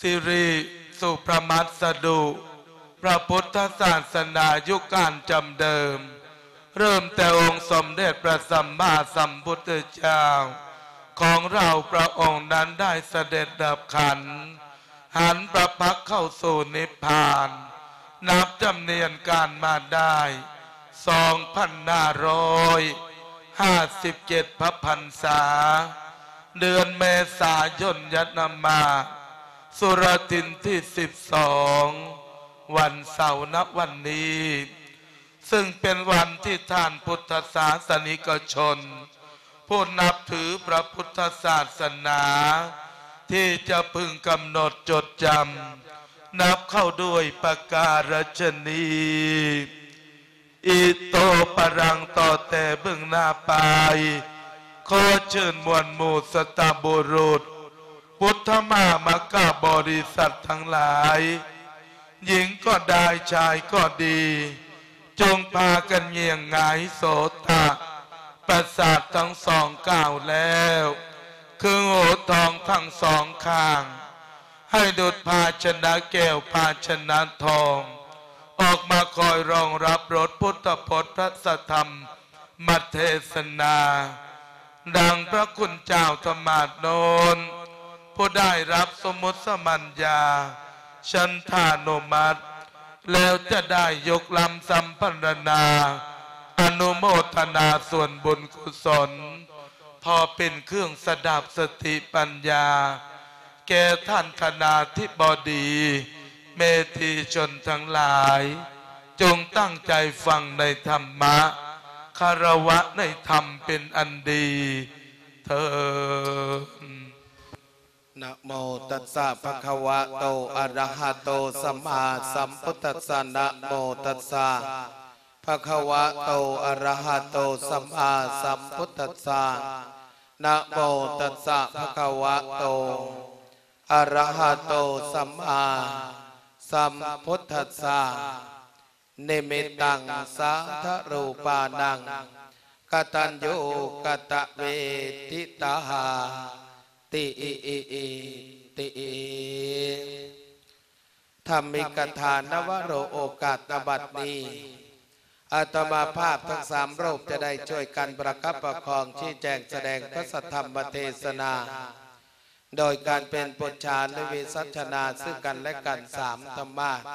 สิริสุประมัสสดุ พระพุทธศาสนายุคกาลจำเดิม เริ่มแต่องค์สมเด็จพระสัมมาสัมพุทธเจ้าของเราพระองค์นั้นได้เสด็จดับขันธ์ หันพระพักตร์เข้าสู่นิพพาน นับจำเนียนการมาได้ สองพันห้าร้อยห้าสิบเจ็ด พระพรรษา เดือนเมษายน ยะนมา สุรทินที่ สิบสอง วันเสาร์ ณ วันนี้ ซึ่งเป็นวันที่ท่านพุทธศาสนิกชน ผู้นับถือพระพุทธศาสนา ที่จะพึงกำหนดจดจำ นับเข้าด้วยประการฉะนี้ อิโต ปะรัง ต่อแต่เบื้องหน้าไป ขอเชิญมวลหมู่สัตบุรุษ พุทธมามกบริษัททั้งหลาย หญิงก็ได้ชายก็ดี จงพากันเงี่ยงหงายโสตะ ประสาททั้งสองก้าวแล้ว คือหัวทองทั้งสองข้าง ให้ดุจภาชนะแก้วภาชนะทอง ออกมาคอยรองรับรสพุทธพจน์พระสัทธรรมเทศนา ดังพระคุณเจ้าธรรมาสน์โน้น ผู้ได้รับสมมุติสมัญญา ฉันทานุมัติ แล้วจะได้ยกลำสัมพันนา อนุโมทนาส่วนบุญกุศล พอเป็นเครื่องสดับสติปัญญา แก่ท่านคณาธิบดี เมธีชนทั้งหลาย จงตั้งใจฟังในธรรมะ คารวะในธรรมเป็นอันดีเทอญ นะโมตัสสะ ภะคะวะโต อะระหะโต สัมมาสัมพุทธัสสะ นะโมตัสสะ ภะคะวะโต อะระหะโต สัมมาสัมพุทธัสสะ นะโมตัสสะ ภะคะวะโต อะระหะโต สัมมาสัมพุทธัสสะ นิมิตตัง สาธะรูปานัง กตัญญูกตะเวทิตา ติ ธรรมิกถา นวโร โอกาส ณ บัดนี้ อาตมาภาพทั้งสามรูปจะได้ช่วยกันประคับประคอง ชี้แจงแสดงพระสัทธรรมเทศนา โดยการเป็นปุจฉานุวิสัชนาซึ่งกันและกันสามธรรมาสน์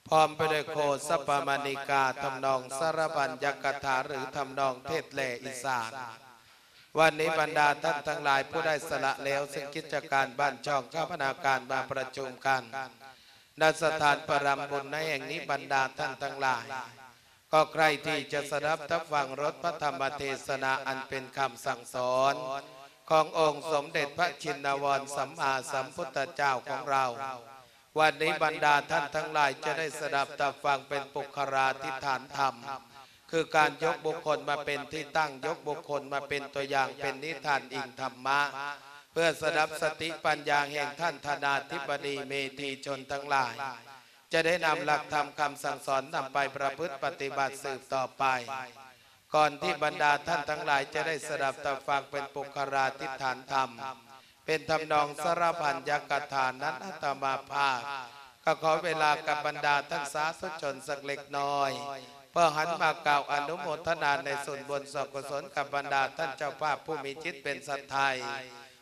พร้อมไปด้วยโคสปมาณิกา ทำนองสารพัญญกถา หรือทำนองเทศน์แหล่อีสาน วันนี้บรรดาท่านทั้งหลายผู้ได้สละแล้วซึ่งกิจการบ้านช่อง คมนาการมาประชุมกัน ณ สถานประรำบุญในแห่งนี้ บรรดาท่านทั้งหลาย ก็ใคร่ที่จะสดับตับฟังรสพระธรรมเทศนาอันเป็นคำสั่งสอน ขององค์สมเด็จพระชินวรสัมมาสัมพุทธเจ้าของเรา วันนี้บรรดาท่านทั้งหลายจะได้สดับตับฟังเป็นปุคคลาธิฐานธรรม คือการยกบุคคลมาเป็นที่ตั้ง ยกบุคคลมาเป็นตัวอย่าง เป็นนิทานอิงธรรมะ เพื่อสดับสติปัญญาแห่งท่านธนาธิบดีเมธีชนทั้งหลาย จะได้นำหลักธรรมคำสั่งสอนนำไปประพฤติปฏิบัติสืบต่อไป ก่อนที่บรรดาท่านทั้งหลายจะได้สดับตับฟังเป็นปุคคลาธิฐานธรรม เป็นทำนองสารพัญญกถานั้น อาตมาภาพ ก็ขอเวลากับบรรดาท่านสาธุชนสักเล็กน้อย เพื่อหันมากล่าวอนุโมทนาในส่วนบุญส่วนกุศลกับบรรดาท่านเจ้าภาพผู้มีจิตเป็นสัตย์ไท้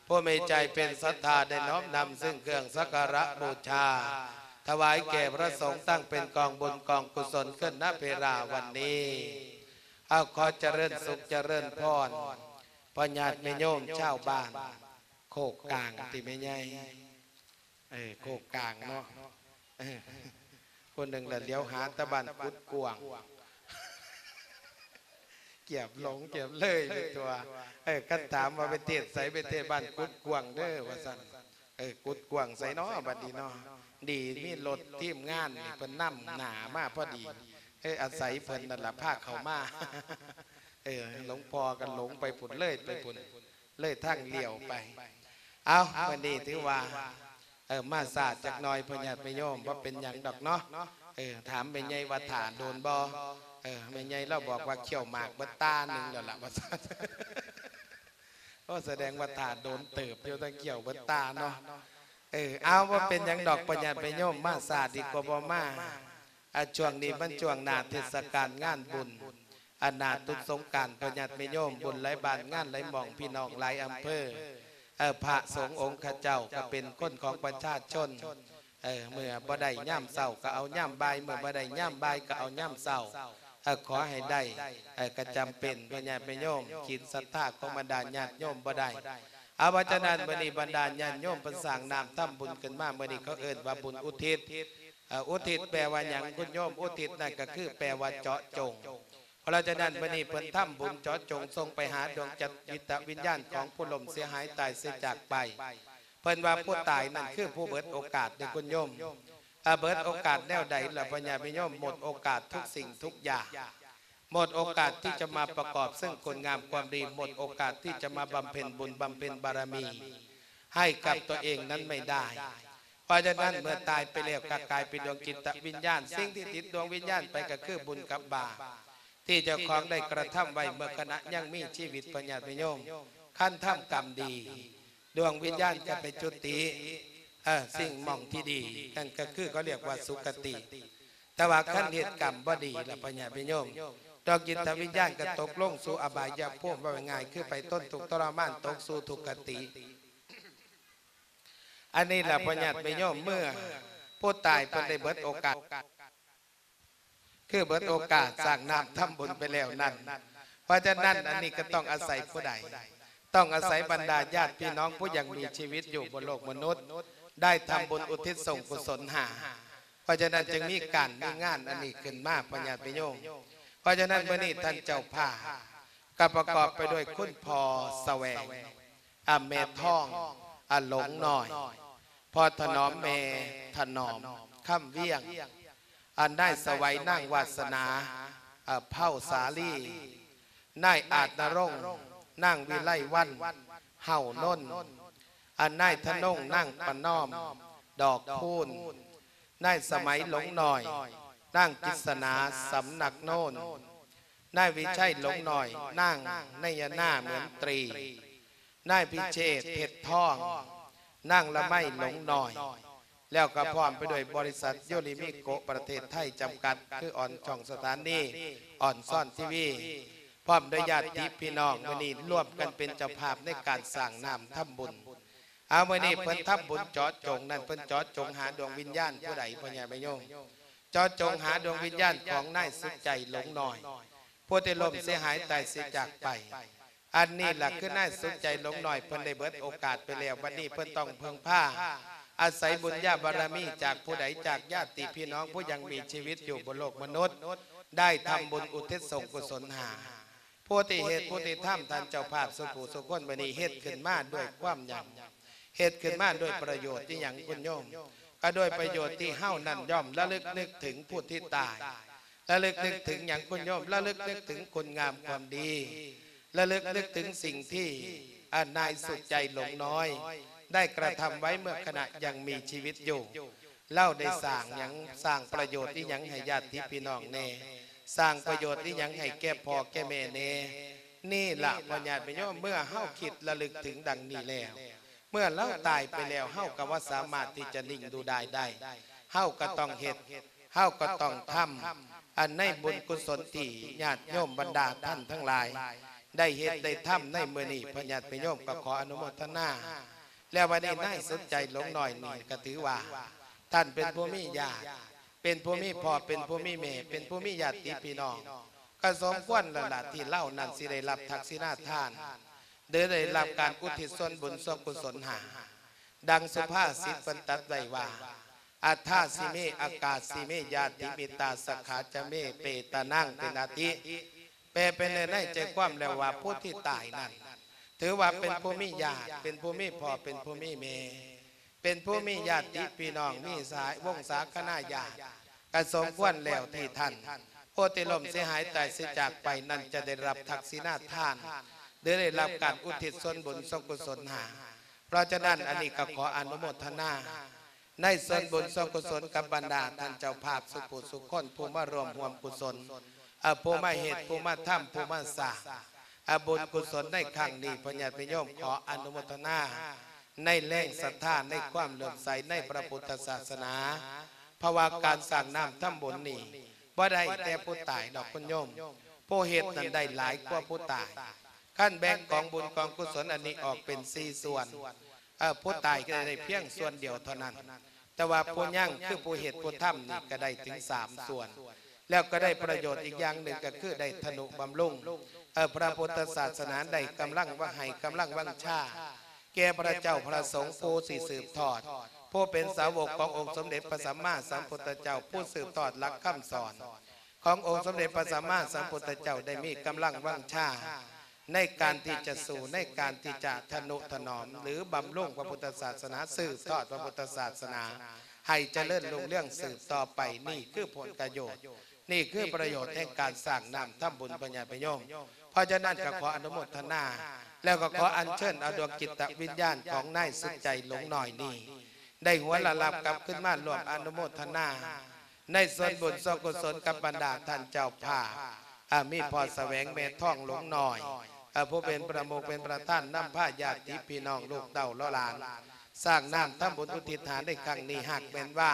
ผู้มีใจเป็นศรัทธาได้น้อมนำซึ่งเครื่องสักการะบูชา ถวายแก่พระสงฆ์ตั้งเป็นกองบุญกองกุศลขึ้น ณ เวลาวันนี้ เอาขอเจริญสุขเจริญพร พ่อญาติแม่โยมชาวบ้านโคกกลางติแม่ใหญ่ เออ โคกกลางเนาะ เออ คนหนึ่งละเหลียวหาตะบ้านกุดกว้าง เกือบหลงเกือบเลยไปตัว เออ คันถามว่าไปเทศน์ไส ไปเทศน์บ้านกุดกว้างเด้อ ว่าซั่น เออ กุดกว้างไสเนาะ บัดนี้เนาะ ดีมีรถทีมงานนี่เพิ่นนำหน้ามาพอดี เออ อาศัยเพิ่นนั่นล่ะพาเข้ามา เออ หลวงพ่อก็หลงไปพุ้น เลยไปพุ้น เลยทางเลี้ยวไป เอ้า มื้อนี้ถือว่า เออ มาช้าจักหน่อย พ่อญาติแม่โยม บ่เป็นหยังดอกเนาะ เออ ถามแม่ใหญ่ว่าถ่าโดนบ่ เออ แม่ใหญ่ลาวบอกว่าเคี้ยวหมากเบิดตาหนึ่งแล้วล่ะ ว่าซั่น โอ้ แสดงว่าถ่าโดนเติบอยู่ แต่เคี้ยวเบิดตาเนาะ ເອີ ເອົາ ບໍ່ເປັນຫຍັງດອກ ພະຍາດແມ່ໂຍມ ມາຊ້າດີກວ່າບໍ່ມາ. ອາ ຊ່ວງນີ້ມັນຊ່ວງໜ້າເທດສະການງານບຸນ ອາ ໜ້າຕຸດສົງການ ພະຍາດແມ່ໂຍມ ບຸນຫຼາຍບ້ານງານຫຼາຍໝ່ອງ ພີ່ນ້ອງຫຼາຍອຳເພີ ເອີ ພະສົງອົງຂະເຈົ້າກໍເປັນຄົນຂອງປະຊາຊົນ. ເອີ ເມື່ອບໍ່ໄດ້ຍາມເຊົ້າກໍເອົາຍາມບ່າຍ ເມື່ອບໍ່ໄດ້ຍາມບ່າຍກໍເອົາຍາມເຊົ້າ. ເອີ ຂໍໃຫ້ໄດ້ ເອີ ກໍຈຳເປັນ ພະຍາດແມ່ໂຍມ ຂີດສັດທາຂອງບັນດາຍາດໂຍມບໍ່ໄດ້. ເອົາ ເພາະສະນັ້ນ ມື້ນີ້ບັນດາຍາດໂຍມເພິ່ນສ້າງນ້ຳທຳບຸນຂຶ້ນມາ ມື້ນີ້ເຂົາເອີ້ນວ່າບຸນອຸທິດ. ເອີ ອຸທິດແປວ່າຫຍັງ ຄຸນໂຍມ? ອຸທິດນັ້ນກໍຄືແປວ່າເຈາະຈົງ. ເພາະສະນັ້ນ ມື້ນີ້ເພິ່ນທຳບຸນເຈາະຈົງ ສົ່ງໄປຫາດວງຈິດຕະວິນຍານຂອງຜູ້ລົ້ມເສຍຫາຍຕາຍເສຍຈາກໄປ. ເພິ່ນວ່າຜູ້ຕາຍນັ້ນຄືຜູ້ເບິດໂອກາດເດ້ ຄຸນໂຍມ. ອາ ເບິດໂອກາດແນວໃດລະ ພະຍາດແມ່ໂຍມ? ໝົດໂອກາດທຸກສິ່ງທຸກຢ່າງ. ໝົດໂອກາດທີ່ຈະມາປະກອບເຊິ່ງຄຸນງາມຄວາມດີ, ໝົດໂອກາດທີ່ຈະມາບຳເພັນບຸນບຳເພັນບາລະມີໃຫ້ກັບຕົວເອງນັ້ນໄມ່ໄດ້. ເພາະສະນັ້ນ ເມື່ອຕາຍໄປແລ້ວກໍກາຍເປັນດວງຈິດຕະວິນຍານ, ສິ່ງທີ່ຕິດດວງວິນຍານໄປກໍຄືບຸນກັບບາບທີ່ເຈົ້າຂອງໄດ້ກະທຳໄວ້ເມື່ອຂະນະຍັງມີຊີວິດ ພະຍາດແມ່ໂຍມ. ຄັນທຳກຳດີ ດວງວິນຍານກໍໄປຈຸຕິ ເອີ ສິ່ງໝ່ອງທີ່ດີ ນັ້ນກໍຄືເຂົາຮຽກວ່າສຸຄະຕິ. ແຕ່ວ່າຄັນເຮັດກຳບໍ່ດີລະ ພະຍາດແມ່ໂຍມ, ດວງຈິດຕະວິນຍານກໍຕົກລົງສູ່ອະບາຍຍະພູມ, ເວົ້າງ່າຍໆ ຄືໄປທົນທຸກທໍລະມານ ຕົກສູ່ທຸກຄະຕິ. ອັນນີ້ລະ ພະຍາດແມ່ໂຍມ, ເມື່ອຜູ້ຕາຍເພິ່ນໄດ້ເບິດໂອກາດ ຄືເບິດໂອກາດສ້າງນ້ຳທຳບຸນໄປແລ້ວນັ້ນ. ເພາະສະນັ້ນ ອັນນີ້ກໍຕ້ອງອາໄສຜູ້ໃດ? ຕ້ອງອາໄສບັນດາຍາດພີ່ນ້ອງຜູ້ຍັງມີຊີວິດຢູ່ບົນໂລກມະນຸດ ໄດ້ທຳບຸນອຸທິດສ່ວນກຸສົນຫາ. ເພາະສະນັ້ນ ຈຶ່ງມີການມີງານອັນນີ້ຂຶ້ນມາ ພະຍາດແມ່ໂຍມ. ເພາະສະນັ້ນ ມື້ນີ້ທ່ານເຈົ້າພາບກໍປະກອບໄປດ້ວຍຄຸນພໍ່ສະແຫວງ ອາ ແມ່ທອງ ອາ ຫຼົງນ້ອຍ, ພໍ່ຖະໜອມ ແມ່ຖະໜອມ ຄຳວຽງ, ອາ ນາຍສະໄຫວ ນາງວາສະໜາ ອາ ເພົາສາລີ, ນາຍອາດນະລົງ ນາງວິໄລວັນ ເຫົານົນ, ອາ ນາຍທະນົງ ນາງປະນອມ ດອກພູນ, ນາຍສະໄໝ ຫຼົງນ້ອຍ, ນາງກິດສະໜາ ສຳນັກໂນນ, ນາຍວິໄຊ ຫຼົງນ້ອຍ, ນາງໄນຍະນາ ເໝືອນຕຣີ, ນາຍພິເຊດ ເພັດທອງ, ນາງລະໄມ ຫຼົງນ້ອຍ, ແລ້ວກໍພ້ອມໄປດ້ວຍບໍລິສັດໂຍລິມິໂກະປະເທດໄທຈຳກັດ ຄືອອນຊ່ອງສະຖານີອອນຊອນທີວີ ພ້ອມດ້ວຍຍາດຕິພີ່ນ້ອງ ມື້ນີ້ລວມກັນເປັນເຈົ້າພາບໃນການສ້າງນ້ຳທຳບຸນ. ເອົາ ມື້ນີ້ເພິ່ນທຳບຸນເຈາະຈົງນັ້ນ ເພິ່ນເຈາະຈົງຫາດວງວິນຍານຜູ້ໃດ ພໍ່ໃຫຍ່ແມ່ໂຍມ? ເຈາະຈົງຫາດວງວິນຍານຂອງນາຍສຸດໃຈ ຫຼົງນ້ອຍ ຜູ້ທີ່ລົ້ມເສຍຫາຍຕາຍເສຍຈາກໄປ. ອັນນີ້ລະຄືນາຍສຸດໃຈ ຫຼົງນ້ອຍ ເພິ່ນໄດ້ເບິດໂອກາດໄປແລ້ວ, ບັດນີ້ເພິ່ນຕ້ອງເພິ່ງພາອາໄສບຸນຍາບາລະມີຈາກຜູ້ໃດ? ຈາກຍາດຕິພີ່ນ້ອງຜູ້ຍັງມີຊີວິດຢູ່ບົນໂລກມະນຸດ ໄດ້ທຳບຸນອຸທິດສ່ວນກຸສົນຫາ. ຜູ້ທີ່ເຮັດ ຜູ້ທີ່ທຳ ທ່ານເຈົ້າພາບສູ່ຜູ້ສູ່ຄົນ ມື້ນີ້ເຮັດຂຶ້ນມາດ້ວຍຄວາມຫຍັງ? ເຮັດຂຶ້ນມາດ້ວຍປະໂຫຍດອີ່ຫຍັງ ຄຸນໂຍມ? ກໍດ້ວຍປະໂຫຍດທີ່ເຮົານັ້ນຍ່ອມລະລຶກນຶກເຖິງຜູ້ທີ່ຕາຍ, ລະລຶກນຶກເຖິງຫຍັງ ຄຸນໂຍມ? ລະລຶກນຶກເຖິງຄຸນງາມຄວາມດີ, ລະລຶກນຶກເຖິງສິ່ງທີ່ ອາ ນາຍສຸດໃຈ ຫຼົງນ້ອຍ ໄດ້ກະທຳໄວ້ເມື່ອຂະນະຍັງມີຊີວິດຢູ່. ລາວໄດ້ສ້າງຫຍັງ? ສ້າງປະໂຫຍດອີ່ຫຍັງໃຫ້ຍາດຕິພີ່ນ້ອງແດ່? ສ້າງປະໂຫຍດອີ່ຫຍັງໃຫ້ແກ່ພໍ່ແກ່ແມ່ແດ່? ນີ້ລະ ພໍ່ຍາດແມ່ໂຍມ, ເມື່ອເຮົາຄິດລະລຶກເຖິງດັ່ງນີ້ແລ້ວ, ເມື່ອລາວຕາຍໄປແລ້ວ ເຮົາກໍບໍ່ສາມາດທີ່ຈະນິ່ງດູດາຍໄດ້. ເຮົາກໍຕ້ອງເຮັດ, ເຮົາກໍຕ້ອງທຳ ອັນໃນບຸນກຸສົນທີ່ຍາດໂຍມບັນດາທ່ານທັງຫຼາຍໄດ້ເຮັດໄດ້ທຳໃນມື້ນີ້. ພໍ່ຍາດແມ່ໂຍມກໍຂໍອະນຸໂມທະນາ. ແລ້ວບັດນີ້ນາຍສຸດໃຈ ຫຼົງນ້ອຍນີ້ ກໍຖືວ່າທ່ານເປັນຜູ້ມີຍາດ, ເປັນຜູ້ມີພໍ່, ເປັນຜູ້ມີແມ່, ເປັນຜູ້ມີຍາດຕິພີ່ນ້ອງ, ກໍສົມຄວນແລ້ວລະທີ່ລາວນັ້ນຊິໄດ້ຮັບທັກສິນາທານ ຫຼືໄດ້ຮັບການອຸທິດສ່ວນບຸນສ່ວນກຸສົນໃຫ້. ດັ່ງສຸພາສິດເພິ່ນຕັດໄວ້ວ່າ ອັດຖາສິເມ ອາກາສິເມ ຍາຕິມິດຕາ ສັກຂາຈະເມ ເປຕານັງ ເປັນອາທິ. ແປເປັນໃນໃນໃຈຄວາມແລ້ວວ່າ ຜູ້ທີ່ຕາຍນັ້ນ ຖືວ່າເປັນຜູ້ມີຍາດ, ເປັນຜູ້ມີພໍ່, ເປັນຜູ້ມີແມ່, ເປັນຜູ້ມີຍາດຕິພີ່ນ້ອງ, ມີສາຍວົງສາຄະນາຍາດ, ກໍສົມຄວນແລ້ວທີ່ທ່ານຜູ້ທີ່ລົ້ມເສຍຫາຍຕາຍເສຍຈາກໄປນັ້ນ ຈະໄດ້ຮັບທັກສິນາທານ ຫຼືໄດ້ຮັບການອຸທິດສ່ວນບຸນສ່ວນກຸສົນໃຫ້. ເພາະສະນັ້ນ ອັນນີ້ກໍຂໍອະນຸໂມທະນາ ໃນສ່ວນບຸນສ່ວນກຸສົນກັບບັນດາທ່ານເຈົ້າພາບສູ່ຜູ້ສູ່ຄົນ ຜູ້ມາຮ່ວມຮ່ວມກຸສົນ, ເອີ ຜູ້ມາເຮັດ, ຜູ້ມາທຳ, ຜູ້ມາສ້າງ, ເອີ ບຸນກຸສົນໃນຄັ້ງນີ້. ພໍ່ຍາດແມ່ໂຍມ ຂໍອະນຸໂມທະນາ ໃນແຮງສັດທາ ໃນຄວາມເຫຼື້ອມໃສໃນພະພຸດທະສາສະໜາ. ເພາະວ່າການສ້າງນ້ຳທຳບຸນນີ້ ບໍ່ໄດ້ແຕ່ຜູ້ຕາຍດອກໂຍມ, ຜູ້ເຮັດນັ້ນໄດ້ຫຼາຍກວ່າຜູ້ຕາຍ. ຄັນແບ່ງກອງບຸນກອງກຸສົນອັນນີ້ອອກເປັນສີ່ສ່ວນ, ເອີ ຜູ້ຕາຍກໍໄດ້ພຽງສ່ວນດຽວເທົ່ານັ້ນ, ແຕ່ວ່າຜູ້ຍັງ ຄືຜູ້ເຮັດຜູ້ທຳນີ້ ກໍໄດ້ເຖິງສາມສ່ວນ. ແລ້ວກໍໄດ້ປະໂຫຍດອີກຢ່າງໜຶ່ງ ກໍຄືໄດ້ທະນຸບຳລຸງ ເອີ ພະພຸດທະສາສະໜາ, ໄດ້ກຳລັງວາ ໃຫ້ກຳລັງວັງຊາແກ່ພະເຈົ້າພະສົງ ຜູ້ທີ່ສືບທອດ, ຜູ້ເປັນສາວົກຂອງອົງສົມເດັດພະສຳມາສຳພຸດທະເຈົ້າ, ຜູ້ສືບທອດຫຼັກຄຳສອນຂອງອົງສົມເດັດພະສຳມາສຳພຸດທະເຈົ້າ, ໄດ້ມີກຳລັງວັງຊາ ໃນການທີ່ຈະສູ້, ໃນການທີ່ຈະທະນຸຖະໜອມ ຫຼື ບຳລຸງພະພຸດທະສາສະໜາ, ສືບທອດພະພຸດທະສາສະໜາ ໃຫ້ຈະເລີນຮຸ່ງເຮືອງສືບຕໍ່ໄປ. ນີ້ຄືຜົນກະໂຫຍດ, ນີ້ຄືປະໂຫຍດແຫ່ງການສ້າງນ້ຳທຳບຸນ ພະຍາດໂຍມ. ເພາະສະນັ້ນກໍຂໍອະນຸໂມທະນາ, ແລ້ວກໍຂໍອັນເຊີນເອົາດວງຈິດຕະວິນຍານຂອງນາຍສຸດໃຈຫຼົງນ້ອຍນີ້ ໄດ້ຫົວລະລາບກັບຄືນມາຮ່ວມອະນຸໂມທະນາ ໃນສ່ວນບຸນສ່ວນກຸສົນກັບບັນດາທ່ານເຈົ້າພາບ, ອາ ມີພໍ່ສະແຫວງ ແມ່ທອງ ຫຼົງນ້ອຍ, ອາ ຜູ້ເປັນປະມຸກເປັນປະທານນຳພາຍາດຕິພີ່ນ້ອງລູກເຕົ້າຫຼໍ່ຫຼານ ສ້າງນ້ຳທຳບຸນອຸທິດຫາໃນຄັ້ງນີ້. ຫາກແມ່ນວ່າ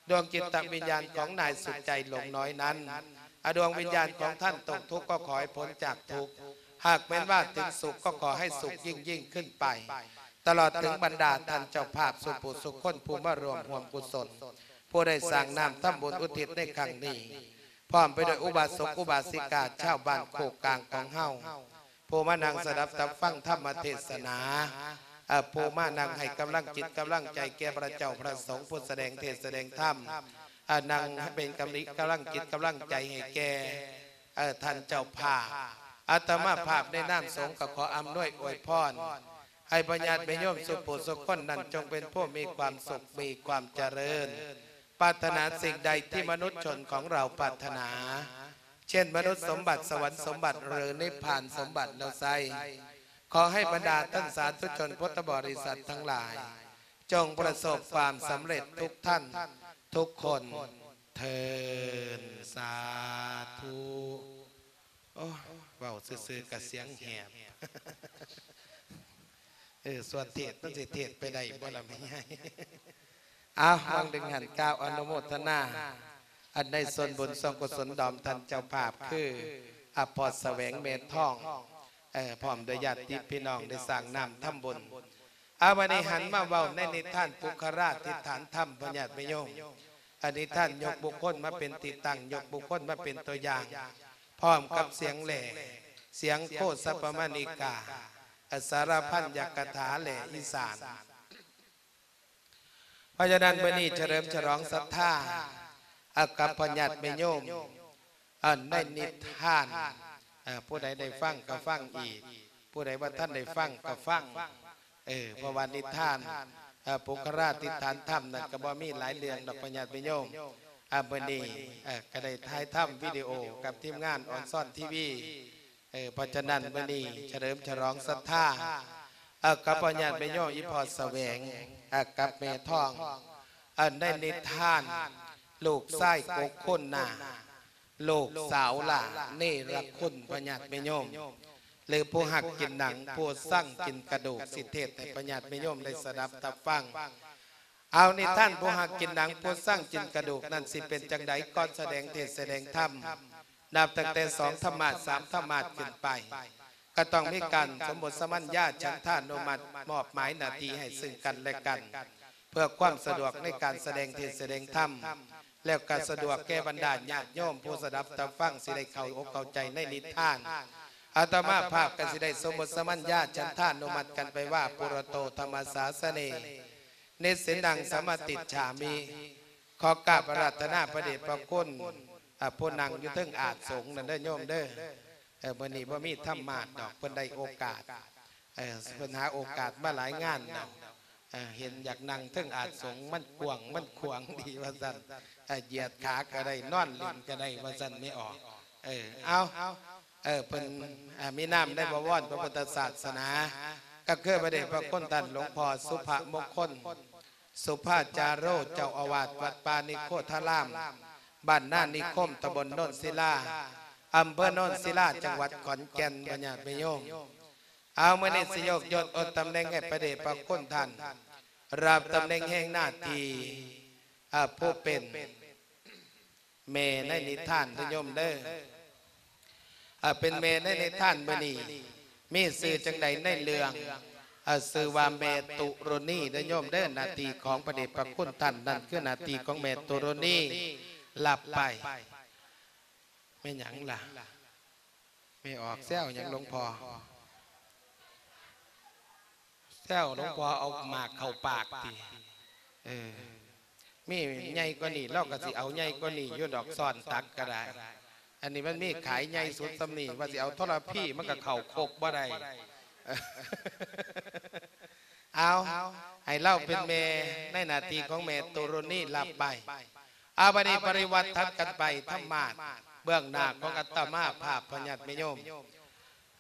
ດວງຈິດຕະວິນຍານຂອງນາຍສຸດໃຈຫຼົງນ້ອຍນັ້ນ, ອາ ດວງວິນຍານຂອງທ່ານຕົກທຸກກໍຂໍໃຫ້ພົ້ນຈາກທຸກ, ຫາກແມ່ນວ່າເຖິງສຸກກໍຂໍໃຫ້ສຸກຍິ່ງໆຂຶ້ນໄປ, ຕະຫຼອດເຖິງບັນດາທ່ານເຈົ້າພາບສູ່ຜູ້ສູ່ຄົນຜູ້ມາຮ່ວມຮ່ວມກຸສົນ ຜູ້ໄດ້ສ້າງນ້ຳທຳບຸນອຸທິດໃນຄັ້ງນີ້ ພ້ອມໄປດ້ວຍອຸບາສົກອຸບາສິກາຊາວບ້ານໂຄກກາງຂອງເຮົາ ຜູ້ມານັ່ງສະດັບຕັບຟັງທຳມະເທດສະໜາ, ເອີ ຜູ້ມານັ່ງໃຫ້ກຳລັງຈິດກຳລັງໃຈແກ່ພະເຈົ້າພະສົງ ຜູ້ສະແດງເທດສະແດງທຳ, ເອີ ນັ່ງເປັນກຳລິ ກຳລັງຈິດກຳລັງໃຈໃຫ້ແກ່ ເອີ ທ່ານເຈົ້າພາບ. ອາດຕະມາພາບໃນນາມສົງກໍຂໍອຳນວຍອວຍພອນ ໃຫ້ພະຍາດແມ່ໂຍມສູ່ຜູ້ສູ່ຄົນນັ້ນ ຈົ່ງເປັນຜູ້ມີຄວາມສຸກ ມີຄວາມຈະເລີນ, ປາດຖະໜາສິ່ງໃດທີ່ມະນຸດຊົນຂອງເຮົາປາດຖະໜາ ເຊັ່ນ ມະນຸດສົມບັດ, ສະຫວັນສົມບັດ ຫຼື ນິບພານສົມບັດແລ້ວໄຊ, ຂໍໃຫ້ບັນດາທ່ານສາທຸຊົນພຸດທະບໍລິສັດທັງຫຼາຍ ຈົ່ງປະສົບຄວາມສຳເລັດທຸກທ່ານທຸກຄົນເທີ້ນ. ສາທຸ. ໂອ້ ເວົ້າຊື່ໆກະສຽງແຫບ. ເອີ ສ່ວນເທດມັນຊິເທດໄປໄດ້ບໍ່ລະແມ່ໃຫຍ່? ເອົາ ຫວ່າງໜຶ່ງຫັ້ນກ່າວອະນຸໂມທະນາ ອັນໃນສ່ວນບຸນສ່ວນກຸສົນດອມທ່ານເຈົ້າພາບ ຄື ອາ ພໍ່ສະແຫວງ ແມ່ທອງ ເອີ ພ້ອມດ້ວຍຍາດຕິພີ່ນ້ອງໄດ້ສ້າງນ້ຳທຳບຸນ. ເອົາ ບັດນີ້ຫັນມາເວົ້າໃນນິທານປຸກຄະລາທິຖານທຳ ພະຍາດແມ່ໂຍມ. ອາ ນິທານຍົກບຸກຄົນມາເປັນທີ່ຕັ້ງ, ຍົກບຸກຄົນມາເປັນຕົວຢ່າງ, ພ້ອມກັບສຽງແຫຼ້, ສຽງໂຄສັບປະມານິກາ, ອາ ສາລະພັນຍັກກະຖາແຫຼ້ອີສານ. ເພາະສະນັ້ນ ມື້ນີ້ສະເຫຼີມສະຫຼອງສັດທາ ອາ ກັບພະຍາດແມ່ໂຍມ ເອີ ໃນນິທານ ເອີ ຜູ້ໃດໄດ້ຟັງກໍຟັງອີກ, ຜູ້ໃດບໍ່ທັນໄດ້ຟັງກໍຟັງ. ເອີ ເພາະວ່ານິທານ ເອີ ປຸກຄະລາທິຖານທຳນັ້ນກໍບໍ່ມີຫຼາຍເລື່ອງດອກ ພະຍາດແມ່ໂຍມ. ອາ ມື້ນີ້ ເອີ ກໍໄດ້ຖ່າຍທຳວິດີໂອກັບທີມງານອອນຊອນທີວີ. ເອີ ເພາະສະນັ້ນ ມື້ນີ້ສະເຫຼີມສະຫຼອງສັດທາ ເອີ ກັບພະຍາດແມ່ໂຍມ ອີ່ພໍ່ສະແຫວງ ເອີ ກັບແມ່ທອງ ເອີ ໃນນິທານ ລູກຊາຍກົກຄຸນນາ ລູກສາວຫຼ້າເນລະຄຸນ ພະຍາດແມ່ໂຍມ ຫຼື ຜູ້ຮັກກິນໜັງ ຜູ້ຊັງກິນກະດູກ ຊິເທດໃຫ້ພະຍາດແມ່ໂຍມໄດ້ສະດັບຕັບຟັງ. ເອົາ ນິທານຜູ້ຮັກກິນໜັງ ຜູ້ຊັງກິນກະດູກນັ້ນ ຊິເປັນຈັ່ງໃດ? ກ່ອນສະແດງເທດສະແດງທຳ ນັບຕັ້ງແຕ່ສອງທຳມາດ ສາມທຳມາດຂຶ້ນໄປ ກໍຕ້ອງມີການສົມບົດສະມັນຍາ ສັນທານຸມັດ ມອບໝາຍໜ້າທີ່ໃຫ້ຊຶ່ງກັນແລະກັນ ເພື່ອຄວາມສະດວກໃນການສະແດງເທດສະແດງທຳ ແລ້ວກໍສະດວກແກ່ບັນດາຍາດໂຍມຜູ້ສະດັບຕັບຟັງ ຊິໄດ້ເຂົ້າອົກເຂົ້າໃຈໃນນິທານ. ອາດຕະມາພາບກໍຊິໄດ້ສົມບົດສະມັນຍາ ສັນທານຸມັດກັນໄປວ່າ ປຸຣະໂຕທຳມະສາສະເນ ນິສສິນນັງສະມາຕິດສາມິ. ຂໍກາບອາລາດຖະນາພະເດດພະຄຸນ ອາ ຜູ້ນັ່ງຢູ່ເທິງອາດສົງນັ້ນເດີໂຍມເດີ. ເອີ ມື້ນີ້ບໍ່ມີທຳມາດດອກ ເພິ່ນໄດ້ໂອກາດ ເອີ ເພິ່ນຫາໂອກາດມາຫຼາຍງານແລ້ວ. ເອີ ເຫັນຢາກນັ່ງເທິງອາດສົງ ມັນກວ້າງມັນຂວາງດີວ່າຊັ້ນ, ເອີ ຢຽດຂາກໍໄດ້ ນອນຫຼິ້ນກໍໄດ້ວ່າຊັ້ນ ແມ່ອອກ. ເອີ ເອົາ ເອີ ເພິ່ນ ເອີ ມີນາມໃນບະວອນພະພຸດທະສາສະໜາ ກໍຄືພະເດດພະຄຸນທ່ານຫຼວງພໍ່ສຸພະມົງຄົນ ສຸພາຈາໂຣ ເຈົ້າອາວາດວັດປ່ານິໂຄທາລາມ ບ້ານນານິຄົມ ຕຳບົນໂນນສິລາ ອຳເພີໂນນສິລາ ຈັງຫວັດຂອນແກ່ນ ພະຍາດແມ່ໂຍມ. ເອົາ ມື້ນີ້ຊິຍົກຍົດອົດຕຳແໜ່ງໃຫ້ພະເດດພະຄຸນທ່ານ ຮັບຕຳແໜ່ງແຫ່ງໜ້າທີ່ ເອີ ຜູ້ເປັນແມ່ໃນນິທານເດີໂຍມເດີ. ເອີ ເປັນແມ່ໃນນິທານມື້ນີ້ ມີຊື່ຈັ່ງໃດໃນເລື່ອງ ເອີ ຊື່ວ່າແມ່ຕຸຣະນີເດີໂຍມເດີ. ໜ້າທີ່ຂອງພະເດດພະຄຸນທ່ານ ນັ້ນຄືໜ້າທີ່ຂອງແມ່ຕຸຣະນີ ຮັບໄປ. ແມ່ນຫຍັງລະ? ແມ່ອອກແຊວຫຍັງຫຼວງພໍ່? ແຊວຫຼວງພໍ່ເອົາໝາກເຂົ້າປາກຕິ. ເອີ ມີໃຫຍ່ກວ່ານີ້ ລາວກໍຊິເອົາໃຫຍ່ກວ່ານີ້ຢູ່ດອກ ຊ້ອນຕັກກໍໄດ້. ອັນນີ້ມັນມີຂາຍໃຫຍ່ສຸດສ່ຳນີ້ ວ່າຊິເອົາທໍລະພີມັນກໍເຂົ້າຄົກບໍ່ໄດ້. ເອົາ ໃຫ້ລາວເປັນແມ່ໃນໜ້າທີ່ຂອງແມ່ຕຸຣະນີ ຮັບໄປ. ອາ ບັດນີ້ປະລິວັດຖັດກັນໄປທຳມາດ ເບື້ອງໜ້າຂອງອາດຕະມາພາບ ພະຍາດແມ່ໂຍມ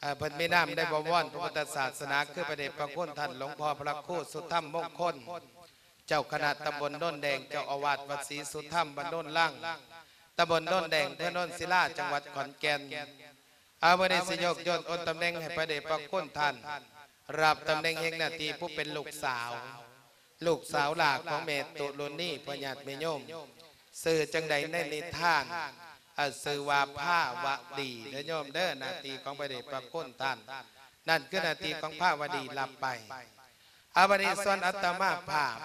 ເອີ ເພິ່ນມີນາມໄດ້ບໍວອນພະພຸດທະສາສະໜາ ຄືພະເດດພະຄຸນທ່ານຫຼວງພໍ່ພະຄູສຸທຳມົງຄົນ ເຈົ້າຄະນະຕຳບົນໂນນແດງ ເຈົ້າອາວາດວັດສີສຸທຳ ບ້ານໂນນລັງ ຕຳບົນໂນນແດງ ອຳເພີໂນນສິລາ ຈັງຫວັດຂອນແກ່ນ. ອາ ມື້ນີ້ຊິຍົກຍົດອົດຕຳແໜ່ງໃຫ້ພະເດດພະຄຸນທ່ານ ຮັບຕຳແໜ່ງແຫ່ງໜ້າທີ່ຜູ້ເປັນລູກສາວ ລູກສາວຫຼ້າຂອງແມ່ຕຸຣະນີ ພະຍາດແມ່ໂຍມ ຊື່ຈັ່ງໃດໃນນິທານ? ເອີ ຊື່ວ່າພາວະດີເດີໂຍມເດີ. ໜ້າທີ່ຂອງພະເດດພະຄຸນທ່ານ ນັ້ນຄືໜ້າທີ່ຂອງພາວະດີ ຮັບໄປ. ອາ ບັດນີ້ສ່ວນອາດຕະມາພາບ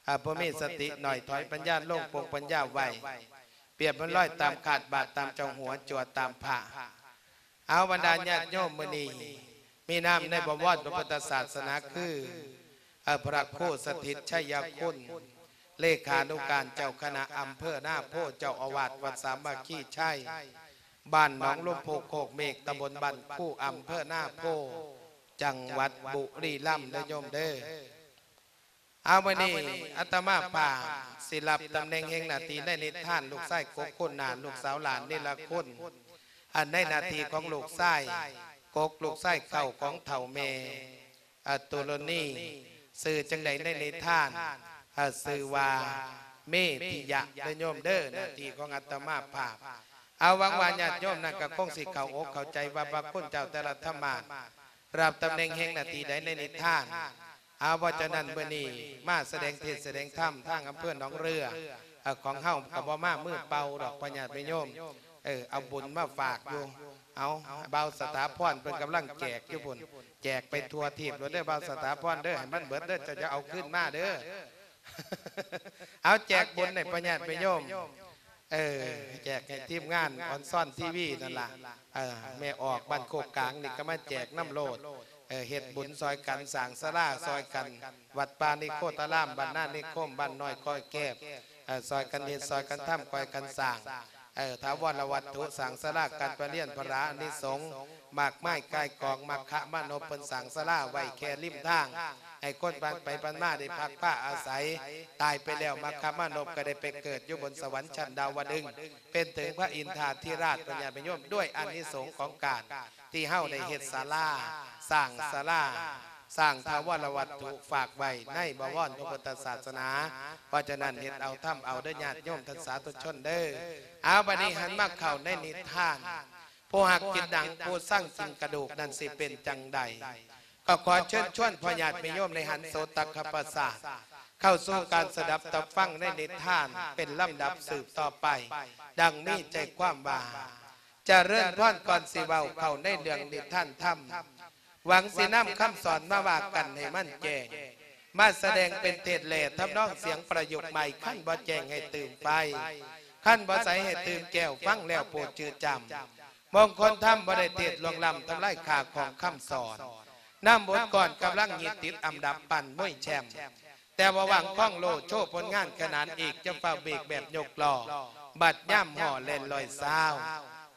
ອາ ຜູ້ມີສະຕິໜ້ອຍ ຖອຍປັນຍາລົງ ປົງປັນຍາໄວ ປຽບເໝືອນລອຍຕາມຄາດ ບາດຕາມເຈົ້າຫົວ ຈົວຕາມພະ. ເອົາ ບັນດາຍາດໂຍມ ມື້ນີ້ມີນາມໃນບໍວອນພະພຸດທະສາສະໜາຄື ເອີ ພະຄູສະຖິດໄຊຍະຄຸນ ເລຂານຸການເຈົ້າຄະນະອຳເພີນາໂພ ເຈົ້າອາວາດວັດສາມັກຄີໄຊ ບ້ານໜອງລົມພູໂຄກເມກ ຕຳບົນບ້ານຄູ ອຳເພີນາໂພ ຈັງຫວັດບຸລີລຳເດີໂຍມເດີ. ເອົາ ມື້ນີ້ອາດຕະມາພາບຊິຮັບຕຳແໜ່ງແຫ່ງໜ້າທີ່ໃນນິທານ ລູກຊາຍກົກຄູນນານ ລູກສາວຫຼ້ານເນລະຄຸນ ອັນໃນໜ້າທີ່ຂອງລູກຊາຍກົກ ລູກຊາຍເຄົ້າຂອງເຖົ້າແມ່ ອາ ຕຸຣະນີ ຊື່ຈັ່ງໃດໃນນິທານ? ອາ ຊື່ວ່າເມທິຍະເດີໂຍມເດີ. ໜ້າທີ່ຂອງອາດຕະມາພາບ ເອົາ ຫວັງວ່າຍາດໂຍມນັ້ນກໍຄົງຊິເຂົ້າອົກເຂົ້າໃຈວ່າພະຄຸນເຈົ້າແຕ່ລະທຳມາດ ຮັບຕຳແໜ່ງແຫ່ງໜ້າທີ່ໃດໃນນິທານ. ເອົາ ເພາະສະນັ້ນ ມື້ນີ້ມາສະແດງເທດສະແດງທຳ ທາງອຳເພີໜອງເຮືອ ເອີ ຂອງເຮົາກໍບໍ່ມາມືເປົ່າດອກ ພະຍາດແມ່ໂຍມ ເອີ ເອົາບຸນມາຝາກຢູ່. ເອົາ ບ່າວສະຖາພອນເພິ່ນກຳລັງແຈກຢູ່ພຸ້ນ ແຈກໄປທົ່ວທີບໂລດເດີ ບ່າວສະຖາພອນເດີ ໃຫ້ມັນເບິດເດີ ເຈົ້າຢ່າເອົາຄືນມາເດີ. ເອົາ ແຈກບຸນໃຫ້ພະຍາດແມ່ໂຍມ ເອີ ແຈກໃຫ້ທີມງານອອນຊອນທີວີນັ້ນລະ. ເອີ ແມ່ອອກບ້ານໂຄກກາງນີ້ກໍມາແຈກນຳໂລດ ເອີ ເຮັດບຸນຊ່ອຍກັນ ສ້າງສາລາຊ່ອຍກັນ ວັດປ່ານິໂຄຕາລາມ ບ້ານນານິຄົມ ບ້ານນ້ອຍຄອຍແກບ ເອີ ຊ່ອຍກັນເຮັດ ຊ່ອຍກັນທຳ ຊ່ອຍກັນສ້າງ ເອີ ຖາວອນລະວັດຖຸ ສ້າງສາລາການປະລຽນພະລາ ອານິສົງ ໝາກໄມ້ກາຍກອງ ມັກຄະມານົບ ເພິ່ນສ້າງສາລາໄວ້ແຄ່ລິມທາງ ໃຫ້ຄົນຜ່ານໄປຜ່ານມາໄດ້ພັກພາອາໄສ. ຕາຍໄປແລ້ວ ມັກຄະມານົບກໍໄດ້ໄປເກີດຢູ່ບົນສະຫວັນຊັ້ນດາວະດຶງ ເປັນເຖິງພະອິນທາທິລາດ ພະຍາດແມ່ໂຍມ ດ້ວຍອານິສົງຂອງການທີ່ເຮົາໄດ້ເຮັດສາລາ ສ້າງສາລາ ສ້າງຖາວອນລະວັດຖຸ ຝາກໄວ້ໃນບໍວອນພະພຸດທະສາສະໜາ. ເພາະສະນັ້ນ ເຮັດເອົາທຳເອົາເດີຍາດໂຍມທ່ານສາທຸຊົນເດີ. ເອົາ ບັດນີ້ຫັນມາເຂົ້າໃນນິທານ ຜູ້ຮັກກິນໜັງ ຜູ້ຊັງກິນກະດູກນັ້ນຊິເປັນຈັ່ງໃດ? ກໍຂໍເຊີນຊວນພໍ່ຍາດແມ່ໂຍມໃນຫັນໂສຕະຄະປະສາດ ເຂົ້າສູ່ການສະດັບຕັບຟັງໃນນິທານເປັນລຳດັບສືບຕໍ່ໄປ ດັ່ງມີໃຈຄວາມວ່າ ຈະເລີນພອນ ກ່ອນຊິເວົ້າເຂົ້າໃນເລື່ອງນິທານທຳ ຫວັງຊິນຳຄຳສອນມາວ່າກັນໃຫ້ມັນແຈ້ງ ມາສະແດງເປັນເທດແລະທຳນອງສຽງປະຍຸກໃໝ່ ຄັນບໍ່ແຈ້ງໃຫ້ຕື່ມໄຟ ຄັນບໍ່ໃສໃຫ້ຕື່ມແກ້ວ ຟັງແລ້ວໂປດຈື່ຈຳ. ມົງຄົນທຳບໍ່ໄດ້ເທດລ່ວງລ້ຳທຳລາຍຄ່າຂອງຄຳສອນ ນຳບົດກອນກຳລັງຍຶດຕິດອັນດັບປັ້ນມວຍແຊ້ມ ແຕ່ວ່າຫວ່າງຄອງໂລໂຊຜົນງານຂະໜານອີກ ຈະຟ້າວເບກແບບຍົກລໍ້ ບັດຍາມຫໍ່ແລ່ນລອຍຊາວ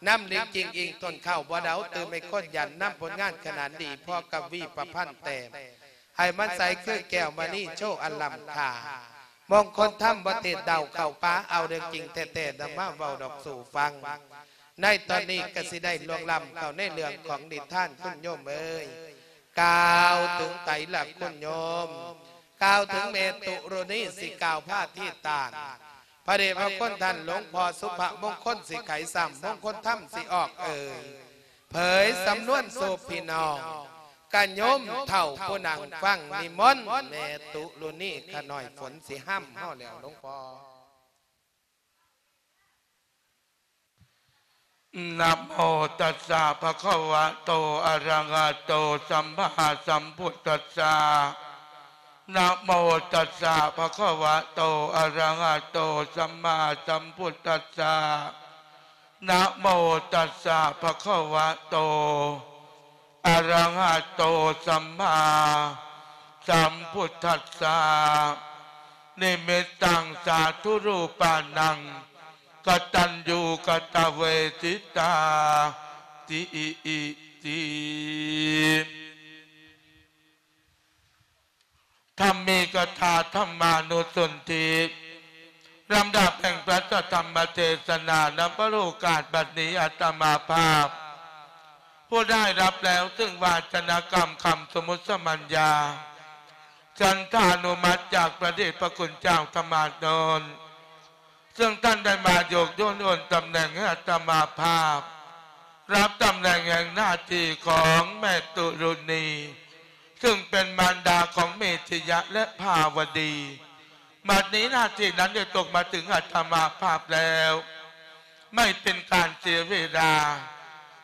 ນຳລິງຈິງອີງຕົ້ນເຂົ້າບໍ່ເດົາ ຕື່ມໃຫ້ຄົນຢັນ ນຳຜົນງານຂະໜານດີພໍກັບວີປະພັນແຕ້ມ ໃຫ້ມັນໃສຄືແກ້ວມະນີໂຊອັນລ້ຳຄ່າ ມົງຄົນທຳບໍ່ເທດເດົາເຂົ້າປາ ເອົາເລື່ອງຈິງແທ້ໆ ນຳມາເວົ້າດອກສູ່ຟັງ. ໃນຕອນນີ້ກໍຊິໄດ້ລ່ວງລ້ຳເຂົ້າໃນເລື່ອງຂອງນິທານ ຄຸນໂຍມເອີຍ ກ່າວເຖິງໃຜລະຄຸນໂຍມ? ກ່າວເຖິງແມ່ຕຸຣະນີ ຊິກ່າວພາທີຕານ ພະເດດພະຄຸນທ່ານຫຼວງພໍ່ສຸພະມົງຄົນ ຊິໄຂຊ້ຳ ມົງຄົນທຳຊິອອກເອີຍ ເຜີຍສຳນວນສູ່ພີ່ນ້ອງ ກະໂຍມເຖົ້າຜູ້ນັ່ງຟັງນິມົນແມ່ຕຸລຸນີ ຂະນ້ອຍຝົນຊິຫ້ຳເຮົາແລ້ວ ຫຼວງພໍ່. ນະໂມຕັດສະ ພະຄະວະໂຕ ອະຣະຫະໂຕ ສຳມາສຳພຸດທັດສະ. ນະໂມຕັດສະ ພະຄະວະໂຕ ອະຣະຫະໂຕ ສຳມາສຳພຸດທັດສະ. ນະໂມຕັດສະ ພະຄະວະໂຕ ອະຣະຫະໂຕ ສຳມາສຳພຸດທັດສະ. ນິມິດຕັງ ສາທຸຮູປານັງ ກະຕັນຍູກະຕະເວທິຕາ ຕິອິຕິ. ທຳມີກະຖາ ທຳມານຸສົນທິ ລຳດັບແຫ່ງພະທຳມະເທສະໜາ ນຳປະໂລກາດບັດນີ້ ອາດຕະມາພາບ ຜູ້ໄດ້ຮັບແລ້ວ ຊຶ່ງວາຈະນາກຳຄຳສົມມຸດສະມັນຍາ ສັນທານຸມັດຈາກພະເດດພະຄຸນເຈົ້າທຳມາດນນ ເຊິ່ງທ່ານໄດ້ມາໂຍກໂຍນໂອນຕຳແໜ່ງໃຫ້ອາດຕະມາພາບ ຮັບຕຳແໜ່ງແຫ່ງໜ້າທີ່ຂອງແມ່ຕຸລຸນີ ເຊິ່ງເປັນມານດາຂອງເມທິຍະ ແລະ ພາວະດີ. ບັດນີ້ໜ້າທີ່ນັ້ນໄດ້ຕົກມາເຖິງອາດຕະມາພາບແລ້ວ ໄມ່ເປັນການເສຍເວລາ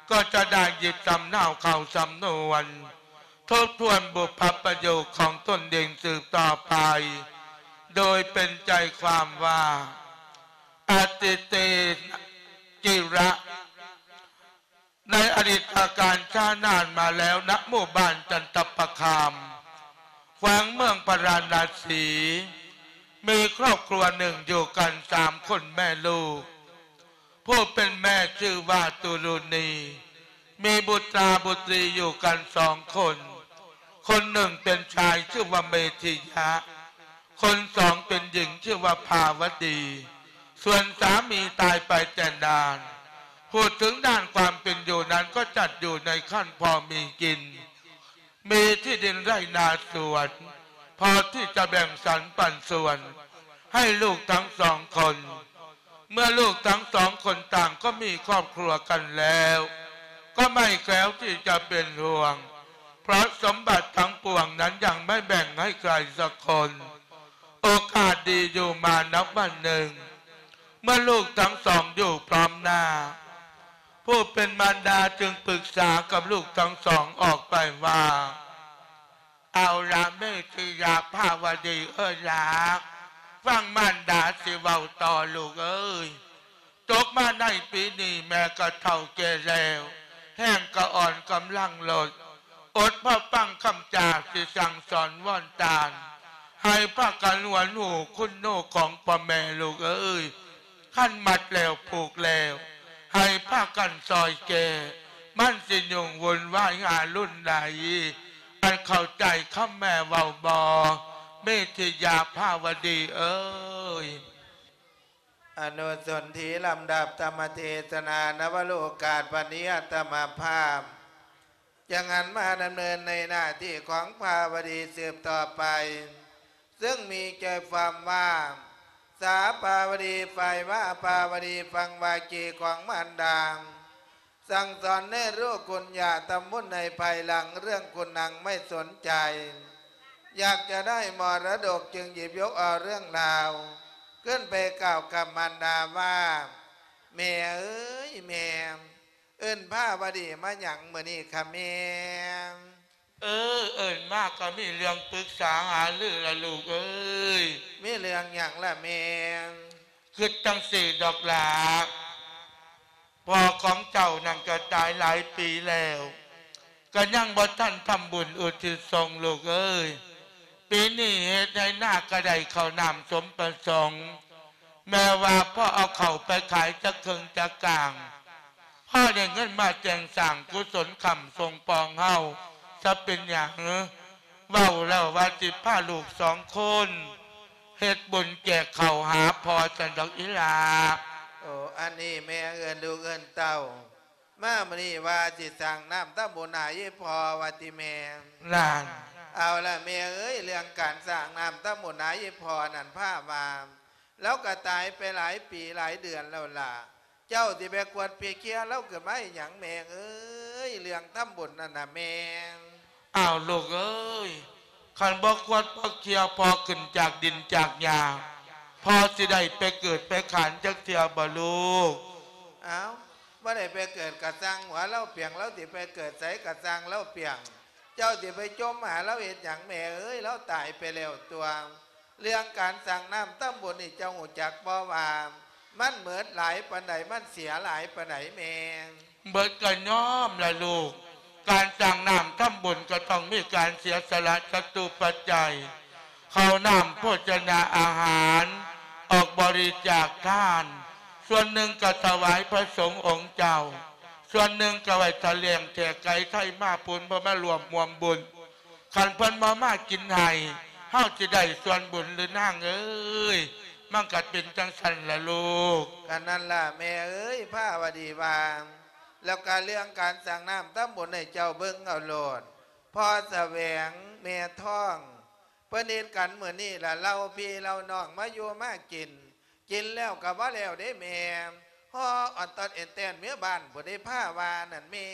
ກໍຈະໄດ້ຫຍິບສຳເນົາເຂົ້າສຳນວນ ທົບທວນບຸບພະປະໂຫຍກຂອງຕົນເອງສືບຕໍ່ໄປ ໂດຍເປັນໃຈຄວາມວ່າ ອະຕິເຕນະກິລະ ໃນອະດີດການຊ້ານານມາແລ້ວ ນະໝູ່ບ້ານຈັນຕະປະຄາມ ແຂວງເມືອງພາລານະສີ ມີຄອບຄົວໜຶ່ງຢູ່ກັນສາມຄົນແມ່ລູກ. ຜູ້ເປັນແມ່ຊື່ວ່າຕຸລຸນີ ມີບຸດຕາບຸດຕີຢູ່ກັນສອງຄົນ, ຄົນໜຶ່ງເປັນຊາຍຊື່ວ່າເມທິຍະ, ຄົນສອງເປັນຍິງຊື່ວ່າພາວະດີ, ສ່ວນສາມີຕາຍໄປແຕ່ນານ. ພູດເຖິງດ້ານຄວາມເປັນຢູ່ນັ້ນກໍຈັດຢູ່ໃນຂັ້ນພໍມີກິນ. ມີທີ່ດິນໄຮ່ນາສວນ ພໍທີ່ຈະແບ່ງສັນປັນສ່ວນໃຫ້ລູກທັງສອງຄົນ. ເມື່ອລູກທັງສອງຄົນຕ່າງກໍມີຄອບຄົວກັນແລ້ວ ກໍໄມ່ແຄວທີ່ຈະເປັນຫ່ວງ ເພາະສົມບັດທັງປວງນັ້ນຍັງໄມ່ແບ່ງໃຫ້ໃຄສັກຄົນ. ໂອກາດດີຢູ່ມານັບວັນໜຶ່ງ ເມື່ອລູກທັງສອງຢູ່ພ້ອມໜ້າ ຜູ້ເປັນມານດາຈຶ່ງປຶກສາກັບລູກທັງສອງອອກໄປວ່າ ເອົາລະເມທິຍະພາວະດີເອີຍລາ ຟັງມານດາຊິເວົ້າຕໍ່ລູກເອີຍ. ຕົກມາໃນປີນີ້ແມ່ກໍເຖົ້າແກ່ແລ້ວ ແຮງກໍອ່ອນກຳລັງລົດ ອົດພໍຟັງຄຳຈາທີ່ສັ່ງສອນວອນຕານ ໃຫ້ພາກັນຫວນຫູຄຸນໜູຂອງພໍ່ແມ່ລູກເອີຍ. ຄັນມັດແລ້ວຜູກແລ້ວ ໃຫ້ພາກັນຊ່ອຍແກ້ ມັນຊິຫຍຸ້ງວຸ່ນວາຍຫາລຸນໃດ. ອັນເຂົ້າໃຈຄຳແມ່ເວົ້າບໍ່ ເມທິຍາພາວະດີເອີຍ? ອະນຸສົນທິລຳດັບທຳມະເທສະໜາ ນະວະໂລກາດວັນນີ້ ອາດຕະມາພາບ ຈະຫັນມາດຳເນີນໃນໜ້າທີ່ຂອງພາວະດີສືບຕໍ່ໄປ ເຊິ່ງມີໃຈຄວາມວ່າ ສາພາວະດີ ຝ່າຍມະຫາພາວະດີ ຟັງວາກີຂອງມານດາ ສັ່ງສອນໃຫ້ລູກຄຸນຢ່າທຳບຸນໃນພາຍຫຼັງ ເລື່ອງຄຸນນາງໄມ່ສົນໃຈ ຢາກຈະໄດ້ມໍລະດົກ ຈຶ່ງຫຍິບຍົກເອົາເລື່ອງລາວ ຂຶ້ນໄປກ່າວກັບມານດາວ່າ ແມ່ເອີຍແມ່ ເອີ້ນພາວະດີມາຫຍັງມື້ນີ້ຄະແມ່? ເອີ ເອີ້ນມາກໍມີເລື່ອງປຶກສາຫາລືລະລູກເອີຍ. ມີເລື່ອງຫຍັງລະແມ່? ຄິດຈັ່ງຊີ້ດອກຫຼ້າ ພໍ່ຂອງເຈົ້ານັ້ນກໍຕາຍຫຼາຍປີແລ້ວ ກໍຍັງບໍ່ທັນທຳບຸນອຸທິດສົ່ງລູກເອີຍ. ປີນີ້ເຮັດໄຮ່ນາກໍໄດ້ເຂົ້ານ້ຳສົມປະສົງ ແມ່ວ່າພໍເອົາເຂົ້າໄປຂາຍຈັກເຄິ່ງຈັກກາງ ພໍໄດ້ເງິນມາແຕ່ງສ້າງກຸສົນຄ້ຳສົ່ງປອງເຮົາ ຈະເປັນຫຍັງ? ເວົ້າແລ້ວວ່າຊິພາລູກສອງຄົນ ເຮັດບຸນແຈກເຂົ້າຫາພໍ່ຊັ້ນດອກອີ່ຫຼ້າ. ໂອ ອັນນີ້ແມ່ເອີ້ນລູກເອີ້ນເຕົ້າ ມາມື້ນີ້ວ່າຊິສ້າງນ້ຳທຳບຸນໃຫ້ອີ່ພໍ່ວ່າຕິແມ່? ນັ້ນ ເອົາລະແມ່ເອີຍ ເລື່ອງການສ້າງນ້ຳທຳບຸນໃຫ້ອີ່ພໍ່ນັ້ນ ພາວ່າ ລາວກໍຕາຍໄປຫຼາຍປີຫຼາຍເດືອນແລ້ວລະ ເຈົ້າຊິໄປກວດໄປເຄຍລາວຂຶ້ນມາເຮັດຫຍັງແມ່ເອີຍ? ເລື່ອງທຳບຸນນັ້ນນະແມ່. ອ້າວລູກເອີຍ ຄັນບໍ່ຄວດບໍ່ເຄຍພໍ່ຂຶ້ນຈາກດິນຈາກຫຍ້າ ພໍ່ຊິໄດ້ໄປເກີດໄປຂານຈັກເທື່ອບໍ່ລູກ? ອ້າວ ບໍ່ໄດ້ໄປເກີດກະຊ່າງຫົວລາວປຽງ ລາວຊິໄປເກີດໃສກະຊ່າງລາວປຽງ ເຈົ້າຊິໄປຈົ່ມຫາລາວເຮັດຫຍັງແມ່ເອີຍ ລາວຕາຍໄປແລ້ວຕົວະ. ເລື່ອງການສ້າງນ້ຳທຳບຸນນີ້ເຈົ້າຮູ້ຈັກບໍ່ວ່າ ມັນເໝິດຫຼາຍປານໃດ ມັນເສຍຫຼາຍປານໃດແມ່? ເໝິດກໍຍອມລະລູກ ການສ້າງນ້ຳທຳບຸນກໍຕ້ອງມີການເສຍສະຫຼະຈະຕຸປັດໄຈ ເຂົ້ານ້ຳໂພຊະນາອາຫານ ອອກບໍລິຈາກທານ ສ່ວນໜຶ່ງກໍຖວາຍພະສົງອົງເຈົ້າ ສ່ວນໜຶ່ງກໍໄວ້ຖ້າລ້ຽງແຂກໄກໄທມາພຸ້ນ ເພິ່ນມາຮ່ວມຮ່ວມບຸນ ຄັນເພິ່ນບໍ່ມາກິນໃຫ້ ເຮົາຊິໄດ້ສ່ວນບຸນຫຼືນາງເອີຍ? ມັນກໍເປັນຈັ່ງຊັ້ນລະລູກ. ກະນັ້ນລະແມ່ເອີຍ ພາວະດີວ່າ ແລ້ວກະເລື່ອງການສ້າງນ້ຳທຳບຸນໃຫ້ເຈົ້າເບິ່ງເອົາໂລດ ພໍ່ສະແຫວງ ແມ່ທອງ ເພິ່ນເຮັດກັນມື້ນີ້ລະ ເຫຼົ່າພີ່ເຫຼົ່ານ້ອງມາຢູ່ມາກິນ ກິນແລ້ວກໍບໍ່ແລ້ວເດ້ແມ່ ຫໍ່ອອນຕອນເອັນແຕນເມືອບ້ານພຸ້ນເດ້ ພາວ່ານັ້ນແມ່.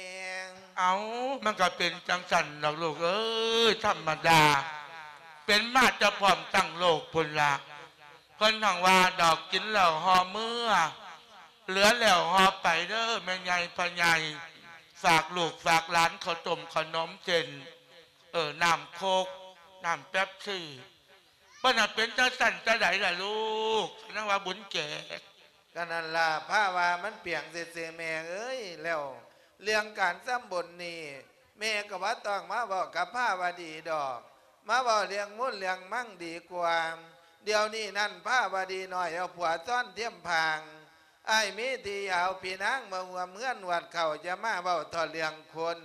ເອົ້າ ມັນກໍເປັນຈັ່ງຊັ້ນດອກລູກເອີຍ ທຳມະດາ ເປັນມາແຕ່ພ້ອມຕັ້ງໂລກພຸ້ນລະ ເພິ່ນຫັ້ນວ່າດອກ ກິນແລ້ວຫໍ່ເມືອ ເຫຼືອແລ້ວຫໍ່ໄປເດີແມ່ໃຫຍ່ພໍ່ໃຫຍ່ ຝາກລູກຝາກຫຼານ ເຂົ້າຕົ້ມຂະໜົມເສັ້ນ ເອີ ນ້ຳໂຄກ ນ້ຳເປັບຊີ ເພິ່ນນະເປັນຈັ່ງຊັ້ນຈັ່ງໃດລະລູກ ນາງວ່າບຸນແຈກ. ກະນັ້ນລະ ພາວ່າມັນປຽງຊື່ໆແມ່ເອີຍ ແລ້ວເລື່ອງການທຳບຸນນີ້ ແມ່ກໍບໍ່ຕ້ອງມາເວົ້າກັບພາວະດີດອກ ມາເວົ້າເລື່ອງມູນເລື່ອງມັງດີກວ່າ. ດຽວນີ້ນັ້ນພາວະດີນ້ອຍເອົາຜົວຊ້ອນທຽມພາງ ອ້າຍມີທີ່ເອົາພີ່ນາງມາຮ່ວມເຮືອນຫວດເຂົ້າ ຢ່າມາເວົ້າເທົ່າເລື່ອງຄົນ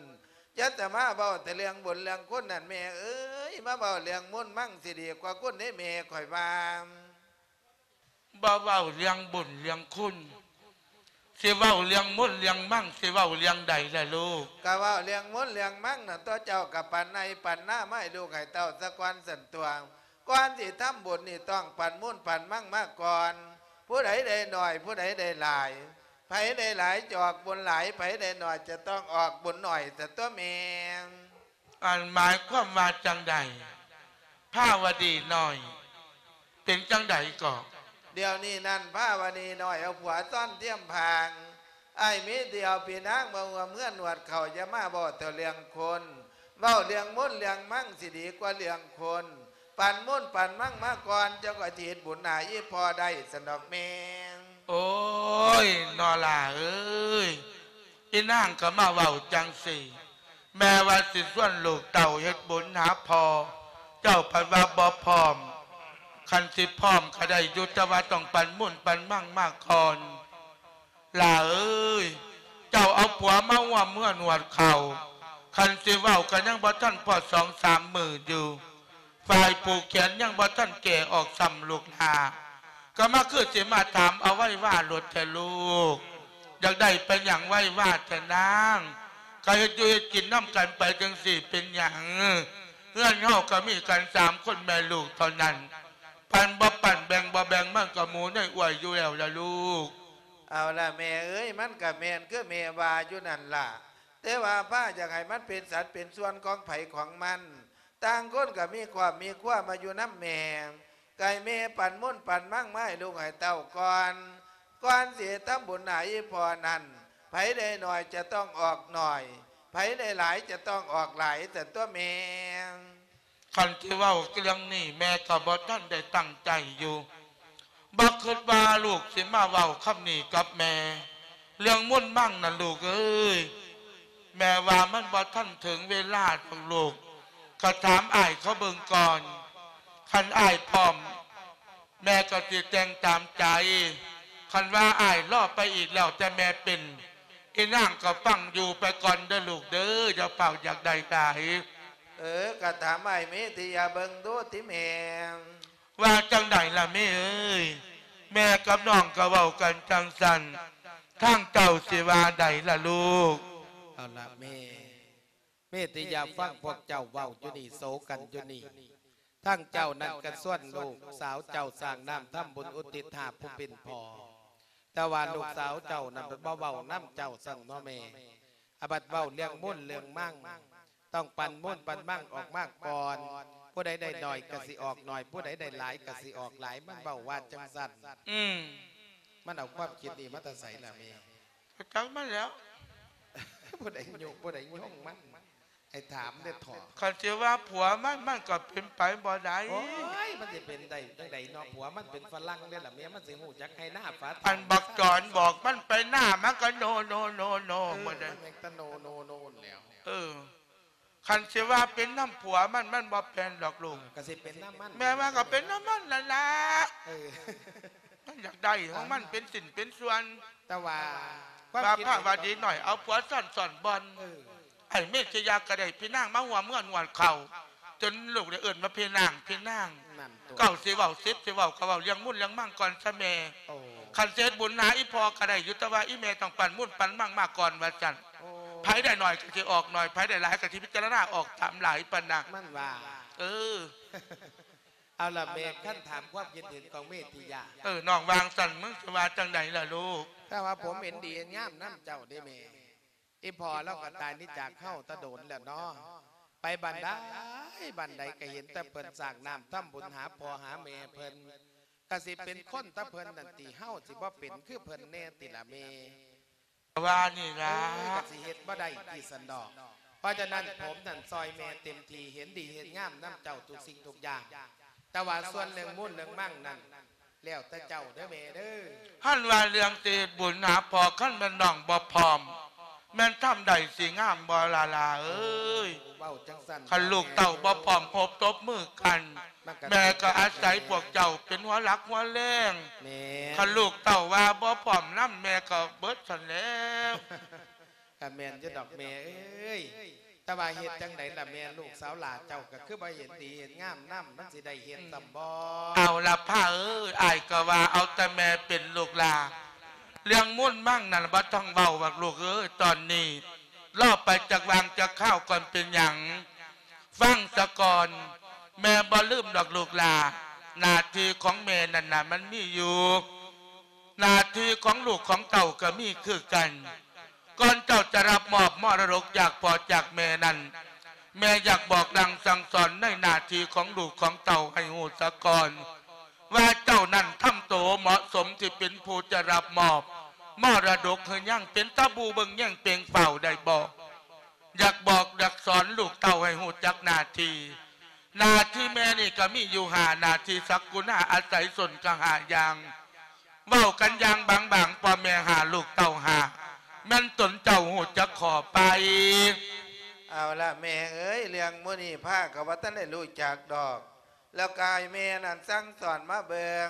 ຢ່າແຕ່ມາເວົ້າແຕ່ເລື່ອງບຸນເລື່ອງຄຸນນັ້ນແມ່ເອີຍ ມາເວົ້າເລື່ອງມູນມັງຊິດີກວ່າຄຸນເດ້ແມ່ ຂ້ອຍວ່າ. ບໍ່ເວົ້າເລື່ອງບຸນເລື່ອງຄຸນ ຊິເວົ້າເລື່ອງມູນເລື່ອງມັງ ຊິເວົ້າເລື່ອງໃດລະລູກ? ກະເວົ້າເລື່ອງມູນເລື່ອງມັງນັ້ນຕົວະ ເຈົ້າກະປັນໄຮ່ປັນນາມາໃຫ້ລູກໃຫ້ເຕົ້າສາກ່ອນຊັ້ນຕົວະ. ກ່ອນຊິທຳບຸນນີ້ຕ້ອງປັນມູນປັນມັງມາກ່ອນ ຜູ້ໃດໄດ້ໜ້ອຍ ຜູ້ໃດໄດ້ຫຼາຍ ໃຜໄດ້ຫຼາຍຈະອອກບຸນຫຼາຍ ໃຜໄດ້ໜ້ອຍຈະຕ້ອງອອກບຸນໜ້ອຍຊັ້ນຕົວະແມ່. ອັນໝາຍຄວາມວ່າຈັ່ງໃດ ພາວະດີນ້ອຍ? ເປັນຈັ່ງໃດເກາະ? ດຽວນີ້ນັ້ນພາວະດີນ້ອຍເອົາຜົວຊ້ອນທຽມພາງ ອ້າຍມີທີ່ເອົາພີ່ນາງມາຮ່ວມເຮືອນຫວດເຂົ້າ ຢ່າມາເວົ້າແຕ່ເລື່ອງຄົນ ເວົ້າເລື່ອງມູນເລື່ອງມັງຊິດີກວ່າເລື່ອງຄົນ ປັນມູນປັນມັງມາກ່ອນ ເຈົ້າກໍຊິເຮັດບຸນໃຫ້ອີ່ພໍ່ໄດ້ຊັ້ນດອກແມ່. ໂອ້ຍ ນໍຫຼ້າເອີຍ ອີນາງກໍມາເວົ້າຈັ່ງຊີ້ ແມ່ວ່າຊິຊວນລູກເຕົ້າເຮັດບຸນຫາພໍ່ ເຈົ້າພັດວ່າບໍ່ພ້ອມ ຄັນຊິພ້ອມກໍໄດ້ຢູ່ ແຕ່ວ່າຕ້ອງປັນມູນປັນມັງມາກ່ອນ. ຫຼ້າເອີຍ ເຈົ້າເອົາຜົວມາຮ່ວມເຮືອນຫວດເຂົ້າ ຄັນຊິເວົ້າກໍຍັງບໍ່ທັນພໍສອງສາມມື້ຢູ່ ຝ່າຍຜູກແຂນຍັງບໍ່ທັນແກ້ອອກຊ້ຳລູກຫຼ້າ ກໍມາຄືຊິມາຖາມເອົາໄວວາໂລດແທ້ລູກ ຢາກໄດ້ໄປຫຍັງໄວວາແທ້ນາງ ກໍເຮັດຢູ່ເຮັດກິນນຳກັນໄປຈັ່ງຊີ້ເປັນຫຍັງ? ເຮືອນເຮົາກໍມີກັນສາມຄົນແມ່ລູກເທົ່ານັ້ນ ປັນບໍ່ປັນແບ່ງບໍ່ແບ່ງມັນກໍໝູໃນອວຍຢູ່ແລ້ວລະລູກ. ເອົາລະແມ່ເອີຍ ມັນກະແມ່ນຄືແມ່ວ່າຢູ່ນັ້ນລະ ແຕ່ວ່າພາຢາກໃຫ້ມັນເປັນສັດເປັນສ່ວນຂອງໃຜຂອງມັນ ຕ່າງຄົນກໍມີຄອບມີຄົວມາຢູ່ນຳແມ່ ກໍໃຫ້ແມ່ປັນມູນປັນມັງມາໃຫ້ລູກໃຫ້ເຕົ້າກ່ອນ ກ່ອນຊິເຮັດທຳບຸນໃຫ້ອີ່ພໍ່ນັ້ນ ໃຜໄດ້ໜ້ອຍຈະຕ້ອງອອກໜ້ອຍ ໃຜໄດ້ຫຼາຍຈະຕ້ອງອອກຫຼາຍ ຊັ້ນຕົວະແມ່. ຄັນຊິເວົ້າເລື່ອງນີ້ ແມ່ກໍບໍ່ທັນໄດ້ຕັ້ງໃຈຢູ່ ບໍ່ຄິດວ່າລູກຊິມາເວົ້າຄຳນີ້ກັບແມ່ ເລື່ອງມູນມັງນັ້ນລູກເອີຍ ແມ່ວ່າມັນບໍ່ທັນເຖິງເວລາດອກລູກ ກໍຖາມອ້າຍເຂົາເບິ່ງກ່ອນ ຄັນອ້າຍພ້ອມ ແມ່ກໍຊິແຕ່ງຕາມໃຈ ຄັນວ່າອ້າຍລໍໄປອີກແລ້ວແຕ່ແມ່ເປັນ ອີນາງກໍຟັງຢູ່ໄປກ່ອນເດີລູກເດີ ຢ່າຟ້າວຢາກໄດ້ຫຼາຍ. ເອີ ກະຖາມອ້າຍເມຕິຢາເບິ່ງດູຕິແມ່. ວ່າຈັ່ງໃດລະແມ່ເອີຍ? ແມ່ກັບນ້ອງກໍເວົ້າກັນຈັ່ງຊັ້ນ ທາງເຈົ້າຊິວ່າໃດລະລູກ? ເອົາລະແມ່ ເມຕິຢາຟັງພວກເຈົ້າເວົ້າຢູ່ນີ້ ໂສກັນຢູ່ນີ້ ທາງເຈົ້ານັ້ນກະຊວນລູກສາວເຈົ້າສ້າງນ້ຳທຳບຸນອຸທິດຫາຜູ້ເປັນພໍ່ ແຕ່ວ່າລູກສາວເຈົ້ານັ້ນບໍ່ເວົ້ານຳເຈົ້າຊັ້ນເນາະແມ່ ອາ ບັດເວົ້າເລື່ອງມູນເລື່ອງມັງ ຕ້ອງປັນມູນປັນມັງອອກມາກ່ອນ. ຜູ້ໃດໄດ້ໜ້ອຍກໍຊິອອກໜ້ອຍ, ຜູ້ໃດໄດ້ຫຼາຍກໍຊິອອກຫຼາຍ. ມັນເວົ້າວ່າຈັ່ງຊັ້ນ. ອືມ. ມັນເອົາຄວາມຄິດນີ້ມາແຕ່ໃສລະແມ່? ກໍຈັກມັນແຫຼ້ວ. ຜູ້ໃດຍຸ ຜູ້ໃດຍົງມັນ? ໃຫ້ຖາມເດ້ເຖາະ. ຄັນຊິວ່າຜົວມັນ ມັນກໍເປັນໄປບໍ່ໄດ້. ໂອ້ຍ ມັນຊິເປັນໄດ້ຈັ່ງໃດເນາະ? ຜົວມັນເປັນຝຣັ່ງເດ້ລະແມ່, ມັນຊິຮູ້ຈັກໄຮ່ນາຝາທາງ. ອັນບັກຈອນບອກມັນໄປນາ ມັນກໍໂນ ໂນ ໂນ ໂນ ເອີ ໝົດເດ້. ມັນຍັງແຕ່ໂນ ໂນ ໂນ ແລ້ວ. ເອີ. ຄັນຊິວ່າເປັນນຳຜົວມັນ ມັນບໍ່ເປັນດອກລູກ. ເອີ ກໍຊິເປັນນຳມັນ. ແມ່ວ່າກໍເປັນນຳມັນນັ້ນລະ. ເອີ ມັນຢາກໄດ້ຂອງມັນເປັນຊິ້ນເປັນສ່ວນ. ແຕ່ວ່າຄວາມ ວ່າ ຄິດ ພາວາດີໜ້ອຍເອົາຜົວຊ້ອນ ຊ້ອນບ່ອນ. ເອີ ໄອ້ເມດຊະຍາກໍໄດ້ພີ່ນາງມາຮ່ວມເຮືອນຮ່ວມເຂົ້າ ຈົນລູກໄດ້ເອີ້ນວ່າພີ່ນາງ ພີ່ນາງ. ນັ້ນຕົວະ. ເຈົ້າຊິເວົ້າ ສິດຊິເວົ້າ ກໍເວົ້າເລື່ອງມູນເລື່ອງມັງກ່ອນຊະແມ່. ໂອ້ ຄັນເຮັດບຸນຫາອີ່ພໍ່ກໍໄດ້ຢູ່ ແຕ່ວ່າອີ່ແມ່ຕ້ອງປັນມູນປັນມັງມາກ່ອນວ່າຊັ້ນ. ໂອ້ ໃຜໄດ້ໜ້ອຍກໍຊິອອກໜ້ອຍ, ໃຜໄດ້ຫຼາຍກໍຊິພິຈາລະນາອອກຕາມຫຼາຍປານນັ້ນ. ມັນວ່າ. ເອີ. ເອົາລະແມ່, ຄັນຖາມຄວາມຄິດເຫັນຂອງເມດທິຍາ. ເອີ ນ້ອງວ່າຈັ່ງຊັ້ນ ມຶງຊິວ່າຈັ່ງໃດລະລູກ? ແຕ່ວ່າຜົມເຫັນດີເຫັນງາມນຳເຈົ້າເດ້ແມ່. ອີ່ພໍ່ລາວກໍຕາຍໜີຈາກເຮົາແຕ່ດົນແລ້ວເນາະ. ໄປບ້ານໃດ ບ້ານໃດກໍເຫັນແຕ່ເພິ່ນສ້າງນ້ຳທຳບຸນຫາພໍ່ຫາແມ່ເພິ່ນ. ກະຊິເປັນຄົນແຕ່ເພິ່ນນັ້ນຕິ, ເຮົາຊິບໍ່ເປັນຄືເພິ່ນແດ່ຕິລະແມ່? ວ່ານີ້ລະ. ເອີ ກະຊິເຮັດບໍ່ໄດ້ຕິຊັ້ນດອກ. ເພາະສະນັ້ນ ຜົມນັ້ນຊ່ອຍແມ່ເຕັມທີ່, ເຫັນດີເຫັນງາມນຳເຈົ້າທຸກສິ່ງທຸກຢ່າງ. ແຕ່ວ່າສ່ວນເລື່ອງມູນເລື່ອງມັງນັ້ນ ແລ້ວແຕ່ເຈົ້າເດີແມ່ເດີ. ຫັ້ນວ່າເລື່ອງຊິເຮັດບຸນຫາພໍ່, ຄັນແມ່ນນ້ອງບໍ່ພ້ອມ ແມ່ນທຳໄດ້ຊິງາມບໍ່ລະຫຼ້າເອີຍ? ເວົ້າຈັ່ງຊັ້ນ ຄັນລູກເຕົ້າບໍ່ພ້ອມໂຮບຕົບມືກັນ, ແມ່ກໍອາໄສພວກເຈົ້າເປັນຫົວຫຼັກຫົວແຮງ. ແມ່ນ. ຄັນລູກເຕົ້າວ່າບໍ່ພ້ອມນຳ, ແມ່ກໍເບິດຊັ້ນແລ້ວ. ກໍແມ່ນຢູ່ດອກແມ່ເອີຍ. ແຕ່ວ່າເຮັດຈັ່ງໃດລະແມ່, ລູກສາວຫຼ້າເຈົ້າກໍຄືບໍ່ເຫັນດີເຫັນງາມນຳ, ມັນຊິໄດ້ເຮັດຊ່ຳບໍ່? ເອົາລະພາເອີຍ, ອ້າຍກໍວ່າເອົາແຕ່ແມ່ເປັນລູກຫຼ້າ. ເລື່ອງມູນມັງນັ້ນບໍ່ຕ້ອງເວົ້າດອກລູກເອີຍ, ຕອນນີ້ລໍໄປຈັກຫວ່າງຈັກຄາວກ່ອນເປັນຫຍັງ. ຟັງສາກ່ອນ, ແມ່ບໍ່ລືມດອກລູກຫຼ້າ, ໜ້າທີ່ຂອງແມ່ນັ້ນນະ ມັນມີຢູ່. ໜ້າທີ່ຂອງລູກຂອງເຕົ້າກໍມີຄືກັນ. ກ່ອນເຈົ້າຈະຮັບມອບມໍລະດົກຈາກພໍ່ຈາກແມ່ນັ້ນ, ແມ່ຢາກບອກສັ່ງສັ່ງສອນໃນໜ້າທີ່ຂອງລູກຂອງເຕົ້າໃຫ້ຮູ້ສາກ່ອນ ວ່າເຈົ້ານັ້ນທຳໂຕເໝາະສົມທີ່ເປັນຜູ້ຈະຮັບມອບມໍລະດົກ ຫຼືຍັງເປັນຕາບູເບິ່ງແຍງເປ່ງຟ້າວໄດ້ບໍ່? ຢາກບອກຢາກສອນລູກເຕົ້າໃຫ້ຮູ້ຈັກໜ້າທີ່. ໜ້າທີ່ແມ່ນີ້ກໍມີຢູ່ຫ້າໜ້າທີ່ສັກກຸນາອາໄສຊົນກໍຫ້າຢ່າງ. ເວົ້າກັນຢ່າງບາງໆ ພໍ່ແມ່ຫ້າ ລູກເຕົ້າຫ້າ ແມ່ນຕົນເຈົ້າຮູ້ຈັກຂໍ້ໄປ? ເອົາລະແມ່ເອີຍ, ເລື່ອງມື້ນີ້ພາກໍບໍ່ທັນໄດ້ຮູ້ຈັກດອກ. ແລ້ວກໍໃຫ້ແມ່ນັ້ນສັ່ງສອນມາເບິ່ງ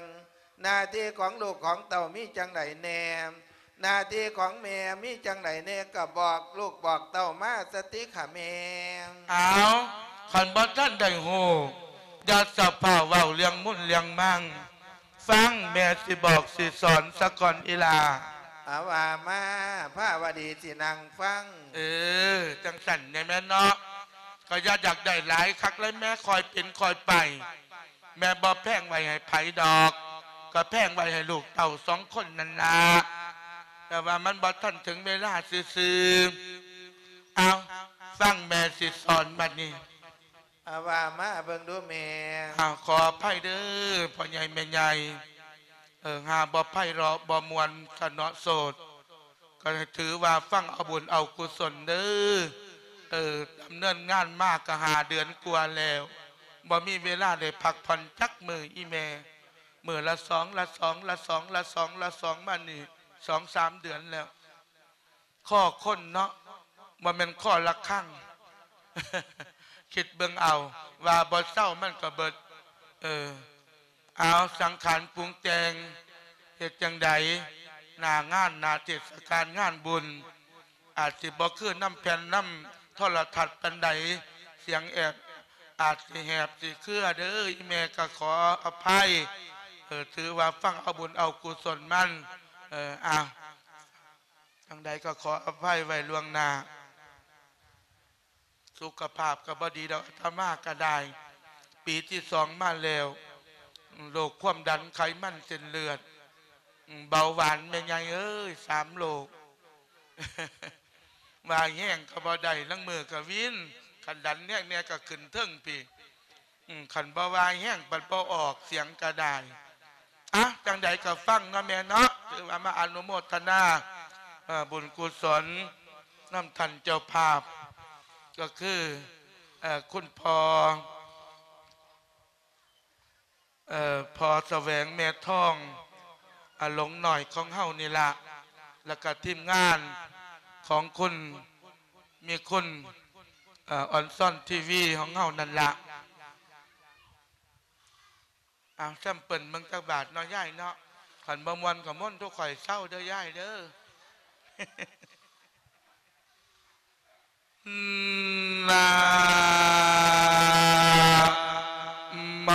ໜ້າທີ່ຂອງລູກຂອງເຕົ້າມີຈັ່ງໃດແດ່? ໜ້າທີ່ຂອງແມ່ມີຈັ່ງໃດແດ່? ກໍບອກລູກບອກເຕົ້າມາສະຕິຂະແມ່. ອ້າວ, ຄັນບໍ່ທັນໄດ້ຮູ້, ຢ່າສະພາເວົ້າເລື່ອງມຸນເລື່ອງມັງ. ຟັງແມ່ຊິບອກຊິສອນສາກ່ອນອີ່ຫຼ້າ. ອາ ວ່າມາ, ພາວະດີຊິນັ່ງຟັງ. ເອີ, ຈັ່ງຊັ້ນແດ່ແມ່ນເນາະ. ກໍຢ່າຢາກໄດ້ຫຼາຍຄັກເລີຍແມ່, ຄ່ອຍເປັນຄ່ອຍໄປ. ແມ່ບໍ່ແພງໄວ້ໃຫ້ໃຜດອກ, ກໍແພງໄວ້ໃຫ້ລູກເຕົ້າສອງຄົນນັ້ນລະ. ແຕ່ວ່າມັນບໍ່ທັນເຖິງເວລາຊື່ໆ. ເອົາ, ຟັງແມ່ຊິສອນບັດນີ້. ອາ ວ່າມາເບິ່ງດູແມ່. ອາ ຂໍອະໄພເດີ ພໍ່ໃຫຍ່ແມ່ໃຫຍ່. ເອີ, ຫາບໍ່ໄພເລາະ ບໍ່ມ່ວນຊະເນາະໂສດ. ກໍໃຫ້ຖືວ່າຟັງເອົາບຸນເອົາກຸສົນເດີ. ເອີ, ດຳເນີນງານມາກໍຫ້າເດືອນກວ່າແລ້ວ, ບໍ່ມີເວລາໄດ້ພັກຜ່ອນຈັກມື້ອີ່ແມ່. ມື້ລະສອງ ລະສອງ ລະສອງ ລະສອງ ລະສອງ ມານີ້ສອງສາມເດືອນແລ້ວ. ຄໍຄົນເນາະ, ບໍ່ແມ່ນຄໍລະຄັງ. ຄິດເບິ່ງເອົາ, ວ່າບໍ່ເຊົາມັນກໍເບິດ. ເອີ, ເອົາ, ສັງຂານປຸງແຕ່ງ, ເຮັດຈັ່ງໃດ? ໜ້າງານ, ໜ້າເທດສະການງານບຸນ, ອາດຊິບໍ່ຄືນຳແຜ່ນ, ນຳໂທລະທັດປານໃດ, ສຽງແອດອາດຊິແຫບຊິເຄືອເດີ, ອີ່ແມ່ກໍຂໍອະໄພ. ເອີ, ຖືວ່າຟັງເອົາບຸນເອົາກຸສົນມັນ. ເອີ, ອາ. ຈັ່ງໃດກໍຂໍອະໄພໄວ້ລ່ວງໜ້າ. ສຸຂະພາບກໍບໍ່ດີດອກ, ອາດຕະມາກໍໄດ້ ປີທີສອງມາແລ້ວ, ໂລກຄວາມດັນ, ໄຂມັນເສັ້ນເລືອດ, ເບົາຫວານ, ແມ່ໃຫຍ່ເອີຍ, ສາມໂລກ. ວ່າແຮງກໍບໍ່ໄດ້, ລາງມື້ກໍວິນ, ຂ ຄັນດັນແຮງແດ່ກໍຂຶ້ນເທິງພີ້. ອືມ ຄັນບໍ່ວ່າແຮງ ບັດບໍ່ອອກສຽງກໍໄດ້. ອະ ຈັ່ງໃດກໍຟັງເນາະແມ່ເນາະ, ຖືວ່າມາອະນຸໂມທະນາ ເອີ ບຸນກຸສົນນຳທ່ານເຈົ້າພາບ ກໍຄື ເອີ ຄຸນພໍ່ ເອີ ພໍ່ສະແຫວງແມ່ທອງ ອາ ຫຼົງນ້ອຍຂອງເຮົານີ້ລະ ແລ້ວກະທີມງານຂອງຄຸນ ມີຄຸນ ເອີ ອອນຊອນທີວີຂອງເຮົານັ້ນລະ. ເອົາ ແຊມເປິນເບິ່ງຈັກບາດເນາະຍາຍເນາະ, ຄັນບໍ່ມ່ວນກໍມ່ວນທຸກຂ້ອຍເຊົາເດີຍາຍເດີ. ນະໂມ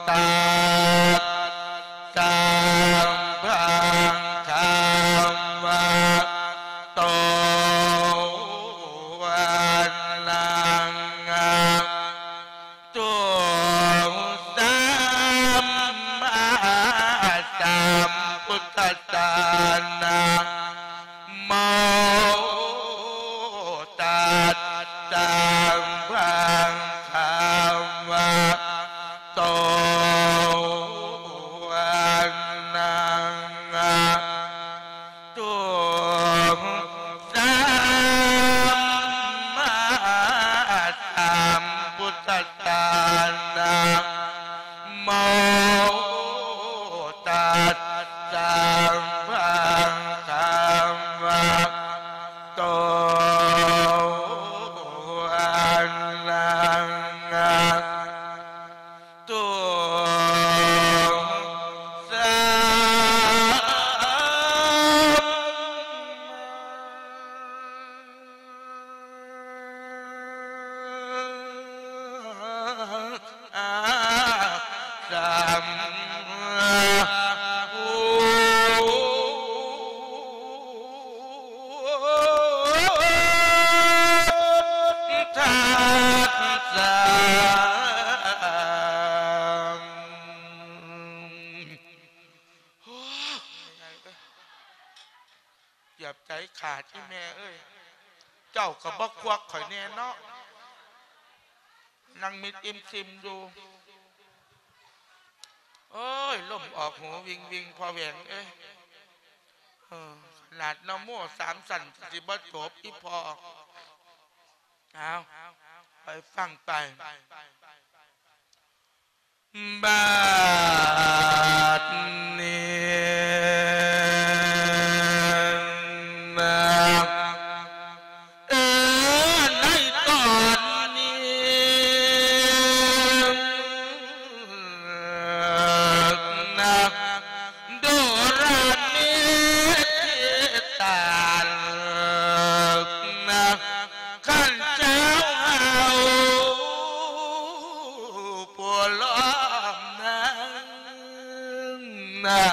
ຕັດສະ ພະຄະວະໂຕ ອະລະຫະໂຕ ສຳມາສຳພຸດທັດສະ ນະໂມຕັດສະ ພະຄະວະໂຕ ອະລະຫະ ໂຕ ສຳມາສຳພຸດທັດສະ ນະໂມຕັດສະ ພະຄະວະໂຕ ອະລະຫະ ໂຕ ສຳ ສຳ ທັດສະ ໂອ້ ເກືອບໃຈຂາດອີ່ແມ່ເອີຍ, ເຈົ້າກໍບໍ່ຄວັກຂ້ອຍແດ່ເນາະ, ນັ່ງມິດອີ່ມຊີມຢູ່. ໂອ້ຍ ລົມອອກຫູວິ່ງໆ ພໍ່ແຫວງເອີຍ. ເອີ ຂະໜາດນະໂມສາມຊັ້ນຊິບໍ່ຈົບ ອີ່ພໍ່. ເອົາ ໄປຟັງໄປ. ບາດນີ້ນະ ເອີ ໃນຕອນນີ້ນະ ໂດລະເມທິຕານະ ຂັ້ນເຈົ້າເຮົາຜູ້ລ້ອມນາງນະ.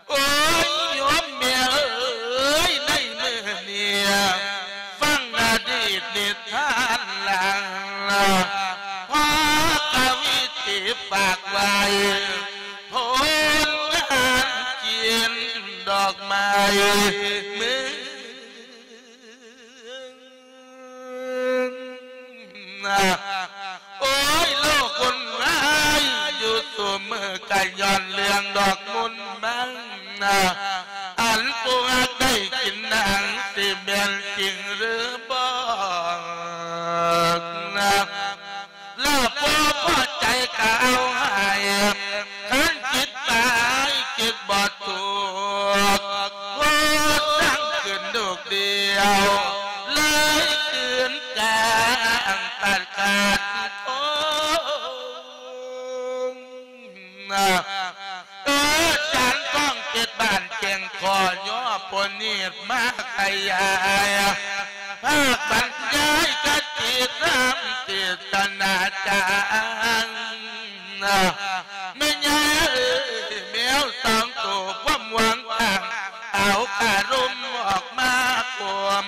ໂອ້ຍ ໂຍມແມ່ເອີຍ ໃນມື້ນີ້ຟັງອະດີດນິທານຫຼັງນະ ພໍ່ກະວີທີ່ຝາກໄວ້ ໂພນງານກິນດອກໄມ້ເມືອງ ໂອ້ຍ ໂລກວຸ່ນວາຍຢູ່ຊຸມື້ ກະຍ້ອນເລື່ອງດອກມຸນມັນ ອັນຜູ້ຮັກໄດ້ກິນນັ້ນ ຊິແມ່ນຈິງຫຼືບໍ່? ລະບໍ່ພໍໃຈກະເອົາໃຫ້ ຄັນຄິດໄປຄິດບໍ່ຖືກ ໂພດທັງຄືນລູກດຽວ ເລີຍຄືນກາງຕັດຂາດໂທ. ເອີ ຈານທອງເຈັດບ້ານແກ່ງຂໍຍໍໂປຣດມາຂະຫຍາຍ ພາກບັນຍາຍຄະຕິທຳເທດສະໜາຈານ ແມ່ຍາເອີຍ ແມວສອງໂຕຄວາມຫວັງຕັ້ງ ເອົາຄາລົມອອກມາຄວມ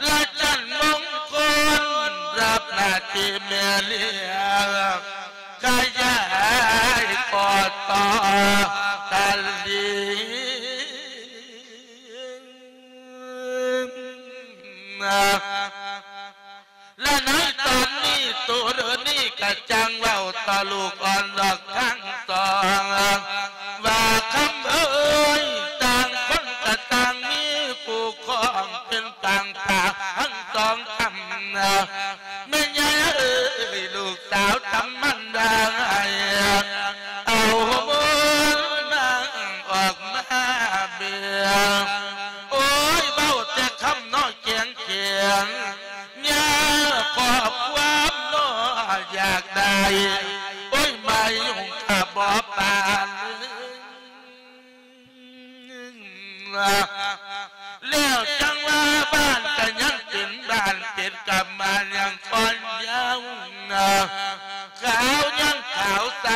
ລະຈັນມົງຄົນ ຮັບໜ້າທີ່ແມ່ລ້ຽງ ຂະຫຍາຍກໍຕໍ່ຕະລິ ແລະໃນຕອນນີ້ ໂຕເດີນີ້ກະຈັ່ງເວົ້າຕໍ່ລູກອ່ອນດອກທັງສອງ ວ່າຄຳເອີຍ ຕ່າງຄົນກະຕ່າງມີຄູ່ຄອງເປັນປາງປາກທັງສອງຄຳ ແມ່ໃຫຍ່ເອີຍ ລູກສາວຈຳມັນໄດ້ ເອົາມານັ່ງອອກມາເບິ່ງ ໂອ້ຍ ເວົ້າແຕ່ຄຳເນາະແກງ ແຂງຍາຂອບຄວາມເນາະຢາກໄດ້ ໂອ້ຍ ມາຍຸງກະບໍ່ປານ ແລ້ວຈັ່ງວ່າບ້ານກະຍັງເປັນບ້ານ ເປັນກຳມານຍັງຄອນຍາວນະ ຂາວຍັງຂາວໃສ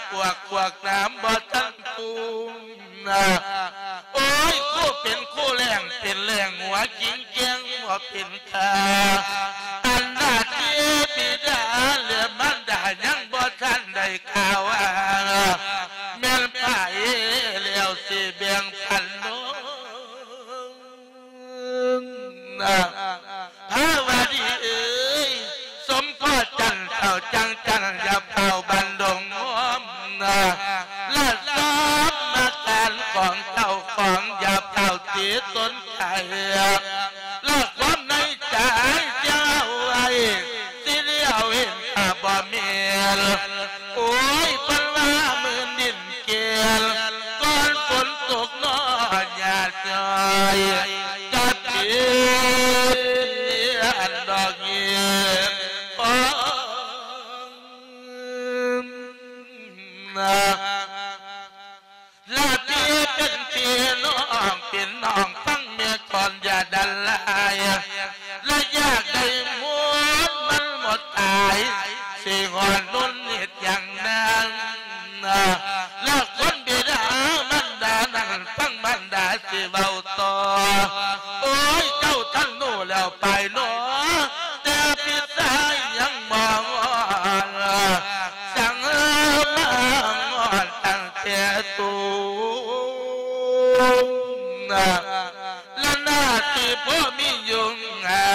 ປວກ ປວກນ້ຳບໍ່ທັນປຸງ ນະ ໂອ້ຍ ຄູເປັນຄູແລ້ງ ເປັນແລ້ງຫົວກິງແກງບໍ່ເປັນທ່າ ອັນໜ້າທີ່ບິດາ ແລະ ມານດາຍັງບໍ່ທັນໄດ້ກ່າວວ່າ ແມ່ນໃຜແລ້ວຊິແບ່ງປັນນ້ອງ ພາວະດີເອີຍ ສົມພໍຈັນເຈົ້າຈັງຈັນ ຢ່າຟ້າວບັນດົງງອມນະ ລະສອບມາການຂອງເຈົ້າຂອງ ຢ່າຟ້າວຕິສົນໃຈ ລະຄວາມໃນໃຈເຈົ້າໄວ້ ຊິລຽວເຫັນກະບໍ່ແມ່ນ ໂອ້ຍ ເພິ່ນວ່າໝື່ນດິນ ແກ່ນ ກ່ອນຝົນຕົກນ້ອຍ ຍາດຍ້ອຍ ກັບເປັນອັນດອກເຫຍ ລະທີ່ເປັນພີ່ນ້ອງ ເປັນນ້ອງຟັງແມ່ກ່ອນ ຢ່າດັນຫຼາຍ ລະຢາກໄດ້ໝົດມັນໝົດຕາຍ ຊິຮອດນຸນເຮັດຫຍັງນາງ ລະຄົນບິດາມານດານັ້ນ ຟັງມານດາຊິເວົ້າຕໍ່ ໂອ້ຍ ເຈົ້າທັນຮູ້ແລ້ວໄປເນາະ ແຕ່ພີ່ຊາຍຍັງບໍ່ຮອດ ສັງມາຮອດຕັ້ງແຕ່ຕູນ ລະໜ້າທີ່ພໍ່ມີຢູ່ຫາ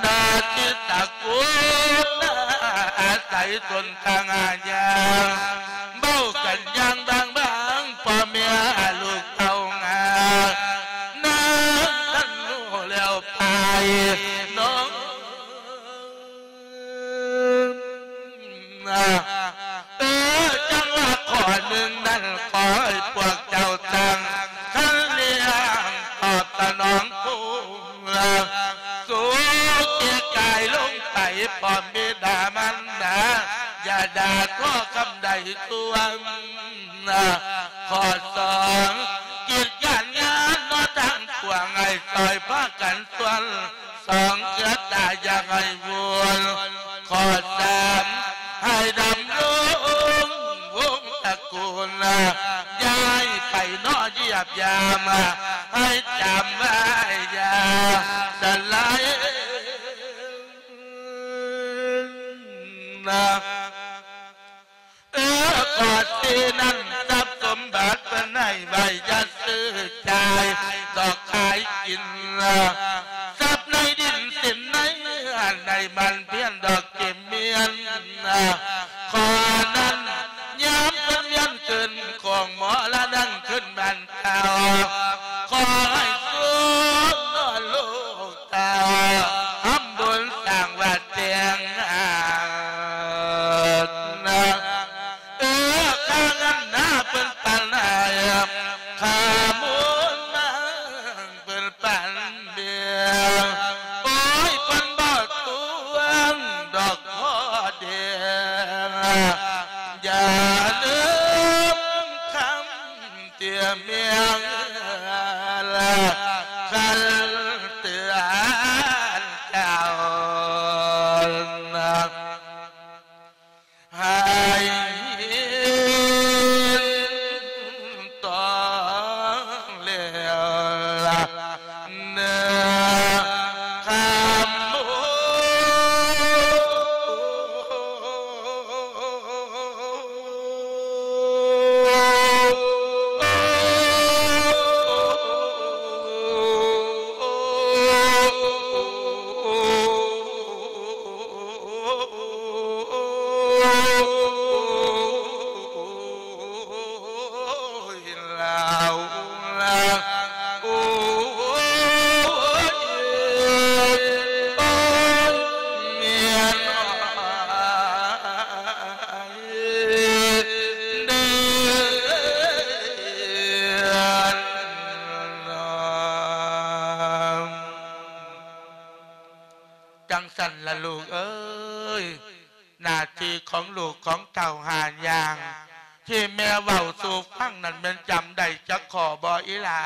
ໜ້າທີ່ຕະກູນອາໄສຕົນທາງຫາຍາ ເວົ້າກັນຢ່າງບາງໆ ພໍ່ແມ່ລູກເຕົ້າຫາ ນາງທັນຮູ້ແລ້ວໄປນ້ອງ ເອີ ຈັ່ງວ່າຂໍ້ໜຶ່ງນັ້ນ ຂໍໃຫ້ພວກເຈົ້າຊ່າງຄັນລ້ຽງຕອບສະໜອງຄູ ສູເກຍກາຍລົງໄປ ພ້ອມບິດາມານດາ ຢ່າດ່າທໍຄຳໃດຊວນ ຂໍ້ສອງ ກິດການງານເນາະ ທາງພວກໃຫ້ຊ່ອຍພາກັນຊວນ ສອງເທື່ອຕາຢ່າໃຫ້ວຸ່ນ ຂໍ້ສາມ ໃຫ້ດຳລົງວົງຕະກູນ ຢ່າໃຫ້ໃຜເນາະຢຽບຢາມ ໃຫ້ຈຳໄວ້ຢ່າສະຫຼາຍນະ. ເອີ ຂໍ້ສີ່ນັ້ນ ຊັບສົມບັດເພິ່ນໃຫ້ໄວ້ ຢ່າຊື້ຈ່າຍດອກຂາຍກິນ ຊັບໃນດິນສິນໃນເຮືອນ ໃນໝັ່ນພຽນດອກເກມມຽນ ຂໍ້ນັ້ນ ຍາມເພິ່ນວຽນຄືນຂອງໝໍລະນັ່ງຄືນບ້ານເກົ່າ ຂໍໃຫ້ສຸກນອນລູກ ເຕົ້າທຳບຸນສ້າງວັດແຕ່ງງານ ເອີ ຄ່າເງິນນາເພິ່ນປັນໃຫ້ ຄ່າມູນນາເພິ່ນປັນເບຍ ໂອ້ຍ ເພິ່ນບໍ່ທວງດອກພໍ່ແດງ ຈັ່ງຊັ້ນລະລູກເອີຍ, ໜ້າທີ່ຂອງລູກຂອງເຕົ້າຫ້າຢ່າງ ທີ່ແມ່ເວົ້າສູ່ຟັງນັ້ນ ແມ່ນຈຳໄດ້ຈັກຂໍ້ບໍ່ອີ່ຫຼ້າ?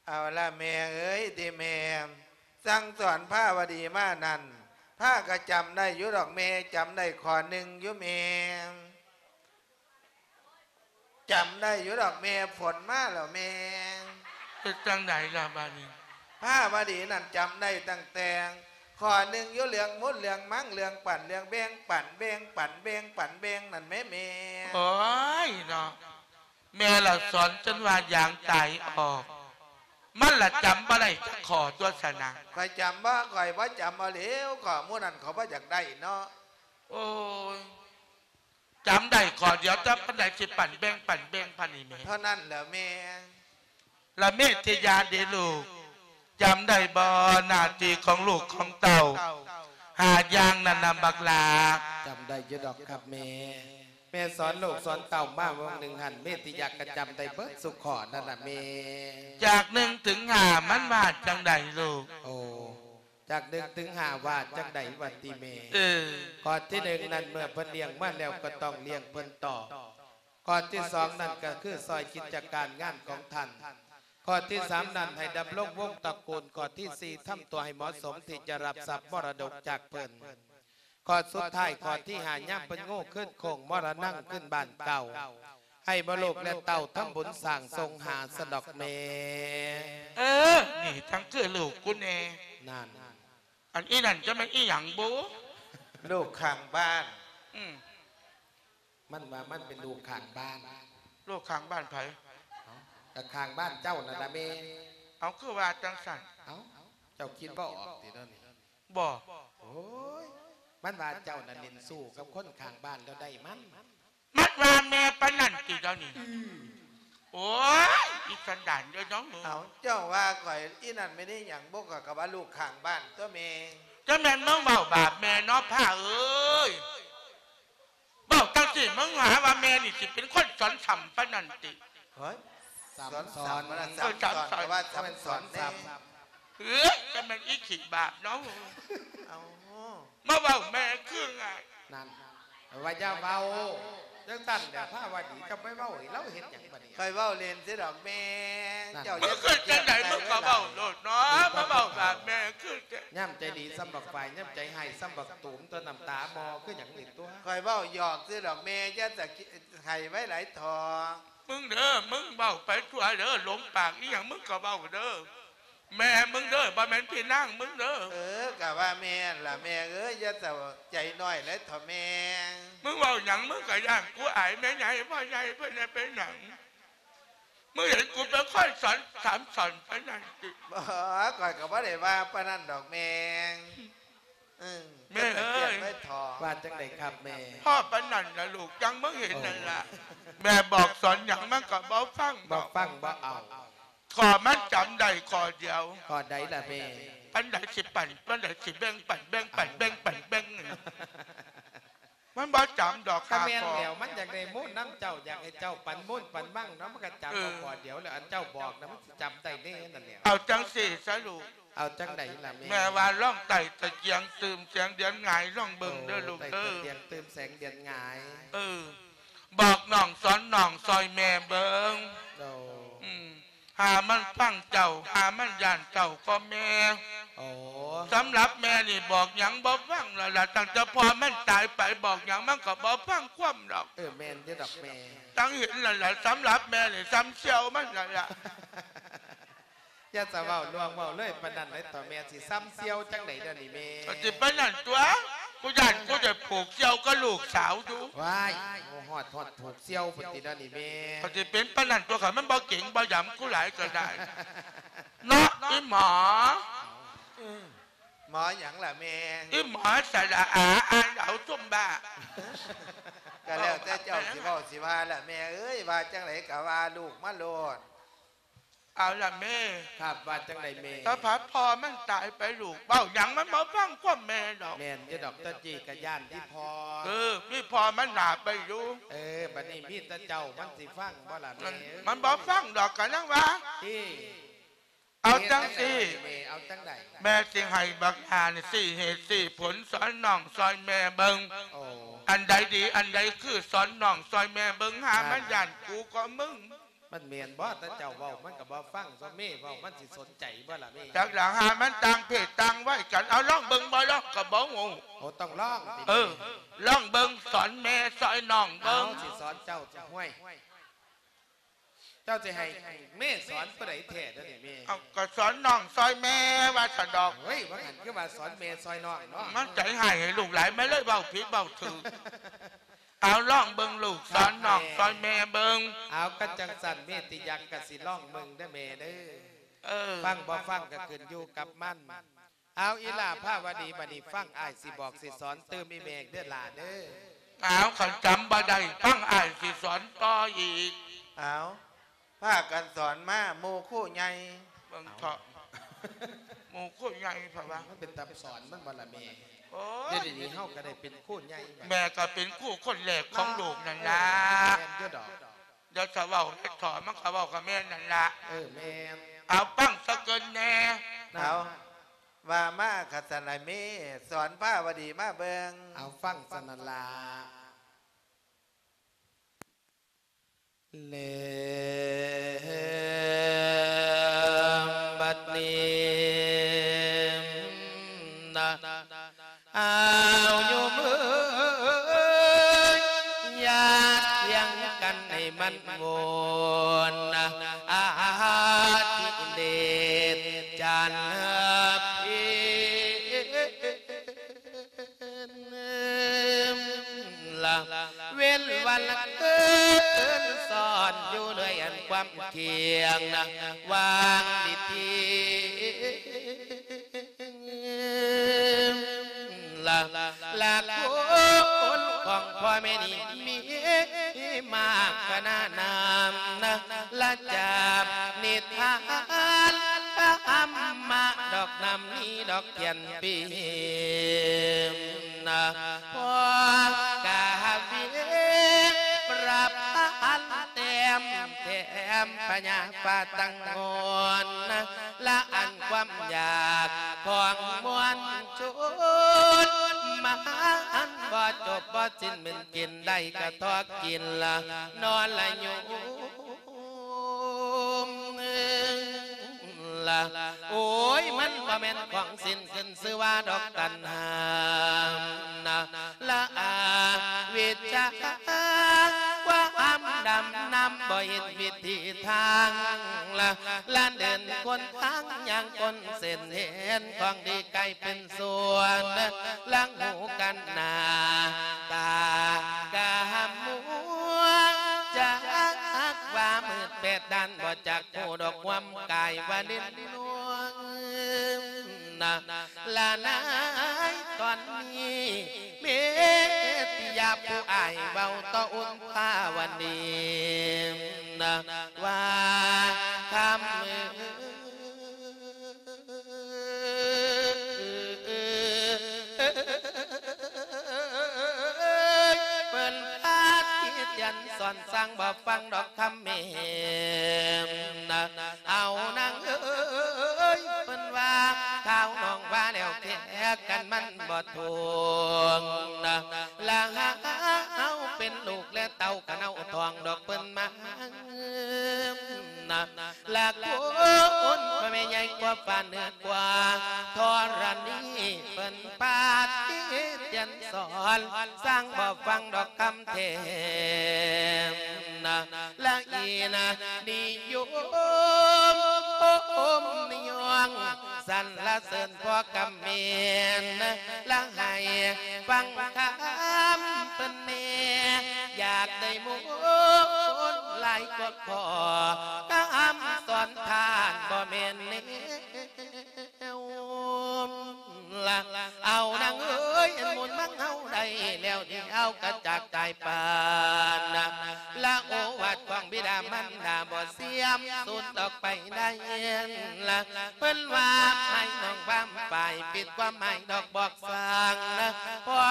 ເອົາລະແມ່ເອີຍ ທີ່ແມ່ສັ່ງສອນພາວະດີມານັ້ນ ພາກໍຈຳໄດ້ຢູ່ດອກແມ່, ຈຳໄດ້ຂໍ້ໜຶ່ງຢູ່ແມ່. ຈຳໄດ້ຢູ່ດອກແມ່, ຝົນມາແລ້ວແມ່. ເຮັດຈັ່ງໃດລະບາດນີ້? ພາວະດີນັ້ນຈຳໄດ້ຕັ້ງແຕ່ຂໍ້ໜຶ່ງຢູ່ເລື່ອງໝູນເລື່ອງມັງ ເລື່ອງປັ້ນເລື່ອງແບ່ງ ປັ້ນແບ່ງ ປັ້ນແບ່ງ ປັ້ນແບ່ງນັ້ນແໝ່ແມ່. ໂອ້ຍເນາະ, ແມ່ລະສອນຈົນວ່າຢາງຕາຍອອກ, ມັນລະຈຳບໍ່ໄດ້ຈັກຂໍ້ຕົວະຊັ້ນນະ. ຂ້ອຍຈຳບໍ່, ຂ້ອຍບໍ່ຈຳເອົາແລ້ວ, ຂໍ້ໝູ່ນັ້ນເຂົາບໍ່ຢາກໄດ້ເນາະ. ໂອ້ຍ. ຈຳໄດ້ຂໍ້ດຽວ, ຈຳປານໃດ ຊິປັ້ນແບ່ງ ປັ້ນແບ່ງ ປານນີ້ແມ່. ເທົ່ານັ້ນແຫຼະແມ່. ລະເມດທິຍາເດລູກ, ຈຳໄດ້ບໍ່ ໜ້າທີ່ຂອງລູກຂອງເຕົ້າຫ້າຢ່າງນັ້ນນະບັກຫຼ້າ? ຈຳໄດ້ຢູ່ດອກຄັບແມ່. ແມ່ສອນລູກສອນເຕົ້າມາຫວ່າງໜຶ່ງຫັ້ນ, ເມດທິຍາກໍຈຳໄດ້ເບິດຊຸຂໍ້ນັ້ນລະແມ່. ຈາກໜຶ່ງເຖິງຫ້າ ມັນວ່າຈັ່ງໃດລູກ? ໂອ້. ຈາກໜຶ່ງເຖິງຫ້າວ່າຈັ່ງໃດຫວາຕິແມ່? ເອີ ຂໍ້ທີໜຶ່ງນັ້ນ ເມື່ອເພິ່ນລ້ຽງມາແລ້ວກໍຕ້ອງລ້ຽງເພິ່ນຕອບ. ຂໍ້ທີສອງນັ້ນກໍຄືຊ່ອຍກິດຈະການງານຂອງທ່ານ. ຂໍ້ທີສາມນັ້ນໃຫ້ດຳລົງວົງຕະກູນ. ຂໍ້ທີສີ່ ທຳຕົວໃຫ້ເໝາະສົມທີ່ຈະຮັບຊັບມໍລະດົກຈາກເພິ່ນ. ຂໍ້ສຸດທ້າຍ ຂໍ້ທີຫ້າ ຍາມເພິ່ນໂງ່ຂຶ້ນໂຄ້ງມໍລະນັງຂຶ້ນບ້ານເກົ່າ ໃຫ້ໝູ່ລູກແລະເຕົ້າທຳບຸນສ້າງສົ່ງຫາຊັ້ນດອກແມ່. ເອີ ນີ້ທັງຄືລູກກູແດ່. ນັ້ນ ອັນອີ່ນັ້ນຈະແມ່ນອີ່ຫຍັງບຸ? ລູກຂ້າງບ້ານ. ອືມ ມັນວ່າມັນເປັນລູກຂ້າງບ້ານ. ລູກຂ້າງບ້ານໃຜ? ເອົ້າ ກໍຂ້າງບ້ານເຈົ້ານັ້ນລະແມ່. ເອົາ ຄືວ່າຈັ່ງຊັ້ນ? ເອົ້າ ເຈົ້າຄິດບໍ່ອອກຕິດຽວນີ້? ບໍ່. ໂອ້ຍ ມັນວ່າເຈົ້ານັ້ນຫຼິ້ນຊູ້ກັບຄົນຂ້າງບ້ານແລ້ວໄດ້ມັນ. ມັນວ່າແມ່ປານນັ້ນຕິດຽວນີ້? ອືມ. ໂອ້ຍ ອີສັນດານເດີນ້ອງເອີຍ. ເອົ້າ ເຈົ້າວ່າຂ້ອຍອີ່ນັ້ນແມ່ນອີ່ຫຍັງບຸ? ຂ້ອຍກໍວ່າລູກຂ້າງບ້ານຕົວະແມ່. ຈະແມ່ນມຶງເວົ້າບາບແມ່ເນາະ ພ້າເອີຍ. ເວົ້າຈັ່ງຊີ້ ມຶງຫາວ່າແມ່ນີ້ຊິເປັນຄົນສອນຊ້ຳປານນັ້ນຕິ? ເຮີ້ຍ ສຳສອນ ສອນ ເອີ ສຳສອນ ສຳສອນ ກໍວ່າສຳສອນແດ່. ເອີຍ ຈະແມ່ນອີຂີ້ບາບເນາະ. ເອົາ ມາເວົ້າແມ່ຄືງ່າຍ. ນັ້ນ ວ່າຢ່າເວົ້າຈັ່ງຊັ້ນແຫຼະ ພາວະດີ ເຈົ້າໄປເວົ້າໃຫ້ລາວເຮັດຫຍັງບາດນີ້? ຂ້ອຍເວົ້າຫຼິ້ນຊື່ດອກແມ່. ນັ້ນ ເຈົ້າຢ່າ ຄືຈັ່ງໃດ ມຶງກໍເວົ້າໂລດເນາະ ມາເວົ້າບາບແມ່ຄື ຍາມໃຈດີສ່ຳບັກຝ້າຍ ຍາມໃຈຮ້າຍສ່ຳບັກຕູມ ຕົວະນ້ຳຕາໝໍ້ຄືຫຍັງນີ້ຕົວະ. ຂ້ອຍເວົ້າຫຍອກຊື່ດອກແມ່ ຢ່າສະກິດ ໃຫ້ໄວຫຼາຍເຖາະ. ມຶງເດີ ມຶງເວົ້າໄປທົ່ວເດີ ຫຼົງປາກອີ່ຫຍັງມຶງກໍເວົ້າເດີ ແມ່ມຶງເດີ ບໍ່ແມ່ນພີ່ນາງມຶງເດີ. ເອີ ກະວ່າແມ່ຫັ້ນລະແມ່ເອີຍ ຢ່າເສົ້າໃຈນ້ອຍຫຼາຍເຖາະແມ່. ມຶງເວົ້າຫຍັງ ມຶງກະຢ້ານກູອາຍແມ່ໃຫຍ່ ພໍ່ໃຫຍ່ເພິ່ນແດ່ ເປັນຫຍັງ? ມຶງເຫັນກູເປັນຄົນສອນ ສາມສອນປານນັ້ນຕິ? ບໍ່ ຂ້ອຍກໍບໍ່ໄດ້ວ່າປານນັ້ນດອກແມ່. ເອີ ແມ່ເອີຍ ວ່າຈັ່ງໃດຄັບແມ່? ພໍປານນັ້ນລະລູກ ຈັ່ງມຶງເຫັນນັ້ນລະ. ໂອ້ ແມ່ບອກສອນຫຍັງມັນກໍບໍ່ຟັງ ບໍ່ຟັງບໍ່ເອົາ. ຂໍ້ມັນຈຳໄດ້ຂໍ້ດຽວ. ຂໍ້ໃດລະແມ່? ປານໃດຊິປັ້ນ ປານໃດຊິແບ່ງປັ້ນ ແບ່ງປັ້ນ ເອົ້າ ແບ່ງປັ້ນ ແບ່ງ ມັນບໍ່ຈຳດອກ. ກໍແມ່ນແລ້ວ ມັນຢາກໄດ້ມູນນຳເຈົ້າ ຢາກໃຫ້ເຈົ້າປັນມູນປັນມັງເນາະ ມັນກໍຈຳເອົາ ເອີ ຂໍ້ດຽວແລ້ວ. ອັນເຈົ້າບອກນະ ມັນຊິຈຳໄດ້ແນ່ນັ້ນແຫຼະ. ເອົາຈັ່ງຊີ້ຊະລູກ. ເອົາຈັ່ງໃດລະແມ່? ແມ່ວ່າລອງໄຕ່ຕະກຽງຕື່ມແສງເດືອນຫງາຍລອງເບິ່ງເດີລູກເດີ. ໂອ້ ໄຕ່ຕະກຽງຕື່ມແສງເດືອນຫງາຍ. ເອີ ບອກນ້ອງສອນນ້ອງຊ່ອຍແມ່ເບິ່ງ. ໂອ້ ອືມ ຫາມັນຟັງເຈົ້າ ຫາມັນຢ້ານເຈົ້າກໍແມ່. ໂອ້ ສຳລັບແມ່ນີ້ບອກຫຍັງບໍ່ຟັງແລ້ວລະ ຕັ້ງແຕ່ພໍ່ມັນຕາຍໄປ ບອກຫຍັງມັນກໍບໍ່ຟັງຄວາມດອກ. ເອີ ແມ່ນຢູ່ດອກແມ່. ຕັ້ງເຫັນແລ້ວລະ ສຳລັບແມ່ນີ້ສ່ຳສ່ຽວມັນແລ້ວລະ. ຢ່າສະເວົ້າລ່ວງເວົ້າເລີຍປານນັ້ນເລີຍ ເຖົ້າແມ່ຊິສ່ຳສ່ຽວຈັ່ງໃດດຽວນີ້ແມ່? ກໍຊິປານນັ້ນຕົວະ ກູຢ້ານກູໄດ້ຜູກສ່ຽວກັບລູກສາວຢູ່. ວ້າຍ ໂອ້ ຮອດ ຮອດຜູກສ່ຽວພຸ້ນຕິດຽວນີ້ແມ່. ກໍຊິເປັນປານນັ້ນຕົວະ ຄັນມັນບໍ່ເກັ່ງບໍ່ຢຳກູຫຼາຍກໍໄດ້ເນາະ ອີ່ໝໍ. ເອີ ໝໍຫຍັງລະແມ່? ອີ່ໝໍສະຫຼະອາ ອ່ານເອົາຊຸມບ້າ. ກໍແລ້ວແຕ່ເຈົ້າຊິເວົ້າຊິວ່າລະແມ່ເອີຍ ວ່າຈັ່ງໃດກໍວ່າລູກມາໂລດ. ເອົາລະແມ່. ຄັບ ວ່າຈັ່ງໃດແມ່? ຕາພັດພໍ່ມັນຕາຍໄປລູກ ເວົ້າຫຍັງມັນບໍ່ຟັງຄວາມແມ່ດອກ. ແມ່ນຢູ່ດອກ ຕະກີ້ກະຢ້ານທີ່ພໍ່. ເອີ ມີພໍ່ມັນໜ້າໄປຢູ່. ເອີ ບັດນີ້ມີແຕ່ເຈົ້າມັນຊິຟັງບໍ່ລະແມ່? ມັນ ມັນບໍ່ຟັງດອກ ກະຍັງວ່າ ຕິ ເ ເອົາຈັ່ງຊີ້ ເຮັດຈັ່ງໃດແມ່? ເອົາຈັ່ງໃດ? ແມ່ຊິໃຫ້ບັກຫານີ້ຊີ້ເຫດຊີ້ຜົນ ສອນນ້ອງຊ່ອຍແມ່ເບິ່ງ. ໂອ້ ອັນໃດດີ ອັນໃດຄື ສອນນ້ອງຊ່ອຍແມ່ເບິ່ງ. ຫາມັນຢ້ານກູກໍມຶງ. ມັນແມ່ນບໍ່? ແຕ່ເຈົ້າເວົ້າມັນກໍບໍ່ຟັງ ສ່ວນແມ່ເວົ້າມັນຊິສົນໃຈບໍ່ລະແມ່? ຈັກລະ ຫາມັນຕ່າງເພດຕ່າງໄວກັນ. ເອົາ ລອງເບິ່ງບໍ່? ລອງກໍບໍ່ຮູ້. ໂອ້ ຕ້ອງລອງຕິ? ເອີ ລອງເບິ່ງ ສອນແມ່ຊ່ອຍນ້ອງເບິ່ງ. ເອົາ ຊິສອນເຈົ້າ. ຫ້ວຍ ເຈົ້າຊິໃຫ້ແມ່ສອນຜູ້ໃດແທ້ດຽວນີ້ແມ່? ເອົາ ກໍສອນນ້ອງຊ່ອຍແມ່ວ່າຊັ້ນດອກ. ເຮີ້ຍ ວ່າຫັ້ນຄືວ່າສອນແມ່ຊ່ອຍນ້ອງເນາະ. ມັນໃຈຮ້າຍໃຫ້ລູກຫຼາຍ ມັນເລີຍເວົ້າຜິດເວົ້າຖືກ. ເອົາ ລອງເບິ່ງລູກ ສອນນ້ອງຊ່ອຍແມ່ເບິ່ງ. ເອົາ ຄັນຈັ່ງຊັ້ນແມ່ຕິຍັກກໍຊິລອງເບິ່ງເດີແມ່ເດີ. ເອີ ຟັງບໍ່ຟັງກໍຂຶ້ນຢູ່ກັບມັນ. ເອົາ ອີຫຼ້າພາວະດີ ບັດນີ້ຟັງອ້າຍຊິບອກຊິສອນຕື່ມອີ່ແມ່ເດີຫຼ້າເດີ. ເອົາ ຄັນຈຳບໍ່ໄດ້ ຟັງອ້າຍຊິສອນຕໍ່ອີກ. ເອົາ ພາກັນສອນມາ ໝູ່ຄູໃຫຍ່. ເບິ່ງເຖາະ ໝູ່ຄູໃຫຍ່ເພາະວ່າ ມັນເປັນຕາສອນມັນບໍ່ລະແມ່? ໂອ້ຍ ດຽວນີ້ເຮົາກໍໄດ້ເປັນຄູໃຫຍ່ ແມ່ກໍເປັນຄູຄົນແລກຂອງໂລກນັ້ນລະ. ແມ່ນຢູ່ດອກ. ດຽວຈະເວົ້າເຮັດຖອນ ມັນກໍເວົ້າກໍແມ່ນນັ້ນລະ. ເອີ ແມ່ນ. ເອົາ ຟັງສາເກີນແດ່. ເອົາ ວ່າມາຄັນຊັ້ນລະແມ່ ສອນພາວະດີມາເບິ່ງ. ເອົາ ຟັງຊັ້ນນັ້ນລະ. ແລະ ບັດນີ້ນະ ອ້າວໂຍມເອີຍ ຢ່າຖຽງກັນໃຫ້ມັນວົນນະ ອາທິເດດຈັນເພັນລະ ເວັ້ນວັນເກີນຊ້ອນຢູ່ເລື້ອຍ ອັນຄວາມທ່ຽງນະ ວາງດີໆ ລະ ລະຄົນຂອງພໍ່ແມ່ນີ້ມີມາກຂະໜາດນຳນະ ລະຈາບນິທານທຳມະດອກນຳນີ້ດອກທຽນປີນະ ພໍກະເວປະພັນແຕ້ມແຖມພະຍາຟ້າຕັ້ງງອນນະ ລະອັນຄວາມຢາກຂອງມວນ ຊົນມາອັນບໍ່ຈົບບໍ່ສິ້ນ ແມ່ນກິນໄດ້ກະທໍ່ກິນລະ ນອນລະຢູ່ລະ ໂອ້ຍ ມັນບໍ່ແມ່ນຂອງສິ້ນ ຂຶ້ນຊື່ວ່າດອກຕັນຫານະ ລະອະວິດຊາ ຄວາມດຳນຳບໍ່ເຫັນວິທີທາງລະ ລະເດີນຄົນທາງຍ່າງຄົນເສັ້ນ ເຫັນຂອງດີກາຍເປັນສ່ວນ ລະຫູກັນໜ້າຕາກະໝວງ ຈັກວ່າມືດແປດດ້ານ ບໍ່ຈັກຮູ້ດອກຄວາມກາຍວ່າຫຼິ້ນລວງ ນະ ລະນາຍຕອນນີ້ ເມດຕິຍາຜູ້ອ້າຍເວົ້າຕໍ່ອຸ່ນພາວະດີນະ ວ່າຄຳເອີຍ ເພິ່ນພາທີ່ຈຽນສອນຊ່າງບໍ່ຟັງດອກຄຳແມ່ນະ ເອົານາງເອີຍ ເພິ່ນວ່າ ທ້າວນ້ອງວ່າແລ້ວແທ້ກັນມັນບໍ່ທຸກນະ ລະຫາເຮົາເປັນລູກແລະເຕົ້າຂະເນົາທອງດອກເພິ່ນມານະ ລະຄົນພໍ່ແມ່ໃຫຍ່ກວ່າຟ້າເໜືອກວ່າທໍລະນີ ເພິ່ນປາຕິເຕີນສອນ ຊ່າງບໍ່ຟັງດອກຄຳແຖມນະ ລະອີນະນິຍົມໂອ້ມນິຍົງ ສັນລະເສີນພໍ່ກຳແມ່ນ ລະໃຫ້ຟັງຄຳເພິ່ນແດ່ ຢາກໄດ້ມົນຫຼາຍກວ່າຂໍ ຄຳສອນທ່ານບໍ່ແມ່ນແນວ ລະ ເອົານາງເອີຍ ອັນບຸນມັກເຮົາໄດ້ແລ້ວ ດຽວກະຈາກຕາຍປານນະ ລະໂອວາດຂອງບິດາມານດາບໍ່ເສື່ອມສູນອອກໄປໄດ້ລະ ເພິ່ນວ່າໃຫ້ນ້ອງບາມປາຍ ປິດຄວາມໝາຍດອກບອກສ້າງນະ ພໍ່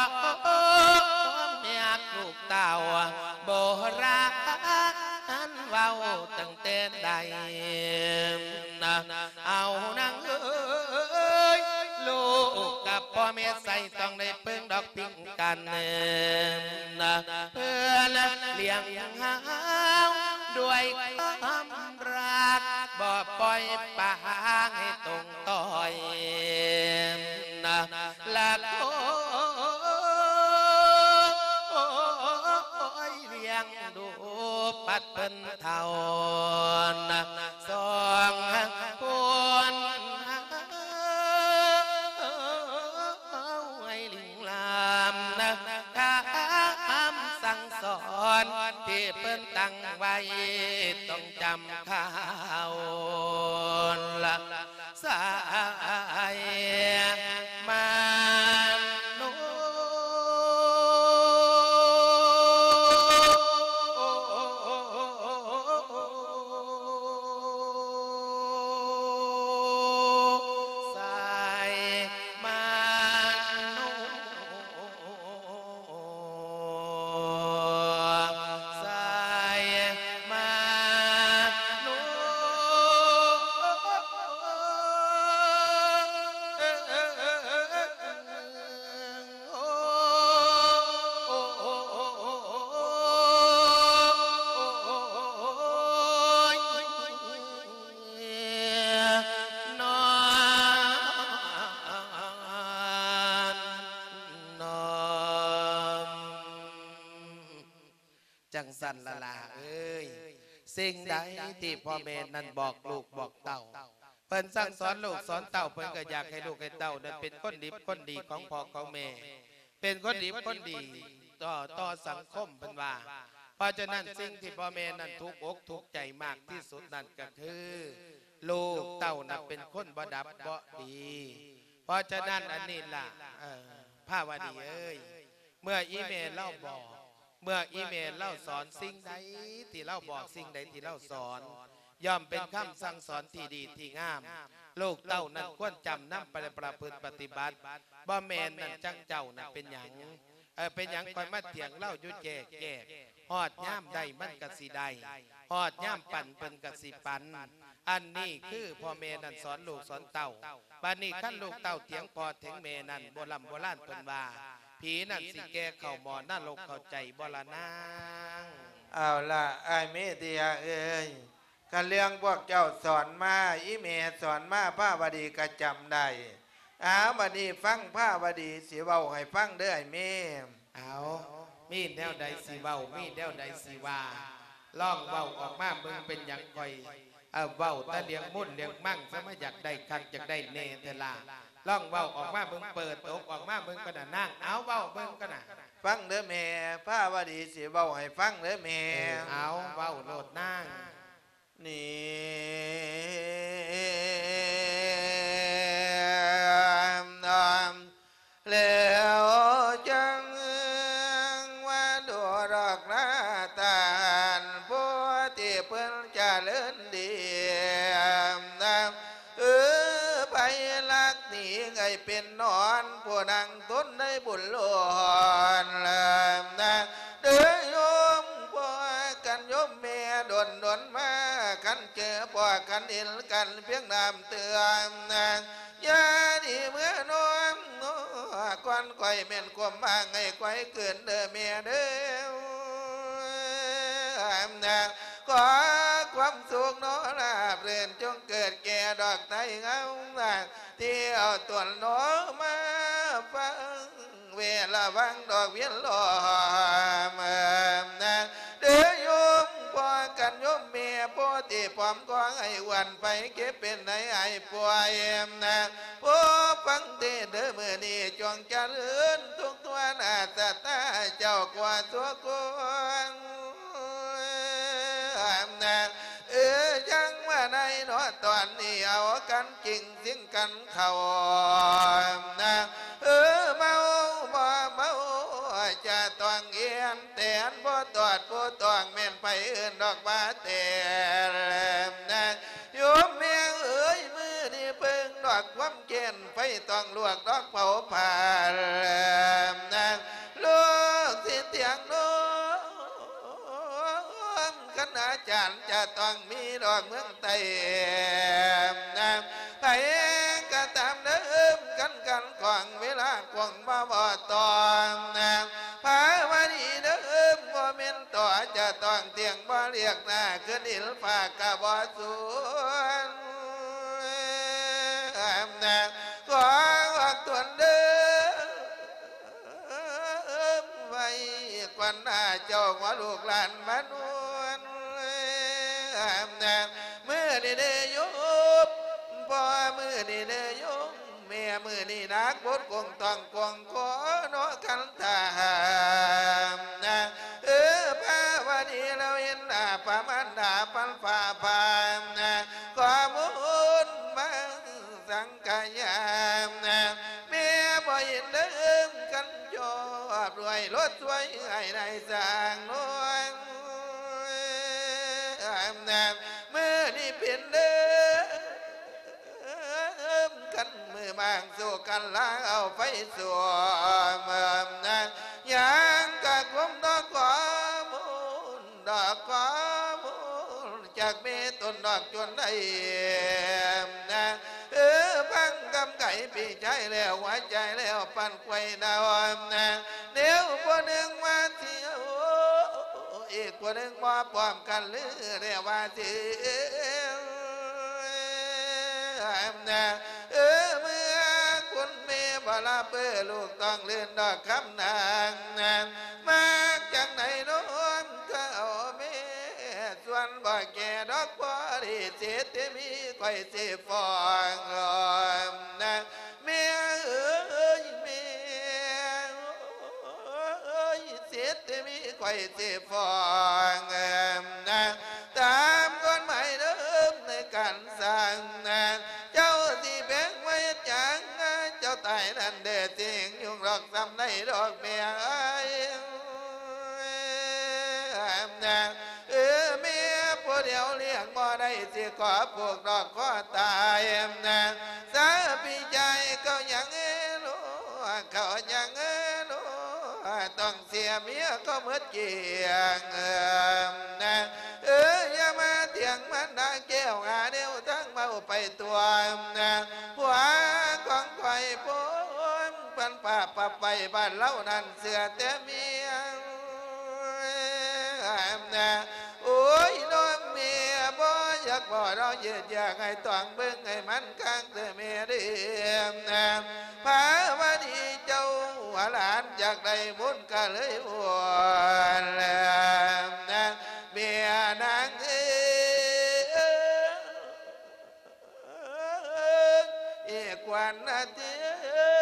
ແມ່ຮັກລູກເຕົ້າ ໂບລານເວົ້າຕັ້ງແຕ່ໃດນະ ເອົາ ພໍ່ແມ່ໃສຕ້ອງໄດ້ເພິ່ງດອກພິງກັນ ເພື່ອລ້ຽງເຮົາດ້ວຍຄວາມຮັກ ບໍ່ປ່ອຍປະຫາງໃຫ້ຕົງ ຕ້ອຍ ລະໂກຍລ້ຽງດູປັດເພິ່ນເຖົ້າ ສອງຄົນໃຫ້ລິງລາມ ຄຳສັ່ງສອນທີ່ເພິ່ນຕັ້ງໄວ້ ຕ້ອງຈຳ ເຂົາລະສາຍມາໂນ ສາຍມາໂນ ສາຍມາໂນ ຈັ່ງຊັ້ນລະຫຼ້າເອີຍ ສິ່ງໃດທີ່ພໍ່ແມ່ນັ້ນບອກລູກບອກເຕົ້າ ເພິ່ນສັ່ງສອນລູກສອນເຕົ້າ ເພິ່ນກໍຢາກໃຫ້ລູກໃຫ້ເຕົ້ານັ້ນເປັນຄົນດີຄົນດີຂອງພໍ່ຂອງແມ່ ເປັນຄົນດີຄົນດີຕໍ່ ຕໍ່ສັງຄົມ ເພິ່ນວ່າ. ເພາະສະນັ້ນ ສິ່ງທີ່ພໍ່ແມ່ນັ້ນທຸກອົກທຸກໃຈມາກທີ່ສຸດນັ້ນກໍຄື ລູກເຕົ້ານັ້ນເປັນຄົນບໍ່ດັບບໍ່ດີ. ເພາະສະນັ້ນ ອັນນີ້ລະ ເອີ ພາວະດີເອີຍ ເມື່ອອີແມ່ລາວບອກ ເມື່ອອີແມ່ລາວສອນ ສິ່ງໃດທີ່ລາວບອກ ສິ່ງໃດທີ່ລາວສອນ ຍ່ອມເປັນຄຳສັ່ງສອນທີ່ດີທີ່ງາມ. ລູກເຕົ້ານັ້ນຄວນຈຳນຳໄປປະພຶດປະຕິບັດ. ບໍ່ແມ່ນນັ້ນ ຈັ່ງເຈົ້ານັ້ນເປັນຫຍັງ ເອີ ເປັນຫຍັງຂ້ອຍມາຖຽງລາວຢູ່ແຈກໆ ຮອດຍາມໄດ້ມັນກະຊິໄດ້ ຮອດຍາມປັນເພິ່ນກະຊິປັນ. ອັນນີ້ຄືພໍ່ແມ່ນັ້ນສອນລູກສອນເຕົ້າ. ບາດນີ້ຄັນລູກເຕົ້າຖຽງພໍ່ຖຽງແມ່ນັ້ນ ໂບລຳໂບລານເພິ່ນວ່າ ຜີນັ້ນຊິແກ່ເຂົ້າໝໍ້ນະລົກ ເຂົ້າໃຈບໍ່ລະນາງ? ເອົາລະ ອ້າຍເມເດຍເອີຍ ກະເລື່ອງພວກເຈົ້າສອນມາ ອີແມ່ສອນມາ ພາວະດີກະຈຳໄດ້. ເອົາ ບາດນີ້ຟັງພາວະດີຊິເວົ້າໃຫ້ຟັງເດີອ້າຍເມ. ເອົາ ມີແນວໃດຊິເວົ້າ ມີແນວໃດຊິວ່າ ລອງເວົ້າອອກມາເບິ່ງ. ເປັນຫຍັງຂ້ອຍ ເອີ ເວົ້າແຕ່ເລື່ອງມົນເລື່ອງມັງ ສະມາຢາກໄດ້ຄັກຢາກໄດ້ແນ່ແທ້ລະ. ລອງເວົ້າອອກມາເບິ່ງ ເປີດອົກອອກມາເບິ່ງກ່ອນນະນາງ. ເອົາ ເວົ້າເບິ່ງກ່ອນນະ. ຟັງເດີແມ່ ພາວະດີຊິເວົ້າໃຫ້ຟັງເດີແມ່. ເອີ ເອົາ ເວົ້າໂລດນາງ. ນີ້ ແລ້ວຈັ່ງວ່າດູດອກໜ້າຕານ ຜູ້ທີ່ເພິ່ນຈະເລີນດີ ເອີ ໄພລັກໜີໄກເປັນນອນ ຜູ້ນັ່ງ ຕົນໄດ້ບຸນລ້ວນ ເດີໂຍມພໍ່ກັນໂຍມແມ່ ດົນໆມາ ຄັນເຈີພໍ່ກັນເຫັນກັນພຽງນ້ຳເຕືອມ ຢ່າໜີເມືອນອນ ກ່ອນຂ້ອຍແມ່ນຄວາມຫວັງໃຫ້ຂ້ອຍຄືນເດີແມ່ເດີ. ຂໍຄວາມສຸກໜໍລາບລື່ນ ຈົ່ງເກີດແກ່ດອກໄຕ້ເຮົາ ທີ່ເອົາຕົນໜໍມາຟັງ ເວລະວັງດອກວຽນລ້ອມ ເດີໂຍມພໍ່ກັນໂຍມແມ່ ໂພຕິພ້ອມຂໍໃຫ້ອ້ວນໄພເຈັບເປັນໄຂ້ຫາຍປ່ວຍ ຜູ້ຟັງເທດເດີມື້ນີ້ ຈົ່ງຈະເລີນທຸກທົ່ວໜ້າຊະຕາເຈົ້າກວ່າສູ່ຄົນ. ເອີ ຈັ່ງວ່າໃນເນາະ ຕອນນີ້ເອົາກັນກິງຊິງກັນເຂົ້າ ເອີ ເມົາບໍ່ເມົາຈະຕ້ອງເອນແຕນ ບໍ່ຕອດຜູ້ຕ້ອງແມ່ນໃຜອື່ນດອກວ່າແຕ່ ໂຍມແມ່ເອີຍ ມື້ນີ້ເບິ່ງດອກຄວາມ ແກ່ນໄຟຕ້ອງລວກດອກເຜົາຜາ ລູກສິທຽງໂນ້ມ ຄັນອາຈານຈະຕ້ອງມີດອກເມືອງໃຕ້ ໃຜກະຕາມເດີ ກ ກັນຂວາງເວລາຄົງມາບໍ່ຕ້ອງນາງພາວະນີເດີ ບໍ່ແມ່ນຕໍ່ຈະຕ້ອງທ່ຽງ ບໍ່ລຽກໜ້າຄືນອິນຟ້າກະບໍ່ສວນນາງ ຂໍອອກຕົນເດີ ໄວ້ກ່ອນໜ້າເຈົ້າວ່າລູກຫຼານມານວນ ມື້ນີ້ເດ້ໂຍມ ພໍ່ມື້ນີ້ເດ້ໂຍມ ແມ່ມື້ນີ້ໜັກບົດກົງຕ້ອງກົງຂໍເນາະຄັນຖ້າຫາກນາງ ເອີ ພາວະນີລາວເຫັນໜ້າພະມານດາພັນຟ້າພານາງ ຂໍບຸນມາ ສັງກະຍານາງ ແມ່ບໍ່ເຫັນເດີ ຄັນຈອບດ້ວຍລົດຊ່ວຍໃຫ້ນາຍສ້າງນວນນາງ ມື້ນີ້ເປັນເດີ ຄັນມື້ບາງສູ່ກັນລາເອົາໄຟສວມນາງ ຫຍັງກະກົມດອກຂໍ້ມູນ ດອກຂໍ້ມູນ ຈາກແມ່ຕົ້ນດອກຈົນໄດ້ນາງ ເອີ ຟັງຄຳໄກ່ພີ່ຊາຍແລ້ວ ຫົວໃຈແລ້ວປັ່ນໄຂວນາວນາງ ແນວຜູ້ໜຶ່ງວ່າຊິເອົາ ອີກຜູ້ໜຶ່ງບໍ່ພ້ອມກັນຫຼືແລ້ວວ່າຊິເອົານາງ ເອີ ເມື່ອຄຸນແມ່ບໍ່ລະເປີ ລູກຕ້ອງລື່ນດອກຄຳນາງນາງ ມັກຈັ່ງໃດນ້ອງກໍເອົາແມ່ ສ່ວນບໍ່ແກ່ດອກພໍດີ ສິດທີ່ມີຂ້ອຍຊິຟ້ອງນາງ ແມ່ເອີຍ ແມ່ເອີຍ ສິດທີ່ມີຂ້ອຍຊິຟ້ອງນາງ ຕາມກົດໝາຍເດີມໃນການສ້າງນາງ ເຈົ້າຊິແບ່ງໄວ້ຫຍັງ ເຈົ້າຕາຍນັ້ນເດ້ ຊິຫຍຸ້ງດອກສ່ຳໃດດອກແມ່ເອີຍ ນາງ ເອີ ແມ່ຜູ້ດຽວລ້ຽງບໍ່ໄດ້ ຊິຂໍຜູກດອກຄໍຕາຍນາງ ສາພີ່ຊາຍເຂົາຍັງເອີໂລ ເຂົາຍັງເອີໂລ ຕ້ອງເສຍເມຍເຂົາໝົດກ້ຽງນາງ ເອີ ຢ່າມາຖຽງມານດາແກ້ວ ຫາແນວທາງເວົ້າໄປຕົວະນາງ ຜົວຂອງຂ້ອຍພົມ ເພິ່ນປາບປັບໄວ້ບ້ານເຮົານັ້ນເຊື່ອແຕ່ເມຍນາງ ໂອ້ຍ ນ້ອງເມຍ ບໍ່ຢາກບໍ່ ນ້ອງເຢັດຢາກໃຫ້ຕ້ອງເບິ່ງໃຫ້ມັນຄັກເດີແມ່ເດີນາງ ພາວະນີເຈົ້າວ່າຫຼານຢາກໄດ້ບຸນກະເລີຍວົນນາງ ແມ່ນາງເອີຍ ເອີ ກວນນະເຕີ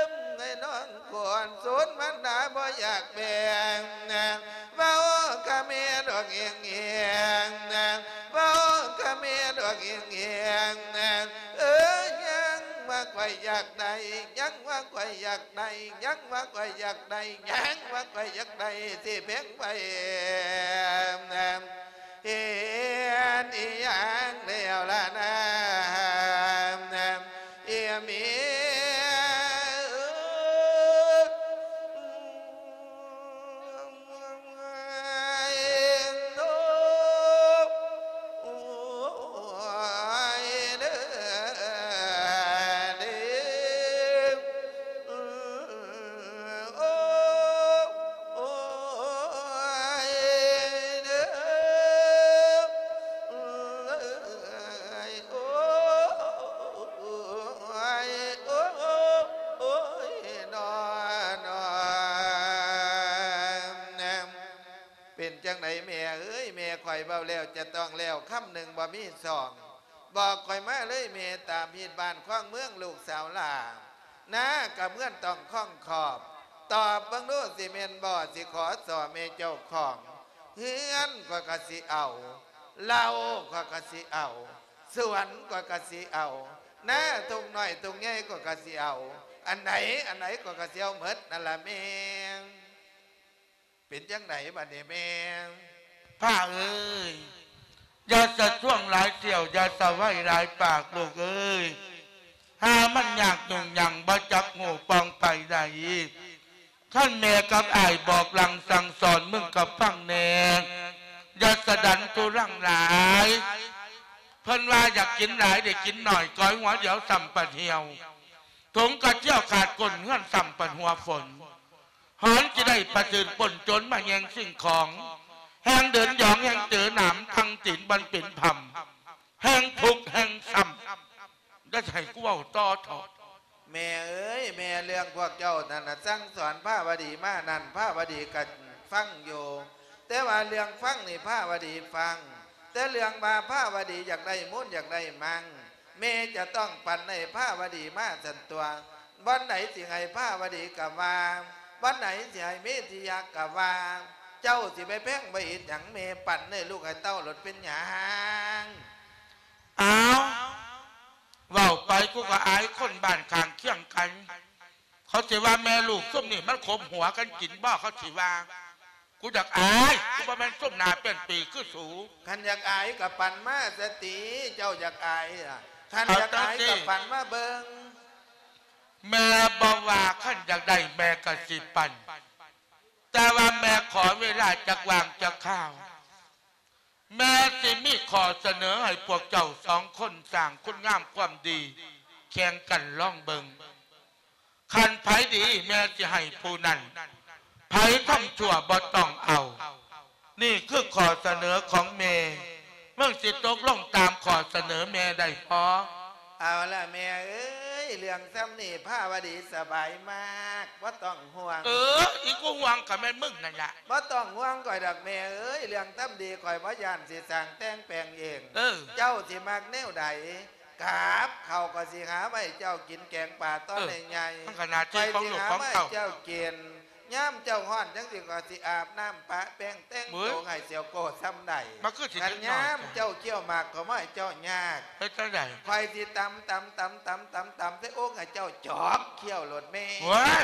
ມໃຫ້ນ້ອງກວນ ສູນມັນໜາບໍ່ຢາກແບ່ງນາງ ເວົ້າກະແມ່ດອກເອງເອງນາງ ເວົ້າກະແມ່ດອກເອງເອງນາງ ເອີ ຍັງວ່າຂ້ອຍຢາກໄດ້ ຍັງວ່າຂ້ອຍຢາກໄດ້ ຍັງວ່າຂ້ອຍຢາກໄດ້ ຍັງວ່າຂ້ອຍຢາກໄດ້ ຊິແບ່ງໄປນາງ ເຮັດອີ່ຫຍັງແລ້ວລະນາ ເອີ ເມຍ ເປັນຈັ່ງໃດແມ່ເອີຍ ແມ່ຂ້ອຍເວົ້າແລ້ວຈະຕ້ອງແລ້ວ ຄຳໜຶ່ງບໍ່ມີສອງ ບອກຂ້ອຍມາເລີຍແມ່ ຕາມຮີດບ້ານຄອງເມືອງລູກສາວຫຼ້າ ນາກະເມືອນຕ້ອງຄອງຂອບ ຕອບເບິ່ງດູຊິແມ່ນບໍ່ ຊິຂໍສໍ້ແມ່ເຈົ້າຂອງ ເຮືອນຂ້ອຍກະຊິເອົາ ເຫຼົ້າຂ້ອຍກະຊິເອົາ ສວນຂ້ອຍກະຊິເອົາ ນາທຸກນ້ອຍທຸກໃຫຍ່ຂ້ອຍກະຊິເອົາ ອັນໃດອັນໃດຂ້ອຍກະຊິເອົາໝົດນັ້ນລະແມ່. ເປັນຈັ່ງໃດບັດນີ້ແມ່? ພ້າເອີຍ ຢ່າສະຊວງຫຼາຍສ່ຽວ ຢ່າສະໄຫວຫຼາຍປາກລູກເອີຍ ຫາມັນຍາກຫຍຸ້ງຫຍັງ ບໍ່ຈັກຮູ້ປ່ອງໄປໃດ. ຄັນແມ່ກັບອ້າຍບອກຫຼັ່ງສັ່ງສອນ ມຶງກໍຟັງແດ່ ຢ່າສະດັນທຸລັງຫຼາຍ. ເພິ່ນວ່າຢາກກິນຫຼາຍໄດ້ກິນໜ້ອຍ ກ້ອຍຫົວດຽວສ່ຳປາດຫ່ຽວ. ຖົງກະເຈຍຂາດກົ້ນເຮືອນຊ້ຳປານຫົວຝົນ ຫອນຊິໄດ້ປະເຊີນປົນຈົນມາແຍ່ງສິ່ງຂອງ ແຮ່ງເດີນຢອງແຮ່ງເຈີໜາມທັງຕີນບໍ່ເປັນພຳ ແຮ່ງທຸກແຮ່ງຊ້ຳ ຢ່າໃຫ້ກູເວົ້າຕໍ່ເທາະ. ແມ່ເອີຍ ແມ່ ເລື່ອງພວກເຈົ້ານັ້ນນະ ສັ່ງສອນພາວະດີມານັ້ນ ພາວະດີກະຟັງຢູ່ ແຕ່ວ່າເລື່ອງຟັງນີ້ພາວະດີຟັງ ແຕ່ເລື່ອງວ່າພາວະດີຢາກໄດ້ມູນຢາກໄດ້ມັງ ແມ່ຈະຕ້ອງປັນໃຫ້ພາວະດີມາຊັ້ນຕົວະ ວັນໃດຊິໃຫ້ພາວະດີກະວ່າ ວັນໃດຊິໃຫ້ເມທິຍະກະວ່າ ເຈົ້າຊິໄປແພງໄປເຮັດຫຍັງ ແມ່ປັນໃຫ້ລູກໃຫ້ເຕົ້າໂລດເປັນຫຍັງ? ອ້າວ ເວົ້າໄປກູກະອາຍຄົນບ້ານຂ້າງຄຽງກັນ ເຂົາຊິວ່າແມ່ລູກຊຸມນີ້ມັນຂົມຫົວກັນກິນບໍ່ ເຂົາຊິວ່າ ກູຢາກອາຍ ກູບໍ່ແມ່ນຊຸມໜ້າເປັນປີຄືສູ. ຄັນຢາກອາຍກະປັນມາສະຕິ ເຈົ້າຢາກອາຍລະ ຄັນຢາກອາຍກະປັນມາເບິ່ງ. ແມ່ບໍ່ວ່າ ຄັນຢາກໄດ້ແມ່ກະຊິປັນ ແຕ່ວ່າແມ່ຂໍເວລາຈັກຫວ່າງຈັກຄາວ ແມ່ຊິມີຂໍ້ສະເໜີໃຫ້ພວກເຈົ້າສອງຄົນສ້າງຄຸນງາມຄວາມດີແຂ່ງກັນລອງເບິ່ງ ຄັນໃຜດີແມ່ຊິໃຫ້ຜູ້ນັ້ນ ໃຜທຳຊົ່ວບໍ່ຕ້ອງເອົາ ນີ້ຄືຂໍ້ສະເໜີຂອງແມ່ ມຶງຊິຕົກລົງຕາມຂໍ້ສະເໜີແມ່ໄດ້ບໍ່? ເອົາລະແມ່ເອີຍ ເລື່ອງຊ່ຳນີ້ພາວະດີສະບາຍມາກ ບໍ່ຕ້ອງຫ່ວງ. ເອີ ອີກູຫ່ວງກະແມ່ນມຶງນັ້ນລະ ບໍ່ຕ້ອງຫ່ວງຂ້ອຍດອກແມ່ເອີຍ ເລື່ອງຊ່ຳດີຂ້ອຍບໍ່ຢ້ານຊິສ້າງແຕ່ງແປງເອງ. ເອີ ເຈົ້າຊິມັກແນວໃດ ກັບເຂົ້າຂ້ອຍຊິຫາໄວ້ເຈົ້າກິນ ແກງປາຕອນໃຫຍ່ໆ ມັນກະໜ້າທີ່ຂອງລູກຂອງເຕົ້າ ຂ້ອຍຊິຫາໄວ້ເຈົ້າກິນ ຍາມເຈົ້າຮ້ອນຈັ່ງຊີ້ຂ້ອຍຊິອາບນ້ຳປະແປ້ງແຕ່ງໂຕໃຫ້ສຽວໂກ້ຊ່ຳໃດ ມັນຄືຊິ ຄັນຍາມເຈົ້າຄ້ຽວໝາກຂ້ອຍບໍ່ໃຫ້ເຈົ້າຍາກ ເຮັດຈັ່ງໃດ ຂ້ອຍຊິຕຳ ຕຳ ຕຳ ຕຳ ຕຳ ຕຳໃສ່ໂອ່ງໃຫ້ເຈົ້າຈອກຄ້ຽວໂລດແມ່. ໂອ້ຍ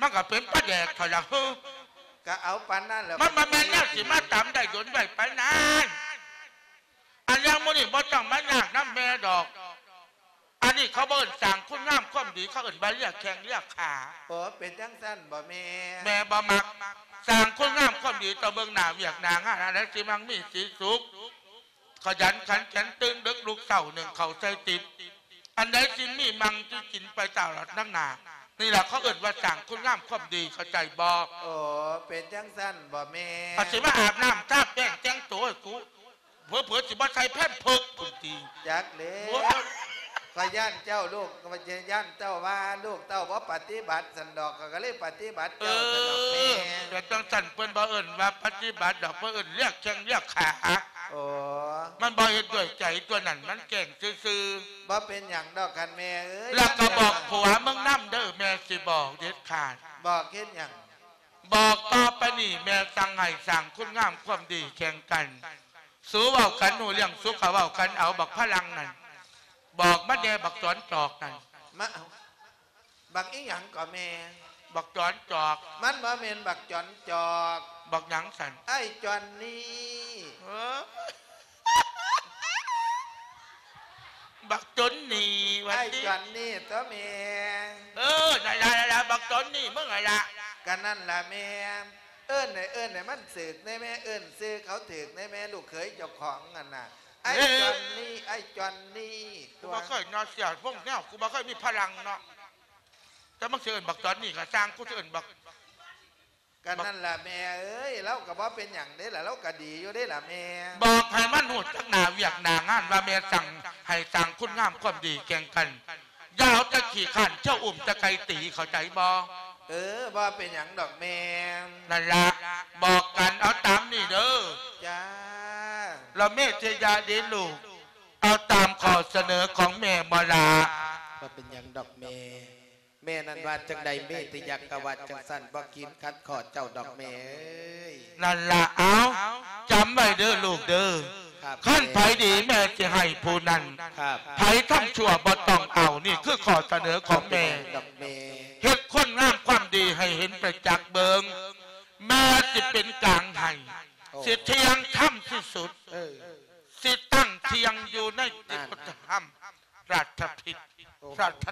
ມັນກະເປັນປາແດກເທົ່າລະ ກະເອົາປານນັ້ນແຫຼະ ມັນບໍ່ແມ່ນແນວຊິມາຕຳໄດ້ດົນໄວປານນັ້ນ. ອັນເລື່ອງໝູ່ນີ້ບໍ່ຕ້ອງມາຍາກນຳແມ່ດອກ ອັນນີ້ເຂົາບໍ່ເອີ້ນສ້າງຄຸນງາມຄວາມດີ ເຂົາເອີ້ນວ່າເລຍແຂ້ງເລຍຂາ. ໂອ້ ເປັນຈັ່ງຊັ້ນບໍ່ແມ່? ແມ່ບໍ່ມັກ ສ້າງຄຸນງາມຄວາມດີ ຕ້ອງເບິ່ງໜ້າວຽກໜ້າງານ ອັນໃດຊິມັກມີສີສຸກ ຂະຫຍັນຂັນແຂນ ຕື່ນດຶກລຸກເຊົ້າ ໜຶ້ງເຂົ້າໃສ່ຕິບ ອັນໃດຊິມີມັ່ງຊິກິນໄປຕະຫຼອດນຳໜ້າ ນີ້ລະເຂົາເອີ້ນວ່າສ້າງຄຸນງາມຄວາມດີ ເຂົ້າໃຈບໍ່? ໂອ້ ເປັນຈັ່ງຊັ້ນບໍ່ແມ່? ກະຊິມາອາບນ້ຳທາແປ້ງແຕ່ງໂຕໃຫ້ກູ ເຜີໆຊິບໍ່ໃສ່ແພມເພີກພຸ້ນຕິ. ຈັກແລ້ວ ໂອ້ຍ ຂ້ອຍຢ້ານເຈົ້າລູກ ຂ້ອຍຢ້ານເຈົ້າວ່າລູກເຕົ້າບໍ່ປະຕິບັດຊັ້ນດອກ ຂ້ອຍກະເລີຍປະຕິບັດເຈົ້າ ເອີ ຊັ້ນດອກແມ່. ແຕ່ຈັ່ງຊັ້ນເພິ່ນບໍ່ເອີ້ນວ່າປະຕິບັດດອກ ເພິ່ນເອີ້ນລຽກແຂ້ງລຽກຂາ. ໂອ້ ມັນບໍ່ເຮັດດ້ວຍໃຈ ຕົວນັ້ນມັນແກ້ງຊື່ໆ. ບໍ່ເປັນຫຍັງດອກຄັນແມ່ເອີຍ. ແລ້ວກະບອກຜົວມຶງນຳເດີ ແມ່ຊິບອກເດັດຂາດ. ບອກເຮັດຫຍັງ? ບອກຕໍ່ໄປນີ້ແມ່ສັ່ງໃຫ້ສ້າງຄຸນງາມຄວາມດີແຂ່ງກັນ. ສູເວົ້າກັນຮູ້ເລື່ອງ ສູກະເວົ້າກັນເອົາບັກພະລັງນັ້ນ. ບອກມັນແດ່ບັກຈອນຈອກນັ້ນ. ມາ ເອົາ ບັກອີ່ຫຍັງກໍແມ່? ບັກຈອນຈອກ. ມັນບໍ່ແມ່ນບັກຈອນຈອກ. ບັກຫຍັງຊັ້ນ? ອ້າຍຈອນນີ້. ເອີ ບັກຈົນນີ້ວ່າຕິ. ອ້າຍຈອນນີ້ຕົວະແມ່. ເອີ ນັ້ນລະ ນັ້ນລະ ບັກຈົນນີ້ ມຶງຫັ້ນລະ. ກະນັ້ນລະແມ່. ເອີ້ນໃຫ້ ເອີ້ນໃຫ້ມັນຖືກແດ່ແມ່ ເອີ້ນຊື່ເຂົາຖືກແດ່ແມ່ ລູກເຂີຍເຈົ້າຂອງຫັ້ນນະ. ເອີ ອ້າຍຈອນນີ້ ອ້າຍຈອນນີ້ ກູບໍ່ເຄີຍເນາະ ເສຍວົງແນວ ກູບໍ່ເຄີຍມີພະລັງເນາະ. ແຕ່ມຶງຊິເອີ້ນບັກຈອນນີ້ກະຊ່າງ ກູຊິເອີ້ນບັກ ກະນັ້ນລະແມ່ເອີຍ ລາວກະບໍ່ເປັນຫຍັງເດ້ລະ ລາວກະດີຢູ່ເດ້ລະແມ່. ບອກໃຫ້ມັນຮູ້ຈັກໜ້າວຽກໜ້າງານວ່າແມ່ສັ່ງໃຫ້ສ້າງຄຸນງາມຄວາມດີແຂ່ງກັນ. ຢ່າເອົາແຕ່ຂີ້ຄ້ານ ເຈົ້າອຸ້ມແຕ່ໄກ່ຕີ ເຂົ້າໃຈບໍ່? ເອີ ບໍ່ເປັນຫຍັງດອກແມ່. ນັ້ນລະ ບອກກັນ ເອົາຕາມນີ້ເດີ. ຈ້າ. ລະເມທິຍະເດລູກ ເອົາຕາມຂໍ້ສະເໜີຂອງແມ່ບໍ່ລະ? ບໍ່ເປັນຫຍັງດອກແມ່. ແມ່ນັ້ນວ່າຈັ່ງໃດ ເມທິຍະກະວ່າຈັ່ງຊັ້ນ ບໍ່ກີນຂັດຂໍ້ເຈົ້າດອກແມ່ເອີຍ. ນັ້ນລະ ເອົາ ຈຳໄວ້ເດີລູກເດີ. ຄັນໃຜດີແມ່ຊິໃຫ້ຜູ້ນັ້ນ. ໃຜທຳຊົ່ວບໍ່ຕ້ອງເອົາ. ນີ້ຄືຂໍ້ສະເໜີຂອງແມ່. ເຮັດຄຸນງາມຄວາມດີໃຫ້ເຫັນປະຈັກເບິ່ງ. ແມ່ຊິເປັນກາງໃຫ້. ຊິທ່ຽງທຳທີ່ສຸດ. ຊິຕັ້ງທ່ຽງຢູ່ໃນຕິດທຳ ລາດຖະພິດ ໂອ້ໂຫ ລາດຖະ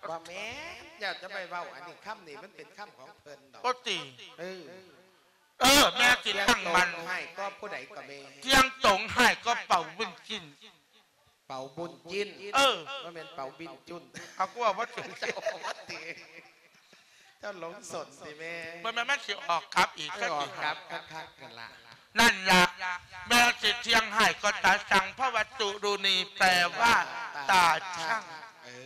ບໍ່ແມ່ນ ຢ່າຈະໄປເວົ້າ ອັນນີ້ຄຳນີ້ມັນເປັນຄຳຂອງເພິ່ນດອກ. ໂອຕິ ເອີ ເອີ ແມ່ຊິຕັ້ງໝັ້ນ ຮ້າຍກວ່າຜູ້ໃດກໍແມ່ ທ່ຽງຕົງຮ້າຍກວ່າເປົ່າວິນຈິນ. ເປົາບຸນຈິນ ເອີ ບໍ່ແມ່ນເປົາບິນຈຸນ ເອົາ ກູເວົ້າບໍ່ຖືກ ເຈົ້າອອກມາຕິ ເຈົ້າຫຼົງສົນຕິແມ່ ບໍ່ແມ່ນມັນຊິອອກກັບອີກ ເອີ ສັກ ອອກກັບຄັກໆ ນັ້ນລະ ນັ້ນລະ ແມ່ນຊິທ່ຽງໃຫ້ກໍຕາຊັງ ເພາະວ່າຕຸລຸນີແປວ່າຕາຊັງ ຕາຊັງ ເອີ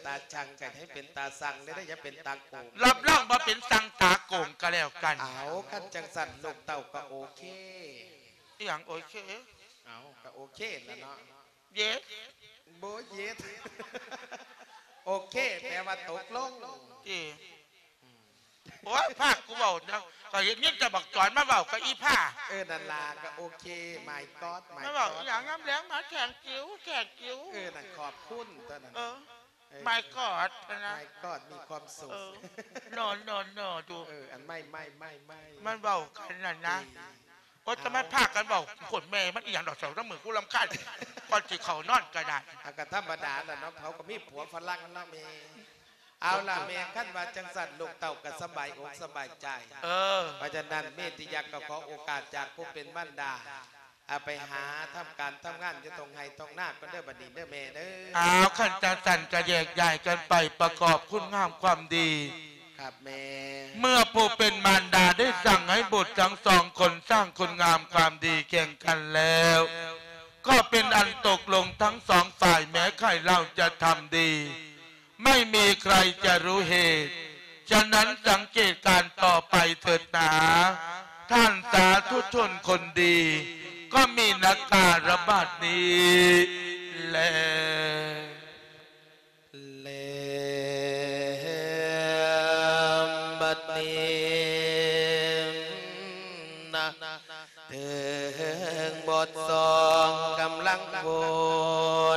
ຕາຊັງກໍໃຫ້ເປັນຕາຊັງເດີ້ ຢ່າເປັນຕາໂກງ ຮັບຮອງບໍ່ເປັນຊັງຕາໂກງກໍແລ້ວກັນ ເອົາ ຄັນຈັ່ງຊັ້ນລູກເຕົ້າກໍໂອເຄ ອີຫຍັງໂອເຄ ເອົາ ກໍໂອເຄລະເນາະ ເຢດ ບໍ່ເຢດ ໂອເຄ ແປວ່າຕົກລົງ ເອີ ໂອ້ຍ ພາກກູເວົ້ານະ ກໍເຫັນຍິນແຕ່ບັກຈອນມາເວົ້າກັບອີພາ ເອີ ນັ້ນລະ ກໍໂອເຄ ມາຍກອດ ມາຍກອດ ມາເວົ້າອີຫຍັງຍາມແລງ ມາແຂງຈິວ ແຂງຈິວ ເອີ ນັ້ນຂອບຄຸນຕົວນັ້ນ ເອີ ເອີ ມາຍກອດ ນະ ມາຍກອດ ມີຄວາມສຸກ ເອີ ນອນ ນອນ ນອນ ດູ ເອີ ອັນໄມ້ ໄມ້ ໄມ້ ໄມ້ ມັນເວົ້າກັນນັ້ນນະ ໂອ້ຍ ຈະມາພາກັນເວົ້າ ຄົນແມ່ມັນອີຫຍັງດອກ ເຊົານຳມື້ ກູລຳຄານ ກ່ອນຊິເຂົ້ານອນກໍໄດ້ ອາ ກໍທຳມະດາລະເນາະ ເຂົາກໍມີຜົວຝຣັ່ງເນາະແມ່ ເອົາລະແມ່ ຄັນວ່າຈັ່ງຊັ້ນ ລູກເຕົ້າກໍສະບາຍອົກສະບາຍໃຈ ເອີ ເພາະສະນັ້ນ ເມຕິຍັກກໍຂໍໂອກາດຈາກຜູ້ເປັນມານດາ ອາ ໄປຫາທຳການທຳງານຢູ່ທົ່ງໄຮ່ທົ່ງນາກ່ອນເດີ້ ບັດນີ້ເດີ້ແມ່ເດີ້ ອ້າວ ຄັນຈັ່ງຊັ້ນກໍແຍກຍ້າຍກັນໄປປະກອບຄຸນງາມຄວາມດີ ຄັບແມ່ ເມື່ອຜູ້ເປັນມານດາໄດ້ສັ່ງໃຫ້ບຸດທັງສອງຄົນສ້າງຄຸນງາມຄວາມດີແກ່ງກັນແລ້ວ ກໍເປັນອັນຕົກລົງທັງສອງຝ່າຍ ແມ້ໃຄເຫຼົ່າຈະທຳດີ ໄມ່ມີໃຄຈະຮູ້ເຫດ ສະນັ້ນສັງເກດການຕໍ່ໄປເຖີດໜາ ທ່ານສາທຸຊົນຄົນດີ ກໍມີນາກາລະບາດນີ້ແລ. ແລມບັດນີ້ນະ ເຖິງບົດສອງກຳລັງວົ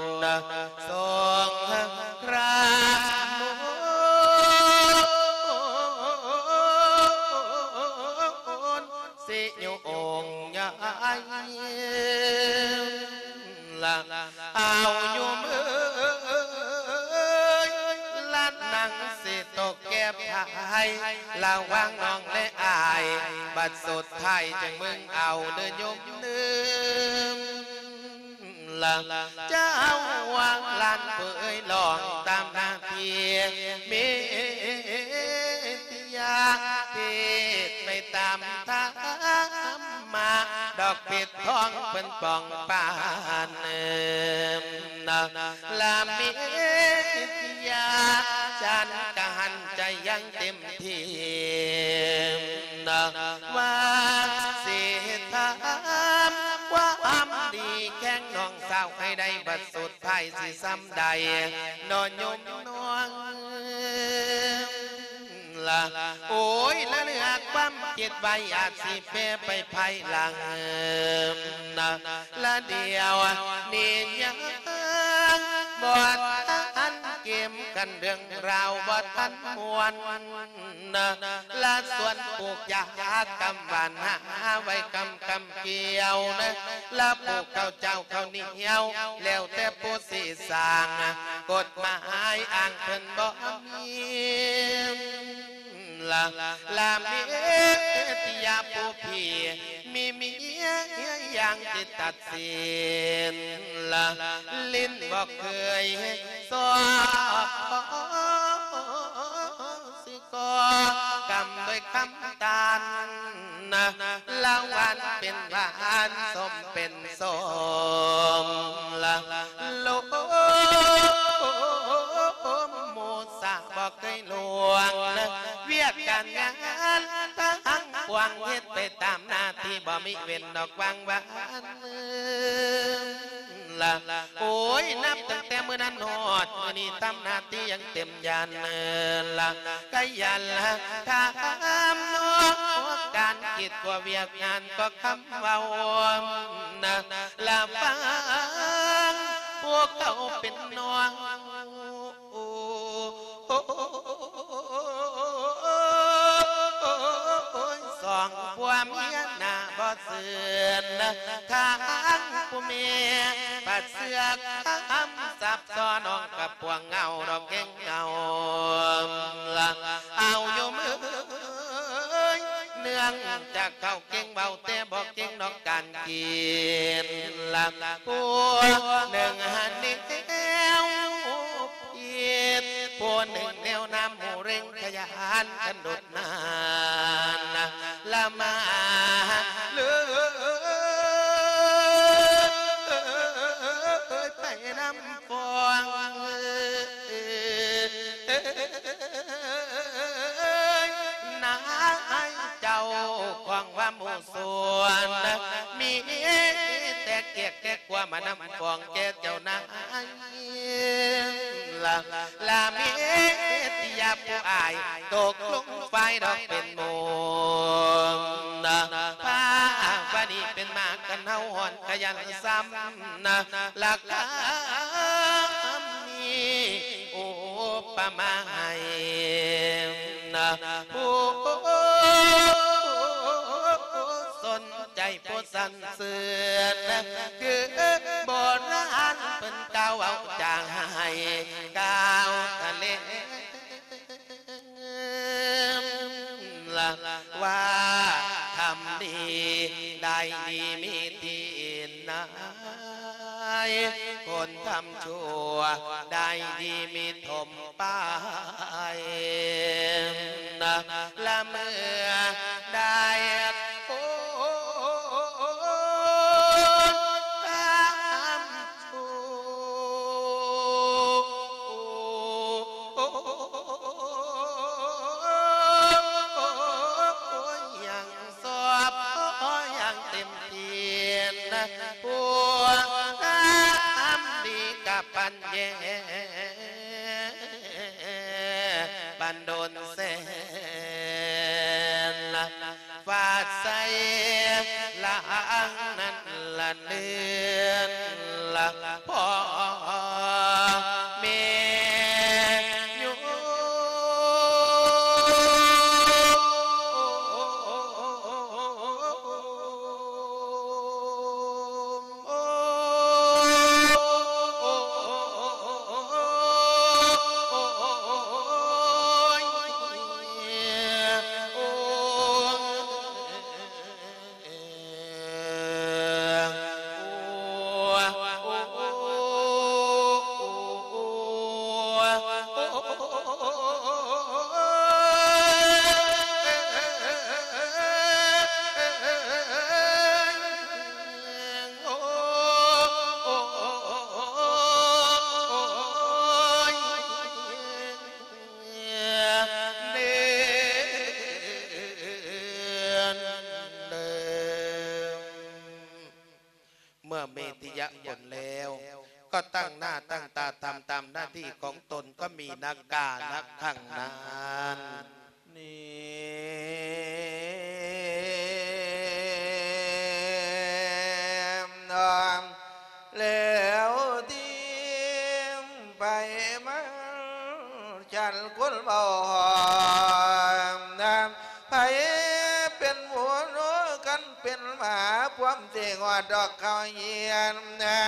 ນ ສອງຄຣາມນ ຊິໂຍງຍ້າຍ ລະ ເອົາໂຍມເອີຍ ລະນັ່ງຊິຕົກແກ້ພາຍ ລະຫວ່າງນ້ອງແລະອ້າຍ ບັດສຸດທ້າຍຈັ່ງມຶງເອົາເດີໂຍມເດີ ລະ ເຈົ້າວ່າຫຼານຜູ້ເອີຍ ລອງຕາມໜ້າທີ່ ເມ ຍາເທດໄປຕາມທຳມະ ດອກເພັດທອງເພິ່ນປ່ອງປານ ລະເມດຍາ ສັນກະຫັນໃຈຢ່າງເຕັມທີ່ ວ່າຊິຖາມຄວາມດີແຂ່ງນ້ອງສາວໃຫ້ໄດ້ ບັດສຸດທ້າຍຊິສ່ຳໃດ ນ້ອຍໂຍມນ້ອງ ລະ ໂອ້ຍ ລະເຫຼືອຄວາມຄິດໄວ້ ອາດຊິແປໄປພາຍຫຼັງນະ ລະດຽວນີ້ຍັງບໍ່ທັນເກມກັນ ເລື່ອງລາວບໍ່ທັນມ່ວນນະ ລະສວນປູກຢາກຳຫວານ ຫາໄວ້ກຳ ກຳກ່ຽວນະ ລະປູກເຂົ້າເຈົ້າເຂົ້າໜຽວ ແລ້ວແຕ່ຜູ້ຊິສ້າງ ກົດໝາຍອ້າງເພິ່ນບໍ່ມີ ລະ ລະເມດຍາຜູ້ພີ່ ມີເມຍຢ່າງທີ່ຕັດສິນ ລະ ຫຼິ້ນບໍ່ເຄີຍຊອກ ກໍກຳດ້ວຍຄຳຕານ ລະຫວານເປັນຫວານ ສົ້ມເປັນສົ້ມ ລະລົມໝູ່ສາບໍ່ເຄີຍລ່ວງ ວຽກການງານທັງປວງ ເຮັດໄປຕາມໜ້າທີ່ ບໍ່ມີເວັ້ນດອກຫວ່າງຫວານ ລະ ໂອ້ຍ ນັບຕັ້ງແຕ່ມື້ນັ້ນຮອດມື້ນີ້ ທຳໜ້າທີ່ຢ່າງເຕັມຍານ ລະ ກະຢ່າລະຖາມນອກການກິດ ກວ່າວຽກງານກໍຄຳເວົ້ານະ ລະຟັງພວກເຂົາເປັນນ້ອງ ໂອ້ຍ ສອງຜົວເມຍໜ້າບໍ່ຊື່ນ ທາງຜູ້ແມ່ປະເຊືອກຄຳສັບ ຊໍນ້ອງກັບພວກເຫງົາດອກແກງເຫງົາ ລະ ເອົາໂຍມເອີຍ ເນື່ອງຈາກເຂົາເກັ່ງເວົ້າ ແຕ່ບໍ່ເກັ່ງນອກການກິນ ລະ ຜູ້ໜຶ່ງຫັ້ນນີ້ ວນ້ຳໝູ່ເລັ່ງຂະຫຍານກັນດຸດນານ ລະມາເລີຍໄປນຳຟອງ ນາຍເຈົ້າຂອງວ່າໝູ່ ສ່ວນ ມີແຕ່ກຽກແຕ່ກົວມານຳຟ້ອງແກ່ເຈົ້ານາຍ ລະ ລະມີຕິຍາຜູ້ອາຍ ຕົກລົງຝ່າຍດອກເປັນໝູ່ ພາວະນີເປັນມາກັນເຮົາຮ້ອນຂະຫຍັນຊ້ຳ ລະກະມີອຸປະມາໃຫ້ ນະ ຜູ້ສົນໃຈຜູ້ສັນເສີນ ຄືໂບລານເພິ່ນກ່າວເວົ້າຈາໃຫ້ ກ່າວທະເລ ລະວ່າທຳດີໄດ້ດີມີທີ່ນາ ຍ ຄົນທຳຊົ່ວໄດ້ດີມີຖົມປາຍ ນະ ລະເມື່ອໄດ້ຄົນທຳຊົ່ວ ຍັງ ສອບ ຍັງເຕັມທີ່ນະ ພວກທຳດີກະປັນແຍ ປັນດົນແສນ ຟາດໃສ່ລະອັງນັ້ນລະເດືອນລະ ພໍ່ແມ່ໂຍມ ໂອ້ຍ ເມື່ອມີທິຍະຜົນແລ້ວ ກໍຕັ້ງໜ້າຕັ້ງຕາທຳຕາມໜ້າທີ່ຂອງຕົນ ກໍມີນະການະຄັງນັ້ນ ນີ້ ແລ້ວທີ່ໄປມາ ສັນຄົນເວົ້າຫອມນາມ ໃຜເປັນໝູ ຄັນເປັນໝາ ພວມຊິຮອດດອກເຂົ້າຮຽນນາ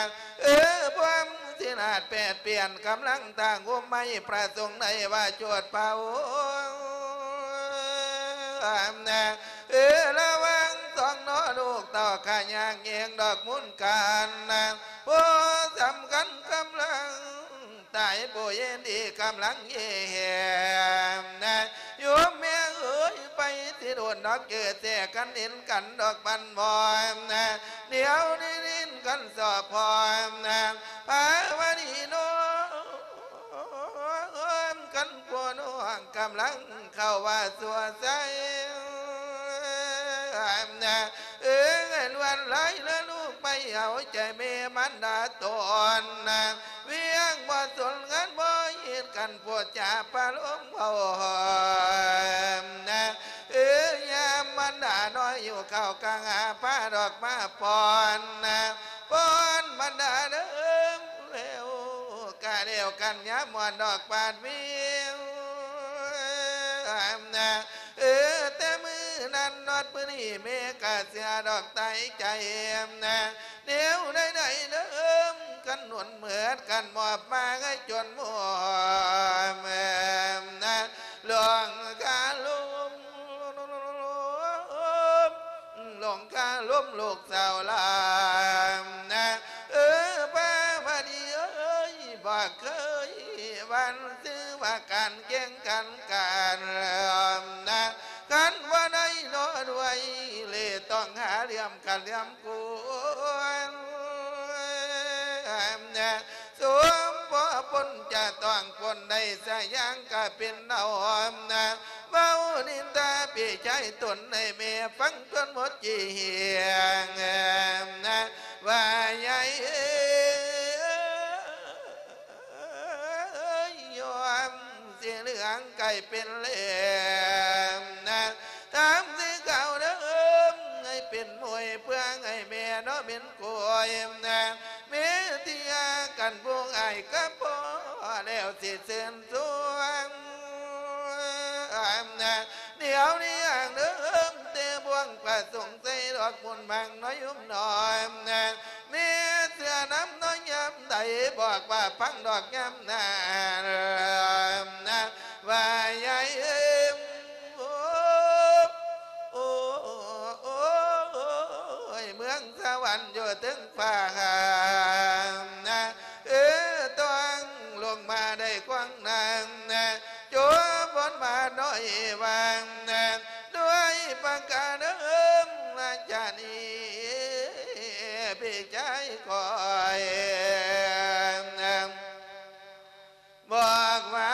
ເອີ ພວມຊິນາດແປດປ່ຽນ ກຳລັງຕັ້ງໂຮມໄມ້ ພະສົງໄດ້ວ່າໂຈດເຜົານາ ເອີ ລະວັງສອງໜໍ ລູກເຕົ້າຂະຍາກແຍງດອກມູນການນາ ຜູ້ສຳຄັນກຳລັງຕາຍ ຜູ້ເຫັນດີກຳລັງເຫຍແຫມນາ ໂຍມແມ່ເອີຍ ໄປຊິໂດນດອກ ເຈີແສກັນເຫັນກັນດອກບັນບອນນາ ດຽວນີ້ຫຼິ້ນກັນສອບພອນນາ ພາວະດີໂນ ກັນຜົວນ້ອງກຳລັງເຂົ້າວ່າຊົ່ວໃສ ເອີ ລວດລາຍລະລູກໄປເອົາໃຈແມ່ມານດາຕົນນາ ວຽກບໍ່ສົນງານບໍ່ເຮັດກັນ ໂພດຈາປາລົມເວົ້າຫອມນາ ເອີ ຍາມມານດານ້ອຍຫິວເຂົ້າກະຫາພາດອກມາປ້ອນນາ ປ້ອນມານດາເດີ ແລ້ວກະແລ້ວກັນຍາມມ່ອນດອກປາດວິວນາ ເອີ ແຕ່ມື້ນັ້ນຮອດມື້ນີ້ແມ່ກະເສຍດອກຕາຍໃຈນາ ແນວໃດໆເດີ ກັນໜູນເໝິດກັນມອບມາໃຫ້ຈົນໝົດນາ ຫຼວງຄາລົມ ຫຼວງຄາລົມລູກສາວຫຼານນາ ເອີ ພາວະດີເອີຍ ບໍ່ເຄີຍວັນຊື່ວ່າການແຂ່ງ ກັນການນະ ຄັນບໍ່ໄດ້ນອນໄວ ເລຕ້ອງຫາເລື່ອມກັນເລື່ອມກວນນະ ສົມພໍປົນຈະຕ້ອງປົນໄດ້ສະຢ່າງກະເປັນເອົານະ ເວົ້ານິນທາພີ່ຊາຍຕົນໃຫ້ແມ່ຟັງ ຈົນໝົດຈີ່ຫຽງນະ ວ່າໃຫຍ່ເອີຍ ຍອມຊິເຫຼືອງກາຍເປັນແຫຼມນະ ທາງສີຂາວເດີມໃຫ້ເປັນມວຍ ເພື່ອໃຫ້ແມ່ເນາະເປັນກວຍນະ ແມ່ທີ່ຫາກັນຜູ້ອ້າຍກັບພໍ່ ແລ້ວຊິເຊີນຊວນນະ ດຽວນີ້ຫາງເດີມແຕ່ບ່ວງປະສົງໃສ່ດອກບຸນບັງນ້ອຍຫຸມນ້ອຍນະ ແມ່ເຊື່ອນຳເນາະຍາມໃດ ບອກວ່າຟັງດອກຍາມນັ້ນນະ ວ່າໃຫຍ່ເອີຍ ໂອ້ ໂອ້ ໂອ້ຍ ເມືອງສະຫວັນຢູ່ເທິງຟ້ານະ ເອີ ຕ້ອງລົງມາໄດ້ກວ້າງນາງນະ ຈົວບບົນມາໜ້ອຍຫວ່າງນະ ດ້ວຍປະການເດີມ ລາຊານີ ພີ່ຊາຍຂ້ອຍ ບອກວ່າ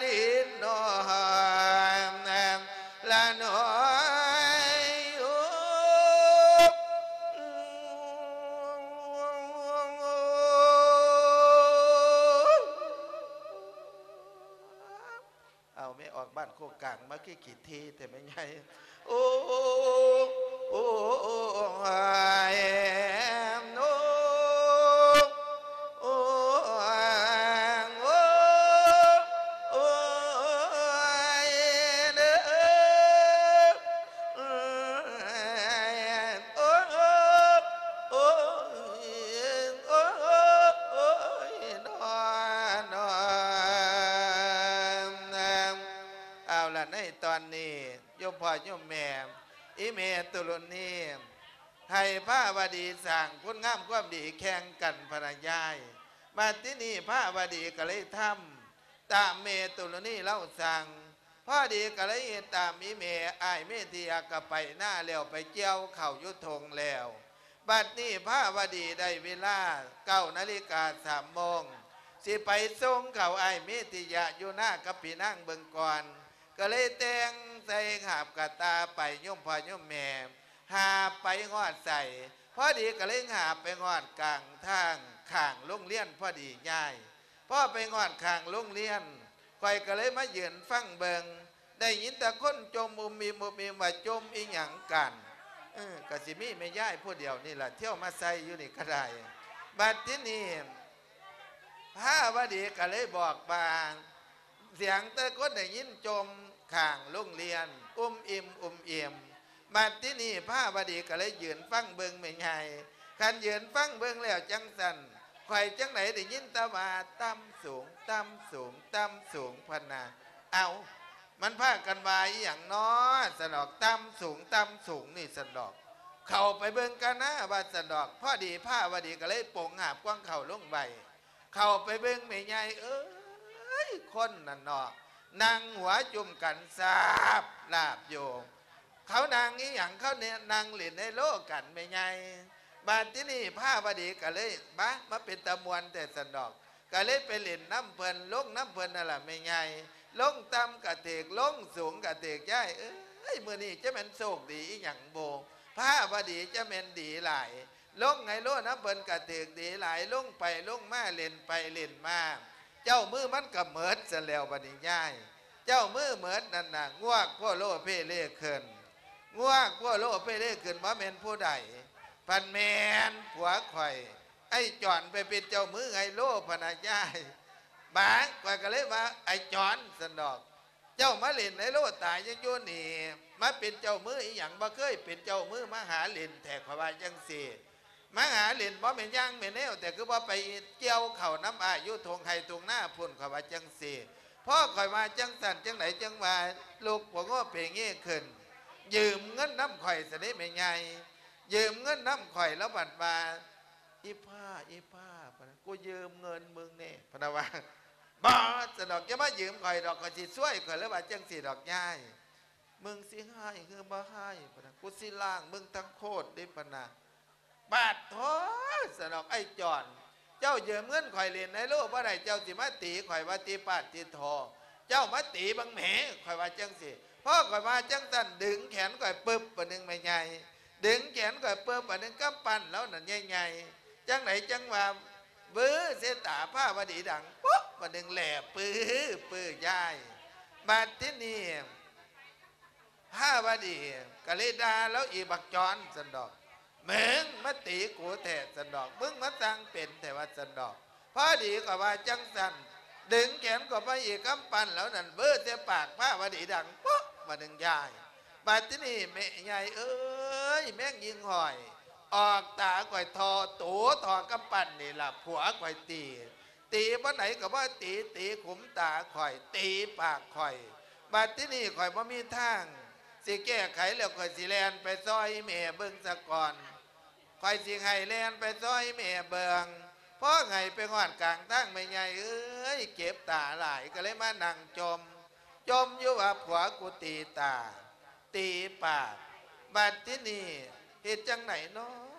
ດີໜ້ອຍລະໜ້ອຍ ເອົາແມ່ອອກບ້ານໂຄກກາງມາຄືຂີ້ຖີ່ແທ້ແມ່ໃຫຍ່ ໂອ້ ໂອ້ ໂອ້ ໂອ້ ໂອ້ ໂອ້ ໂອ້ ເດີ ໂອ້ ໂອ້ ໂອ້ ໂອ້ຍ ໂອ້ຍ ນອນ ນອນ ເອົາລະ ໃນຕອນນີ້ ໂຍມພໍ່ໂຍມແມ່ ອີ່ແມ່ຕຸລຸນີ ໃຫ້ພະວະດີສ້າງຄຸນງາມຄວາມດີແຂ່ງກັນພະນະຍາຍ. ບັດທີນີ້ພະວະດີກໍເລີຍທຳຕາມແມ່ຕຸລຸນີລາວສັ່ງ. ພໍດີກໍເລີຍເຮັດຕາມອີ່ແມ່. ອ້າຍເມທິຍະກໍໄປນາແລ້ວ ໄປກ່ຽວເຂົ້າຢູ່ທົ່ງແລ້ວ. ບັດນີ້ພະວະດີໄດ້ເວລາເກົ້ານາລິກາສາມໂມງ ຊິໄປສົ່ງເຂົ້າອ້າຍເມທິຍະຢູ່ນາກັບພີ່ນາງເບິ່ງກ່ອນ. ກໍເລີຍແຕ່ງໃສ່ຫາບກະຕ່າໄປ ໂຍມພໍ່ໂຍມແມ່ ຫາບໄປຮອດໃສ ພໍດີກໍເລີຍຫາບໄປຮອດກາງທາງຂ້າງໂຮງຮຽນພໍດີຍາຍ. ພໍໄປຮອດຂ້າງໂຮງຮຽນ ຂ້ອຍກໍເລີຍມາຢືນຟັງເບິ່ງ ໄດ້ຍິນແຕ່ຄົນຈົ່ມອຸມອິມອຸມອິມວ່າຈົ່ມອີ່ຫຍັງກັນ. ເອີ ກໍຊິມີແມ່ຍາຍຜູ້ດຽວນີ້ລະ ທ່ຽວມາໃສ່ຢູ່ນີ້ກໍໄດ້. ບັດທີນີ້ພະວະດີກໍເລີຍບອກວ່າ ສຽງແຕ່ຄົນໄດ້ຍິນຈົ່ມຂ້າງໂຮງຮຽນ ອຸມອິມ ອຸມອິມ. ບັດທີນີ້ພະວະດີກໍເລີຍຢືນຟັງເບິ່ງແມ່ໃຫຍ່. ຄັນຢືນຟັງເບິ່ງແລ້ວຈັ່ງຊັ້ນ ຂ້ອຍຈັ່ງໃດໄດ້ຍິນແຕ່ວ່າຕ່ຳສູງ ຕ່ຳສູງ ຕ່ຳສູງ ພະນະ. ເອົ້າ ມັນພາກັນວ່າອີ່ຫຍັງນໍ ຊັ້ນດອກ ຕ່ຳສູງ ຕ່ຳສູງນີ້ ຊັ້ນດອກ. ເຂົ້າໄປເບິ່ງກັນນາ ວ່າຊັ້ນດອກ. ພໍດີພະວະດີກໍເລີຍປົງຫາບກວາງເຂົ້າລົງໄວ້. ເຂົ້າໄປເບິ່ງແມ່ໃຫຍ່ເອີຍ ຄົນນັ້ນເນາະ ນັ່ງຫົວຈຸ່ມກັນສາບລາບຢູ່. ເຂົານັ່ງອີ່ຫຍັງ? ເຂົາແນະ ນັ່ງຫຼິ້ນໄຮໂລກັນແມ່ໃຫຍ່. ບາດທີນີ້ພະວະດີກໍເລີຍ ບາ ມາເປັນຕາມ່ວນແທ້ຊັ້ນດອກ. ກໍເລີຍໄປຫຼິ້ນນຳເພິ່ນ ລົງນຳເພິ່ນນັ້ນລະແມ່ໃຫຍ່. ລົງຕ່ຳກະຖືກ ລົງສູງກະຖືກ. ຍາຍເອີຍ ມື້ນີ້ຈະແມ່ນໂຊກດີອີ່ຫຍັງບໍ່? ພະວະດີຈະແມ່ນດີຫຼາຍ. ລົງໄຮໂລນຳເພິ່ນກະຖືກດີຫຼາຍ ລົງໄປລົງມາ ຫຼິ້ນໄປຫຼິ້ນມາ ເຈົ້າມືມັນກະເໝິດຊັ້ນແລ້ວ. ບັດນີ້ຍາຍ ເຈົ້າມືເໝິດນັ້ນນະ ງວກໂພໂລເພເລຂຶ້ນ ງວກໂພໂລເພເລຂຶ້ນ ບໍ່ແມ່ນຜູ້ໃດ ພັດແມ່ນຜົວຂ້ອຍ ໄອ້ຈອນ ໄປເປັນເຈົ້າມືໄຮໂລພະນະຍາຍ. ບາດຂ້ອຍກະເລີຍວ່າ ໄອ້ຈອນ ຊັ້ນດອກ ເຈົ້າມາຫຼິ້ນໄຮໂລຕາຍຍັງຢູ່ນີ້ ມາເປັນເຈົ້າມືອີ່ຫຍັງ ບໍ່ເຄີຍເປັນເຈົ້າມື ມາຫາຫຼິ້ນແທ້ ຂ້ອຍວ່າຈັ່ງຊີ້. ມາຫາຫຼິ້ນບໍ່ແມ່ນຢ່າງແມ່ນແນວ ແຕ່ຄືບໍ່ໄປກ່ຽວເຂົ້ານຳອ້າຍຢູ່ທົ່ງໄຮ່ທົ່ງນາພຸ້ນ ຂ້ອຍວ່າຈັ່ງຊີ້. ພໍຂ້ອຍວ່າຈັ່ງຊັ້ນຈັ່ງໃດ ຈຶ່ງວ່າລຸກໂພໂງເພເງຂຶ້ນ ຢືມເງິນນຳຂ້ອຍຊັ້ນເດ້ແມ່ໃຫຍ່. ຢືມເງິນນຳຂ້ອຍ ລາວບັດວ່າ ອີ່ພ້າ ອີ່ພ້າ ພະນະ ກູຢືມເງິນມຶງແດ່ ພະນະວ່າ. ບໍ່ ຊັ້ນດອກ ຢ່າມາຢືມຂ້ອຍດອກ ຂ້ອຍຊິຊ່ວຍ ຂ້ອຍເລີຍວ່າຈັ່ງຊີ້ດອກຍາຍ. ມຶງຊິຮ້າຍຄືບໍ່ຮ້າຍ ປະນະ ກູຊິລ້າງມຶງທັງໂຄດເດ້ ປະນະ. ບາດໂທ້ ຊັ້ນດອກ ອ້າຍຈອນ ເຈົ້າຢືມເງິນຂ້ອຍຫຼິ້ນໄຮໂລບໍ່ໄດ້ ເຈົ້າຊິມາຕີຂ້ອຍວ່າຕິ ປາດຕິໂທ ເຈົ້າມາຕີເບິ່ງແໝ ຂ້ອຍວ່າຈັ່ງຊີ້. ພໍຂ້ອຍວ່າຈັ່ງຊັ້ນ ດຶງແຂນຂ້ອຍປຶບ ບາດໜຶ່ງແມ່ໃຫຍ່ ດຶງແຂນຂ້ອຍປຶບ ບາດໜຶ່ງກຳປັ້ນລາວນັ້ນໃຫຍ່ໆ ຈັ່ງໃດຈັ່ງວ່າ ວື ເສຍຕາພາວະດີດັງປຸບ ບາດໜຶ່ງແຫຼບປຶບປຶບຍາຍ. ບາດທີນີ້ ພາວະດີກໍເລີຍດ່າລາວອີກ ບັກຈອນ ຊັ້ນດອກ ມຶງມາຕີກູແທ້ ຊັ້ນດອກ ມຶງມາຊ່າງເປັນແທ້ວ່າ ຊັ້ນດອກ. ພໍດີກໍວ່າຈັ່ງຊັ້ນ ດຶງແຂນກໍໄປອີກ ກຳປັ້ນລາວນັ້ນວືໃສ່ປາກພາວະດີດັງປຸບ ບາດໜຶ່ງຍາຍ. ບາດທີນີ້ແມ່ໃຫຍ່ເອີຍ ແມງຍິງຫ້ອຍ ອອກຕາຂ້ອຍທໍ່ໂຕທໍ່ກຳປັ້ນນີ້ລະ ຜົວຂ້ອຍຕີ ຕີບ່ອນໃດກໍບໍ່ຕີ ຕີຂຸມຕາຂ້ອຍ ຕີປາກຂ້ອຍ. ບາດທີນີ້ຂ້ອຍບໍ່ມີທາງຊິແກ້ໄຂແລ້ວ ຂ້ອຍຊິແລ່ນໄປຊ່ອຍແມ່ເບິ່ງສາກ່ອນ ຂ້ອຍຊິໄຫ້ແລ່ນໄປຊ່ອຍແມ່ເບິ່ງ. ພໍໄຫ້ໄປຮອດກາງທາງ ແມ່ໃຫຍ່ເອີຍ ເຈັບຕາຫຼາຍ ກໍເລີຍມານັ່ງຈົ່ມ ຈົ່ມຢູ່ວ່າຜົວກູຕີຕາ ຕີປາກ. ບາດທີນີ້ເຮັດຈັ່ງໃດນໍ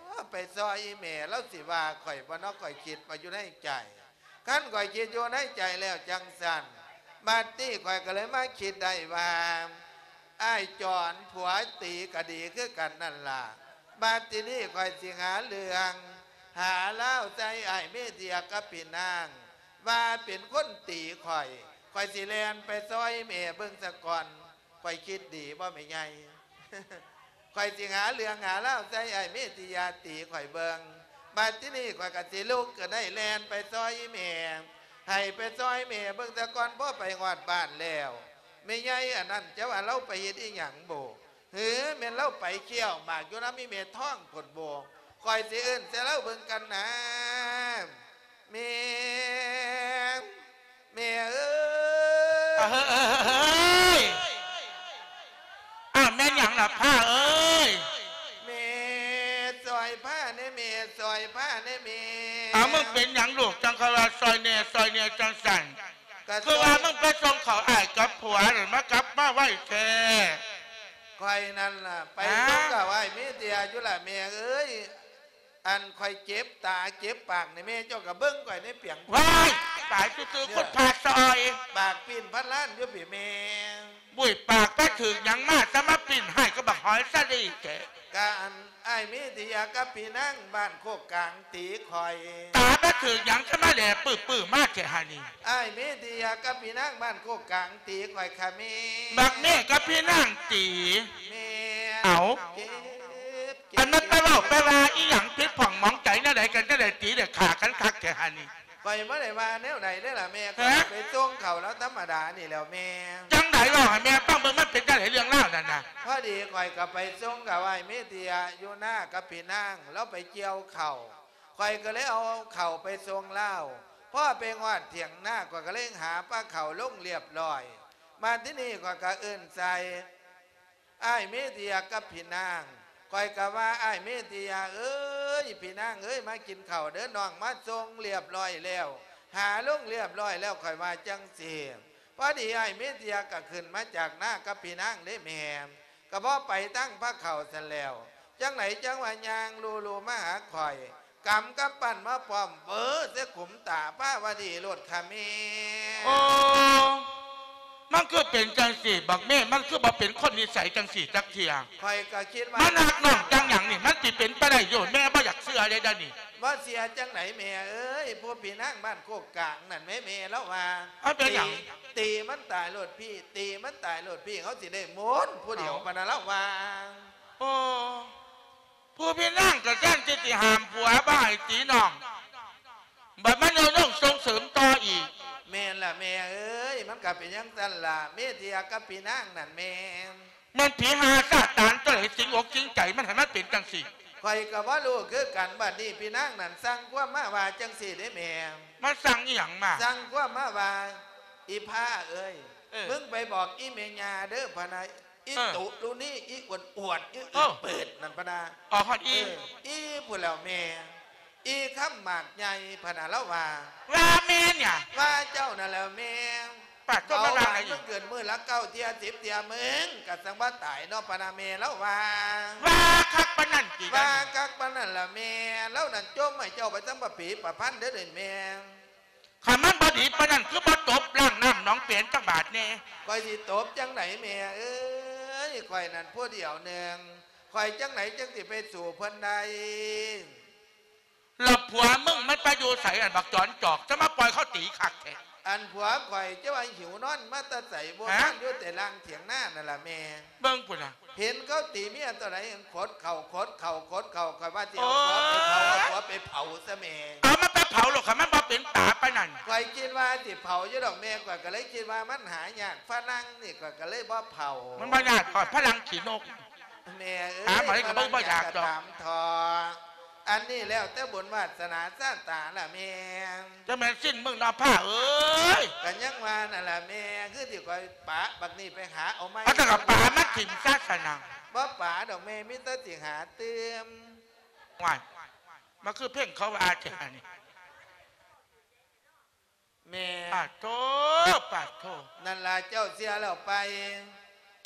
ໄປຊ່ອຍອີ່ແມ່ລາວຊິວ່າຂ້ອຍບໍ່ນໍ ຂ້ອຍຄິດວ່າຢູ່ໃນໃຈ. ຄັນຂ້ອຍຄິດຢູ່ໃນໃຈແລ້ວຈັ່ງຊັ້ນ ບາດນີ້ຂ້ອຍກໍເລີຍມາຄິດໄດ້ວ່າ ອ້າຍຈອນ ຜົວຕີກໍດີຄືກັນນັ້ນລະ. ບາດທີນີ້ຂ້ອຍຊິຫາເລື່ອງ ຫາລາວໃສ່ອ້າຍເມດຽກັບພີ່ນາງ ວ່າເປັນຄົນຕີຂ້ອຍ ຂ້ອຍຊິແລ່ນໄປຊ່ອຍແມ່ເບິ່ງສາກ່ອນ. ຂ້ອຍຄິດດີບໍ່ແມ່ໃຫຍ່? ຂ້ອຍຊິຫາເລື່ອງຫາລາວໃສ່ອ້າຍເມດຽຕີຂ້ອຍເບິ່ງ. ບາດທີນີ້ຂ້ອຍກໍຊິລຸກຂຶ້ນໄດ້ແລ່ນໄປຊ່ອຍອີ່ແມ່ ໃຫ້ໄປຊ່ອຍແມ່ເບິ່ງສາກ່ອນ. ພໍໄປຮອດບ້ານແລ້ວ ແມ່ໃຫຍ່ອັນນັ້ນ ຈະວ່າລາວໄປເຮັດອີ່ຫຍັງບໍ? ຫື ແມ່ນລາວໄປຄ້ຽວໝາກຢູ່ນຳອີ່ແມ່ທອງພຸ້ນບໍ? ຂ້ອຍຊິເອີ້ນໃສ່ລາວເບິ່ງກັນນາ. ແມ່ ແມ່ເອີຍ ເອີ ເອີ ເອີ ເອີ ອ້າວ ແມ່ນຫຍັງລະພາເອີຍ? ແມ່ ຊ່ອຍພາແດ່ແມ່ ຊ່ອຍພາແດ່ແມ່. ອ້າວ ມຶງເປັນຫຍັງລູກ ຈັ່ງຄ່ອຍວ່າຊ່ອຍແດ່ ຊ່ອຍແດ່ຈັ່ງຊັ້ນ? ຄືວ່າມຶງໄປສົ່ງເຂົ້າອ້າຍກັບຜົວນັ້ນ ມາກັບມາໄວແທ້. ຂ້ອຍນັ້ນລະໄປ ຮະ ສົ່ງເຂົ້າອ້າຍເມດຽຢູ່ລະແມ່ເອີຍ. ອັນຂ້ອຍເຈັບຕາເຈັບປາກນີ້ ແມ່ເຈົ້າກໍເບິ່ງຂ້ອຍໃນປຽງ. ວ້າຍ ຕາຍຊື່ໆ ຄົນພາຊອຍ ປາກປີ້ນພັນລ້ານຢູ່ພີ້ແມ່. ບຸ້ຍ ປາກໄປຖືກຫຍັງມາ ຈະມາປີ້ນຮ້າຍກັບບັກຫອຍສາລີແທ້? ກະອັນອ້າຍເມດຽກັບພີ່ນາງບ້ານໂຄກກາງຕີຂ້ອຍ. ຕາໄປຖືກຫຍັງ ຈະມາແຫຼປຶບໆມາແທ້ຫັ້ນນີ້? ອ້າຍເມດຽກັບພີ່ນາງບ້ານໂຄກກາງຕີຂ້ອຍຄ່ະແມ່. ບັກເມກັບພີ່ນາງຕີ? ແມ່ນ. ເອົ້າ ເຈັບ ເຈັບ ອັນນັ້ນໄປເວົ້າໄປວ່າອີ່ຫຍັງຜິດຜ່ອງໝອງໃຈແນວໃດກັນ ຈັ່ງໄດ້ຕີໄດ້ຂ້າກັນຄັກແທ້ຫັ້ນນີ້? ຂ້ອຍບໍ່ໄດ້ວ່າແນວໃດເດ້ລະແມ່ ຮະ? ຂ້ອຍໄປສົ່ງເຂົ້າລາວທຳມະດານີ້ແຫຼ້ວແມ່. ຈັ່ງໃດ ເວົ້າໃຫ້ແມ່ຟັງເບິ່ງ ມັນເປັນຈັ່ງໃດເລື່ອງລາວນັ້ນນະ? ພໍດີຂ້ອຍກໍໄປສົ່ງກັບອ້າຍເມດຽຢູ່ນາກັບພີ່ນາງ ລາວໄປກ່ຽວເຂົ້າ ຂ້ອຍກໍເລີຍເອົາເຂົ້າໄປສົ່ງລາວ. ພໍໄປຮອດຖຽງນາ ຂ້ອຍກໍເລັງຫາປາເຂົ້າລົງລຽບຮ້ອຍ. ມາທີນີ້ຂ້ອຍກໍເອີ້ນໃສ່ ອ້າຍເມດຽກັບພີ່ນາງ ຂ້ອຍກໍວ່າ ອ້າຍເມດຽເອີຍ ພີ່ນາງເອີຍ ມາກິນເຂົ້າເດີ ນ້ອງມາສົ່ງລຽບຮ້ອຍແລ້ວ ຫາລົງລຽບຮ້ອຍແລ້ວ ຂ້ອຍວ່າຈັ່ງຊີ້. ພໍດີອ້າຍເມດຽກໍຂຶ້ນມາຈາກນາກັບພີ່ນາງເດ້ແມ່ ກໍບໍ່ໄປທາງພາເຂົ້າຊັ້ນແລ້ວ ຈັ່ງໃດຈັ່ງວ່າຍ່າງລູໆມາຫາຂ້ອຍ ກຳກຳປັ້ນມາປ້ອມ ເບີໃສ່ຂຸມຕາພາວະດີໂລດຄ່ະແມ່. ໂອ້ ມັນຄືເປັນຈັ່ງຊີ້ ບັກເມ ມັນຄືບໍ່ເປັນຄົນນິໄສຈັ່ງຊີ້ຈັກເທື່ອ? ຂ້ອຍກໍຄິດວ່າ ມັນຮັກນ້ອງຈັ່ງຫຍັງນີ້ ມັນຊິເປັນໄປໄດ້ຢູ່? ແມ່ບໍ່ຢາກເຊື່ອເລີຍເດ້ນີ້. ບໍ່ເຊື່ອຈັ່ງໃດແມ່ເອີຍ ຜູ້ພີ່ນາງບ້ານໂຄກກາງນັ້ນແໝ ແມ່ລາວວ່າ ເອົາເປັນຫຍັງ? ຕີ ຕີມັນຕາຍໂລດພີ່ ຕີມັນຕາຍໂລດພີ່ ເຮົາຊິໄດ້ມົນຜູ້ດຽວ ເອົ້າ ປານນັ້ນລາວວ່າ. ໂອ້ ຜູ້ພີ່ນາງກໍແທນທີ່ຊິຫ້າມຜົວບໍ່ໃຫ້ຕີນ້ອງ ບັດມາໂຍນລົງສົ່ງເສີມຕໍ່ອີກ. ແມ່ນລະແມ່ເອີຍ ມັນກໍເປັນຈັ່ງຊັ້ນລະ ເມດຽກັບພີ່ນາງນັ້ນແມ່. ແມ່ນຜີຫາຊາຕານຕົວໃດສິງອົກສິງໃຈມັນໃຫ້ມັນເປັນຈັ່ງຊີ້? ຂ້ອຍກໍບໍ່ຮູ້ຄືກັນ ບັດນີ້ພີ່ນາງນັ້ນສັ່ງຄວາມມາວ່າຈັ່ງຊີ້ເດ້ແມ່. ມັນສັ່ງອີ່ຫຍັງມາ? ສັ່ງຄວາມມາວ່າ ອີພາເອີຍ ເອີ ມຶງໄປບອກອີແມ່ຍ່າເດີ ພະນະ ອີ ເອີ ຕຸລຸນີ ອີອ້ວນໆ ອີ ເອີ ອືດໆນັ້ນ ພະນະ. ອອກຮອດອີ ເອີ ອີພຸ້ນແລ້ວແມ່. ອີຄຳໝາກໃຫຍ່ ພະນະລາວວ່າ ວ່າແມ່ນຫຍັງ? ວ່າເຈົ້ານັ້ນແຫຼະແມ່. ປາດໂທ ເບົາຫວານ ມາວ່າໄງອີກ? ມັນເກີດມື້ລະເກົ້າເທື່ອ ສິບເທື່ອ ມຶງກະຈັ່ງວ່າຕາຍເນາະ ພະນະແມ່ ລາວວ່າ. ວ່າຄັກປານນັ້ນຕິ? ວ່າຄັກປານນັ້ນລະແມ່. ລາວນັ້ນຈົ່ມໃຫ້ເຈົ້າໄປທັງປະປີປະພັນເດີແມ່. ຄັນມັນບໍ່ດີປານນັ້ນ ຄືບໍ່ຕົບລ້າງນ້ຳໜອງເປນຈັກບາດແດ່? ຂ້ອຍຊິຕົບຈັ່ງໃດແມ່ເອີຍ ຂ້ອຍນັ້ນຜູ້ດຽວໜຶ່ງ ຂ້ອຍຈັ່ງໃດຈັ່ງຊິໄປສູ້ເພິ່ນໄດ້? ແລ້ວຜົວມຶງມັນໄປຢູ່ໃສ ອັນບັກຈອນຈອກ ຈະມາປ່ອຍເຂົາຕີຄັກແທ້? ອັນຜົວຂ້ອຍຈະວ່າຫິວນອນມາແຕ່ໃສ ບໍ່ ຮະ? ນອນຢູ່ແຕ່ລ່າງຖຽງນານັ້ນລະແມ່. ເບິ່ງພຸ້ນນະ ເຫັນເຂົາຕີເມຍຕົວໃດ ຂົດເຂົ້າ ຂົດເຂົ້າ ຂົດເຂົ້າ ຂ້ອຍວ່າຊິເອົາ ໂອ້ຍ ຜົວໄປເຜົາ ເອົາຜົວໄປເຜົາຊະແມ່. ເອົາມັນໄປເຜົາໂລດ ຄັນມັນບໍ່ເປັນຕາປານນັ້ນ. ຂ້ອຍຄິດວ່າຊິເຜົາຢູ່ດອກແມ່ ຂ້ອຍກໍເລີຍຄິດວ່າມັນຫາຍາກ ຝຣັ່ງນີ້ ຂ້ອຍກໍເລີຍບໍ່ເຜົາ. ມັນບໍ່ຍາກດອກ ຝຣັ່ງຂີ້ນົກ. ແມ່ເອີຍ ຫາໃໝກໍເບິ່ງບໍ່ຢາກດອກ ຕາມເຖາະ. ອັນນີ້ແລ້ວແຕ່ບຸນວາສະໜາຊາຕາລະແມ່. ຈະແມ່ນສິ້ນມຶງເນາະ ພ້າເອີຍ. ກໍຍັງວ່ານັ້ນລະແມ່ ຄືຊິຂ້ອຍປະບັກນີ້ໄປຫາເອົາໃໝ່. ເອົາແຕ່ກະປາມາຖິ້ມຊະຊັ້ນນະ. ບໍ່ປະດອກແມ່ ມີແຕ່ຊິຫາຕື່ມ. ວ້າຍ ມັນຄືເພງເຂົາວ່າແທ້ນີ້. ແມ່ ປາດໂທ ປາດໂທ. ນັ້ນລະ ເຈົ້າເຊື່ອແລ້ວໄປ?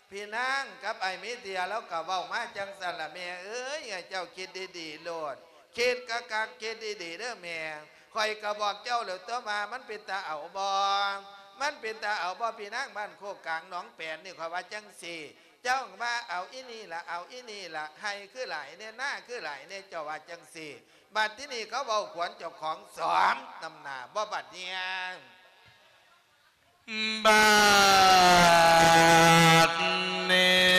ພີ່ນາງກັບອ້າຍເມເທຍລາວກໍເວົ້າມາຈັ່ງຊັ້ນລະແມ່ເອີຍ. ໃຫ້ເຈົ້າຄິດດີໆໂລດ ຄິດຄັກໆ ຄິດດີໆເດີແມ່. ຂ້ອຍກໍບອກເຈົ້າແລ້ວຕົວະວ່າມັນເປັນຕາເອົາບໍ່ ມັນເປັນຕາເອົາບໍ່? ພີ່ນາງບ້ານໂຄກກາງໜອງແປນນີ້ ຂ້ອຍວ່າຈັ່ງຊີ້ ເຈົ້າວ່າເອົາອີ່ນີ້ລະ ເອົາອີ່ນີ້ລະ ໄຮ່ຄືຫຼາຍແດ່ ນາຄືຫຼາຍແດ່ ເຈົ້າວ່າຈັ່ງຊີ້. ບັດທີນີ້ເຂົາເວົ້າຂວັນເຈົ້າຂອງສອມນຳໜ້າບໍ່ບັດເນຍ. ບັດນີ້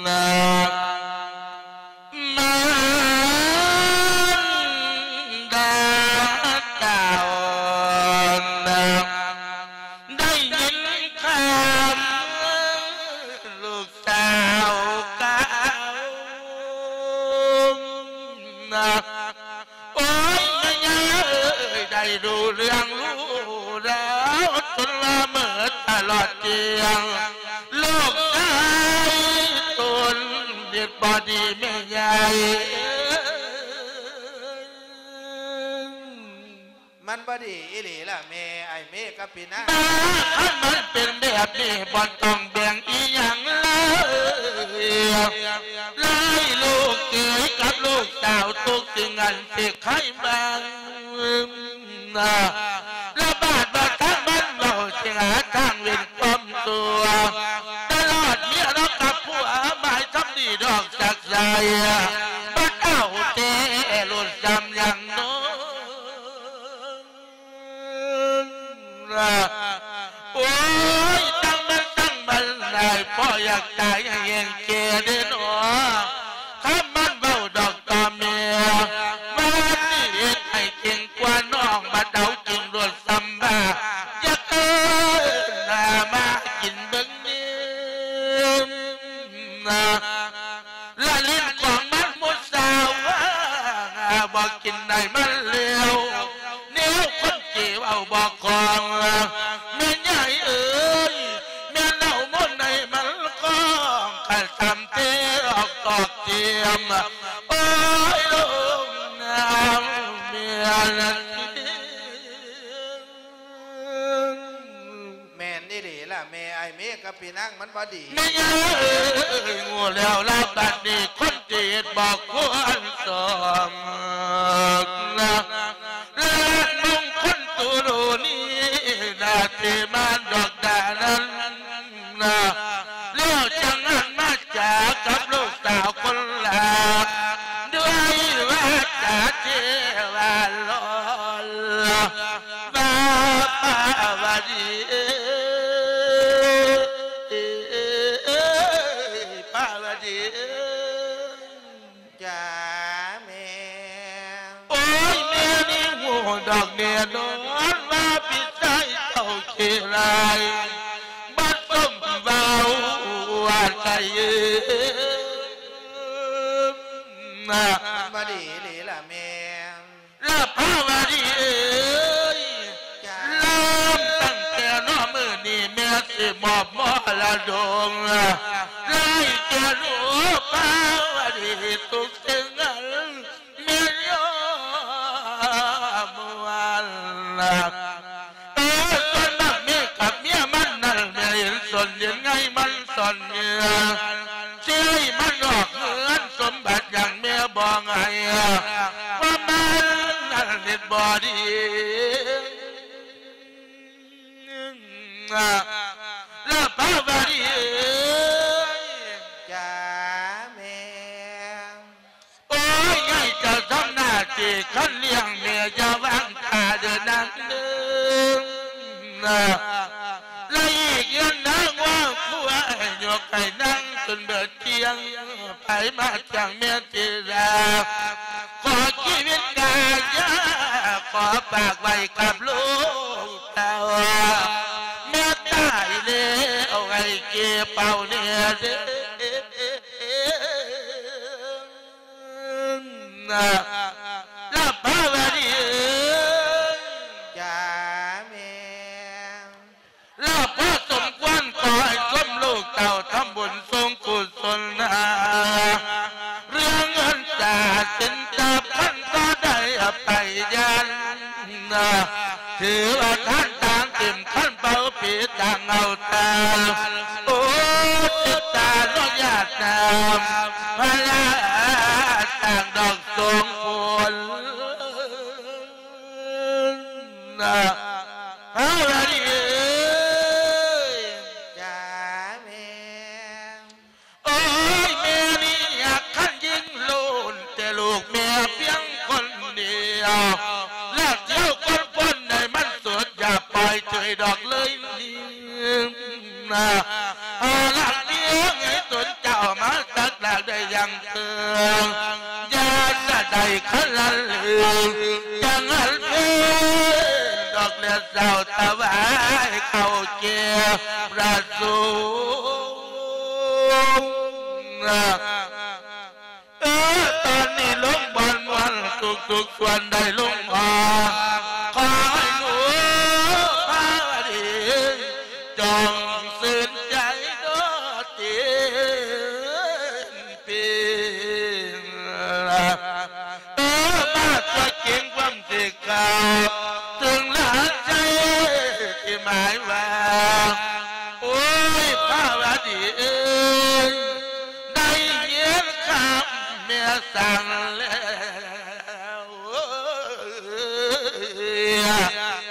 ນະ ມານດາເຈົ້ານະ ໄດ້ຍິນຂ່າວລູກ ສາວກາວນະ ໂອ້ຍ ແມ່ຍ່າເອີຍ ໄດ້ຮູ້ເລື່ອງຮູ້ລາວ ຈົນລະເມີຕະຫຼອດທ່ຽງ ລູກຊາຍຕົນເຮັດບໍ່ດີແມ່ໃຫຍ່ເອີຍ. ມັນບໍ່ດີອີ່ຫຼີລະແມ່ ອ້າຍເມກັບພີ່ນາງ. ບາ ຄັນມັນເປັນແບບນີ້ ບໍ່ຕ້ອງແບ່ງອີ່ຫຍັງເລີຍ ຫຼາຍລູກເຂຍກັບລູກສາວ ທຸກສິ່ງອັນຊິໄຂບາງ ລະບາດວ່າທາງມັນເວົ້າ ຊິຫາທາງເວັ້ນຄວາມຊົ່ວ ຕະຫຼອດເມຍລາວກັບຜົວ ໝາຍຄຳດີດອກຈາກໃສ ບັດເອົາແທ້ໂລດສ່ຳຫຍັງເນາະ. ໂອ້ຍ ຕັ້ງມັນຕັ້ງມັນຫຼາຍ ພໍ່ຢາກຕາຍແຮງແກ່ເດ້ເນາະ ຄຳມັນເວົ້າດອກຕໍ່ເມຍ ວ່າຊິເຮັດໃຫ້ເກັ່ງກວ່ານ້ອງ ບັດເອົາຈິງໂລດສ່ຳວ່າ ຢາກເອີ້ນໜ້າມາກິນເບິ່ງເດ້. ລະຫຼິ້ນຂອງມັນໝູ່ສາວ ບໍ່ກິນໄດ້ມັນແລ້ວ ແນວຄົນເກເວົ້າບໍ່ຄອງ ແມ່ໃຫຍ່ເອີຍ ແມ່ນເອົາໝູ່ໃນມັນຄອງ ກະຊຳເຕອອກຕອກຕຽມ ໂອ້ຍ ລົງນ້ຳເມຍລະ ແມ່ນອີ່ຫຼີລະແມ່ ອ້າຍເມກັບພີ່ນາງມັນບໍ່ດີ. ແມ່ເອີຍ ໂງ່ແລ້ວລະບັດນີ້ ຄົນທີ່ເຮັດບໍ່ຄວນສອງ ລະມຸງຄົນຕູໂລນີ້ ນາເທມານດອກດານັ້ນ ນະ ແລ້ວຈັ່ງຫັນມາຈາກັບລູກສາວຄົນລາ ດ້ວຍວາຈາເທວາຫຼອນ ວ່າ ປາວະດີເອີຍ ປາວະດີເອີຍ. ຈ້າແມ່. ໂອ້ຍ ແມ່ນີ້ຮູ້ດອກແນ່ນອນວ່າພີ່ຊາຍເຈົ້າຂີ້ຮ້າຍ ບໍ່ສົມເວົ້າວ່າໃດ ນະ ບໍ່ດີອີ່ຫຼີລະແມ່. ລະພາວະດີເອີຍ ຈ້າ ເລີ່ມຕັ້ງແຕ່ນອມື້ນີ້ ແມ່ຊິມອບມໍລະດົກ ໃຫ້ແກ່ລູ ເອີ ສ່ວນບັກເມກັບເມຍມັນນັ້ນ ແມ່ເຫັນສົນເຫັນໄງມັນສ່ອນເຫຍື່ອ ຊິໃຫ້ມັນອອກເຮືອນ ສົມບັດຫຍັງແມ່ບໍ່ໃຫ້ ຄວາມໝາຍນັ້ນເຮັດບໍ່ດີ. ລະພາວະດີເອີຍ ຈ້າແມ່. ໂອ້ຍ ໃຫຍ່ເຈົ້າທຳໜ້າທີ່ຄັນລ້ຽງແມ່ ຢ່າວາງທ່າເດີນາງເດີ. ລະອີກເຮືອນນາງົວຄວາຍ ຍົກໃຫ້ນາງຈົນເບີດກ້ຽງ ໃຜມາຈ້າງແມ່ຕິລາ ຂໍຊີວິດກາຍາ ຂໍຝາກໄວ້ກັບລູກເຕົ້າ ແມ່ຕາຍແລ້ວໃຫ້ເກັບເອົາແນ່ເດີ ລະພາວະດີເອີຍ ຈ້າແມ່. ລະພໍສົມຄວນ ຂໍໃຫ້ສົມລູກເຕົ້າທຳບຸນສົງກຸສົນນາ ເລື່ອງເງິນຕາສິນທະພັນກໍໄດ້ໄປຢ້ານນາ ຖືວ່າທານຕ່າງເຕັມຄັນເປົ່າປີຕ່າງເອົາຕາ ໂອ ຈິດຕານຸຍາດນາມ ພະລາສ້າງດອກສົງຜົນ ນະ ພາວະດີເອີຍ ຈ້າແມ່. ໂອ້ຍ ແມ່ນີ້ຫາກຄັນຍິງໂລນ ແຕ່ລູກແມ່ພຽງຄົນດຽວ ລະທ່ຽວຄົນພົນໃຫ້ມັນສຸດ ຢ່າປ່ອຍເຈີຍດອກເລີຍນີ້ ນະ ເອົາລະພຽງໃຫ້ຕົນເຈົ້າມາຕັກດາກໄດ້ຢ່າງ ເອີ ຢ່າສະໄດ້ຄັນລະເລີງ ຈັ່ງອັນເປັນດອກແລະເຊົ້າຖວາຍເຂົ້າແກ່ພະສົງ ເອີ ຕອນນີ້ລົງບ່ອນມ່ວນ ທຸກໆສ່ວນໄດ້ລົງຮອດ ຂໍໃຫ້ໜູພາວະດີ ຈົ່ງຊື່ນໃຈໂດດເດັ່ນ ເປັນ ເອີ ມາຕົວເກັ່ງຄວາມສິເກົ່າ ເຖິງລະໃຈທີ່ໝາຍວ່າ ໂອ້ຍ ພາວະດີເອີຍ ໄດ້ຍິນຄຳແມ່ສັ່ງແລ້ວ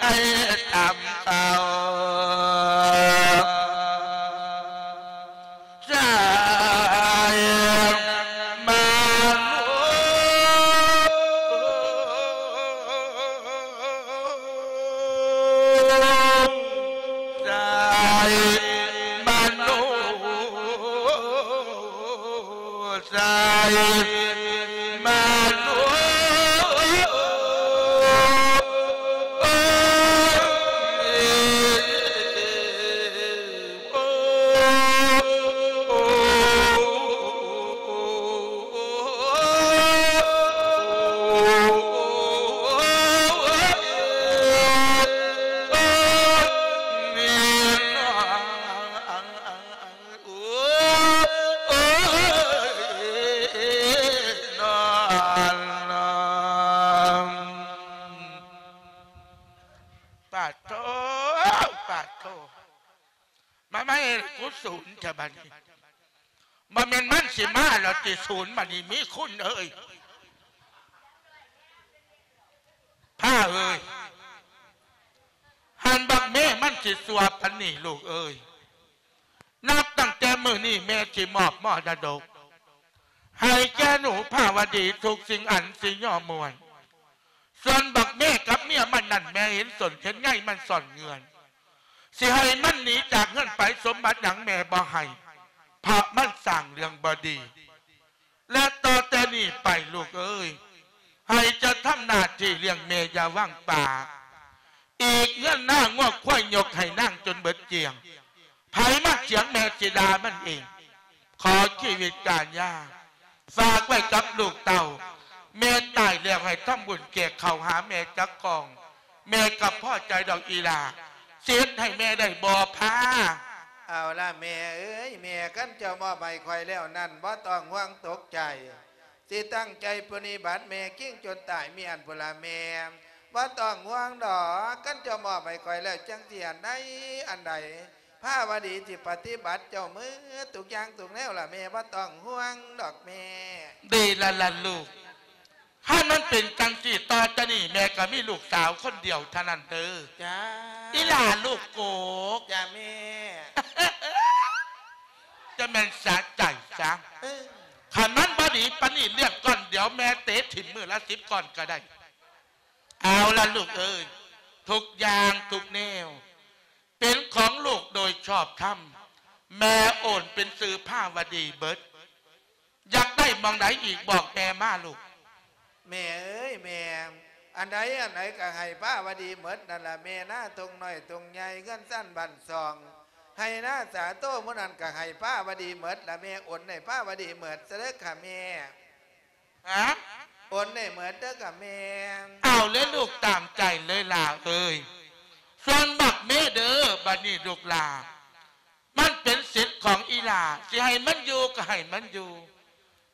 ໃຫ້ຕຳເຂົ້າ ໃສ່ມາໂນ ໃສ່ມາໂນ ໃສ່ມາໂນ ໂອ້ຍ ໂອ້ ປາດໂທ ປາດໂທ ມາ ມາເຮັດກູສູນແທ້ບາດນີ້ ບໍ່ແມ່ນມັນຊິມາແລ້ວຕິສູນບາດນີ້ ມີຄຸນເອີຍ ພາເອີຍ ຫັ້ນບັກແມ່ມັນຊິຊົ່ວປານນີ້ລູກເອີຍ ນັບຕັ້ງແຕ່ມື້ນີ້ແມ່ຊິມອບມໍລະດົກໃຫ້ແກ່ໜູພາວະດີທຸກສິ່ງອັນຊິຍໍມ່ວນ ສ່ວນບັກເມກັບເມຍມັນນັ້ນ ແມ່ເຫັນສົນເຫັນໄງມັນສ້ອນເງື່ອນ ຊິໃຫ້ມັນໜີຈາກເຮືອນໄປ ສົມບັດຫຍັງແມ່ບໍ່ໃຫ້ ເພາະມັນສ້າງເລື່ອງບໍ່ດີ ແລະ ຕໍ່ແຕ່ນີ້ໄປລູກເອີຍ ໃຫ້ເຈົ້າທຳໜ້າທີ່ລ້ຽງແມ່ຢ່າວາງປາ ອີກເຮືອນນາງົວຄວາຍຍົກໃຫ້ນາງຈົນເບິດກ້ຽງ ໃຜມາຖຽງແມ່ຊິດ່າມັນເອງ ຂໍຊີວິດກາຍາ ຝາກໄວ້ກັບລູກເຕົ້າ ແມ່ຕາຍແລ້ວໃຫ້ທຳບຸນແກກເຂົ້າຫາແມ່ຈັກກ້ອງ ແມ່ກໍພໍໃຈດອກອີ່ຫຼ້າ ຊິເຮັດໃຫ້ແມ່ໄດ້ບໍ່ພາ ເອົາລະແມ່ເອີຍ ແມ່ຄັນເຈົ້າມອບໃຫ້ຂ້ອຍແລ້ວນັ້ນ ບໍ່ຕ້ອງຫ່ວງຕົກໃຈ ຊິຕັ້ງໃຈປະຕິບັດແມ່ຄິງຈົນຕາຍມີອັນພຸ້ນລະແມ່ ບໍ່ຕ້ອງຫ່ວງດອກ ຄັນເຈົ້າມອບໃຫ້ຂ້ອຍແລ້ວ ຈັກຊິອັນໃດອັນໃດ ພາວະດີຊິປະຕິບັດເຈົ້າໝົດທຸກຢ່າງທຸກແນວລະແມ່ ບໍ່ຕ້ອງຫ່ວງດອກແມ່. ດີລະລະລູກ ຄັນມັນເປັນຈັ່ງຊີ້ ຕໍ່ຈາກນີ້ແມ່ກໍມີລູກສາວຄົນດຽວເທົ່ານັ້ນເດີ. ຈ້າ ອີຫຼ້າລູກໂກກ. ຈ້າແມ່. ຈະແມ່ນສະໃຈຊະ. ເອີ ຄັນມັນບໍ່ດີປານນີ້ ລ້ຽງກ້ອນດຽວແມ່ເຕະຖິ້ມມື້ລະສິບກ້ອນກໍໄດ້. ເອົາລະລູກເອີຍ ທຸກຢ່າງທຸກແນວ ເປັນຂອງລູກໂດຍຊອບທຳ ແມ່ໂອນເປັນຊື່ພາວະດີເບິດ. ຢາກໄດ້ໝ່ອງໃດອີກ ບອກແມ່ມາລູກ. ແມ່ເອີຍແມ່ ອັນໃດອັນໃດກໍໃຫ້ພາວະດີເໝິດນັ້ນລະແມ່ ນາທົ່ງນ້ອຍທົ່ງໃຫຍ່ ເຮືອນຊານບ້ານຊ່ອງ ໄຮ່ນາສາໂຕໝູ່ນັ້ນກໍໃຫ້ພາວະດີເໝິດລະແມ່ ໂອນໃຫ້ພາວະດີເໝິດຊະເດີຄ່ະແມ່. ຮະ? ໂອນໃຫ້ເໝິດເດີຄ່ະແມ່. ເອົາເລີຍລູກ ຕາມໃຈເລີຍຫຼ້າເອີຍ. ສ່ວນບັກເມເດີ ບັດນີ້ລູກຫຼ້າ ມັນເປັນສິດຂອງອີຫຼ້າ ຊິໃຫ້ມັນຢູ່ກໍໃຫ້ມັນຢູ່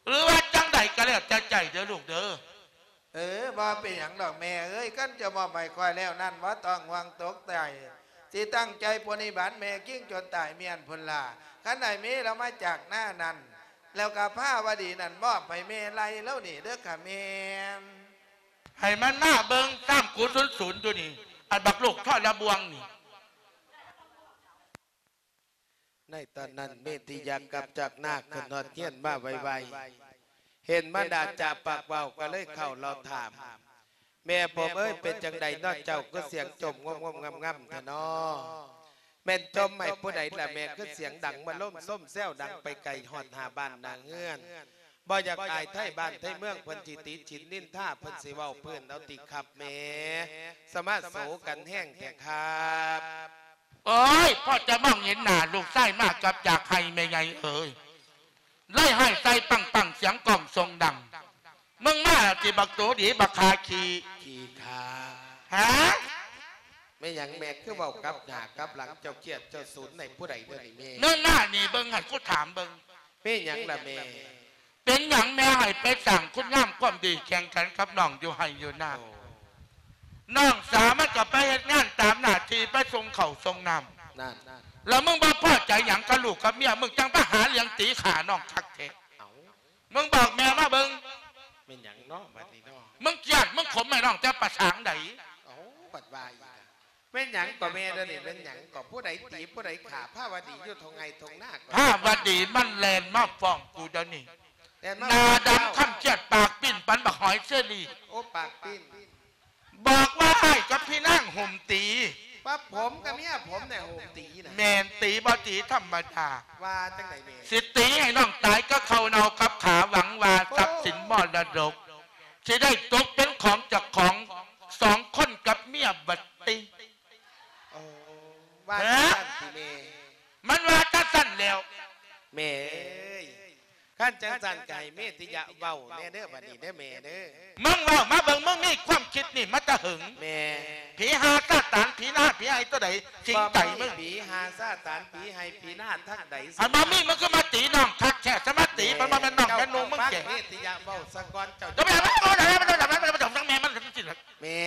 ຫຼືວ່າຈັ່ງໃດກໍແລ້ວແຕ່ໃຈເດີລູກເດີ. ເອີ ບໍ່ເປັນຫຍັງດອກແມ່ເອີຍ ຄັນເຈົ້າມອບໃຫ້ຂ້ອຍແລ້ວນັ້ນ ບໍ່ຕ້ອງຫ່ວງຕົກໃຈ ຊິຕັ້ງໃຈປະຕິບັດແມ່ກິ້ງຈົນຕາຍມ້ຽນພຸ້ນລະ. ຄັນໄອ້ເມລາວມາຈາກນານັ້ນ ແລ້ວກໍພາວະດີນັ້ນມອບໃຫ້ແມ່ໄລ່ລາວນີ້ເດີຄ່ະແມ່. ໃຫ້ມັນມາເບິ່ງຕາມກູສູນໆຢູ່ນີ້ ອັນບັກລູກທໍລະບວງນີ້. ໃນຕອນນັ້ນ ເມຕິຍະກັບຈາກນາຂຶ້ນຮອດເຮືອນມາໄວໆ ເຫັນມາດາຈາປາກເວົ້າ ກໍເລີຍເຂົ້າລາວຖາມ ແມ່ຜົມເອີຍ ເປັນຈັ່ງໃດເນາະ ເຈົ້າຄືສຽງຈົ່ມງົມໆງຳໆແທ້ເນາະ? ແມ່ນຈົ່ມໃຫ້ຜູ້ໃດລະແມ່ ຄືສຽງດັງມະໂລມໂຊມແຊວ ດັງໄປໄກຮອດຫາບ້ານໜ້າເຮືອນ? ບໍ່ຢາກອາຍໄທບ້ານໄທເມືອງ ເພິ່ນຊິຕິຊິນນິນທາ ເພິ່ນຊິເວົ້າພື້ນເອົາຕິຄັບແມ່? ສະມາໂສກັນແຮງແທ້ຄັບ. ໂອ້ຍ ພໍຈະມອງເຫັນໜ້າລູກຊາຍມາກັບຢາກໄຫ້ແມ່ໃຫຍ່ເອີຍ ໄລ່ໄຫ້ໃສ່ປັງໆ ສຽງກ້ອງຊົງດັງ. ມຶງມາຕິບັກໂຕດີ ບັກຂາຂີ້. ຂີ້ຂ້າ. ຫາ? ແມ່ນຫຍັງແມ່ຄືເວົ້າກັບໜ້າກັບຫຼັງ ເຈົ້າຄຽດເຈົ້າສູນໃຫ້ຜູ້ໃດເດີນີ້ແມ່? ເນີນໜ້ານີ້ເບິ່ງ ໃຫ້ກູຖາມເບິ່ງ. ແມ່ນຫຍັງລະແມ່? ເປັນຫຍັງແມ່ໃຫ້ໄປສ້າງຄຸນງາມຄວາມດີ ແຂ່ງຂັນກັບນ້ອງຢູ່ໄຮ່ຢູ່ນາ? ໂອ້ ນ້ອງສາວມັນກໍໄປເຮັດງານຕາມໜ້າທີ່ ໄປສົ່ງເຂົ້າສົ່ງນ້ຳ. ນັ້ນ ແລ້ວມຶງບໍ່ພໍໃຈຫຍັງກັບລູກກັບເມຍ ມຶງຈັ່ງໄປຫາເລື່ອງຕີຂ້ານ້ອງຄັກແທ້? ເອົ້າ ມຶງບອກແມ່ມາເບິ່ງ. ແມ່ນຫຍັງເນາະບັດນີ້ເນາະ? ມຶງກຽດມຶງຂົມໃຫ້ນ້ອງແຕ່ປະສາງໃດ? ເອົ້າ ບັດວ່າອີກ. ແມ່ນຫຍັງກໍແມ່ເດີນີ້ ແມ່ນຫຍັງກໍ ຜູ້ໃດຕີຜູ້ໃດຂ້າພາວະດີຢູ່ທົ່ງໄຮ່ທົ່ງນາກໍ? ພາວະດີມັນແລ່ນມາຟ້ອງກູດຽວນີ້ ແລ່ນມາ ໜ້າດຳຄ້ຳຄຽດ ປາກປີ້ນປານບັກຫອຍເຊີຣີ. ໂອ້ ປາກປີ້ນ. ບອກວ່າອ້າຍກັບພີ່ນາງໂຫມຕີ. ວ່າຜົມກັບເມຍຜົມແນ່ໂຫມຕີນະ. ແມ່ນ ຕີບໍ່ຕີທຳມະດາ. ວ່າຈັ່ງໃດແມ່? ຊິຕີໃຫ້ນ້ອງຕາຍກັບເຂົ້າເນົ່າກັບຂາ ຫວັງວ່າ ໂອ້ ຊັບສິນມໍລະດົກ ຊິໄດ້ຕົກເປັນຂອງເຈົ້າຂອງສອງຄົນກັບເມຍບັດຕິ. ໂອ້ ວ່າ ຮະ? ຈັ່ງຊັ້ນຕິແມ່? ມັນວ່າຈັ່ງຊັ້ນແລ້ວ. ແມ່ເອີຍ ຄັນຈັ່ງຊັ້ນກໍໃຫ້ເມຕິຍະເວົ້າແດ່ເດີບັດນີ້ເດີແມ່ເດີ. ມຶງເວົ້າມາເບິ່ງ ມຶງມີຄວາມຄິດນີ້ມາແຕ່ເຫິງ? ແມ່ ຜີຫາຊາຕານ ຜີນາ ຜີໄຮ່ຕົວໃດສິງໃຈມຶງ? ບໍ່ມີຜີຫາຊາຕານ ຜີໄຮ່ ຜີນາທາງໃດ. ຄັນບໍ່ມີ ມຶງຄືມາຕີນ້ອງຄັກແທ້ ສະມາຕີ ມັນບໍ່ແມ່ນນ້ອງແມ່ນຸ່ງ ມຶງແກ່. ເມຕິຍະເວົ້າສາກ່ອນ ເຈົ້າຈະໄປຫາມັນ ເອົາແລ້ວ ມັນຕ້ອງແມ່ມັນ. ແມ່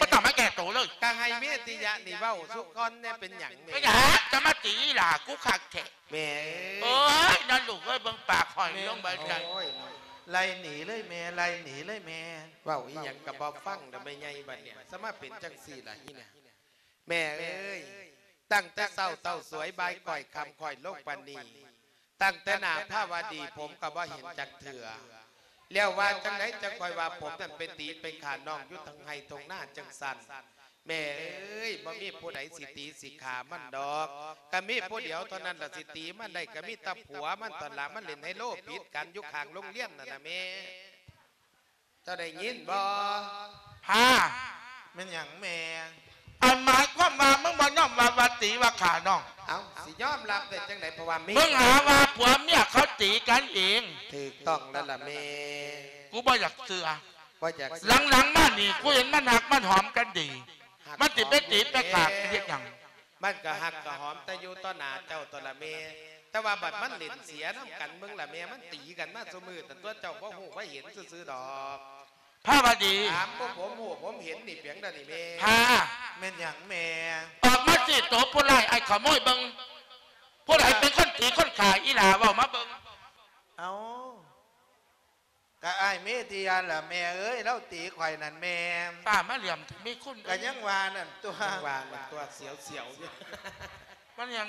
ບໍ່ຕ້ອງມາແກ້ໂຕເລີຍ. ກໍໃຫ້ເມຕິຍະນີ້ເວົ້າສຸກ່ອນແດ່ ເປັນຫຍັງແມ່? ເປັນຫຍັງຈະມາຕີຫຼ້າກູຄັກແທ້? ແມ່ເອີຍ ໂອ້ຍ ນັ້ນລູກເອີຍ ເບິ່ງປາກຫອຍລົງໄປຊັ້ນ. ໂອ້ຍ ໄລ່ໜີເລີຍແມ່ ໄລ່ໜີເລີຍແມ່. ເວົ້າອີ່ຫຍັງກໍບໍ່ຟັງດອກແມ່ໃຫຍ່ບັດນີ້ ສະມາເປັນຈັ່ງຊີ້ລະອີ່ນະ. ແມ່ເອີຍ ຕັ້ງແຕ່ເຊົ້າເຕົ້າສວຍ ບ່າຍກ້ອຍຄ່ຳຄ່ອຍລົງປານນີ້ ຕັ້ງແຕ່ໜ້າພາວະດີ ຜົມກໍບໍ່ເຫັນຈັກເທື່ອ. ແລ້ວວ່າຈັ່ງໃດຈັ່ງຄ່ອຍວ່າຜົມນັ້ນໄປຕີໄປຂ້ານ້ອງຢູ່ທົ່ງໄຮ່ທົ່ງນາຈັ່ງຊັ້ນ? ແມ່ເອີຍ ບໍ່ມີຜູ້ໃດຊິຕີຊິຂ້າມັນດອກ. ກໍມີຜູ້ດຽວເທົ່ານັ້ນລະ ຊິຕີມັນໄດ້ ກໍມີແຕ່ຜົວມັນເທົ່ານັ້ນລະ ມັນຫຼິ້ນໄຮໂລຜິດກັນຢູ່ຂ້າງໂຮງຮຽນນັ້ນນະແມ່. ເຈົ້າໄດ້ຍິນບໍ່? ພາ ແມ່ນຫຍັງແມ່? ອັນໝາຍຄວາມວ່າ ມຶງບໍ່ຍອມຮັບວ່າຕີວ່າຂ້ານ້ອງ? ເອົ້າ ຊິຍອມຮັບໄດ້ຈັ່ງໃດ ເພາະວ່າມີ ມຶງຫາວ່າຜົວເມຍເຂົາຕີກັນເອງ. ຖືກຕ້ອງແລ້ວລະແມ່. ກູບໍ່ຢາກເຊື່ອ. ບໍ່ຢາກເຊື່ອ. ຫຼັງໆມານີ້ ກູເຫັນມັນຮັກມັນຫອມກັນດີ. ມັນຊິໄປຕີໄປຂ້າກັນເຮັດຫຍັງ? ມັນກໍຮັກກໍຫອມແຕ່ຢູ່ຕໍ່ໜ້າເຈົ້າຕົວລະແມ່ ແຕ່ວ່າບັດມັນຫຼິ້ນເສຍນຳກັນ ເບິ່ງລະແມ່ ມັນຕີກັນມາຊຸມື້ ແຕ່ຕົວເຈົ້າບໍ່ຮູ້ບໍ່ເຫັນຊື່ໆດອກ. ພາວະດີ ຖາມພວກ ຜົມຮູ້ ຜົມເຫັນນີ້ ເປັນໃດນີ້ແມ່? ພາ ແມ່ນຫຍັງແມ່? ອອກມາຊີ້ໂຕຜູ້ຮ້າຍ ອ້າຍຂະໂມຍເບິ່ງ ຜູ້ໃດເປັນຄົນຕີຄົນຂ້າອີຫຼ້າ ເວົ້າມາເບິ່ງ. ເອົ້າ ກະອ້າຍເມທິຍາລະແມ່ເອີຍ ລາວຕີຂ້ອຍນັ້ນແມ່. ປ້າມາຫຼຽມເຖາະ ມີຄຸນ ກະຍັງວ່ານັ້ນຕົວະ ຍັງວ່ານັ້ນຕົວະ ສຽວໆຢູ່ ມັນຍັງ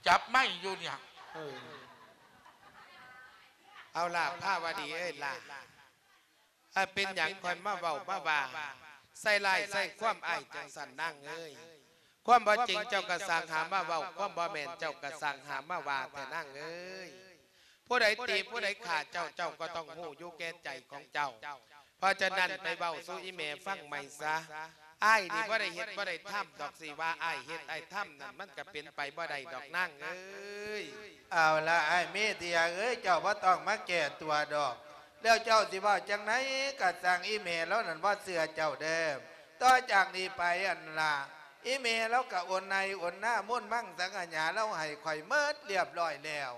ຈັບໄມ້ຢູ່ເນຍ. ເອີ ເອົາລະ ພາວະດີເອີຍລະ ເອີ ເປັນຫຍັງຄ່ອຍມາເວົ້າມາວ່າ ໃສ່ຮ້າຍໃສ່ຄວາມອ້າຍຈັ່ງຊັ້ນນາງເອີຍ? ຄວາມບໍ່ຈິງເຈົ້າກະຊ່າງຫາມາເວົ້າ ຄວາມບໍ່ແມ່ນເຈົ້າກະຊ່າງຫາມາວ່າແທ້ນາງເອີຍ. ຜູ້ໃດຕີຜູ້ໃດຂ້າເຈົ້າ ເຈົ້າກໍຕ້ອງຮູ້ຢູ່ແກ່ໃຈຂອງເຈົ້າ. ເພາະສະນັ້ນໄປເວົ້າສູ່ອີ່ແມ່ຟັງໃໝ່ຊະ. ອ້າຍນີ້ບໍ່ໄດ້ເຮັດບໍ່ໄດ້ທຳດອກ ຊິວ່າອ້າຍເຮັດອ້າຍທຳນັ້ນ ມັນກະເປັນໄປບໍ່ໄດ້ດອກນາງເອີຍ. ເອົາລະ ອ້າຍເມທິຍາເອີຍ ເຈົ້າບໍ່ຕ້ອງມາແກ້ຕົວດອກ. ແລ້ວເຈົ້າຊິເວົ້າຈັ່ງໃດກະຊ່າງ ອີ່ແມ່ລາວນັ້ນບໍ່ເຊື່ອເຈົ້າເດີ້. ຕໍ່ຈາກນີ້ໄປຫັ້ນລະ ອີ່ແມ່ລາວກະໂອນໄຮ່ໂອນນາ ມູນມັງສັງຂະຫຍາລາວໃຫ້ຂ້ອຍໝົດລຽບລ້ອຍແລ້ວ.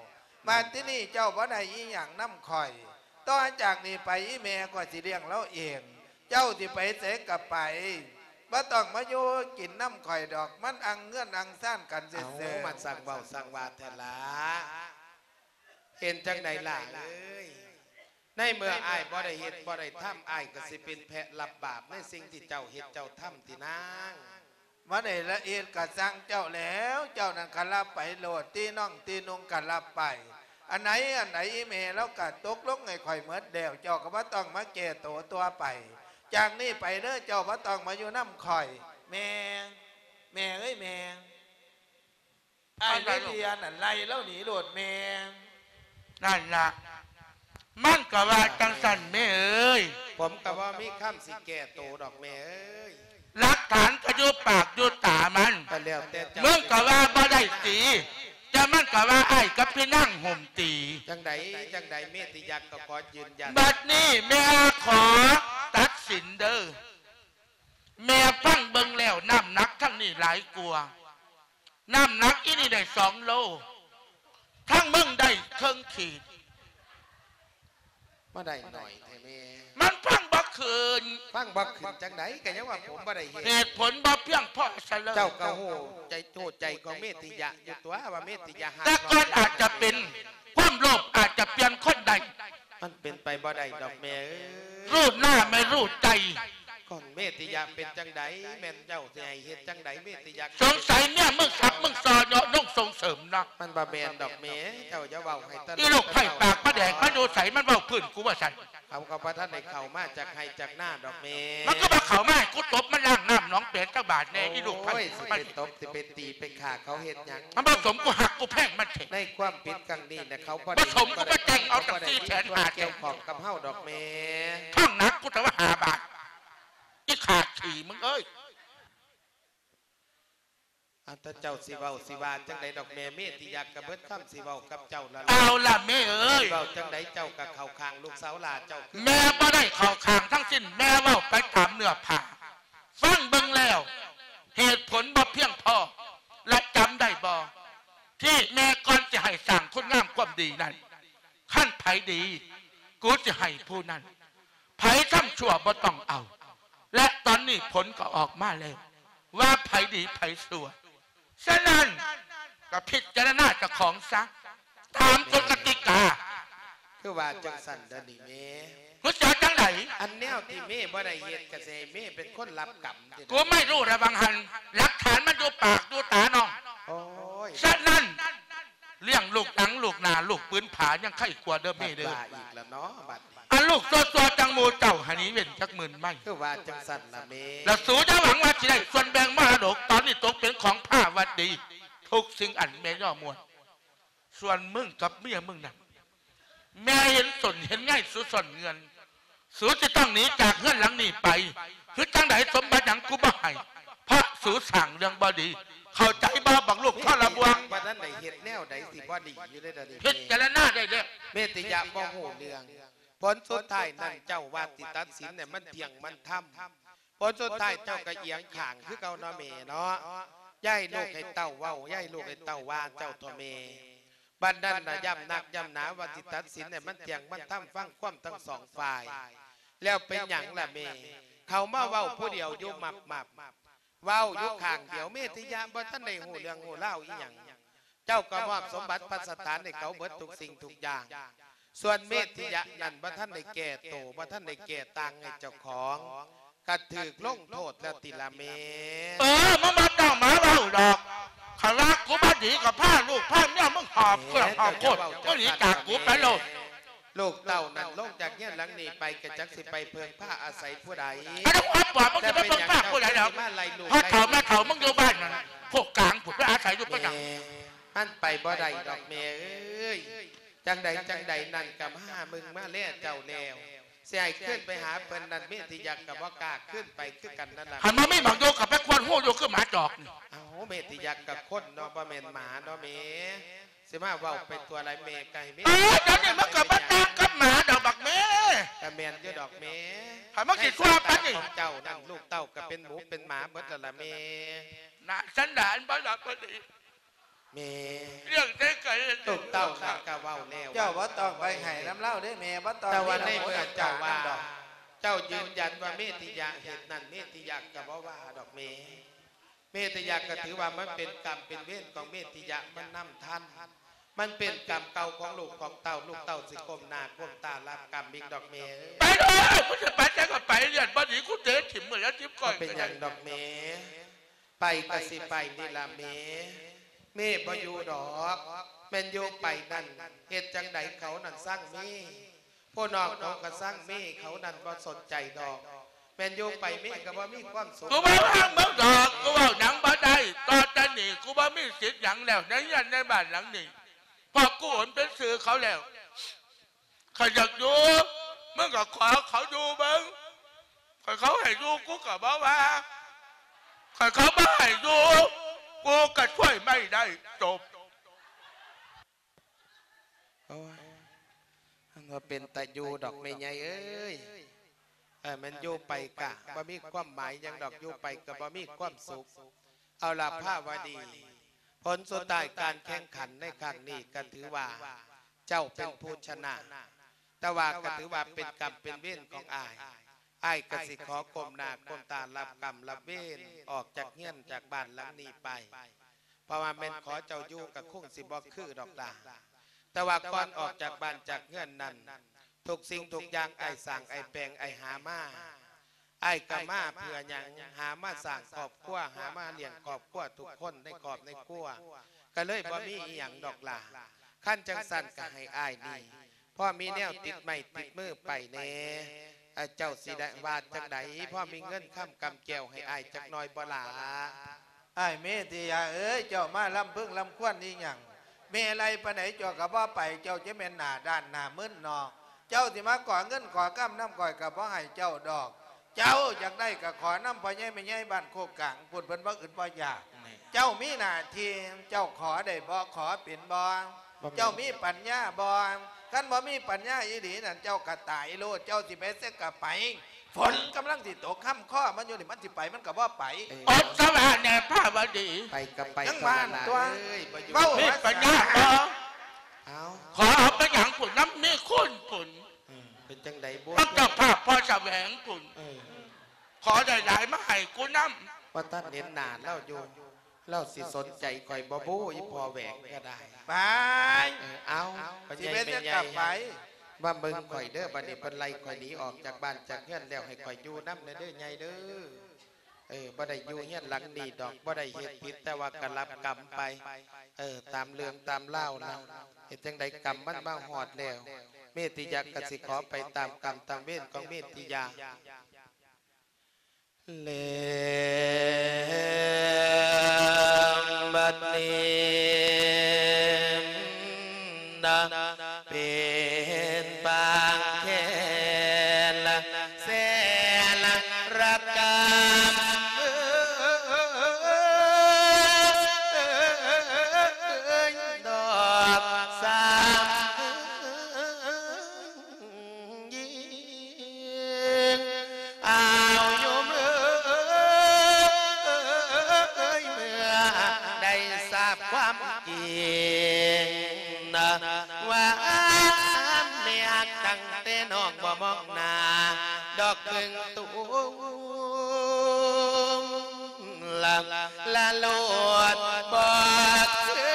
ບາດທີນີ້ເຈົ້າບໍ່ໄດ້ອີ່ຫຍັງນຳຂ້ອຍ. ຕໍ່ຈາກນີ້ໄປອີ່ແມ່ຂ້ອຍຊິລ້ຽງລາວເອງ. ເຈົ້າຊິໄປໃສກະໄປ ບໍ່ຕ້ອງມາຢູ່ກິນນຳຂ້ອຍດອກ. ມັນອັ່ງເຮືອນອັ່ງຊານກັນຊື່ໆ. ເອົ້າ ມັນຊ່າງເວົ້າຊ່າງວ່າແທ້ລະ. ເປັນຈັ່ງໃດຫຼ້າເອີຍ? ໃນເມື່ອອ້າຍບໍ່ໄດ້ເຮັດບໍ່ໄດ້ທຳ ອ້າຍກະຊິເປັນແພະຮັບບາບໃນສິ່ງທີ່ເຈົ້າເຮັດເຈົ້າທຳຕິນາງ. ບໍ່ໄດ້ລະເຮັດກະຊ່າງເຈົ້າແລ້ວ ເຈົ້ານັ້ນກະຮັບໄປໂລດ ຕີໜອງຕີນຸ່ງກະຮັບໄປ. ອັນໃດອັນໃດອີ່ແມ່ລາວກະຕົກລົງໃຫ້ຂ້ອຍໝົດແລ້ວ ເຈົ້າກະບໍ່ຕ້ອງມາແກ້ໂຕຕໍ່ໄປ. ຈາກນີ້ໄປເດີ້ ເຈົ້າບໍ່ຕ້ອງມາຢູ່ນຳຂ້ອຍ. ແມ່ ແມ່ເອີຍແມ່. ອ້າຍເມທິຍານັ້ນໄລ່ລາວໜີໂລດແມ່. ນັ້ນລະ ມັນກະວ່າຈັ່ງຊັ້ນແມ່ເອີຍ. ຜົມກະບໍ່ມີຄຳຊິແກ້ໂຕດອກແມ່ເອີຍ. ຫຼັກຖານກະຢູ່ປາກຢູ່ຕາມັນ. ກະແລ້ວແຕ່ເຈົ້າ ມຶງກະວ່າບໍ່ໄດ້ຕີ ແຕ່ມັນກະວ່າອ້າຍກັບພີ່ນາງໂຮມຕີ. ຈັ່ງໃດ ຈັ່ງໃດ ເມທິຍາກະຂໍຢືນຢັນ. ບັດນີ້ແມ່ຂໍຕັດສິນເດີ້. ແມ່ຟັງເບິ່ງແລ້ວ ນ້ຳໜັກທັງນີ້ຫຼາຍກວ່າ. ນ້ຳໜັກອີ່ນີ້ໄດ້ສອງໂລ ທັງມຶງໄດ້ເຄິ່ງຂີດ. ມາໄດ້ໜ້ອຍແທ້ແມ່. ມັນຟັງບໍ່ຂຶ້ນ. ຟັງບໍ່ຂຶ້ນຈັ່ງໃດ ກະຍັງວ່າຜົມບໍ່ໄດ້ເຮັດ. ເຫດຜົນບໍ່ພຽງພໍຊະເລີຍ. ເຈົ້າກະຮູ້ໃຈ ຮູ້ໃຈຂອງເມທິຍະຢູ່ຕົວະ ວ່າເມທິຍະຫາກ ແຕ່ກ່ອນອາດຈະເປັນ ຄວາມໂລບອາດຈະປ່ຽນຄົນໄດ້. ມັນເປັນໄປບໍ່ໄດ້ດອກແມ່ເອີຍ. ຮູ້ໜ້າໄມ່ຮູ້ໃຈ. ຂອງເມຕິຍະເປັນຈັ່ງໃດ? ແມ່ນເຈົ້າຊິໃຫ້ເຮັດຈັ່ງໃດ? ເມຕິຍະ ສົງໄສເມຍມຶງສັບມຶງຊໍເຍາະນົງສົ່ງເສີມເນາະ. ມັນບໍ່ແມ່ນດອກແມ່, ເຈົ້າຢ່າເວົ້າໃຫ້ຕະຫຼອກ. ອີລູກໄຜ່ປາກປາແດກ ມັນຢູ່ໃສ? ມັນເວົ້າພື້ນກູວ່າຊັ້ນ. ເຂົາກໍບໍ່ທັນໄດ້ເຂົ້າມາຈາກໄຮ່ຈາກນາດອກແມ່. ມັນກໍບໍ່ເຂົ້າມາ ໃຫ້ກູຕົບມັນລ້າງນ້ຳໜອງແປນຈັກບາດແດ່. ໂອ້ຍ ອີລູກໄຜ່ ຊິໄປຕົບ ຊິໄປຕີ ໄປຂ້າເຂົາເຮັດຫຍັງ? ມັນບໍ່ສົມກູຮັກກູແພງມັນແທ້. ໃນຄວາມຜິດຄັ້ງນີ້ນະ ເຂົາບໍ່ໄດ້ ບໍ່ສົມກູມາແຈ້ງເອົາຈັກສີ່ແສນຫ້າແສນ ກ່ຽວຂ້ອງກັບເຮົາດອກແມ່. ທ້ອງໜັກກູແຕ່ວ່າຫ້າບາດ. ອີຂ້າຂີ້ມຶງເອີຍ. ອາ ຖ້າເຈົ້າຊິເວົ້າຊິວ່າຈັ່ງໃດດອກແມ່, ເມຕິຍະກະເບິດຄຳຊິເວົ້າກັບເຈົ້າລະ. ເອົາລະແມ່ເອີຍ. ເວົ້າຈັ່ງໃດເຈົ້າກະເຂົ້າຂ້າງລູກສາວຫຼ້າເຈົ້າຄື. ແມ່ບໍ່ໄດ້ເຂົ້າຂ້າງທັງສິ້ນ, ແມ່ເວົ້າໄປຕາມເນື້ອຜ້າ. ຟັງເບິ່ງແລ້ວ ເຫດຜົນບໍ່ພຽງພໍ ແລະ ຈຳໄດ້ບໍ່ ທີ່ແມ່ກ່ອນຊິໃຫ້ສ້າງຄຸນງາມຄວາມດີນັ້ນ, ຄັນໃຜດີ ກູຊິໃຫ້ຜູ້ນັ້ນ. ໃຜທຳຊົ່ວບໍ່ຕ້ອງເອົາ. ແລະ ຕອນນີ້ຜົນກໍອອກມາແລ້ວ ວ່າໃຜດີໃຜຊົ່ວ. ສະນັ້ນ ກໍພິຈາລະນາເຈົ້າຂອງຊະ ຕາມກົດກະຕິກາ. ຄືວ່າຈັ່ງຊັ້ນເດີນີ້ແມ່. ຮູ້ຈັກຈັ່ງໃດ? ອັນແນວທີ່ແມ່ບໍ່ໄດ້ເຮັດ ກະຊິໃຫ້ແມ່ເປັນຄົນຮັບກຳ. ກູໄມ່ຮູ້ລະວັງຫັ້ນ, ຫຼັກຖານມັນຢູ່ປາກຢູ່ຕານ້ອງ. ໂອ້ຍ ສະນັ້ນ ລ້ຽງລູກຫຼັງລູກໜ້າ ລູກປືນຜາຍັງໄຄກວ່າເດີແມ່ເດີ. ບັດວ່າອີກລະເນາະ ບັດນີ້. ອັນລູກຊົ່ວໆຈັ່ງໝູ່ເຈົ້າ ໃຫ້ໜີເວັ້ນຈັກໝື່ນໄມ. ຄືວ່າຈັ່ງຊັ້ນລະແມ່. ລະສູຢ່າຫວັງວ່າຊິໄດ້ສ່ວນແບ່ງມໍລະດົກ, ຕອນນີ້ຕົກເປັນຂອງພາວັດດີ ທຸກສິ່ງອັນແມ່ຍໍມວນ. ສ່ວນມຶງກັບເມຍມຶງນັ້ນ ແມ່ເຫັນຕົ້ນເຫັນໃຍສູສ້ອນເງື່ອນ. ສູຊິຕ້ອງໜີຈາກເຮືອນຫຼັງນີ້ໄປ. ຄືຈັ່ງໃດ ສົມບັດຫຍັງກູບໍ່ໃຫ້ ເພາະສູສ້າງເລື່ອງບໍ່ດີ. ເຂົ້າໃຈບໍ່ ບັກລູກທໍລະບວງ? ວ່ານັ້ນໄດ້ເຮັດແນວໃດຊິບໍ່ດີຢູ່ໃດດຽວນີ້? ພິຈາລະນາໄດ້ແລ້ວ. ເມຕິຍະບໍ່ຮູ້ເລື່ອງ. ຜົນສຸດທ້າຍນັ້ນເຈົ້າວ່າຊິຕັດສິນໃຫ້ມັນທ່ຽງມັນທຳ. ຜົນສຸດທ້າຍເຈົ້າກະອຽງຂ້າງຄືເກົ່າເນາະແມ່ເນາະ. ຢ່າໃຫ້ລູກໃຫ້ເຕົ້າເວົ້າ, ຢ່າໃຫ້ລູກໃຫ້ເຕົ້າວ່າເຈົ້າເຖາະແມ່. ບັດນັ້ນນະ ຢ້ຳນັກຢ້ຳໜາວ່າຊິຕັດສິນໃຫ້ມັນທ່ຽງມັນທຳ, ຟັງຄວາມທັງສອງຝ່າຍ. ແລ້ວເປັນຫຍັງລະແມ່? ເຂົາມາເວົ້າຜູ້ດຽວຢູ່ມັບໆ ເວົ້າຢູ່ຂ້າງດຽວ ເມດທິຍະບໍ່ທັນໄດ້ຮູ້ເລື່ອງຮູ້ລາວອີ່ຫຍັງ. ເຈົ້າກໍມອບສົມບັດພັດສະຖານໃຫ້ເຂົາເບິດທຸກສິ່ງທຸກຢ່າງ. ສ່ວນເມດທິຍະນັ້ນບໍ່ທັນໄດ້ແກ້ໂຕ ບໍ່ທັນໄດ້ແກ້ຕ່າງໃຫ້ເຈົ້າຂອງ ກໍຖືກລົງໂທດແລ້ວຕິລະແມ່. ເອີ ມຶງບໍ່ຕ້ອງມາເວົ້າດອກ. ຄັນວ່າກູບໍ່ດີກໍພາລູກພາເມຍມຶງຫອບເຄື່ອງຫອບໂຄດ ມຶງໜີຈາກກູໄປໂລດ. ລູກເຕົ້ານັ້ນລົງຈາກເຮືອນຫຼັງນີ້ໄປ ກໍຈັກຊິໄປເພິ່ງພາອາໄສຜູ້ໃດ. ອັນນັ້ນຄວາມບອບ ມຶງຊິໄປເພິ່ງພາຜູ້ໃດດອກ. ພໍ່ເຖົ້າແມ່ເຖົ້າມຶງຢູ່ບ້ານນັ້ນ ໂຄກກາງພຸ້ນ ໄປອາໄສຢູ່ປະຫຍັງ? ມັນໄປບໍ່ໄດ້ດອກແມ່ເອີຍ. ຈັ່ງໃດຈັ່ງໃດນັ້ນກໍມາຫາມຶງມາແລເຈົ້າແລ້ວ ຊິໃຫ້ຄືນໄປຫາເພິ່ນນັ້ນ ເມດທິຍະກໍບໍ່ກ້າຄືນໄປຄືກັນນັ້ນລະ. ຄັນບໍ່ມີໝາກຢູ່ກໍໄປຄວນຮູຢູ່ຄືໝາຈອກນີ້. ເອົ້າ ເມດທິຍະກໍຄົນເນາະ ບໍ່ແມ່ນໝາເນາະແມ່. ຊິມາເວົ້າໄປຕົວະຫຼາຍແມ່ ກໍໃຫ້ແມ່. ເອີ ດຽວນີ້ມັນກໍບໍ່ຕ່າງກັບໝາດອກບັກແມ່. ກໍແມ່ນຢູ່ດອກແມ່. ຄັນມັນຊິຊົ່ວປານນີ້ ຂອງເຈົ້ານັ້ນ ລູກເຕົ້າກໍເປັນໝູເປັນໝາເບິດແລ້ວລະແມ່. ໜ້າສັນດານບໍ່ລະບໍ່ດີ. ແມ່ ເລື່ອງໃດກໍເຮັດ ລູກເຕົ້ານັ້ນກໍເວົ້າແລ້ວ ເຈົ້າບໍ່ຕ້ອງໄປໄຫ້ນຳລາວເດ້ແມ່ ບໍ່ຕ້ອງ. ແຕ່ວ່າໃນເມື່ອເຈົ້າວ່າ ເຈົ້າຢືນຢັນວ່າເມດທິຍະເຮັດນັ້ນ ເມດທິຍະກໍບໍ່ວ່າດອກແມ່. ເມດທິຍະກໍຖືວ່າມັນເປັນກຳເປັນເວນຂອງເມດທິຍະ ມັນນຳທັນ ມັນເປັນກຳເກົ່າຂອງລູກຂອງເຕົ້າ ລູກເຕົ້າຊິກົ້ມໜ້າກົ້ມຕາຮັບກຳອີກດອກແມ່ເອີຍ. ໄປເດີ ມຶງຊິໄປໃສກໍໄປ ເລື່ອງບໍ່ດີກູເຕະຖິ້ມມື້ລະສິບກ້ອຍ. ບໍ່ເປັນຫຍັງດອກແມ່ ໄປກໍຊິໄປນີ້ລະແມ່. ແມ່ບໍ່ຢູ່ດອກ ແມ່ນຢູ່ໄປນັ້ນ ເຮັດຈັ່ງໃດເຂົານັ້ນຊັງແມ່. ພວກນ້ອງເຂົາກໍຊັງແມ່ ເຂົານັ້ນບໍ່ສົນໃຈດອກ. ແມ່ນຢູ່ໄປແມ່ກໍບໍ່ມີຄວາມສຸກ. ກູບໍ່ວ່າຫຍັງມຶງດອກ ກູເວົ້າຫຍັງບໍ່ໄດ້. ຕໍ່ຈາກນີ້ກູບໍ່ມີສິດຫຍັງແລ້ວໃນເຮືອນໃນບ້ານຫຼັງນີ້ ເພາະກູໂອນເປັນຊື່ເຂົາແລ້ວ. ຄັນຢາກຢູ່ ມຶງກໍຂໍເຂົາຢູ່ເບິ່ງ. ຄັນເຂົາໃຫ້ຢູ່ ກູກໍບໍ່ວ່າ. ຄັນເຂົາບໍ່ໃຫ້ຢູ່ ກູກໍຊ່ວຍໄມ່ໄດ້. ຈົບ. ໂອ້ຍ ມັນບໍ່ເປັນຕາຢູ່ດອກແມ່ໃຫຍ່ເອີຍ. ເອີ ແມ່ນຢູ່ໄປກະບໍ່ມີຄວາມໝາຍຫຍັງດອກ ຢູ່ໄປກໍບໍ່ມີຄວາມສຸກ. ເອົາລະພາວະດີ ຜົນສຸດທ້າຍການແຂ່ງຂັນໃນຄັ້ງນີ້ກໍຖືວ່າເຈົ້າເປັນຜູ້ຊະນະ ແຕ່ວ່າກໍຖືວ່າເປັນກຳເປັນເວນຂອງອ້າຍ. ອ້າຍກໍຊິຂໍກົ້ມໜ້າກົ້ມຕາຮັບກຳຮັບເວນ ອອກຈາກເຮືອນຈາກບ້ານຫຼັງນີ້ໄປ. ເພາະວ່າແມ່ນຂໍເຈົ້າຢູ່ກໍຄົງຊິບໍ່ຄືດອກຫຼ້າ ແຕ່ວ່າກ່ອນອອກຈາກບ້ານຈາກເຮືອນນັ້ນ ທຸກສິ່ງທຸກຢ່າງອ້າຍສ້າງ ອ້າຍແປງ ອ້າຍຫາມາ. ອ້າຍກໍມາເພື່ອຫຍັງ? ຫາມາສ້າງຄອບຄົວ ຫາມາລ້ຽງຄອບຄົວທຸກຄົນໃນຄອບໃນຄົວ ກໍເລີຍບໍ່ມີອີ່ຫຍັງດອກຫຼ້າ. ຄັນຈັ່ງຊັ້ນກໍໃຫ້ອ້າຍນີ້ ພໍມີແນວຕິດໄມ້ຕິດມືໄປແດ່. ເຈົ້າຊິໄດ້ວ່າຈັ່ງໃດ? ພໍມີເງິນຄຳກຳແກ້ວໃຫ້ອ້າຍຈັກໜ້ອຍບໍ່ຫຼ້າ? ອ້າຍເມດທິຍາເອີຍ ເຈົ້າມາລຳເພິງລຳຄວນອີ່ຫຍັງ? ແມ່ໄລ່ປານໃດເຈົ້າກໍບໍ່ໄປ ເຈົ້າຈະແມ່ນໜ້າດ້ານໜ້າມຶນເນາະ. ເຈົ້າຊິມາຂໍເງິນຂໍຄຳນຳຂ້ອຍກໍບໍ່ໃຫ້ເຈົ້າດອກ. ເຈົ້າຢາກໄດ້ກໍຂໍນຳພໍ່ໃຫຍ່ແມ່ໃຫຍ່ບ້ານໂຄກກາງພຸ້ນ ເພິ່ນບໍ່ອຶດບໍ່ຢາກ. ເຈົ້າມີໜ້າທີ່ ເຈົ້າຂໍໄດ້ບໍ່? ຂໍເປັນບໍ່? ບໍ່ແມ່ນ ເຈົ້າມີປັນຍາບໍ່? ຄັນບໍ່ມີປັນຍາອີ່ຫຼີນັ້ນ ເຈົ້າກໍຕາຍໂລດ. ເຈົ້າຊິໄປໃສກໍໄປ. ຝົນກຳລັງຊິຕົກ ຄຳຄໍມັນຢູ່ນີ້ ມັນຊິໄປມັນກໍບໍ່ໄປ. ເອີ ອົດສະຫວາແດ່ພາວະດີ. ໄປກໍໄປ ຍັງບ້ານຕົວະ ເອີຍ ບໍ່ຢູ່ ເວົ້າ ມີປັນຍາບໍ່? ເອົ້າ ຂໍເອົາໄປຫຍັງພຸ້ນ ນຳເມຄຸນພຸ້ນ. ເອີ ເປັນຈັ່ງໃດບຸ? ນຳເຈົ້າພາບພໍ່ສະແຫວງພຸ້ນ. ເອີ ຂໍໄດ້ຫຼາຍມາໃຫ້ກູນຳ. ບໍ່ທັນເຫັນໜ້າລາວຢູ່ ລາວຊິສົນໃຈຂ້ອຍບໍ່ບຸ? ອີ່ພໍ່ແຫວງກໍໄດ້ ໄປ. ເອີ ເອົາ ຊິເປັນຫຍັງກໍໄປ ວ່າເບິ່ງຂ້ອຍເດີ ບັດນີ້ເພິ່ນໄລ່ຂ້ອຍໜີອອກຈາກບ້ານຈາກເຮືອນແລ້ວ ໃຫ້ຂ້ອຍຢູ່ນຳແດ່ເດີໃຫຍ່ເດີ. ເອີ ບໍ່ໄດ້ຢູ່ເຮືອນຫຼັງນີ້ດອກ ບໍ່ໄດ້ເຮັດຜິດ ແຕ່ວ່າກໍຮັບກຳໄປ ເອີ ຕາມເລື່ອງຕາມລາວລະ. ເຮັດຈັ່ງໃດກຳມັນມາຮອດແລ້ວ ເມດທິຍາກໍຊິຂໍໄປຕາມກຳຕາມເວນຂອງເມດທິຍາ. ແລ້ວບັດນີ້ນະ ເປັນປາງແຄນແສນລະກຳ ເອີຍ ດອກສາວ ຍິງ ອ້າວ ໂຍມເອີຍ ເມື່ອໄດ້ຊາບຄວາມຈິງນະ ວ່າແມ່ຮັກຕັ້ງແຕ່ນ້ອງ ມອງໜ້າດອກເບິ່ງຕຸ່ມ ລະລະໂລດບອກເທີ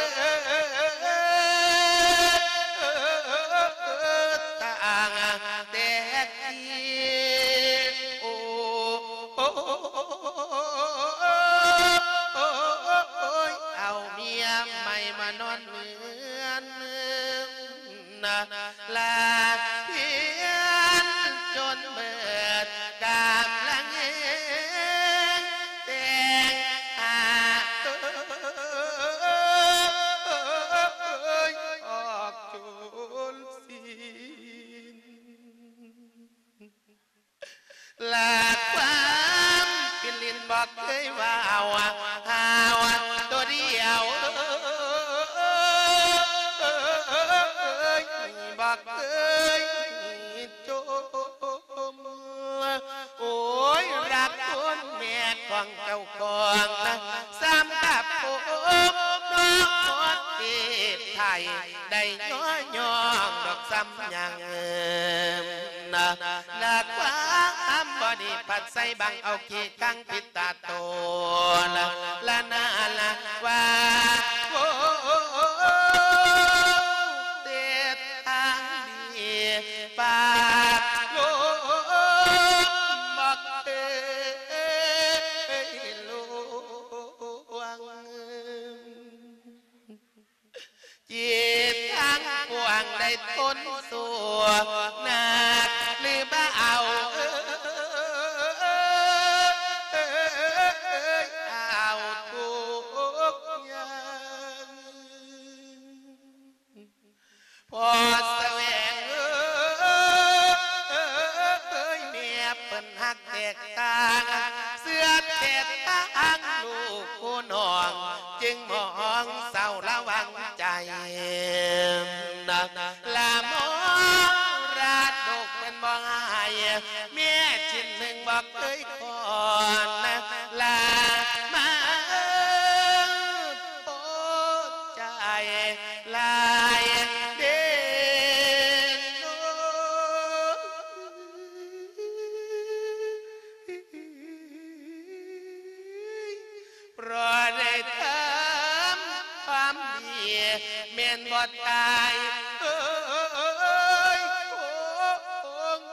ດຕ່າງແຕ່ກີ້ ໂອ້ ໂອ້ຍ ເອົາເມຍໃໝ່ມານອນເຮືອນ ນະ ລາພຽນຈົນເບີດກຳລັງແຮງແຕ່ງຫາ ເອີຍ ອອກໂຈນສິນ ລາກຄວາມປິນລິນບໍ່ເຄີຍເວົ້າ ຫາວໂຕດຽວ ບໍ່ເຄີຍຈົ່ມ ໂອ້ຍ ລັກຄົນແມ່ຂອງເຈົ້າຂອງນະ ຊ້ຳກັບຜົມເນາະ ເຈັບໄທ ໄດ້ຍໍຍ້ອງດອກຊ້ຳຍັງ ນະ ນະ ຄວາມບໍ່ດີພັດໃສ່ບັງເອົາຂີ້ຄັງປິດຕາໂຕ ລະ ລະນາ ລະວ່າ ໂອ້ ເຕັບທາງດີປາກລົມບໍ່ເຄີຍລວງ ຈິດທັງປວງໄດ້ທົນສູ້ໜັກຫຼືບໍ່ເອົາ ເອີຍ ເອົາທຸກຢ່າງ ພໍ່ສະແຫວງເອີຍ ແມ່ເພິ່ນຮັກແຕກຕ່າງ ເຊື່ອແຕກຕ່າງລູກຜູ້ນ້ອງ ຈຶ່ງມອງເສົ້າລະວັງໃຈ ນະ ລະມອງລາດລູກເພິ່ນບໍ່ໃຫ້ ແມ່ຊິນໜຶ່ງບໍ່ເຄີຍຂອນ ລະມາໂພດໃຈຫຼາຍເດນໂນ ເພາະໄດ້ທຳຄວາມດີແມ່ນບໍ່ຕາຍ ເອີຍ ເອີຍ ເອີຍ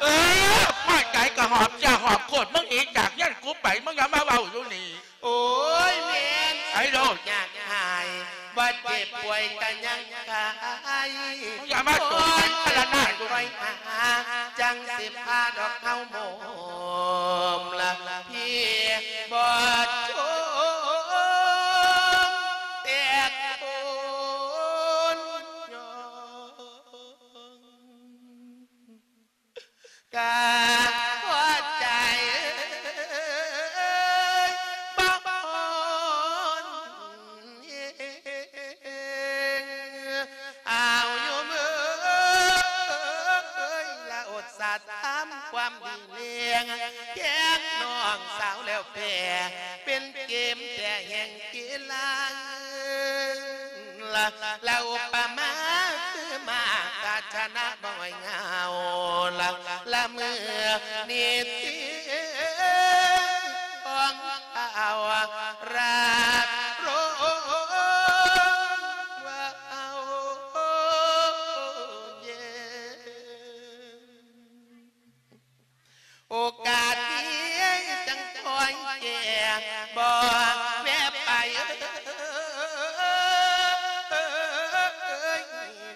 ເອີຍ ພໍໃຈກໍຫອບເຈ້ຍຫອບໂຄດ ມຶງໜີຈາກເຮືອນກູໄປ ມຶງຢ່າມາເວົ້າຢູ່ນີ້ ໂອ້ຍ ແມ່ນໄອ້ໂລດ ຍາກຫາຍ ບໍ່ເຈັບປ່ວຍກໍຍັງຄາຍ ຢ່າມາໂຕໄປພາລະນາຢູ່ ໂອ້ຍ ຄອຍຫາ ຈັ່ງຊິພາດອກເຮົາໂມມລະ ພີ່ບໍ່ຊົມແຕກໂພນຍ້ອງ ກະພໍໃຈບໍ່ອ່ອນເອງ ອາວໂຍມເອີຍ ລະອົດສາທຳຄວາມດີແລງ ແກງນ້ອງສາວແລ້ວແປ ເປັນເກມແຕ່ແຫ່ງ ກິລາ ລະ ລະອຸປະມາຄືໝາກາຊະນະບໍ່ໃຫ້ເຫງົາ ລະ ລະເມື່ອນິຕິຂອງເຂົາລາບລົງວ່າເອົາເຢັນ ໂອກາດດີຈັ່ງຄ່ອຍແກ່ ບໍ່ແວະໄປ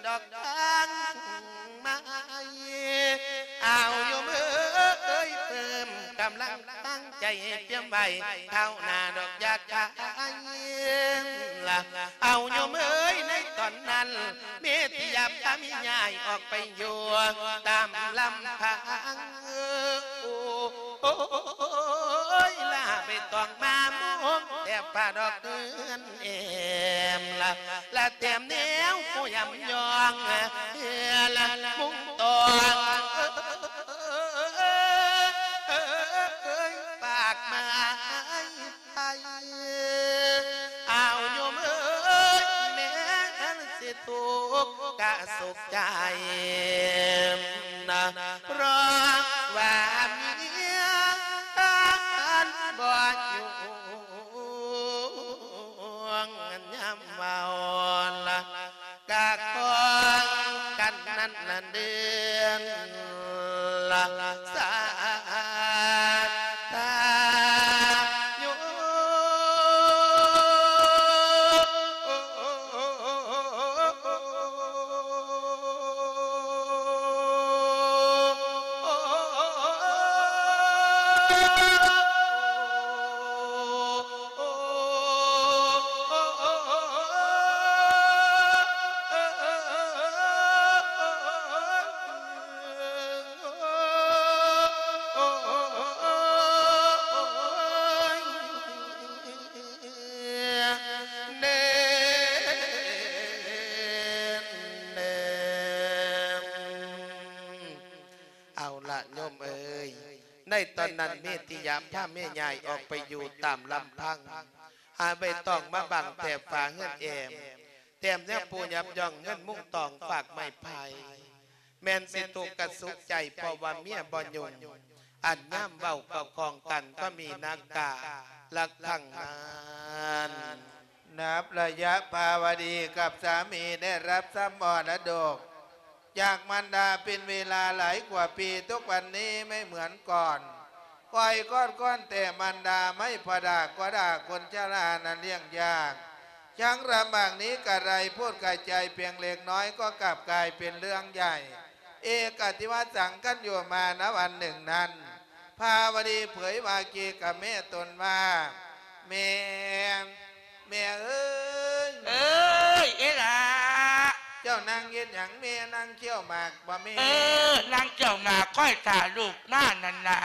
ດອກທາງໃໝ່ ອາວໂຍມເອີຍ ເພີ່ມກຳລັງທາງໃຈໃຫ້ຕຽມໄວ້ ຄາວໜ້າດອກຢາກຂາຍລະ ອາວໂຍມເອີຍ ໃນຕອນນັ້ນ ເມຕິຍາພາແມ່ຍ້າຍອອກໄປຢູ່ຕາມລຳພັງ ໂອ້ຍ ລາໄປຕ້ອງມາມຸງແຕ່ຝາດອກເຮືອນແອ້ມລະ ລະແຕ້ມແນວຜູ້ຢ້ຳຍ້ອງເຮືອລະມຸງຕ້ອງ ເອີຍ ປາກໄມ້ໄທ ອາວໂຍມເອີຍ ແມ່ນຊິທຸກກະສຸກໃຈນະ ຕອນນັ້ນ ເມຕິຍະພາແມ່ຍາຍອອກໄປຢູ່ຕາມລຳພັງ ຫາໃບຕອງມາບັງແຖບຝາເຮືອນແອ້ມ ແຕ້ມແນວປູຍັບຍ່ອງເຮືອນມຸງຕອງຟາກໄມ້ໄຜ່ ແມ່ນຊິທຸກກະສຸກໃຈ ເພາະວ່າເມຍບໍ່ຫຍຸ້ງ ອັນຍາມເວົ້າເວົ້າຂອງກັນກໍມີນາກາລັກພັງນັ້ນ. ນັບໄລຍະພາວະດີກັບສາມີໄດ້ຮັບຊັບມໍລະດົກຈາກມານດາເປັນເວລາຫຼາຍກວ່າປີ, ທຸກວັນນີ້ໄມ່ເໝືອນກ່ອນ. ຂ້ອຍກອດກ້ອນແຕ່ມານດາໄມ້ພໍ່ດາກໍດ່າຄົນຊະລານັ້ນລ້ຽງຍາກ ຍັງລຳບາກນີ້ກະໄດ້ ພູດກະໃຈພຽງເລັກນ້ອຍກໍກັບກາຍເປັນເລື່ອງໃຫຍ່. ເອກະທິວະສັງຄັນຢູ່ມານະວັນໜຶ່ງນັ້ນ ພາວະດີເຜີຍວ່າເກກະແມ່ຕົນວ່າ ແມ່ ແມ່ເອີຍ ເອີຍ ເອລະ ເຈົ້ານັ່ງເຮັດຫຍັງແມ່? ນັ່ງຄ້ຽວໝາກບໍ່ແມ່? ເອີ ນັ່ງຄ້ຽວໝາກ ຄອຍຖ້າລູກມານັ້ນລະ.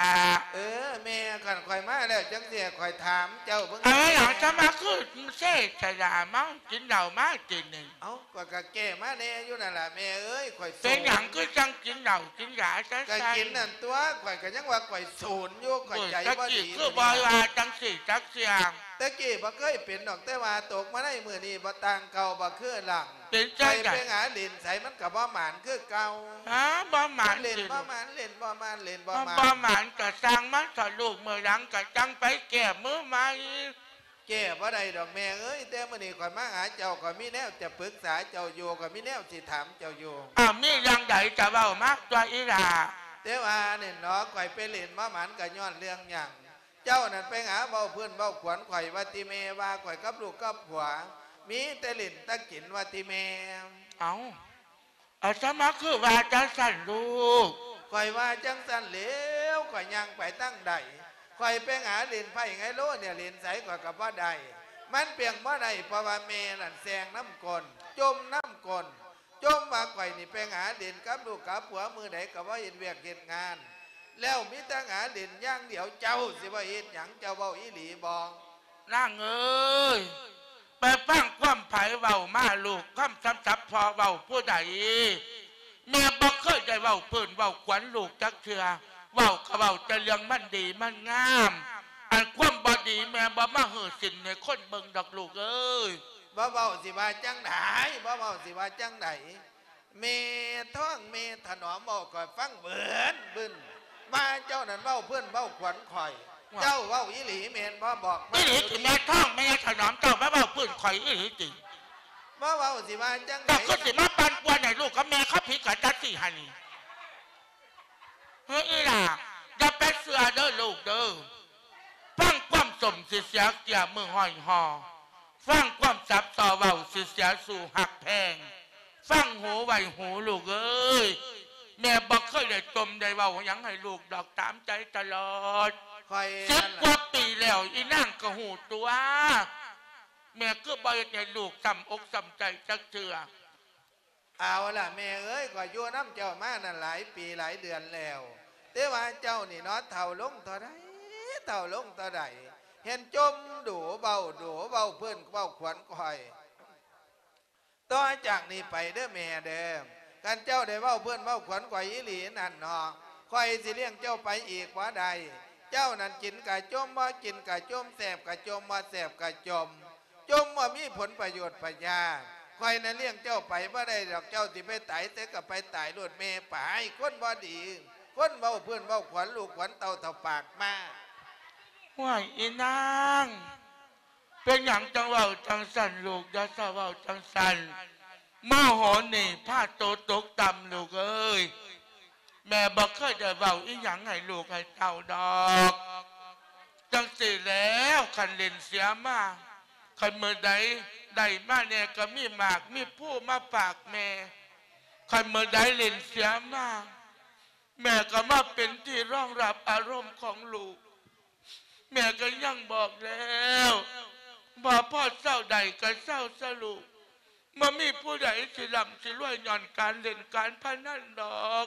ເອີ ແມ່ ຄັນຂ້ອຍມາແລ້ວຈັ່ງຊີ້ ຂ້ອຍຖາມເຈົ້າເບິ່ງ ເອົາຫຍັງຈະມາຄືເຊສະດາ ມາກິນເຫຼົ້າມາຕີໜຶ່ງ. ເອົ້າ ຂ້ອຍກະແກ້ມາແດ່ຢູ່ນັ້ນລະແມ່ເອີຍ ຂ້ອຍໂສນ. ເປັນຫຍັງຄືຈັ່ງກິນເຫຼົ້າກິນຢາຊັ້ນ? ກະກິນນັ້ນຕົວະ ຂ້ອຍກະຍັງວ່າຂ້ອຍໂສນຢູ່ ຂ້ອຍໃຈບໍ່ດີ. ໂອ້ຍ ຕະກີ້ຄືບໍ່ວ່າຈັ່ງຊີ້ຈັກເທື່ອ. ຕະກີ້ບໍ່ເຄີຍເປັນດອກ ແຕ່ວ່າຕົກມາໃນມື້ນີ້ບໍ່ຕ່າງເກົ່າ ບໍ່ຄືຫຼັງ. ເປັນຈັ່ງໃດ? ໄປຫາຫຼິ້ນໃສມັນກະບໍ່ໝານຄືເກົ່າ. ຮະ ບໍ່ໝານ ເຫຼັ້ນບໍ່ໝານ ເຫຼັ້ນບໍ່ໝານ ເຫຼັ້ນບໍ່ໝານ. ບໍ່ໝານກະຊ່າງມັນເຖາະລູກ ມື້ຫຼັງກະຈັ່ງໄປແກ້ມືໃໝ່. ແກ້ບໍ່ໄດ້ດອກແມ່ເອີຍ ແຕ່ມື້ນີ້ຂ້ອຍມາຫາເຈົ້າ ຂ້ອຍມີແນວຈະປຶກສາເຈົ້າຢູ່ ຂ້ອຍມີແນວຊິຖາມເຈົ້າຢູ່. ອ້າວ ມີເລື່ອງໃດກະເວົ້າມາຕົວະອີ່ຫຼ້າ. ແຕ່ວ່ານີ້ເນາະ ຂ້ອຍໄປຫຼິ້ນມາໝານກະຍ້ອນເລື່ອງຫຍັງ? ເຈົ້ານັ້ນໄປຫາເວົ້າພື້ນເວົ້າຂວັນຂ້ອຍວ່າຕິແມ່ ວ່າຂ້ອຍກັບລູກກັບຜົວ ມີແຕ່ຫຼິ້ນແຕ່ກິນວ່າຕິແມ່. ເອົ້າ ອາດຕະມາຄືວ່າຈັ່ງຊັ້ນລູກ. ຂ້ອຍວ່າຈັ່ງຊັ້ນແລ້ວ ຂ້ອຍຍ່າງໄປທາງໃດ ຂ້ອຍໄປຫາຫຼິ້ນໄພ້ໄຮໂລນີ້ ຫຼິ້ນໃສຂ້ອຍກະບໍ່ໄດ້ ມັນປຽງບໍ່ໄດ້ ເພາະວ່າແມ່ນັ້ນແຊ່ງນຳກົ້ນ ຈົ່ມນຳກົ້ນ ຈົ່ມວ່າຂ້ອຍນີ້ໄປຫາຫຼິ້ນກັບລູກກັບຜົວ ມື້ໃດກະບໍ່ເຮັດວຽກເຮັດງານ ແລ້ວມີແຕ່ຫາຫຼິ້ນຢ່າງດຽວ. ເຈົ້າຊິວ່າເຮັດຫຍັງ? ເຈົ້າເວົ້າອີ່ຫຼີບໍ່? ນາງເອີຍ ໄປຟັງຄວາມໃຜເວົ້າມາລູກ ຄວາມສຳສັບພໍ່ເວົ້າຜູ້ໃດ? ແມ່ບໍ່ເຄີຍໄດ້ເວົ້າພື້ນເວົ້າຂວັນລູກຈັກເທື່ອ ເວົ້າກະເວົ້າແຕ່ເລື່ອງມັນດີມັນງາມ ອັນຄວາມບໍ່ດີແມ່ບໍ່ມາຮື້ສິນໃຫ້ຄົນເບິ່ງດອກລູກເອີຍ. ບໍ່ເວົ້າຊິວ່າຈັ່ງໃດ? ບໍ່ເວົ້າຊິວ່າຈັ່ງໃດ? ແມ່ທອງແມ່ຖະໜອມເວົ້າຂ້ອຍຟັງເບີນບຶນ ວ່າເຈົ້ານັ້ນເວົ້າເພິ່ນເວົ້າຂວັນຂ້ອຍ. ວ່າ ເຈົ້າເວົ້າອີ່ຫຼີແມ່ນບໍ່? ບອກມາ. ອີ່ຫຼີຕິແມ່ທອງແມ່ຖະໜອມ ເຈົ້າມາເວົ້າພື້ນຂ້ອຍອີ່ຫຼີຕິ? ບໍ່ເວົ້າຊິວ່າຈັ່ງໃດ? ເຈົ້າຄືຊິມາປັ່ນປ່ວນໃຫ້ລູກກັບແມ່ເຂົາຜິດກັນຈັກຊີ້ຫັ້ນນີ້? ເຮີ ອີ່ຫຼ້າ ຢ່າໄປເຊື່ອເດີລູກເດີ. ຟັງຄວາມສົ້ມຊິເສຍເກ້ຍມືຫ້ອຍຫໍ່ ຟັງຄວາມສັບຕໍ່ເວົ້າຊິເສຍສູ່ຮັກແພງ. ຟັງຫູໄວ້ຫູລູກເອີຍ ແມ່ບໍ່ເຄີຍໄດ້ຈົ່ມໄດ້ເວົ້າຫຍັງໃຫ້ລູກດອກ ຕາມໃຈຕະຫຼອດ. ຂ້ອຍ ສິບກວ່າປີແລ້ວ ອີ່ນາງກະຮູ້ຕົວ ແມ່ຄືບໍ່ເຮັດໃຫ້ລູກຊ້ຳອົກຊ້ຳໃຈຈັກເທື່ອ. ເອົາລະແມ່ເອີຍ ຂ້ອຍຢູ່ນຳເຈົ້າມານັ້ນຫຼາຍປີຫຼາຍເດືອນແລ້ວ ແຕ່ວ່າເຈົ້ານີ້ເນາະ ເຖົ້າລົງເທົ່າໃດ ເຖົ້າລົງເທົ່າໃດ ເຫັນຈົ່ມດູ ເວົ້າດູ ເວົ້າເພິ່ນເວົ້າຂວັນຂ້ອຍ. ຕໍ່ຈາກນີ້ໄປເດີແມ່ເດີ ຄັນເຈົ້າໄດ້ເວົ້າເພິ່ນເວົ້າຂວັນຂ້ອຍອີ່ຫຼີນັ້ນເນາະ ຂ້ອຍຊິລ້ຽງເຈົ້າໄປອີກບໍ່ໄດ້. ເຈົ້ານັ້ນກິນກະຈົ່ມ ບໍ່ກິນກະຈົ່ມ ແຊບກະຈົ່ມ ບໍ່ແຊບກະຈົ່ມ. ຈົ່ມບໍ່ມີຜົນປະໂຫຍດປະຫຍາ. ຂ້ອຍນັ້ນລ້ຽງເຈົ້າໄປບໍ່ໄດ້ດອກ ເຈົ້າຊິໄປຕາຍໃສກະໄປຕາຍໂລດແມ່ໄປ. ຄົນບໍ່ດີ ຄົນເວົ້າພື້ນເວົ້າຂວັນລູກຂວັນເຕົ້າເຖົ້າປາກມ້າ. ຫ້ວຍ ອີນາງ ເປັນຫຍັງຈັ່ງເວົ້າຈັ່ງຊັ້ນລູກ? ຢ່າຊະເວົ້າຈັ່ງຊັ້ນ. ໂມໂຫນີ້ພາໂຕຕົກຕ່ຳລູກເອີຍ. ແມ່ບໍ່ເຄີຍໄດ້ເວົ້າອີ່ຫຍັງໃຫ້ລູກໃຫ້ເຕົ້າດອກ. ຈັ່ງຊີ້ແລ້ວ ຄັນຫຼິ້ນເສຍມາ ຄັນມື້ໃດໄດ້ມາແດ່ກະມີໝາກມີພູມາຝາກແມ່. ຄັນມື້ໃດຫຼິ້ນເສຍມາ ແມ່ກະມາເປັນທີ່ຮອງຮັບອາລົມຂອງລູກ. ແມ່ກະຍັງບອກແລ້ວ ບໍ່ພໍເຊົາໄດ້ກະເຊົາຊະລູກ. ບໍ່ມີຜູ້ໃດຊິລ່ຳຊິລວຍຍ້ອນການຫຼິ້ນການພະນັນດອກ.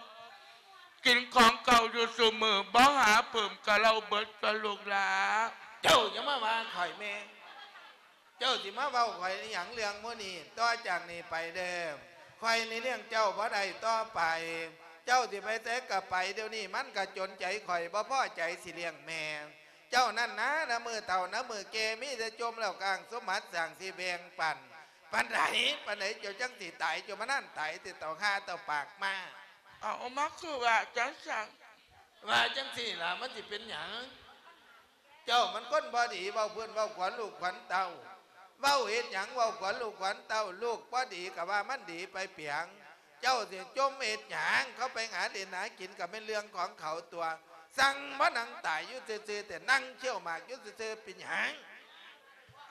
ກິນຂອງເກົ່າຢູ່ຊຸມື້ ບໍ່ຫາເພີ່ມກະເຫຼົ້າເບິດຕົວະລູກຫຼ້າ. ເຈົ້າຢ່າມາວ່າຂ້ອຍແມ່. ເຈົ້າຊິມາເວົ້າຂ້ອຍອີ່ຫຍັງເລື່ອງໝູ່ນີ້? ຕໍ່ຈາກນີ້ໄປເດີ ຂ້ອຍນີ້ລ້ຽງເຈົ້າບໍ່ໄດ້ຕໍ່ໄປ. ເຈົ້າຊິໄປໃສກໍໄປ ດຽວນີ້ມັນກໍຈົນໃຈຂ້ອຍ ບໍ່ພໍໃຈຊິລ້ຽງແມ່ເຈົ້ານັ້ນນາ. ນະມື້ເຖົ້ານະມື້ແກ່ ມີແຕ່ຈົ່ມແລ້ວກາງສົມບັດສ້າງຊິແບ່ງປັນ ປານໃດ ປານໃດເຈົ້າຈັ່ງຊິຕາຍ ເຈົ້າມານານຕາຍແຕ່ເຕົາຫາເຕົາປາກມາ. ເອົາ ມາຄືວ່າຈັ່ງຊັ້ນ? ວ່າຈັ່ງຊີ້ລະ ມັນຊິເປັນຫຍັງ? ເຈົ້າມັນຄົນບໍ່ດີ ເວົ້າພື້ນເວົ້າຂວັນລູກຂວັນເຕົ້າ. ເວົ້າເຮັດຫຍັງ ເວົ້າຂວັນລູກຂວັນເຕົ້າ. ລູກບໍ່ດີກໍວ່າມັນດີໄປປຽງ. ເຈົ້າຊິຈົ່ມເຮັດຫຍັງ? ເຂົາໄປຫາຫຼິ້ນຫາກິນກໍແມ່ນເລື່ອງຂອງເຂົາຕົວະ. ສັ່ງມານັ່ງຕາຍຢູ່ຊື່ໆ ແຕ່ນັ່ງຄ້ຽວໝາກຢູ່ຊື່ໆ ເປັນຫຍັງ?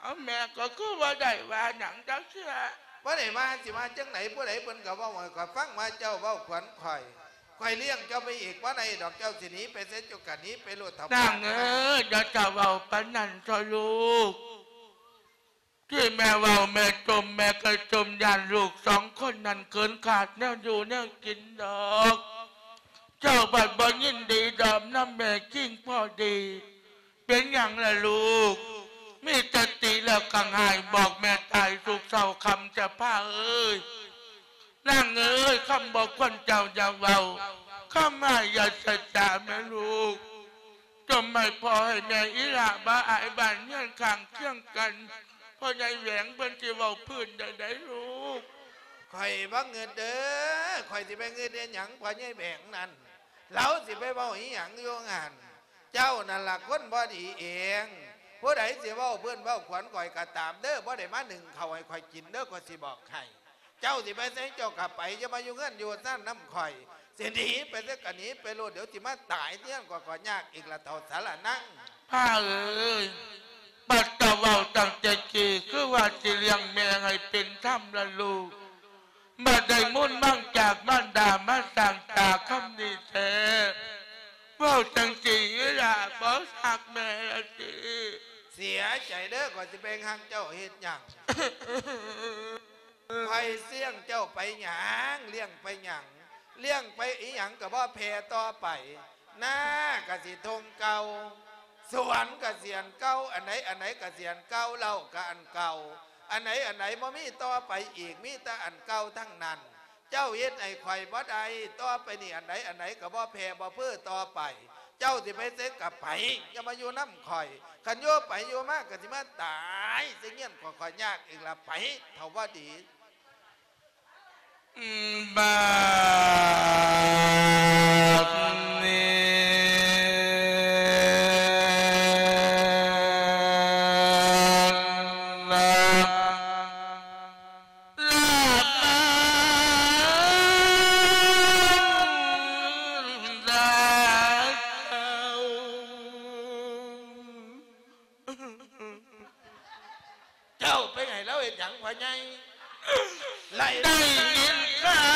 ເອົາ ແມ່ກໍຄືບໍ່ໄດ້ວ່າຫຍັງຈັກເທື່ອ. ບໍ່ໄດ້ວ່າ ຊິວ່າຈັ່ງໃດ? ຜູ້ໃດເພິ່ນກໍເວົ້າໃຫ້ຂ້ອຍຟັງວ່າເຈົ້າເວົ້າຂວັນຂ້ອຍ. ຂ້ອຍລ້ຽງເຈົ້າໄປອີກບໍ່ໄດ້ດອກ ເຈົ້າຊິໜີໄປໃສເຈົ້າກໍໜີໄປໂລດເຖົ້າ. ນາງເອີຍ ຢ່າຈະເວົ້າປານນັ້ນເຖາະລູກ. ທີ່ແມ່ເວົ້າແມ່ຈົ່ມ ແມ່ກໍຈົ່ມຢ້ານລູກສອງຄົນນັ້ນເກີນຂາດແນວຢູ່ແນວກິນດອກ. ເຈົ້າບັດບໍ່ຍິນດີດອມນຳແມ່ຄິງພໍດີ. ເປັນຫຍັງລະລູກ? ມີສະຕິແລ້ວກໍຫາຍ ບອກແມ່ຕາຍທຸກເຊົ້າຄ່ຳຈະພາເອີຍ. ນາງເອີຍ ຄຳບໍ່ຄວນເຈົ້າຢ່າເວົ້າ ຄຳຮ້າຍຢ່າສະຈາແມ່ລູກ. ຈົ່ມໃຫ້ພໍ່ໃຫ້ແມ່ອີ່ຫຼ້າບໍ່ອາຍບ້ານເຮືອນຂ້າງຄຽງກັນ. ພໍ່ໃຫຍ່ແຫວງເພິ່ນຊິເວົ້າພື້ນໄດ້ໃດ໋ລູກ. ຂ້ອຍບໍ່ງຶດເດີ ຂ້ອຍຊິໄປງຶດເຮັດຫຍັງ ພໍ່ໃຫຍ່ແຫວງນັ້ນ ລາວຊິໄປເວົ້າອີ່ຫຍັງຢູ່ຫັ້ນ? ເຈົ້ານັ້ນລະຄົນບໍ່ດີເອງ. ຜູ້ໃດຊິເວົ້າພື້ນເວົ້າຂວັນຂ້ອຍກໍຕາມເດີ ບໍ່ໄດ້ມາໜຶ້ງເຂົ້າໃຫ້ຂ້ອຍກິນເດີ ຂ້ອຍຊິບອກໃຫ້. ເຈົ້າຊິໄປໃສເຈົ້າກໍໄປ ຢ່າມາຢູ່ເຮືອນຢູ່ຊານນຳຂ້ອຍ. ຊິໜີໄປໃສກໍໜີໄປໂລດ ດຽວຊິມາຕາຍເຮືອນຂ້ອຍ ຂ້ອຍຍາກອີກລະເຖົ້າສາລະນັງ. ປ້າເອີຍ ບັດເຈົ້າເວົ້າຕັ້ງແຕ່ກີ້ ຄືວ່າຊິລ້ຽງແມ່ໃຫ້ເປັນທຳລະລູກ. ບັດໄດ້ມູນມັງຈາກມານດາມາສ້າງຕາຄຳນີ້ແທ້ ເວົ້າຈັ່ງຊີ້ອີ່ຫຼ້າບໍ່ຮັກແມ່ລະຕິ? ເສຍໃຈເດີ ຂ້ອຍຊິໄປຮັກເຈົ້າເຮັດຫຍັງ? ຂ້ອຍລ້ຽງເຈົ້າໄປຫຍັງ? ລ້ຽງໄປຫຍັງ? ລ້ຽງໄປອີ່ຫຍັງກໍບໍ່ແຜ່ຕໍ່ໄປ. ນາກໍຊິທົ່ງເກົ່າ ສວນກະສຽນເກົ່າ ອັນໃດອັນໃດກະສຽນເກົ່າ ເຫຼົ້າກະອັນເກົ່າ ອັນໃດອັນໃດບໍ່ມີຕໍ່ໄປອີກ ມີແຕ່ອັນເກົ່າທັງນັ້ນ. ເຈົ້າເຮັດໃຫ້ຂ້ອຍບໍ່ໄດ້ ຕໍ່ໄປນີ້ອັນໃດອັນໃດກໍບໍ່ແຜ່ບໍ່ເພີຕໍ່ໄປ. ເຈົ້າຊິໄປໃສກໍໄປ ຢ່າມາຢູ່ນຳຂ້ອຍ. ຄັນຢູ່ໄປຢູ່ມາກໍຊິມາຕາຍໃສ່ເຮືອນຂ້ອຍ ຂ້ອຍຍາກອີກລະ ໄປ ເຖົ້າບໍ່ດີ. ບາດນີ້ ລາບມາດາເຈົ້າ ເຈົ້າໄປໃຫ້ລາວເຮັດຫຍັງ ພໍ່ໃຫຍ່? ໄລ່ ໄດ້ຍິນຂ່າ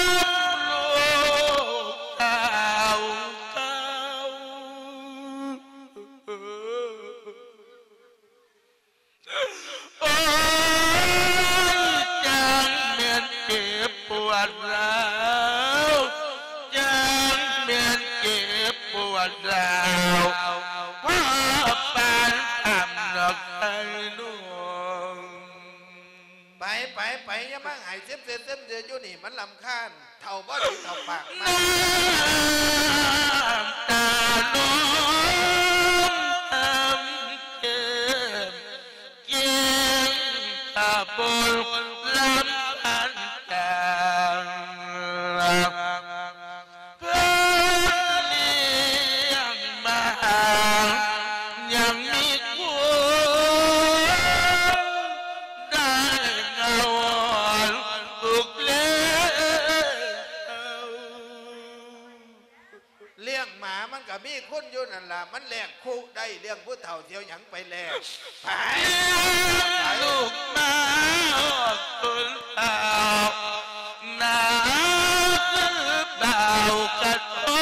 ວລູກສາວເກົ່າ ໂອ້ຍ ຈັ່ງແມ່ນເຈັບປວດຮ້າວ ຈັ່ງແມ່ນເຈັບປວດຮ້າວ ພໍປານທຳນອກໃສ່ໜວງ. ໄປ ໄປ ໄປ ຢ່າມາໃຫ້ເຊັມເສຍເຊັມເສຍຢູ່ນີ້ ມັນລຳຄານ. ເຖົ້າບໍ່ດີເຖົ້າປາກມາ ນ້ຳຕານອງນ້ຳເຈັບ ເຈັບຕາບົນລຳພັນກາງ ເພິ່ນລ້ຽງມາ ຍັງມີຄຸນ ໄດ້ເງົາອ່ອນລູກແລ້ວ. ລ້ຽງໝາມັນກໍມີຄຸນຢູ່ນັ້ນລະ ມັນແລກຄຸໄດ້ ລ້ຽງຜູ້ເຖົ້າຊິເອົາຫຍັງໄປແລກ? ໄປ ລູກມາອອກຕົນເຖົ້າ ໜ້າຄືບ່າວກະໂທນ.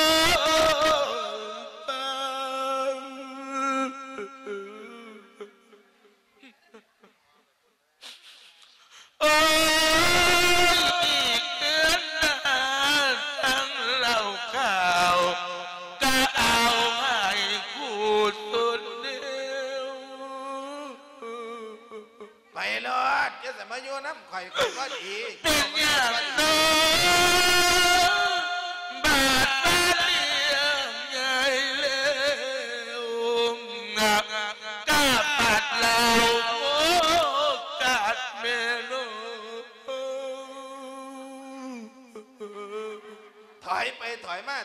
ໂອ້ຍ ອີກເດືອນໜ້າທັງເຫຼົ້າຂາວ ກະເອົາໃຫ້ຄູດສຸດເດວ. ໄປໂລດ ຢ່າສະມາຢູ່ນຳຂ້ອຍ ຂ້ອຍບໍ່ດີ. ເປັນຫຍັງນ້ອງ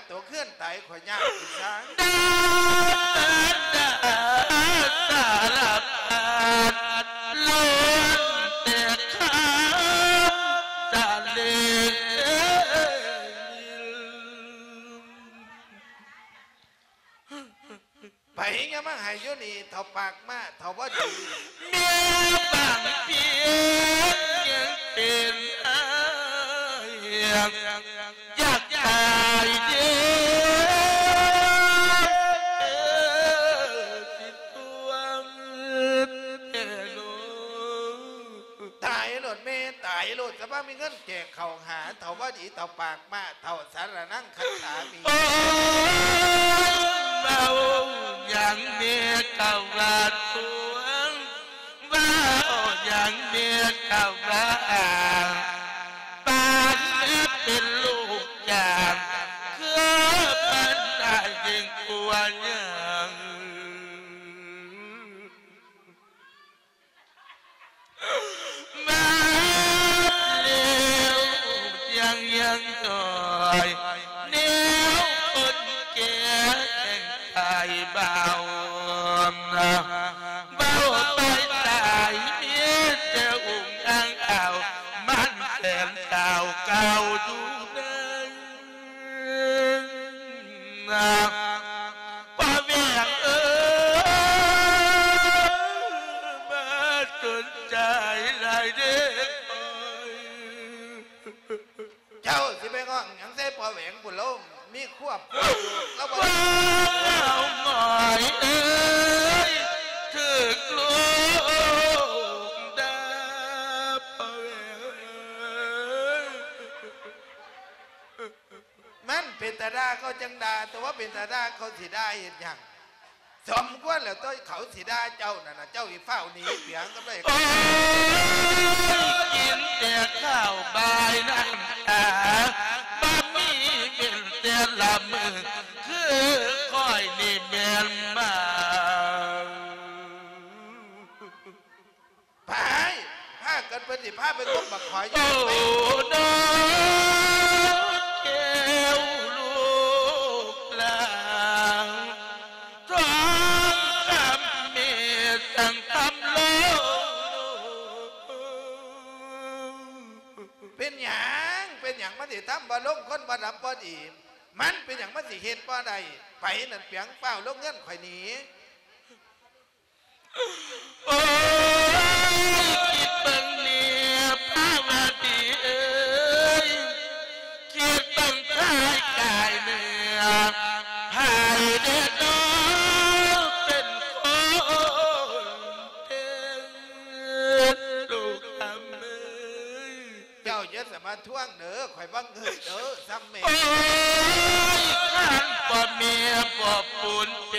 ໂຕເຮືອນຕາຍຂ້ອຍຍາກອີກຊະ. ດາດາສາລະພັດ ລ້ວນແຕ່ຄຳສະເລງ. ໄປ ຢ່າມາໃຫ້ຢູ່ນີ້ເຖົ້າປາກມ້າ ເຖົ້າບໍ່ດີ. ແມ່ບາງພຽງຍັງເປັນອ້າຍ ຢາກຕາຍເດ້ ຊິຕົວະແຕ່ໂລ. ຕາຍໂລດແມ່ ຕາຍໂລດ ຈະບໍ່ມີເງິນແຈກເຂົ້າຫາ ເຖົ້າບໍ່ດີ ເຖົ້າປາກມ້າ ເຖົ້າສາລະນັງຄັດສາມີ. ໂອ້ຍ ເວົ້າຫຍັງແມ່ກະວ່າຕົວະ ເວົ້າຫຍັງແມ່ກະວ່າ ປານເປັນລູກຈ້າງ ຄືມັນອາຍຍິ່ງກວ່າຫຍັງ. ມາແລ້ວຍັງຍັງໜ້ອຍ ແນວຄົນແກ່ແຫ່ງຕາຍເບົາ ເບົາໄປຕາຍ ມີແຕ່ອຸ້ງອັ່ງອ້າວ ມັນແສນສາວເກົ່າຢູ່ໃນ ພໍ່ແຫວງເອີຍ ມາສົນໃຈຫຼາຍເດ້ຂ້ອຍ. ເຈົ້າຊິໄປຮ້ອງຫຍັງໃສ່ພໍ່ແຫວງພຸ້ນ ລາວມີຄອບຄົວຢູ່ ລາວບໍ່ໄດ້. ພໍ່ໝອຍເອີຍ ຖືກລູກດ່າ ພໍ່ແຫວງເອີຍ. ມັນເປັນຕາດ່າເຂົາຈັ່ງດ່າ ແຕ່ວ່າເປັນຕາດ່າເຂົາຊິດ່າເຮັດຫຍັງ? ສົມຄວນແລ້ວຕົວະ ເຂົາຊິດ່າເຈົ້ານັ້ນນະ ເຈົ້າຊິຟ້າວໜີເປຍງກັນໄດ້. ໂອ້ຍ ກິນແຕ່ເຂົ້າບາຍນ້ຳຕາ ບໍ່ມີເວັ້ນແຕ່ລະມື້ ຄືຂ້ອຍນີ້ແມ່ນໝາ. ໄປ ພາກັນ ເພິ່ນຊິພາໄປກົບບັກຂອຍຢູ່. ໂອ້ ນ້ອງແກ້ວລູກຫຼານ ທອງຄຳແມ່ຈັ່ງທຳລົງ. ເປັນຫຍັງ ເປັນຫຍັງມັນຊິທຳບໍ່ລົງ ຄົນບໍ່ດຳບໍ່ດີ ມັນເປັນຫຍັງມັນຊິເຮັດບໍ່ໄດ້? ໄປນັ້ນ ປຽງ ຟ້າວລົງເຮືອນຂ້ອຍໜີ. ໂອ້ຍ ຄິດເບິ່ງແນ່ພາວະດີເອີຍ ຄິດເບິ່ງພາຍກາຍເນື້ອ ໃຜແດ່ນໍເປັນຄົນເປັນລູກຄຳເອີຍ. ເຈົ້າຢ່າສາມາດທວງເດີ ຂ້ອຍບໍ່ເງິດເດີ ຊ່ຳແມ່. ໂອ້ຍ ຄັນພໍ່ແມ່ບໍ່ປູນແປ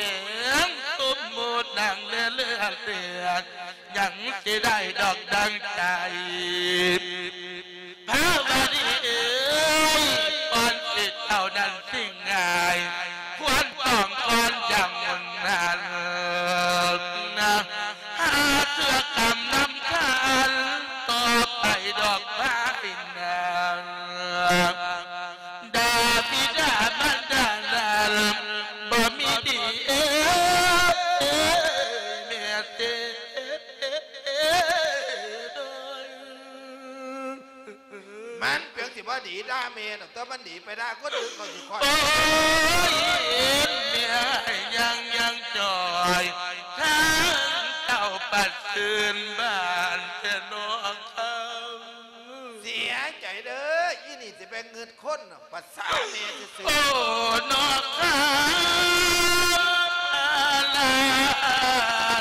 ງ ສົມມຸດນັ່ງເຫຼືອເລືອດ ຍັງຊິໄດ້ດອກດັ່ງໃຈ. ພາວະດີເອີຍ ກ່ອນທີ່ເຈົ້ານັ້ນຊິງ່າຍ ຄວນຕ້ອງກ່ອນຢ່າງງຸ່ນນັ້ນນະ. ຫາເທື່ອກຳນຳຄັນຕໍ່ໄປດອກພາຍໜ້າ ດາບິດາມານດານັ້ນບໍ່ມີດີເອີຍ ແມ່ເຕໂດຍ. ມັນເປັນຫຍັງຊິບໍ່ດີດ່າແມ່ດອກ ແຕ່ມັນດີໄປດ່າຄົນອື່ນເຂົາຊິຄ່ອຍ. ໂອ້ຍ ເຫັນແມ່ຍັງຍັງຈ່ອຍ ທາງເຈົ້າປັດຊື່ນບ້ານແຕ່ນອກຄຳ. ເສຍໃຈເດີ ອີນີ້ຊິໄປງຶດຄົນ ປະສາແມ່ຊື່ໆ. ໂອ້ ນອກຄ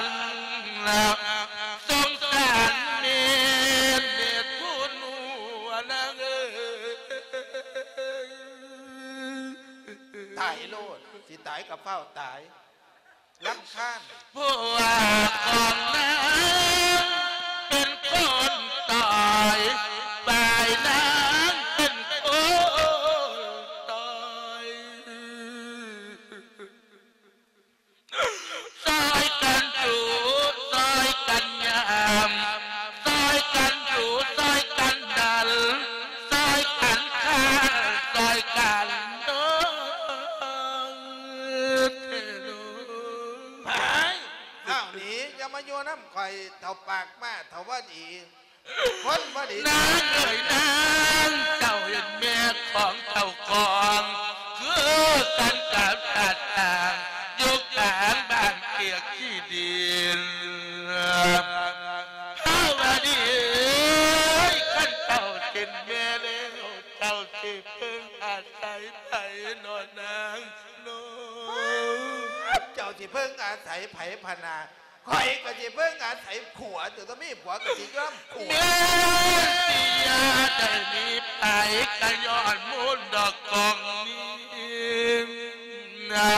ຳ ສົງສານແມ່ ແມ່ຜູ້ໜູອະນາງເອີຍ. ຕາຍໂລດ ຊິຕາຍກໍຟ້າວຕາຍ ລຳຄານ. ຜົວຂອງນາງເປັນຄົນຕອຍ ຝ່າຍນາງເປັນຄົນຕອຍ. ຊ່ອຍກັນຈູ ຊ່ອຍກັນຍາມ ຊ່ອຍກັນດູ ຊ່ອຍກັນດັນ ຊ່ອຍກັນຂ້າ ຊ່ອຍກັນໂນ. ເຖົ້າປາກມ້າ ເຖົ້າບໍ່ດີ ຄົນບໍ່ດີ. ນາງເອີຍນາງ ເຈົ້າເຫັນແມ່ຂອງເຈົ້າຂອງ ຄືກັນກັບສັດຕ່າງ ຢູ່ກາງບ້ານເກຍຂີ້ດິນ. ພາວະດີເອີຍ ຄັນເຈົ້າເປັນແມ່ແລ້ວ ເຈົ້າຊິເພິ່ງອາໄສໃຜນໍນາງນໍ? ເຈົ້າຊິເພິ່ງອາໄສໃຜພະນາ? ຂ້ອຍກໍຊິເບິ່ງອາໄສຜົວ ຕົວະ ມີຜົວກໍຊິຍອມຜົວ. ແມ່ນຊິຢ່າໄດ້ມີໄປ ກໍຍ້ອນມູນດອກກອງນີ້ນະ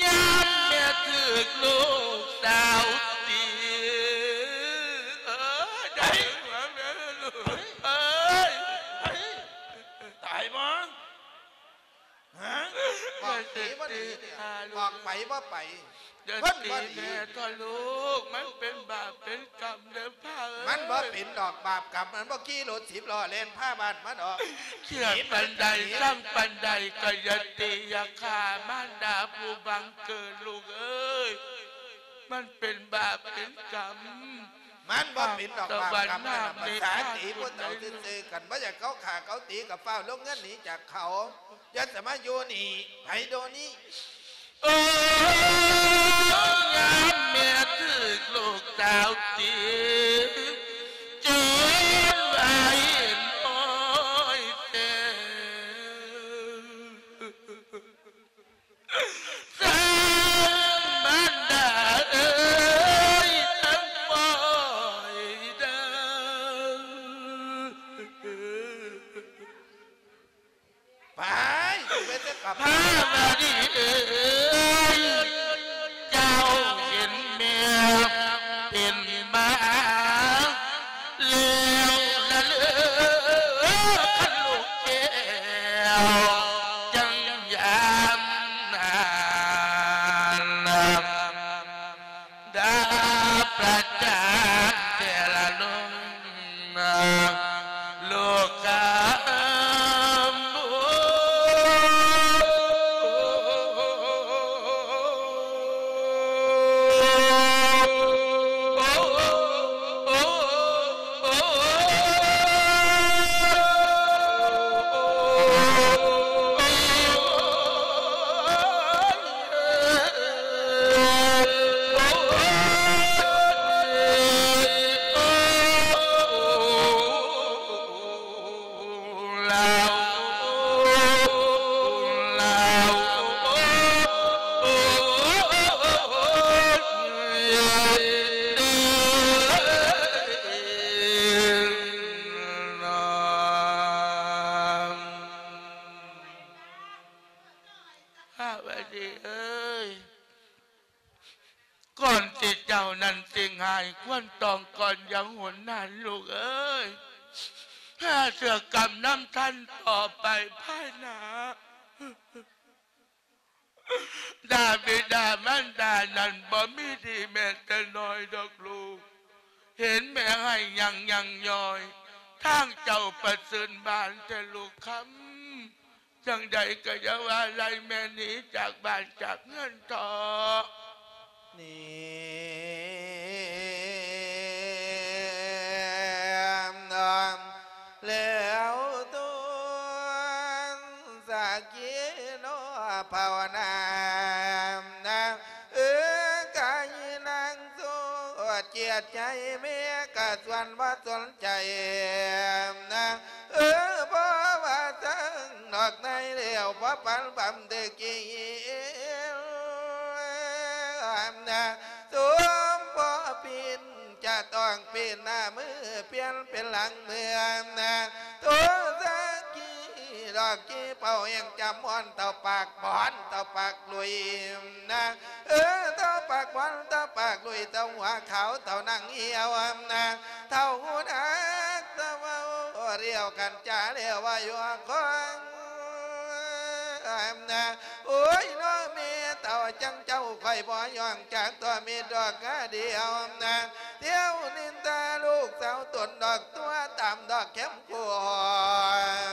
ຍາມແມ່ຖືກລູກສາວຕີ ເອີຍ ໄດ້ຫົວແມ່ລູກເອີຍ ຕາຍບໍ່? ຮະ ບອກດີບໍ່ດີນີ້ ບອກໄປບໍ່ໄປ ຢ່າຕີແມ່ເຖາະລູກ ມັນເປັນບາບເປັນກຳເດີພາເອີຍ. ມັນບໍ່ເປັນດອກບາບກຳ ມັນບໍ່ຂີ່ລົດສິບລໍ້ແລ່ນພາບ້ານມາດອກ. ເຄຍປານໃດ ຊັງປານໃດ ກໍຢ່າຕີຢ່າຂ້າມານດາຜູ້ບັງເກີດລູກເອີຍ ມັນເປັນບາບເປັນກຳ. ມັນບໍ່ເປັນດອກບາບກຳ ມັນນະ ພາສາຕີຜູ້ເຖົ້າຊື່ໆ ຄັນບໍ່ຢາກເຂົາຂ້າເຂົາຕີ ກໍຟ້າວລົງເຮືອນໜີຈາກເຂົາ ຢ່າສະມາຢູ່ນີ້ໃຜໂດນີ້. ໂອ້ ຍາມແມ່ຖືກລູກສາວຕີ ຈົນວ່າເຫັນໂອ້ຍແທ້ ສາງມານດາເອີຍ ທັງປ່ອຍເດີ ໄປ ໄປແຕ່ກັບ ພາວະດີເອີຍ ເຈົ້າເຫັນແມ່ເປັນໝາ ແລ້ວລະເລີ ຄັນລູກແກ້ວຈັ່ງຍາມນານ ດາປະຈານແຕ່ລະລົມ ລູກຄຳ. ພາວະດີເອີຍ ກ່ອນທີ່ເຈົ້ານັ້ນຊິຫງາຍຄວັນຕອງກ່ອນຢ່າຫົນນັ້ນ ລູກເອີຍ ຫາເຊື່ອກຳນຳທັນຕໍ່ໄປພາຍໜ້າ. ດາບິດາມານດານັ້ນບໍ່ມີດີແມ້ແຕ່ນ້ອຍດອກລູກ ເຫັນແມ່ໄຫ້ຍັງຍັງຍ້ອຍ ທາງເຈົ້າປະເຊີນບານແຕ່ລູກຄຳ. ຈັ່ງໃດກໍຢ່າວ່າໄລ່ແມ່ໜີຈາກບ້ານຈາກເຮືອນເຖາະ. ນີ້ ແລ້ວຕົນສັກກີໂນພາວະນາ ນາງເອີຍ ກາຍນາງ ໂສດຈຽດໃຈ ແມ່ກະຊວນບໍ່ສົນໃຈນະ ເອີ ບໍ່ວ່າເທິງນອກໃນແລ້ວ ບໍ່ປັນບຳເດກີນະ ສົມພໍປິ່ນຈະຕ້ອງປິ່ນໜ້າມື ປ່ຽນເປັນຫຼັງເມືອນະ ໂຕສັກກີດອກກີເປົ່າແຫ່ງຈຳມ່ອນ ເຕົ້າປາກບອນ ເຕົ້າປາກລຸຍ ນະ ເອີ ເຕົ້າປາກບອນ ເຕົ້າປາກລຸຍ ເຕົ້າຫົວຂາວ ເຕົ້າໜັງຫ່ຽວນະ ເຖົ້າຫູໜາກ ເຕົ້າເວົ້າລຽວກັນຈາແລ້ວວ່າຢູ່ຄອງນະ ໂອ້ຍ ນ້ອງແມ່ເຖົ້າຈັ່ງເຈົ້າ ຂ້ອຍບໍ່ຍອມຈັກຕົວ ມີດອກກະດຽວນະ ທ່ຽວນິນທາລູກສາວຕົນດອກ ຕົວະຕາມດອກແຄມ ກວ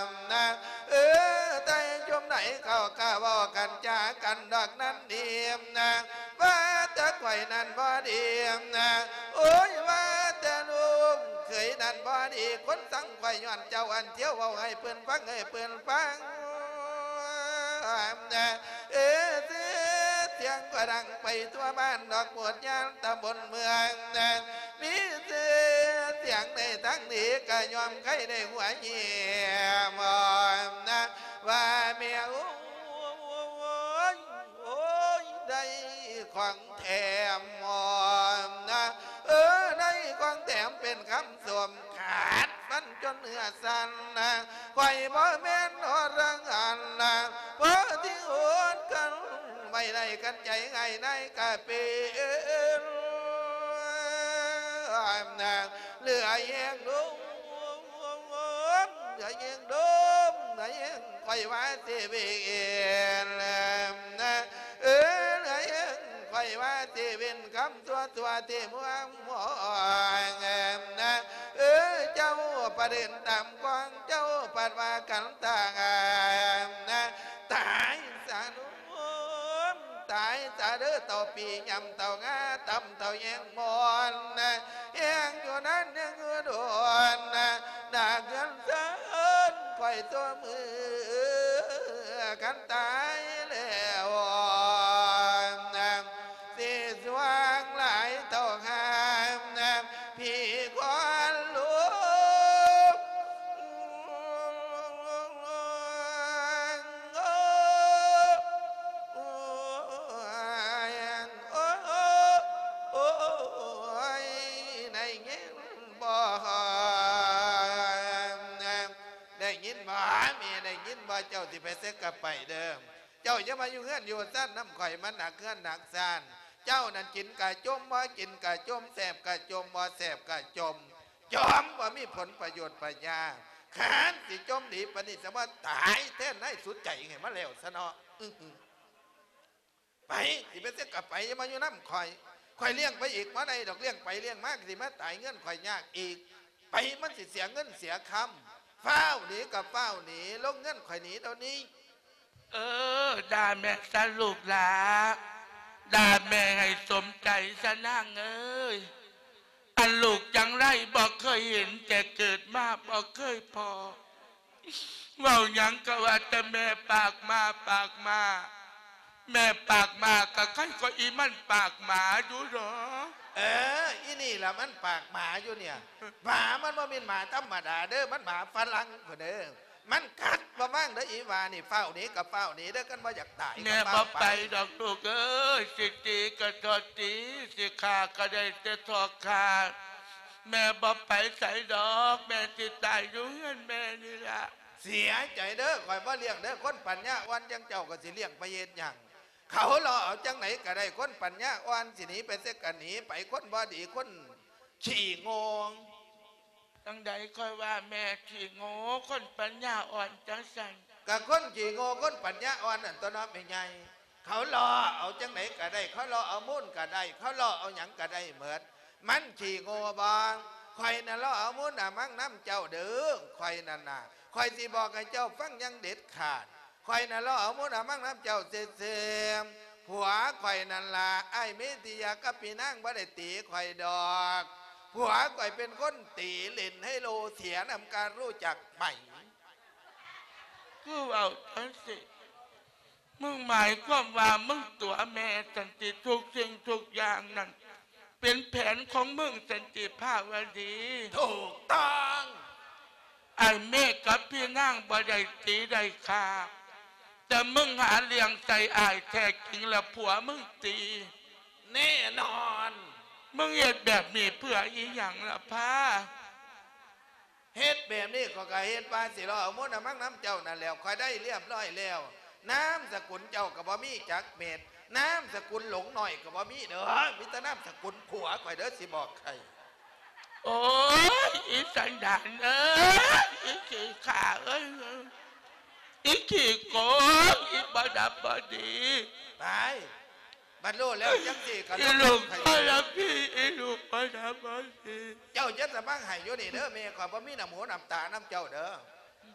ມນະ ເອີ ໃຕ້ຈຸມໃດເຂົາກະເວົ້າກັນຈາກັນດອກນັ້ນດີນະ ວ່າແຕ່ ຂ້ອຍນັ້ນບໍ່ດີນະ ໂອ້ຍ ວ່າແຕ່ລູກເຂີຍນັ້ນບໍ່ດີ ຄົນຊັງຂ້ອຍຍ້ອນເຈົ້າ ອັນທ່ຽວເວົ້າໃຫ້ເພິ່ນຟັງ ໃຫ້ເພິ່ນຟັງ ເອີ ຊື່ສຽງກໍດັງໄປທົ່ວບ້ານດອກ ໝົດຍານຕຳບົນເມືອງ ມີຊື່ສຽງໃນທາງນີ້ ກໍຍ້ອນໃຄໄດ້ຫົວເຫຍມ ວ່າແມ່ໂອ້ຍ ໂອ້ຍ ໄດ້ຂອງແຖມ ເອີ ໄດ້ຂອງແຖມເປັນຄຳຊົມ ຂາດຟັນຈົນເນື້ອສັ່ນ ຂ້ອຍບໍ່ແມ່ນອໍລະຫັນ ພໍທີ່ອົດກັ້ນໄວ້ໄດ້ ຄັນໃຈງ່າຍນາຍກະເປັນ ເຫຼືອແຮງດົມ ເຫຼືອແຮງດົມ ເຫຼືອແຮງຂ້ອຍວ່າຊິເວັນ ເອີ ເຫຼືອແຮງຂ້ອຍວ່າຊິເວັນ ຄຳຊົ່ວໆທີ່ເມືອງໝອງ ເອີ ເຈົ້າປະເດັນຕາມກອງ ເຈົ້າພັດວ່າກັນຕາຍ ຕາຍຊະເດີ ຕາຍຊະເດີ ເຕົ້າປີຍຳເຕົ້າງາ ຕຳເຕົ້າແຍງມອນ ແຮງຢູ່ນັ້ນແຮງຢູ່ໂດນ ໜ້າເຮືອນເຊີນຂ້ອຍຕົວມື ຄັນຕາຍແລ້ວ ຊິຊ່ວງຫຼາຍເທົ່າຫາ ພີ່ຄວັນລຸກ ໂອ້ຍ ໂອ້ຍ ໄດ້ຍິນບໍ່ ໄດ້ຍິນບໍ່ ແມ່ໄດ້ຍິນບໍ່ ເຈົ້າຊິໄປໃສກໍໄປເດີ ເຈົ້າຢ່າມາຢູ່ເຮືອນຢູ່ຊານນຳຂ້ອຍ ມັນໜັກເຮືອນໜັກຊານ ເຈົ້ານັ້ນກິນກະຈົ່ມ ບໍ່ກິນກະຈົ່ມ ແຊບກະຈົ່ມ ບໍ່ແຊບກະຈົ່ມ ຈົ່ມບໍ່ມີຜົນປະໂຫຍດປະຫຍັງ ຄັນຊິຈົ່ມດີປານນີ້ ສະມາຕາຍແທນນາຍສຸດໃຈໃຫ້ມັນແລ້ວຊະເນາະ ອື ໄປ ຊິໄປໃສກໍໄປ ຢ່າມາຢູ່ນຳຂ້ອຍ ຂ້ອຍລ້ຽງໄປອີກບໍ່ໄດ້ດອກ ລ້ຽງໄປລ້ຽງມາກໍຊິມາຕາຍເຮືອນຂ້ອຍຍາກອີກ ໄປ ມັນຊິເສຍເງິນເສຍຄຳ ຟ້າວໜີກໍຟ້າວໜີ ລົງເຮືອນຂ້ອຍໜີດຽວນີ້ ເອີ ດ່າແມ່ຊະລູກຫຼ້າ ດ່າແມ່ໃຫ້ສົມໃຈຊະນາງເອີຍ ອັນລູກຈັງໄລບໍ່ເຄີຍເຫັນ ແຕ່ເກີດມາບໍ່ເຄີຍພໍ້ ເວົ້າຫຍັງກໍວ່າແຕ່ແມ່ປາກໝາ ປາກໝາ ແມ່ປາກໝາກໍໄຄກວ່າອີມັນປາກໝາຢູ່ດອກ ເອີ ອີນີ້ລະມັນປາກໝາຢູ່ເນຍ ໝາມັນບໍ່ແມ່ນໝາທຳມະດາເດີ ມັນໝາຝຣັ່ງພຸ້ນເດີ ມັນກັດບໍ່ມັງເດີ ອີຫວ່ານີ້ ຟ້າວໜີກໍຟ້າວໜີເດີ ຄັນບໍ່ຢາກຕາຍ ແມ່ບໍ່ໄປດອກລູກເອີຍ ຊິຕີກໍຊອດຕີ ຊິຂ້າກໍໄດ້ແຕ່ຊອກຂ້າ ແມ່ບໍ່ໄປໃສດອກ ແມ່ຊິຕາຍຢູ່ເຮືອນແມ່ນີ້ລະ ເສຍໃຈເດີ ຂ້ອຍບໍ່ລ້ຽງເດີ ຄົນປັນຍາອ່ອນຈັ່ງເຈົ້າກໍຊິລ້ຽງໄປເຮັດຫຍັງ ເຂົາເລາະເອົາຈັ່ງໃດກໍໄດ້ ຄົນປັນຍາອ່ອນ ຊິໜີໄປໃສກໍໜີໄປ ຄົນບໍ່ດີ ຄົນຂີ້ໂງ່ ຈັ່ງໃດຂ້ອຍວ່າແມ່ຂີ້ໂງ່ ຄົນປັນຍາອ່ອນຈັ່ງຊັ້ນ ກະຄົນຂີ້ໂງ່ ຄົນປັນຍາອ່ອນນັ້ນຕົວະເນາະແມ່ໃຫຍ່ ເຂົາເລາະເອົາຈັ່ງໃດກະໄດ້ ເຂົາເລາະເອົາມູນກະໄດ້ ເຂົາເລາະເອົາຫຍັງກະໄດ້ໝົດ ມັນຂີ້ໂງ່ບໍ່ ຂ້ອຍນະເລາະເອົາມູນອະມັງນຳເຈົ້າເດີ ຂ້ອຍນັ້ນນະ ຂ້ອຍຊິບອກໃຫ້ເຈົ້າຟັງຢ່າງເດັດຂາດ ຂ້ອຍນະເລາະເອົາມູນອະມັງນຳເຈົ້າຊື່ໆ ຜົວຂ້ອຍນັ້ນລະ ອ້າຍເມຕິຍາກັບພີ່ນາງບໍ່ໄດ້ຕີຂ້ອຍດອກ ຜົວຂ້ອຍເປັນຄົນຕີ ຫຼິ້ນໄຮໂລເສຍນຳກັນ ຮູ້ຈັກໄໝ? ຄືເວົ້າຈັ່ງຊີ້ ມຶງໝາຍຄວາມວ່າມຶງຕົວະແມ່ຊັ້ນຕິ ທຸກສິ່ງທຸກຢ່າງນັ້ນ ເປັນແຜນຂອງມຶງຊັ້ນຕິພາວະດີ? ຖືກຕ້ອງ ອ້າຍເມກກັບພີ່ນາງບໍ່ໄດ້ຕີໄດ້ຂ້າ ແຕ່ມຶງຫາເລື່ອງໃສ່ອ້າຍແທ້ຈິງລະຜົວມຶງຕີ ແນ່ນອນ ມຶງເຮັດແບບນີ້ເພື່ອອີ່ຫຍັງລະພາ? ເຮັດແບບນີ້ຂ້ອຍກໍເຮັດວ່າຊິເລາະເອົາມູນອະມັງນຳເຈົ້ານັ້ນແຫຼ້ວ ຂ້ອຍໄດ້ລຽບຮ້ອຍແລ້ວ ນາມສະກຸນເຈົ້າກໍບໍ່ມີຈັກເມັດ ນາມສະກຸນຫຼົງນ້ອຍກໍບໍ່ມີເດີ ມີແຕ່ນາມສະກຸນຜົວຂ້ອຍເດີ ຊິບອກໃຫ້. ໂອ້ຍ ອີສັນດານເອີຍ ອີຂີ້ຂ້າເອີຍ ອີຂີ້ໂກງ ອີບໍ່ດຳບໍ່ດີ ໄປ ບັດຮູ້ແລ້ວຈັ່ງຊີ້ກໍ ອີລູກບໍ່ດຳບໍ່ດີ ອີລູກບໍ່ດຳບໍ່ດີ ເຈົ້າຢ່າສະມາໃຫ້ຢູ່ນີ້ເດີ ແມ່ຂ້ອຍບໍ່ມີນ້ຳຫູນ້ຳຕານຳເຈົ້າເດີ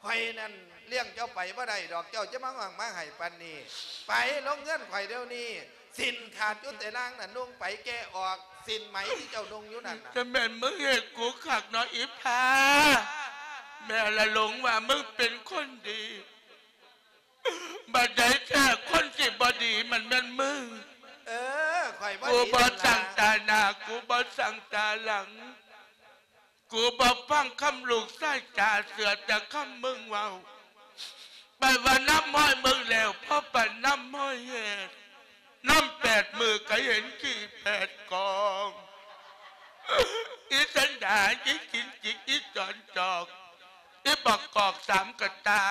ຂ້ອຍນັ້ນລ້ຽງເຈົ້າໄປບໍ່ໄດ້ດອກ ເຈົ້າຈະມາຫວັງມາໃຫ້ປານນີ້ ໄປລົງເຮືອນຂ້ອຍດຽວນີ້ ສິ້ນຂາດຢູ່ແຕ່ນາງນັ້ນ ນຸ່ງໄປແກະອອກ ສິ້ນໄໝທີ່ເຈົ້ານຸ່ງຢູ່ນັ້ນນະ. ຈະແມ່ນມຶງເຮັດກູຄັກເນາະອີ່ພາ. ແມ່ລະຫຼົງວ່າມຶງເປັນຄົນດີ ບັດໃດແທ້ຄົນທີ່ບໍ່ດີມັນແມ່ນມຶງ. ເອີ ຂ້ອຍບໍ່ດີ ກູບໍ່ສັງຕາໜ້າ ກູບໍ່ສັງຕາຫຼັງ. ກູບໍ່ຟັງຄຳລູກຊາຍຈາ ເຊື່ອແຕ່ຄຳມຶງເວົ້າ. ໄປວ່ານຳຮອຍມຶງແລ້ວ ພໍປານນຳຮອຍແຮດ ນຳແປດມື້ກໍເຫັນຂີ້ແປດກອງ. ອີສັນດານ ອີກິນຈິກ ອີຈອນຈອກ ອີບັກກອກສາມກະຕາ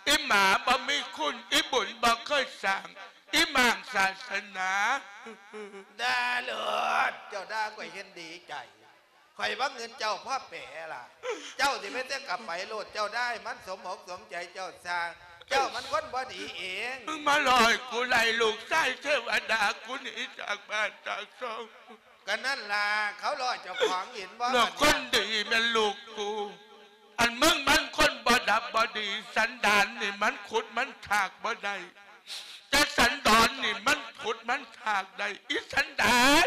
ອີໝາບໍ່ມີຄຸນ ອີບຸນບໍ່ເຄີຍສ້າງ ອີມ້າງສາສະໜາ. ດ່າໂລດ ເຈົ້າດ່າຂ້ອຍເຫັນດີໃຈ. ຂ້ອຍວ່າເງິນເຈົ້າພໍແປລະ ເຈົ້າຊິໄປແຕ່ກະໄປໂລດ ເຈົ້າດ່າໃຫ້ມັນສົມອົກສົມໃຈເຈົ້າຊະ ເຈົ້າມັນຄົນບໍ່ດີເອງ. ມຶງມາຫຼອຍກູໄລ່ລູກຊາຍເທວະດາກູໜີຈາກບ້ານຈາກຊ່ອງ. ກະນັ້ນລະ ເຂົາຫຼໍ້ເຈົ້າຂອງເຫັນບໍ່ ແລ້ວຄົນດີແມ່ນລູກກູ. ອັນມຶງມັນຄົນບໍ່ດັບບໍ່ດີ ສັນດານນີ້ມັນຂຸດມັນຖາກບໍ່ໄດ້ ແຕ່ສັນດອນນີ້ມັນຂຸດມັນຖາກໄດ້ ອີສັນດານ.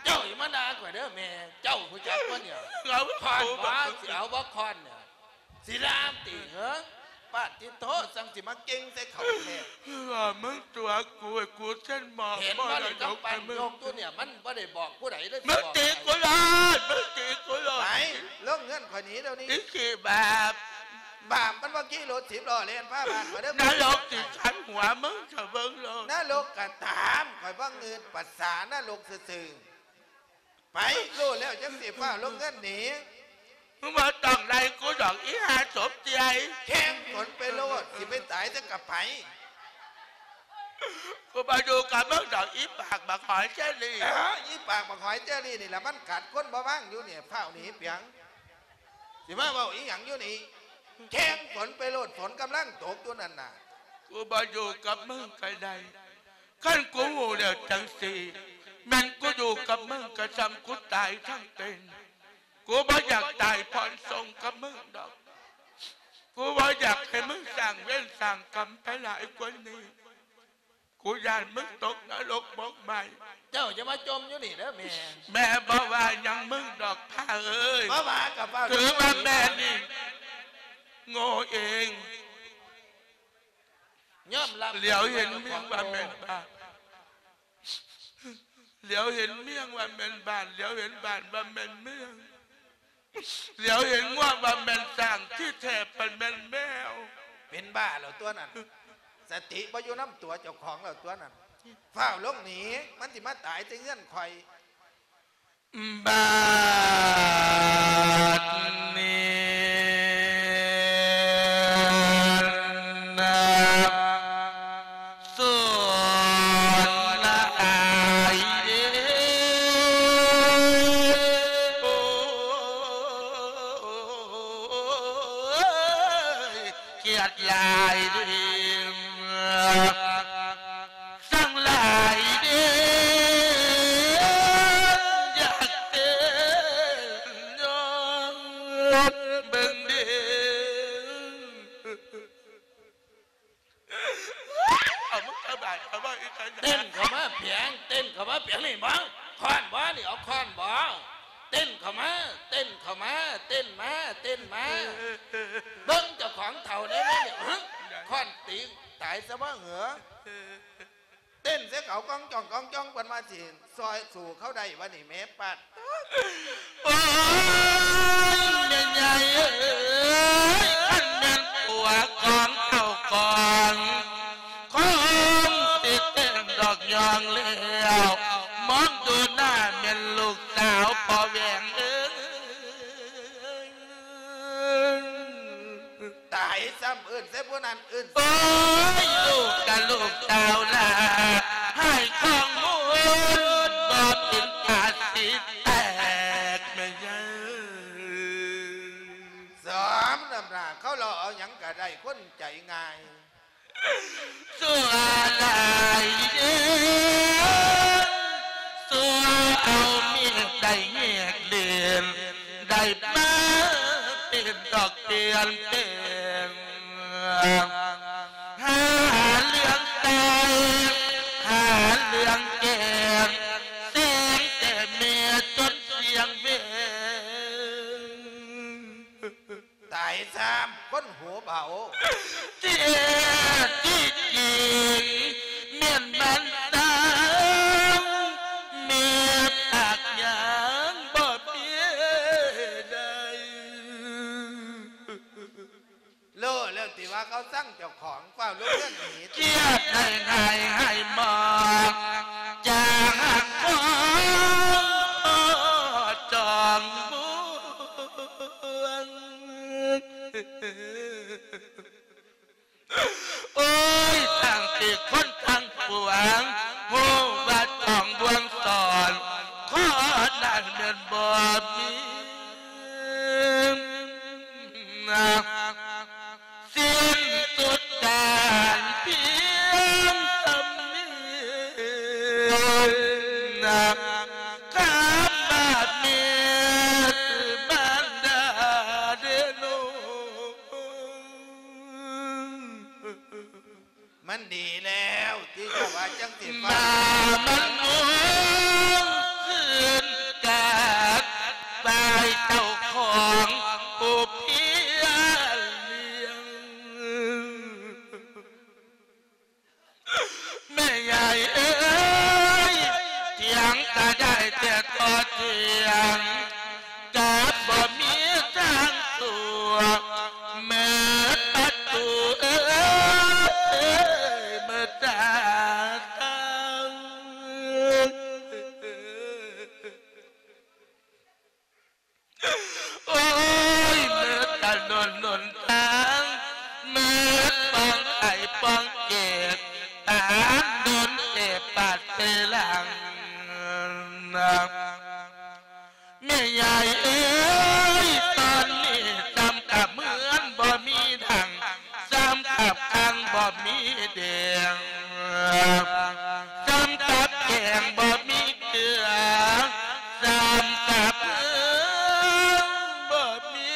ເຈົ້າຢ່າມາດ່າຂ້ອຍເດີແມ່ ເຈົ້າຮູ້ຈັກບໍ່ນີ້? ເອົາ ຄ້ອນບໍ່ ຊິເອົາບໍ່ຄ້ອນນີ້ ຊິລາມຕິເຫີ? ປາດຕິໂທ ຈັ່ງຊິມາເກັ່ງໃສ່ເຂົາແທ້. ເອີ ມຶງຕົວະກູ ໃຫ້ກູເຊັນມອບ ເຫັນບໍ່ນີ້ ມະລະດົກໃຫ້ມຶງ. ກຳປັນຍົກຢູ່ນີ້ ມັນບໍ່ໄດ້ບອກຜູ້ໃດເລີຍ ມຶງຕີກູໂລດ ມຶງຕີກູໂລດ. ໄປ ລົງເຮືອນຂ້ອຍໜີດຽວນີ້ ອີຂີ້ບາບ. ບາບມັນບໍ່ຂີ່ລົດສິບລໍ້ແລ່ນພາບ້ານມາເດີ. ນະລົກຊິຂັນຫົວມຶງ ເຈົ້າເບິ່ງໂລດ. ນະລົກກະຕາມ ຂ້ອຍບໍ່ງືດປະສານະລົກຊື່ໆ. ໄປ ຮູ້ແລ້ວຈັ່ງຊິຟ້າວລົງເຮືອນໜີ. ມຶງບໍ່ຕ້ອງໄລ່ກູດອກ ອີຫ່າສົມເຈຍ. ແຂ່ງຝົນໄປໂລດ ຊິໄປຕາຍໃສກະໄປ. ກູບໍ່ຢູ່ກັບມຶງດອກ ອີປາກບັກຫອຍເຈລີ. ເອີ ອີປາກບັກຫອຍເຈລລີນີ້ລະ ມັນກັດຄົນບໍ່ວາງຢູ່ນີ້ ຟ້າວໜີປຽງ. ຊິມາເວົ້າອີ່ຫຍັງຢູ່ນີ້? ແຂ່ງຝົນໄປໂລດ ຝົນກຳລັງຕົກຢູ່ນັ້ນນະ. ກູບໍ່ຢູ່ກັບມຶງກະໄດ້. ຄັນກູຮູ້ແລ້ວຈັ່ງຊີ້ ແມ່ນກູຢູ່ກັບມຶງກະຊ່ຳກູຕາຍທັງເປັນ. ກູບໍ່ຢາກຕາຍຜ່ອນສົ່ງກັບມຶງດອກ. ກູບໍ່ຢາກໃຫ້ມຶງສ້າງເວນສ້າງກຳໄປຫຼາຍກວ່ານີ້. ກູຢ້ານມຶງຕົກນະລົກໝົກໄໝ້. ເຈົ້າຢ່າມາຈົ່ມຢູ່ນີ້ເດີແມ່. ແມ່ບໍ່ວ່າຫຍັງມຶງດອກ ພາເອີຍ. ບໍ່ວ່າກະຟ້າວ ຖືວ່າແມ່ນີ້ໂງ່ເອງ. ຍອມຮັບ ຫຼຽວເຫັນເມືອງວ່າແມ່ນບ້ານ ຫຼຽວເຫັນເມືອງວ່າແມ່ນບ້ານ ຫຼຽວເຫັນບ້ານວ່າແມ່ນເມືອງ ຫຼຽວເຫັນງົວວ່າແມ່ນຊ້າງ ທີ່ແທ້ມັນແມ່ນແມວ. ເປັນບ້າແລ້ວຕົວນັ້ນ ສະຕິບໍ່ຢູ່ນຳຕົວເຈົ້າຂອງແລ້ວຕົວນັ້ນ. ຟ້າວລົງໜີ ມັນຊິມາຕາຍແຕ່ເຮືອນຂ້ອຍ. ບາດນີ້ນະ ສອນນະອາຍເດ້ ໂອ້ຍ ກຽດຫຼາຍເດ້ ສັງຫຼາຍເດ້ ຢາກເຕັ້ນຍ້ອນເບິ່ງເດ້. ເອົາ ມຶງສະບາຍ ເອົາ ເວົ້າອີກ ເຕັ້ນເຂົ້າມາພຽງ ເຕັ້ນເຂົ້າມາພຽງ ນີ້ບໍ່ ຄ້ອນບໍ່ ນີ້ ເອົາຄ້ອນບໍ່ ເຕັ້ນເຂົ້າມາ ເຕັ້ນເຂົ້າມາ ເຕັ້ນມາ ເຕັ້ນມາ. ເອີ ເອີ ເອີ ເບິ່ງເຈົ້າຂອງເຖົ້າແດ່ ນີ້ ຮະ ຄ້ອນຕີຕາຍຊະບໍ່ເຫີ? ເຕັ້ນໃສ່ເຂົາກ້ອງຈ້ອງກ້ອງຈ້ອງ ເພິ່ນວ່າຊິຊ່ອຍສູ້ເຂົາໄດ້ວະນີ້ ແມ່ປາດ. ໂອ້ຍ ແມ່ໃຫຍ່ເອີຍ ຄັນແມ່ນຜົວຂອງເຖົ້າກ່ອນ ຄົງຊິເຕັ້ນດອກຍອງແລ້ວ ມອງດູໜ້າແມ່ນລູກສາວພໍ່ແຫວງເອີຍ. ຕາຍຊ້ຳ ເອີ້ນໃສ່ຜູ້ນັ້ນ ເອີ້ນ. ໂອ້ຍ ລູກກະລູກສາວຫຼ້າ ໃຫ້ຄອງມູນ ບໍ່ເປັນຕາຊິແຕກແມ່ໃຫຍ່. ສອມນ້ຳໜ້າ ເຂົາເລາະເອົາຫຍັງກະໄດ້ ຄົນໃຈງ່າຍ. ຊົ່ວຫຼາຍເດ້ ຊົ່ວເອົາມີດໄດ້ແຍກເລນ ໄດ້ມາເປັນດອກປ່ຽນແປງ ຫາເລື່ອງໃສ່ ຫາເລື່ອງ ນຳຄົນຫູເບົາ. ແທ້ທີ່ຈິງແມ່ນມັນຕາຍ ແມ່ປາກຫຍັງບໍ່ມີໄດ້. ເລີແລ້ວຕິວ່າເຂົາຊັງເຈົ້າຂອງ ຟ້າວລົງເຮືອນໜີ. ກຽດໃຫ້ຫາຍໃຫ້ໝອກ ຈາກຮັກຂອງຈອມບວນ. ໂອ້ຍ ທັງທີ່ຄົນທັງປວງ ຮູ້ວ່າຈອມບວນສອນ ຂໍນັ້ນແມ່ນບໍ່ມີ ສິ້ນສຸດການພຽງສ່ຳນີ້ ຄຳວ່າແມ່ຄືມານດາເດໂນ. ມັນດີແລ້ວທີ່ເຈົ້າວ່າຈັ່ງຊີ້ ມາມັນງວນຄືນກາດ ຝ່າຍເຈົ້າຂອງຜູ້ພຽນລ້ຽງ. ແມ່ຍາຍເອີຍ ຖຽງກະໄດ້ແຕ່ຕໍ່ຖຽງ ກະບໍ່ມີທາງຕົວະ ເມີດປະຕູເອີຍ ເມີດຕາຕັ້ງ. ໂອ້ຍ ເມີດຖະໜົນຫົນທາງ ເມີດປ່ອງໄອປ່ອງເກດ ຕາມດົນເອບາດເຕລັງ. ແມ່ຍາຍເອີຍ ຕອນນີ້ຊ້ຳກັບເຮືອນບໍ່ມີດັງ ຊ້ຳກັບຄັງບໍ່ມີແດງ ຊ້ຳກັບແກງບໍ່ມີເກືອ ຊ້ຳກັບເຮືອນບໍ່ມີ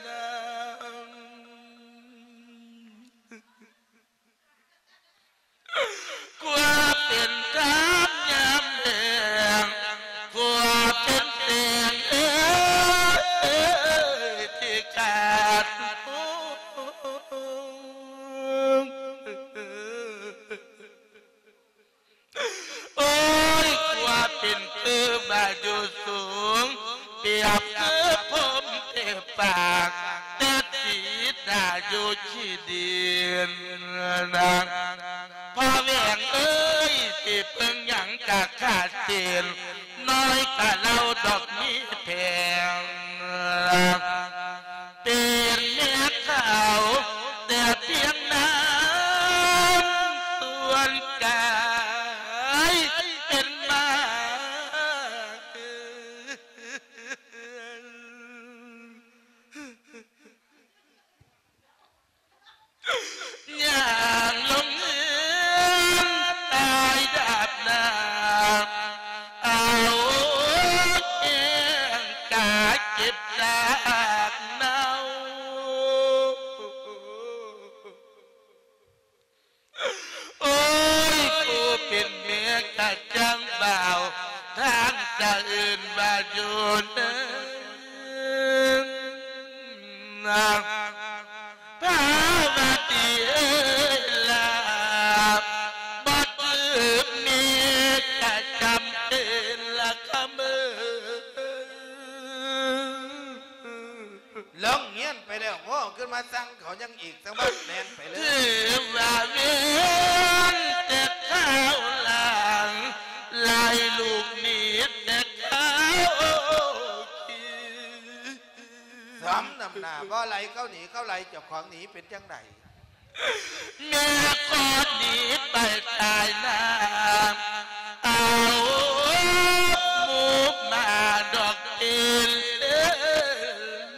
ນ້ຳ. ກວ່າເປັນທາມຍາມແລ້ງ ກວ່າເປັນແສງເອີຍ ທີ່ຂາດຫົວ. ໂອ້ຍ ກວ່າເປັນຄືວ່າຢູ່ສູງ ປຽບຄືພົມເທພາກ ແຕ່ສີດາຢູ່ຂີ້ດິນ. ພໍ່ແຫວງເອີຍ ຊິເບິ່ງຫຍັງກະຂາດເສັ້ນ ນ້ອຍກະເລົ່າດອກມີແພງ ເປັນແມ່ເຂົາແຕ່ພຽງນ້ຳສ່ວນກາຍ ເປັນມາ ຍ່າງລົງເຮືອນຕາຍດາບໜ້າ ເອົາແກງກາເກັບຊາກເນົ່າ. ໂອ້ຍ ຜູ້ເປັນແມ່ກະຈັ່ງເບົາ ທາງສະອື່ນວ່າຢູ່ເນີນ ພາວະດີເອີຍລາ ບໍ່ຖືກແມ່ກະຈຳເປັນລະຄຳເອີຍ. ລົງຮຽນໄປແລ້ວ ໂຫ ຂຶ້ນມາສັ່ງເຂົາຫຍັງອີກ ສະຫວັດແລ່ນໄປເລີຍ. ຖືວ່າເວນແຕ່ຄາວຫຼັງ ໄລ່ລູກໜີແຕ່ຄາວທີ່ ສົມນ້ຳໜ້າ ບໍ່ໄລ່ເຂົາໜີ ເຂົາໄລ່ເຈົ້າຂອງໜີ ເປັນຈັ່ງໃດ? ແມ່ຂໍໜີໄປຕາຍໜ້າ ເອົາໝູ່ໝາດອກເປັນ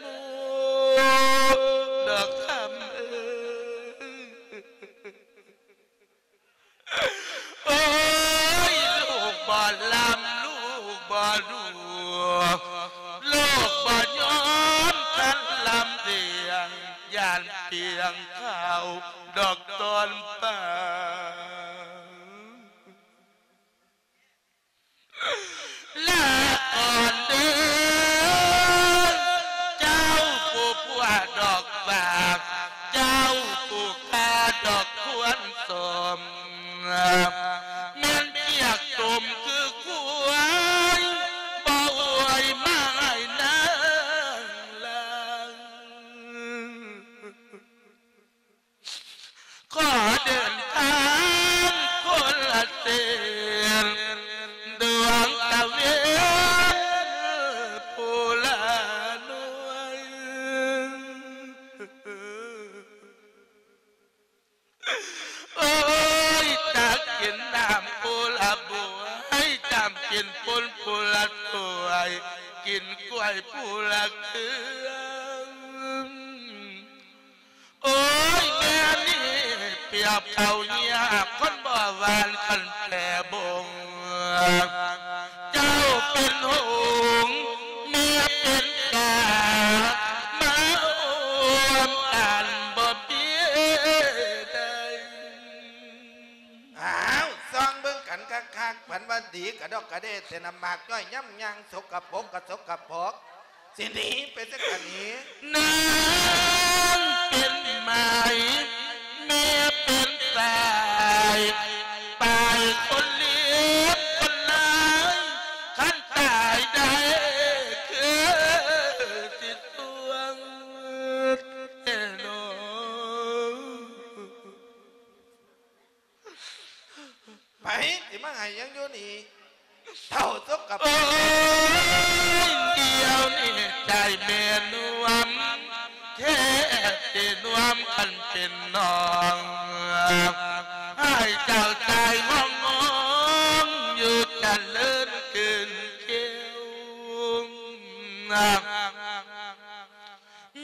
ໝູ່ ດອກຄຳເອີຍ. ໂອ້ຍ ລູກບໍ່ລ່ຳ ລູກບໍ່ລວຍ ລູກບໍ່ຍອມຄັນລຳດຽງ ຢ້ານປ່ຽງເຂົ້າດອກຕອນປາ ລາກ່ອນເດີ ເຈົ້າຜູ້ຜົວ ກິນກ້ວຍຜູ້ລະເຄືອງ. ໂອ້ຍ ແມ່ນີ້ປຽບເຂົ້າຍາກ ຄົນບໍ່ຫວານຄັນແປບົງ. ເຈົ້າເປັນຫົງ ແມ່ເປັນກາ ມາຮ່ວມກັນບໍ່ມີໄດ້. ອ້າວ ສ່ອງເບິ່ງກັນຄັກໆ ພັນວ່າດີກະດອກກະເດ ແຕ່ນ້ຳໝາກຍ້ອຍຍຳຍ່າງ ສົກກະປົກກະສົກກະປົກ ຊິໜີໄປໃສກະໜີ. ນາງເປັນໄມ້ ແມ່ເປັນຕາຍ ປາຍຄົນເລວຄົນລາຍ ຄັນຕາຍໄດ້ຄືຊິສວງແນ່ນອນ. ໄປ ຊິມາໃຫ້ຫຍັງຢູ່ນີ້ ເຖົ້າສົກກະປົກ. ໂອ້ຍ ດຽວນີ້ໃຈແມ່ນວມ ແທ້ເຈນວມຄັນເປັນນ້ອງ ໃຫ້ເຈົ້າຕາຍຫ້ອງໆ ຢູ່ຈະເລີນເກີນແກ້ວ.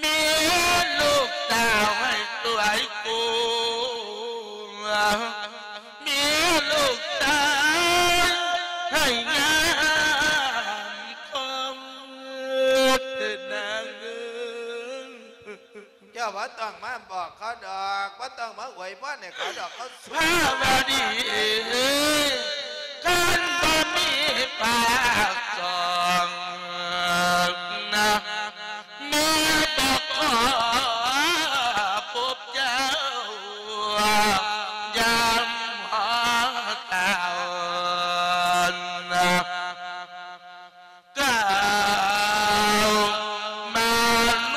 ມີລູກສາວໃຫ້ສວຍກູ ມີລູກຊາຍໃຫ້ງາມຄອງ ນາງເອີຍ. ເຈົ້າບໍ່ຕ້ອງມາບອກເຂົາດອກ ບໍ່ຕ້ອງມາອວຍພອນໃຫ້ເຂົາດອກ ເຂົາສວຍ. ພາວະດີເອີຍ ຄັນບໍ່ມີປາກສອງນະ ແມ່ບໍ່ຂໍພົບເຈົ້າ ຍາມຫາເຈົ້ານະ ກ່າວມາໂລ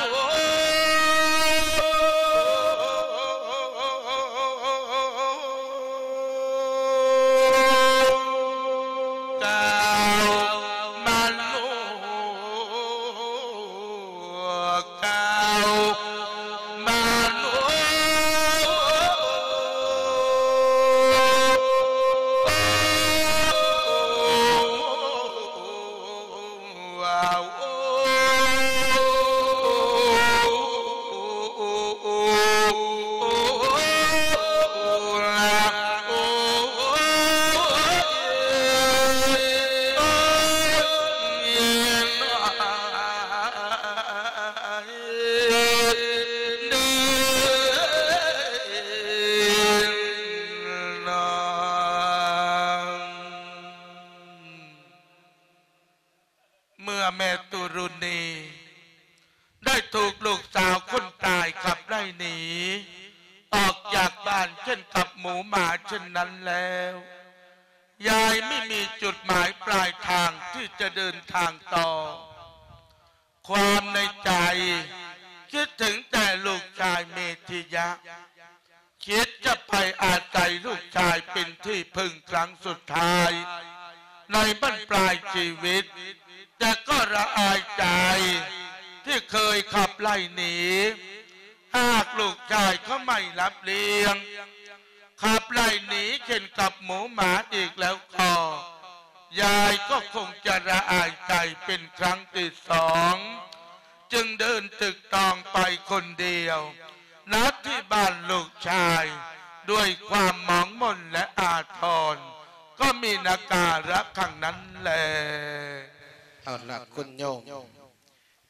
ກ່າວມາໂລ ກ່າວມາໂລ. ເມື່ອແມ່ຕຸລຸນີໄດ້ຖືກລູກສາວຄົນຕາຍຂັບໄລ່ໜີອອກຈາກບ້ານເຊັ່ນກັບໝູໝາເຊັ່ນນັ້ນແລ້ວ, ຍາຍໄມ່ມີຈຸດໝາຍປາຍທາງທີ່ຈະເດີນທາງຕໍ່. ຄວາມໃນໃຈຄິດເຖິງແຕ່ລູກຊາຍເມທິຍະ, ຄິດຈະໄປອາໄສລູກຊາຍເປັນທີ່ເພິ່ງຄັ້ງສຸດທ້າຍໃນບັ້ນປາຍຊີວິດ, ແຕ່ກໍລະອາຍໃຈທີ່ເຄີຍຂັບໄລ່ໜີ. ຫາກລູກຊາຍເຂົາໄມ່ຮັບລ້ຽງ, ຂັບໄລ່ໜີເຊັ່ນກັບໝູໝາອີກແລ້ວກໍ ຍາຍກໍຄົງຈະລະອາຍໃຈເປັນຄັ້ງທີສອງ, ຈຶ່ງເດີນຕຶກຕອງໄປຄົນດຽວ ນັດທີ່ບ້ານລູກຊາຍ ດ້ວຍຄວາມໝອງໝົນ ແລະ ອາທອນ, ກໍມີນາກາລະຄັ້ງນັ້ນແລ. ເອົາລະຄຸນໂຍມ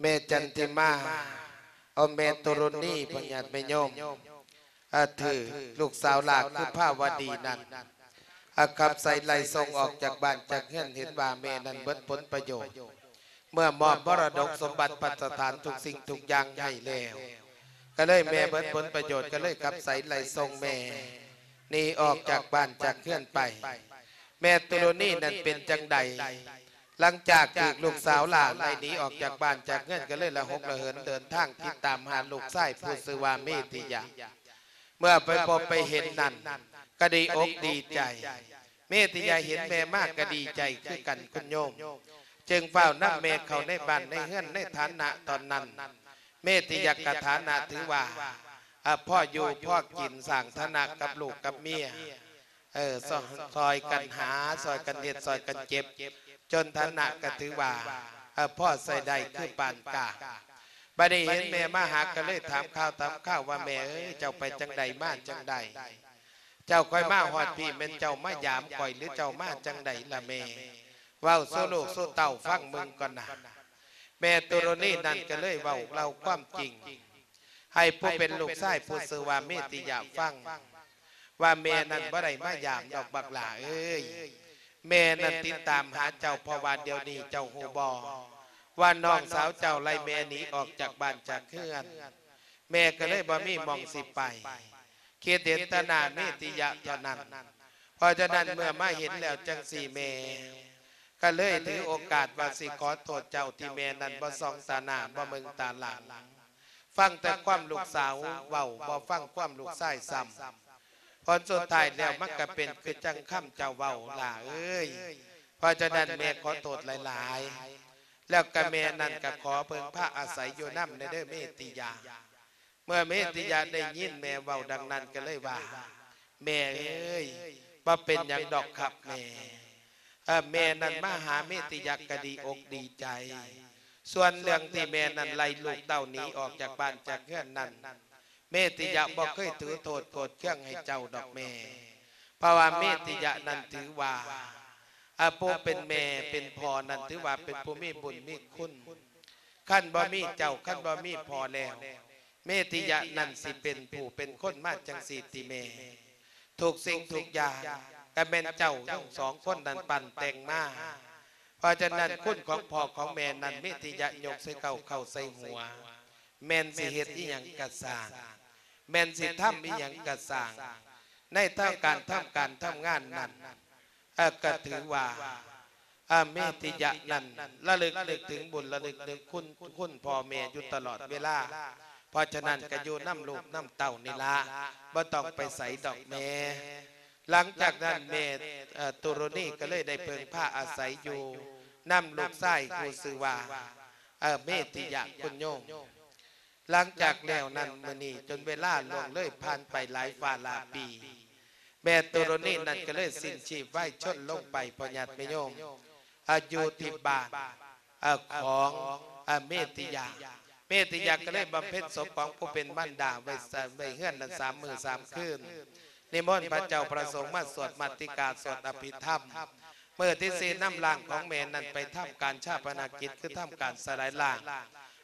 ແມ່ຈັນທິມາ ເອົາແມ່ຕຸລຸນີ ພະຍາດແມ່ໂຍມ ອາ ຖືລູກສາວຫຼ້າຄືພາວະດີນັ້ນ ອາ ຂັບໄສໄລ່ສົ່ງອອກຈາກບ້ານຈາກເຮືອນ, ເຫັນວ່າແມ່ນັ້ນເບິດຜົນປະໂຫຍດ ເມື່ອມອບມໍລະດົກສົມບັດພັດສະຖານທຸກສິ່ງທຸກຢ່າງໃຫ້ແລ້ວ, ກໍເລີຍແມ່ເບິດຜົນປະໂຫຍດ ກໍເລີຍຂັບໄສໄລ່ສົ່ງແມ່ໜີອອກຈາກບ້ານຈາກເຮືອນໄປ. ແມ່ຕຸລຸນີນັ້ນເປັນຈັ່ງໃດ? ຫຼັງຈາກຖືກລູກສາວຫຼ້າໄລ່ໜີອອກຈາກບ້ານຈາກເຮືອນ ກໍເລີຍລະຫົກລະເຫີນເດີນທາງຕິດຕາມຫາລູກຊາຍຜູ້ຊື່ວ່າເມທິຍະ. ເມື່ອໄປພົບໄປເຫັນນັ້ນ ກໍດີອົກດີໃຈ, ເມທິຍະເຫັນແມ່ມາກໍດີໃຈຄືກັນຄຸນໂຍມ, ຈຶ່ງຟ້າວນຳແມ່ເຂົ້າໃນບ້ານໃນເຮືອນ. ໃນຖານະຕອນນັ້ນ ເມທິຍະກະຖານະຖືວ່າ ອາ ພໍຢູ່ພໍກິນ, ສ້າງຖານະກັບລູກກັບເມຍ ເອີ ຊ່ອຍກັນຫາ, ຊ່ອຍກັນເຮັດ, ຊ່ອຍກັນເກັບ, ຈົນຖານະກໍຖືວ່າ ເອີ ພໍໃຊ້ໄດ້ຄືປານກາງ. ບັດນີ້ເຫັນແມ່ມາຫາ ກໍເລີຍຖາມຂ່າວຖາມຄາວວ່າ ແມ່ເອີຍ ເຈົ້າໄປຈັ່ງໃດມາຈັ່ງໃດ? ເຈົ້າຄ່ອຍມາຮອດພີ້ ແມ່ນເຈົ້າມາຢາມຂ້ອຍ ຫຼືເຈົ້າມາຈັ່ງໃດລະແມ່? ເວົ້າສູ່ລູກສູ່ເຕົ້າຟັງເບິ່ງກ່ອນນະ. ແມ່ຕຸຣະນີນັ້ນກໍເລີຍເວົ້າເລົ່າຄວາມຈິງ ໃຫ້ຜູ້ເປັນລູກຊາຍຜູ້ຊື່ວ່າເມຕິຍະຟັງ ວ່າແມ່ນັ້ນບໍ່ໄດ້ມາຢາມດອກບັກຫຼ້າເອີຍ. ແມ່ນັ້ນຕິດຕາມຫາເຈົ້າ ເພາະວ່າດຽວນີ້ເຈົ້າຮູ້ບໍ່ ວ່ານ້ອງສາວເຈົ້າໄລ່ແມ່ໜີອອກຈາກບ້ານຈາກເຮືອນ. ແມ່ກໍເລີຍບໍ່ມີໝ່ອງຊິໄປ ຄິດເຫັນແຕ່ໜ້າເມຕິຍະເທົ່ານັ້ນ. ເພາະສະນັ້ນເມື່ອມາເຫັນແລ້ວຈັ່ງຊີ້ ແມ່ກໍເລີຍຖືໂອກາດວ່າຊິຂໍໂທດເຈົ້າ ທີ່ແມ່ນັ້ນບໍ່ສ່ອງຕາໜ້າ ບໍ່ເບິ່ງຕາຫຼັງ ຟັງແຕ່ຄວາມລູກສາວເວົ້າ ບໍ່ຟັງຄວາມລູກຊາຍຊ້ຳ. ຜົນສຸດທ້າຍແລ້ວມັນກໍເປັນຄືຈັ່ງຄຳເຈົ້າເວົ້າຫຼ້າເອີຍ. ເພາະສະນັ້ນແມ່ຂໍໂທດຫຼາຍໆ. ແລ້ວກໍແມ່ນັ້ນກໍຂໍເພິ່ງພາອາໄສຢູ່ນຳແດ່ເດີເມຕິຍະ. ເມື່ອເມຕິຍະໄດ້ຍິນແມ່ເວົ້າດັ່ງນັ້ນກໍເລີຍວ່າ ແມ່ເອີຍ ບໍ່ເປັນຫຍັງດອກຄັບແມ່. ເອີ ແມ່ນັ້ນມາຫາເມຕິຍະກໍດີອົກດີໃຈ. ສ່ວນເລື່ອງທີ່ແມ່ນັ້ນໄລ່ລູກເຕົ້າໜີອອກຈາກບ້ານຈາກເຮືອນນັ້ນ ເມຕິຍະບໍ່ເຄີຍຖືໂທດໂກດເຄືອງໃຫ້ເຈົ້າດອກແມ່. ເພາະວ່າເມຕິຍະນັ້ນຖືວ່າ ອາ ຜູ້ເປັນແມ່ເປັນພໍ່ນັ້ນຖືວ່າເປັນຜູ້ມີບຸນມີຄຸນ. ຄັນບໍ່ມີເຈົ້າ ຄັນບໍ່ມີພໍ່ແລ້ວ ເມຕິຍະນັ້ນຊິເປັນຜູ້ເປັນຄົນມາຈັ່ງຊີ້ຕິແມ່? ທຸກສິ່ງທຸກຢ່າງກໍແມ່ນເຈົ້າທັງສອງຄົນນັ້ນປັ້ນແຕ່ງມາ. ເພາະສະນັ້ນຄຸນຂອງພໍ່ຂອງແມ່ນັ້ນ ເມຕິຍະຍົກໃສ່ເກົ້າເຂົ້າໃສ່ຫົວ. ແມ່ນຊິເຮັດອີ່ຫຍັງກະຊ່າງ ແມ່ນຊິທຳອີ່ຫຍັງກະຊ່າງ ໃນທາງການທຳການທຳງານນັ້ນ ເອີ ກໍຖືວ່າ ອາ ເມຕິຍະນັ້ນລະລຶກນຶກເຖິງບຸນ ລະລຶກນຶກຄຸນ ຄຸນພໍ່ແມ່ຢູ່ຕະຫຼອດເວລາ. ເພາະສະນັ້ນກໍຢູ່ນຳລູກນຳເຕົ້ານີ້ລະ ບໍ່ຕ້ອງໄປໃສດອກແມ່. ຫຼັງຈາກນັ້ນແມ່ ເອີ ຕຸຣະນີກໍເລີຍໄດ້ເພິ່ງພາອາໄສຢູ່ນຳລູກຊາຍຜູ້ຊື່ວ່າ ເອີ ເມຕິຍະຄຸນໂຍມ. ຫຼັງຈາກແລ້ວນັ້ນມື້ນີ້ ຈົນເວລາລ່ວງເລີຍຜ່ານໄປຫຼາຍຟ້າຫຼາຍປີ ແມ່ຕຸຣະນີນັ້ນກໍເລີຍສິ້ນຊີບວາຍຊົນລົງໄປ ພໍ່ຍາດແມ່ໂຍມ ອາ ຢູ່ທີ່ບ້ານ ອາ ຂອງ ອາ ເມຕິຍາ. ເມຕິຍາກໍເລີຍບຳເພັນສົບຂອງຜູ້ເປັນມານດາໄວ້ ໄວ້ເຮືອນນັ້ນສາມມື້ສາມຄືນ ນິມົນພະເຈົ້າພະສົງມາສວດມາຕິກາ ສວດອະພິທຳ. ມື້ທີສີ່ນຳຮ່າງຂອງແມ່ນັ້ນໄປທຳການຊາປະນະກິດ ຄືທຳການສະລາຍຮ່າງ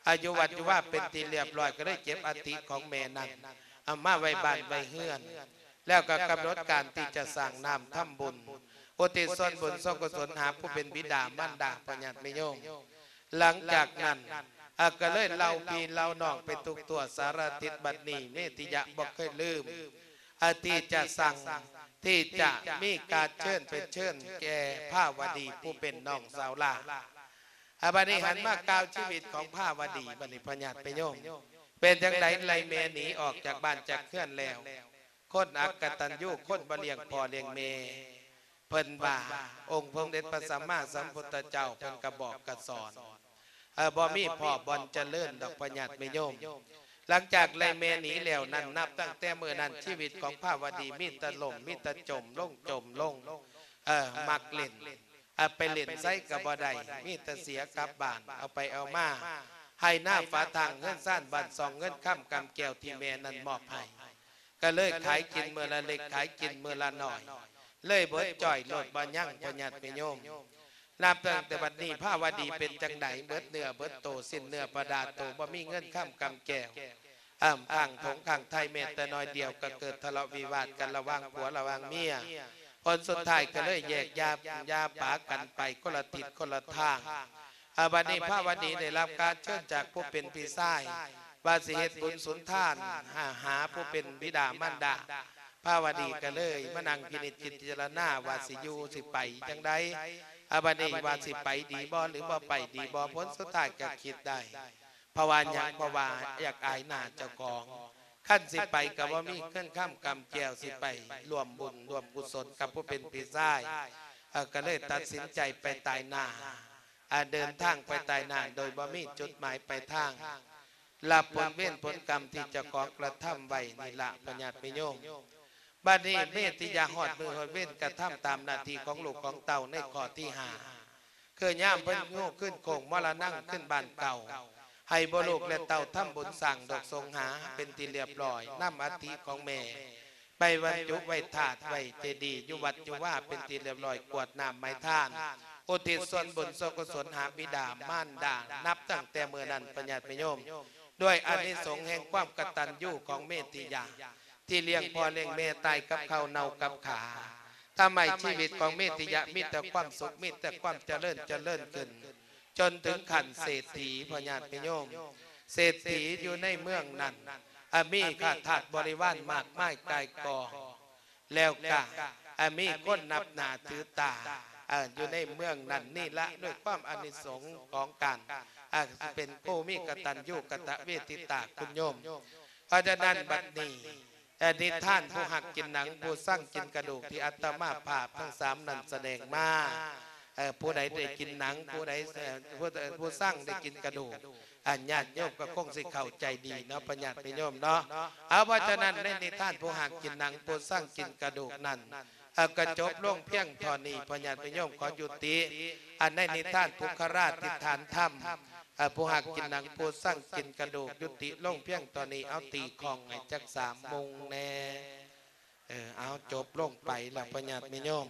ອາ ຢູ່ວັດຢູ່ວາເປັນທີ່ລຽບຮ້ອຍ ກໍເລີຍເກັບອັດຖິຂອງແມ່ນັ້ນ ເອົາມາໄວ້ບ້ານໄວ້ເຮືອນ ແລ້ວກໍກຳນົດການທີ່ຈະສ້າງນ້ຳທຳບຸນ ອຸທິດສ່ວນບຸນສ່ວນກຸສົນຫາຜູ້ເປັນບິດາມານດາ ພໍ່ຍາດແມ່ໂຍມ. ຫຼັງຈາກນັ້ນ ອາ ກໍເລີຍເລົ່າພີ່ເລົ່ານ້ອງໄປທຸກທົ່ວສາລະທິດ. ບັດນີ້ເມຕິຍະບໍ່ເຄີຍລືມ ອາ ທີ່ຈະສັ່ງ ທີ່ຈະມີການເຊີນ ເປັນເຊີນແກ່ພາວະດີຜູ້ເປັນນ້ອງສາວຫຼ້າ. ອາ ບັດນີ້ຫັນມາກ່າວຊີວິດຂອງພາວະດີ ບັດນີ້ ພໍ່ຍາດແມ່ໂຍມ ເປັນຈັ່ງໃດໄລ່ແມ່ໜີອອກຈາກບ້ານຈາກເຮືອນແລ້ວ ຄົນອັກກະຕັນຍູ ຄົນບໍ່ລ້ຽງພໍ່ລ້ຽງແມ່ ເພິ່ນວ່າ ອົງສົມເດັດພະສຳມາສຳພຸດທະເຈົ້າເພິ່ນກະບອກກະສອນ ເອີ ບໍ່ມີພໍ່ບ່ອນຈະເລີນດອກ ພໍ່ຍາດແມ່ໂຍມ. ຫຼັງຈາກໄລ່ແມ່ໜີແລ້ວນັ້ນ ນັບຕັ້ງແຕ່ມື້ນັ້ນ ຊີວິດຂອງພາວະດີມີແຕ່ລົ້ມ ມີແຕ່ຈົມລົງ ຈົມລົງ ເອີ ມັກຫຼິ້ນ ເອົາໄປຫຼິ້ນໃສກໍບໍ່ໄດ້ ມີແຕ່ເສຍກັບບ້ານ ເອົາໄປເອົາມາ ໄຮ່ນາຝາທາງ ເຮືອນຊານບ້ານຊ່ອງ ເງິນຄຳກຳແກ້ວທີ່ແມ່ນັ້ນມອບໃຫ້ ກໍເລີຍຂາຍກິນມື້ລະເລັກ ຂາຍກິນມື້ລະໜ້ອຍ ເລີຍເບິດຈ້ອຍໂລດບໍ່ຍັງ ພໍ່ຍາດແມ່ໂຍມ. ນັບຕັ້ງແຕ່ບັດນີ້ພາວະດີເປັນຈັ່ງໃດ? ເບິດເນື້ອເບິດໂຕ ສິ້ນເນື້ອປະດາໂຕ ບໍ່ມີເງິນຄຳກຳແກ້ວ ອ້າມຂ້າງຖົງຂ້າງໄທແມ້ແຕ່ໜ້ອຍດຽວ ກໍເກີດທະເລາະວິວາດກັນລະຫວ່າງຜົວລະຫວ່າງເມຍ. ຜົນສຸດທ້າຍກໍເລີຍແຍກຢາ ຢ່າປາກັນໄປຄົນລະທິດຄົນລະທາງ. ອາ ບັດນີ້ພາວະດີໄດ້ຮັບການເຊີນຈາກຜູ້ເປັນພີ່ຊາຍ ວ່າຊິເຮັດບຸນສຸນທານ ຫາ ຫາຜູ້ເປັນບິດາມານດາ. ພາວະດີກໍເລີຍມານັ່ງພິນິດພິຈາລະນາວ່າຊິຢູ່ຊິໄປຈັ່ງໃດ. ອາ ບັດນີ້ວ່າຊິໄປດີບໍ່ ຫຼືບໍ່ໄປດີບໍ່? ຜົນສຸດທ້າຍກໍຄິດໄດ້. ເພາະວ່າຫຍັງ? ເພາະວ່າຢາກອາຍໜ້າເຈົ້າຂອງ. ຄັນຊິໄປກໍບໍ່ມີເງິນຄຳກຳແກ້ວ ຊິໄປຮ່ວມບຸນຮ່ວມກຸສົນກັບຜູ້ເປັນພີ່ຊາຍ. ເອີ ກໍເລີຍຕັດສິນໃຈໄປຕາຍໜ້າ. ອາ ເດີນທາງໄປຕາຍໜ້າໂດຍບໍ່ມີຈຸດໝາຍປາຍທາງ ຮັບຜົນເວນຜົນກຳທີ່ເຈົ້າຂອງກະທຳໄວ້ນີ້ລະ ພໍ່ຍາດແມ່ໂຍມ. ບັດນີ້ເມຕິຍາຮອດມື້ຮອດເວນ ກະທຳຕາມໜ້າທີ່ຂອງລູກຂອງເຕົ້າໃນຂໍ້ທີຫ້າ. ຄືຍາມເພິ່ນໂຍຂຶ້ນໂຄ້ງມໍລະນັງຂຶ້ນບ້ານເກົ່າ ໃຫ້ໂບລູກແລະເຕົ້າທຳບຸນສ້າງດອກສົງຫາເປັນທີ່ລຽບຮ້ອຍ, ນຳອັດຖິຂອງແມ່ໄປບັນຈຸໄວ້ທາດໄວ້ເຈດີຢູ່ວັດຢູ່ວາເປັນທີ່ລຽບຮ້ອຍ, ກວດນ້ຳໃຫ້ທານ ອຸທິດສ່ວນບຸນສ່ວນກຸສົນຫາບິດາມານດາ ນັບຕັ້ງແຕ່ມື້ນັ້ນ ພະຍາດພະໂຍມ ດ້ວຍອານິສົງແຫ່ງຄວາມກະຕັນຍູຂອງເມດທິຍາ ທີ່ລ້ຽງພໍ່ລ້ຽງແມ່ ຕາຍກັບເຂົ້າເນົ່າກັບຂາ ທຳໃຫ້ຊີວິດຂອງເມດທິຍາມີແຕ່ຄວາມສຸກ ມີແຕ່ຄວາມຈະເລີນ ຈະເລີນຂຶ້ນ ຈົນເຖິງຂັ້ນເສດຖີ ພະຍາດພະໂຍມ ເສດຖີຢູ່ໃນເມືອງນັ້ນ ອາ ມີຂ້າທາດບໍລິວານມາກມາຍກ່າຍກອງ ແລ້ວກະ ອາ ມີຄົນນັບໜ້າຖືຕາ ເອີ ຢູ່ໃນເມືອງນັ້ນນີ້ລະ ດ້ວຍຄວາມອານິສົງຂອງການ ອາ ເປັນຜູ້ມີກະຕັນຍູກະຕະເວທິຕາຄຸນໂຍມ. ເພາະສະນັ້ນບັດນີ້ ເອີ ນິທານຜູ້ຮັກກິນໜັງ ຜູ້ຊັງກິນກະດູກ ທີ່ອາດຕະມາພາບທັງສາມນັ້ນສະແດງມາ ເອີ ຜູ້ໃດໄດ້ກິນໜັງ ຜູ້ໃດ ເອີ ຜູ້ ຜູ້ຊັງໄດ້ກິນກະດູກ ອັນຍາດໂຍມກໍຄົງຊິເຂົ້າໃຈດີເນາະ ພະຍາດພະໂຍມເນາະ. ເອົາ ເພາະສະນັ້ນໃນນິທານຜູ້ຮັກກິນໜັງ ຜູ້ຊັງກິນກະດູກນັ້ນ ເອີ ກໍຈົບລົງພຽງເທົ່ານີ້ ພະຍາດພະໂຍມ ຂໍຍຸຕິ ອັນໃນນິທານປຸກຄະລາທິຖານທຳ ເອີ ຜູ້ຮັກກິນໜັງ ຜູ້ຊັງກິນກະດູກ ຍຸຕິລົງພຽງເທົ່ານີ້. ເອົາ ຕີຂ້ອງໃຫ້ຈັກສາມມຸງແດ່. ເອີ ເອົາ ຈົບລົງໄປລະ ພະຍາດແມ່ໂຍມ.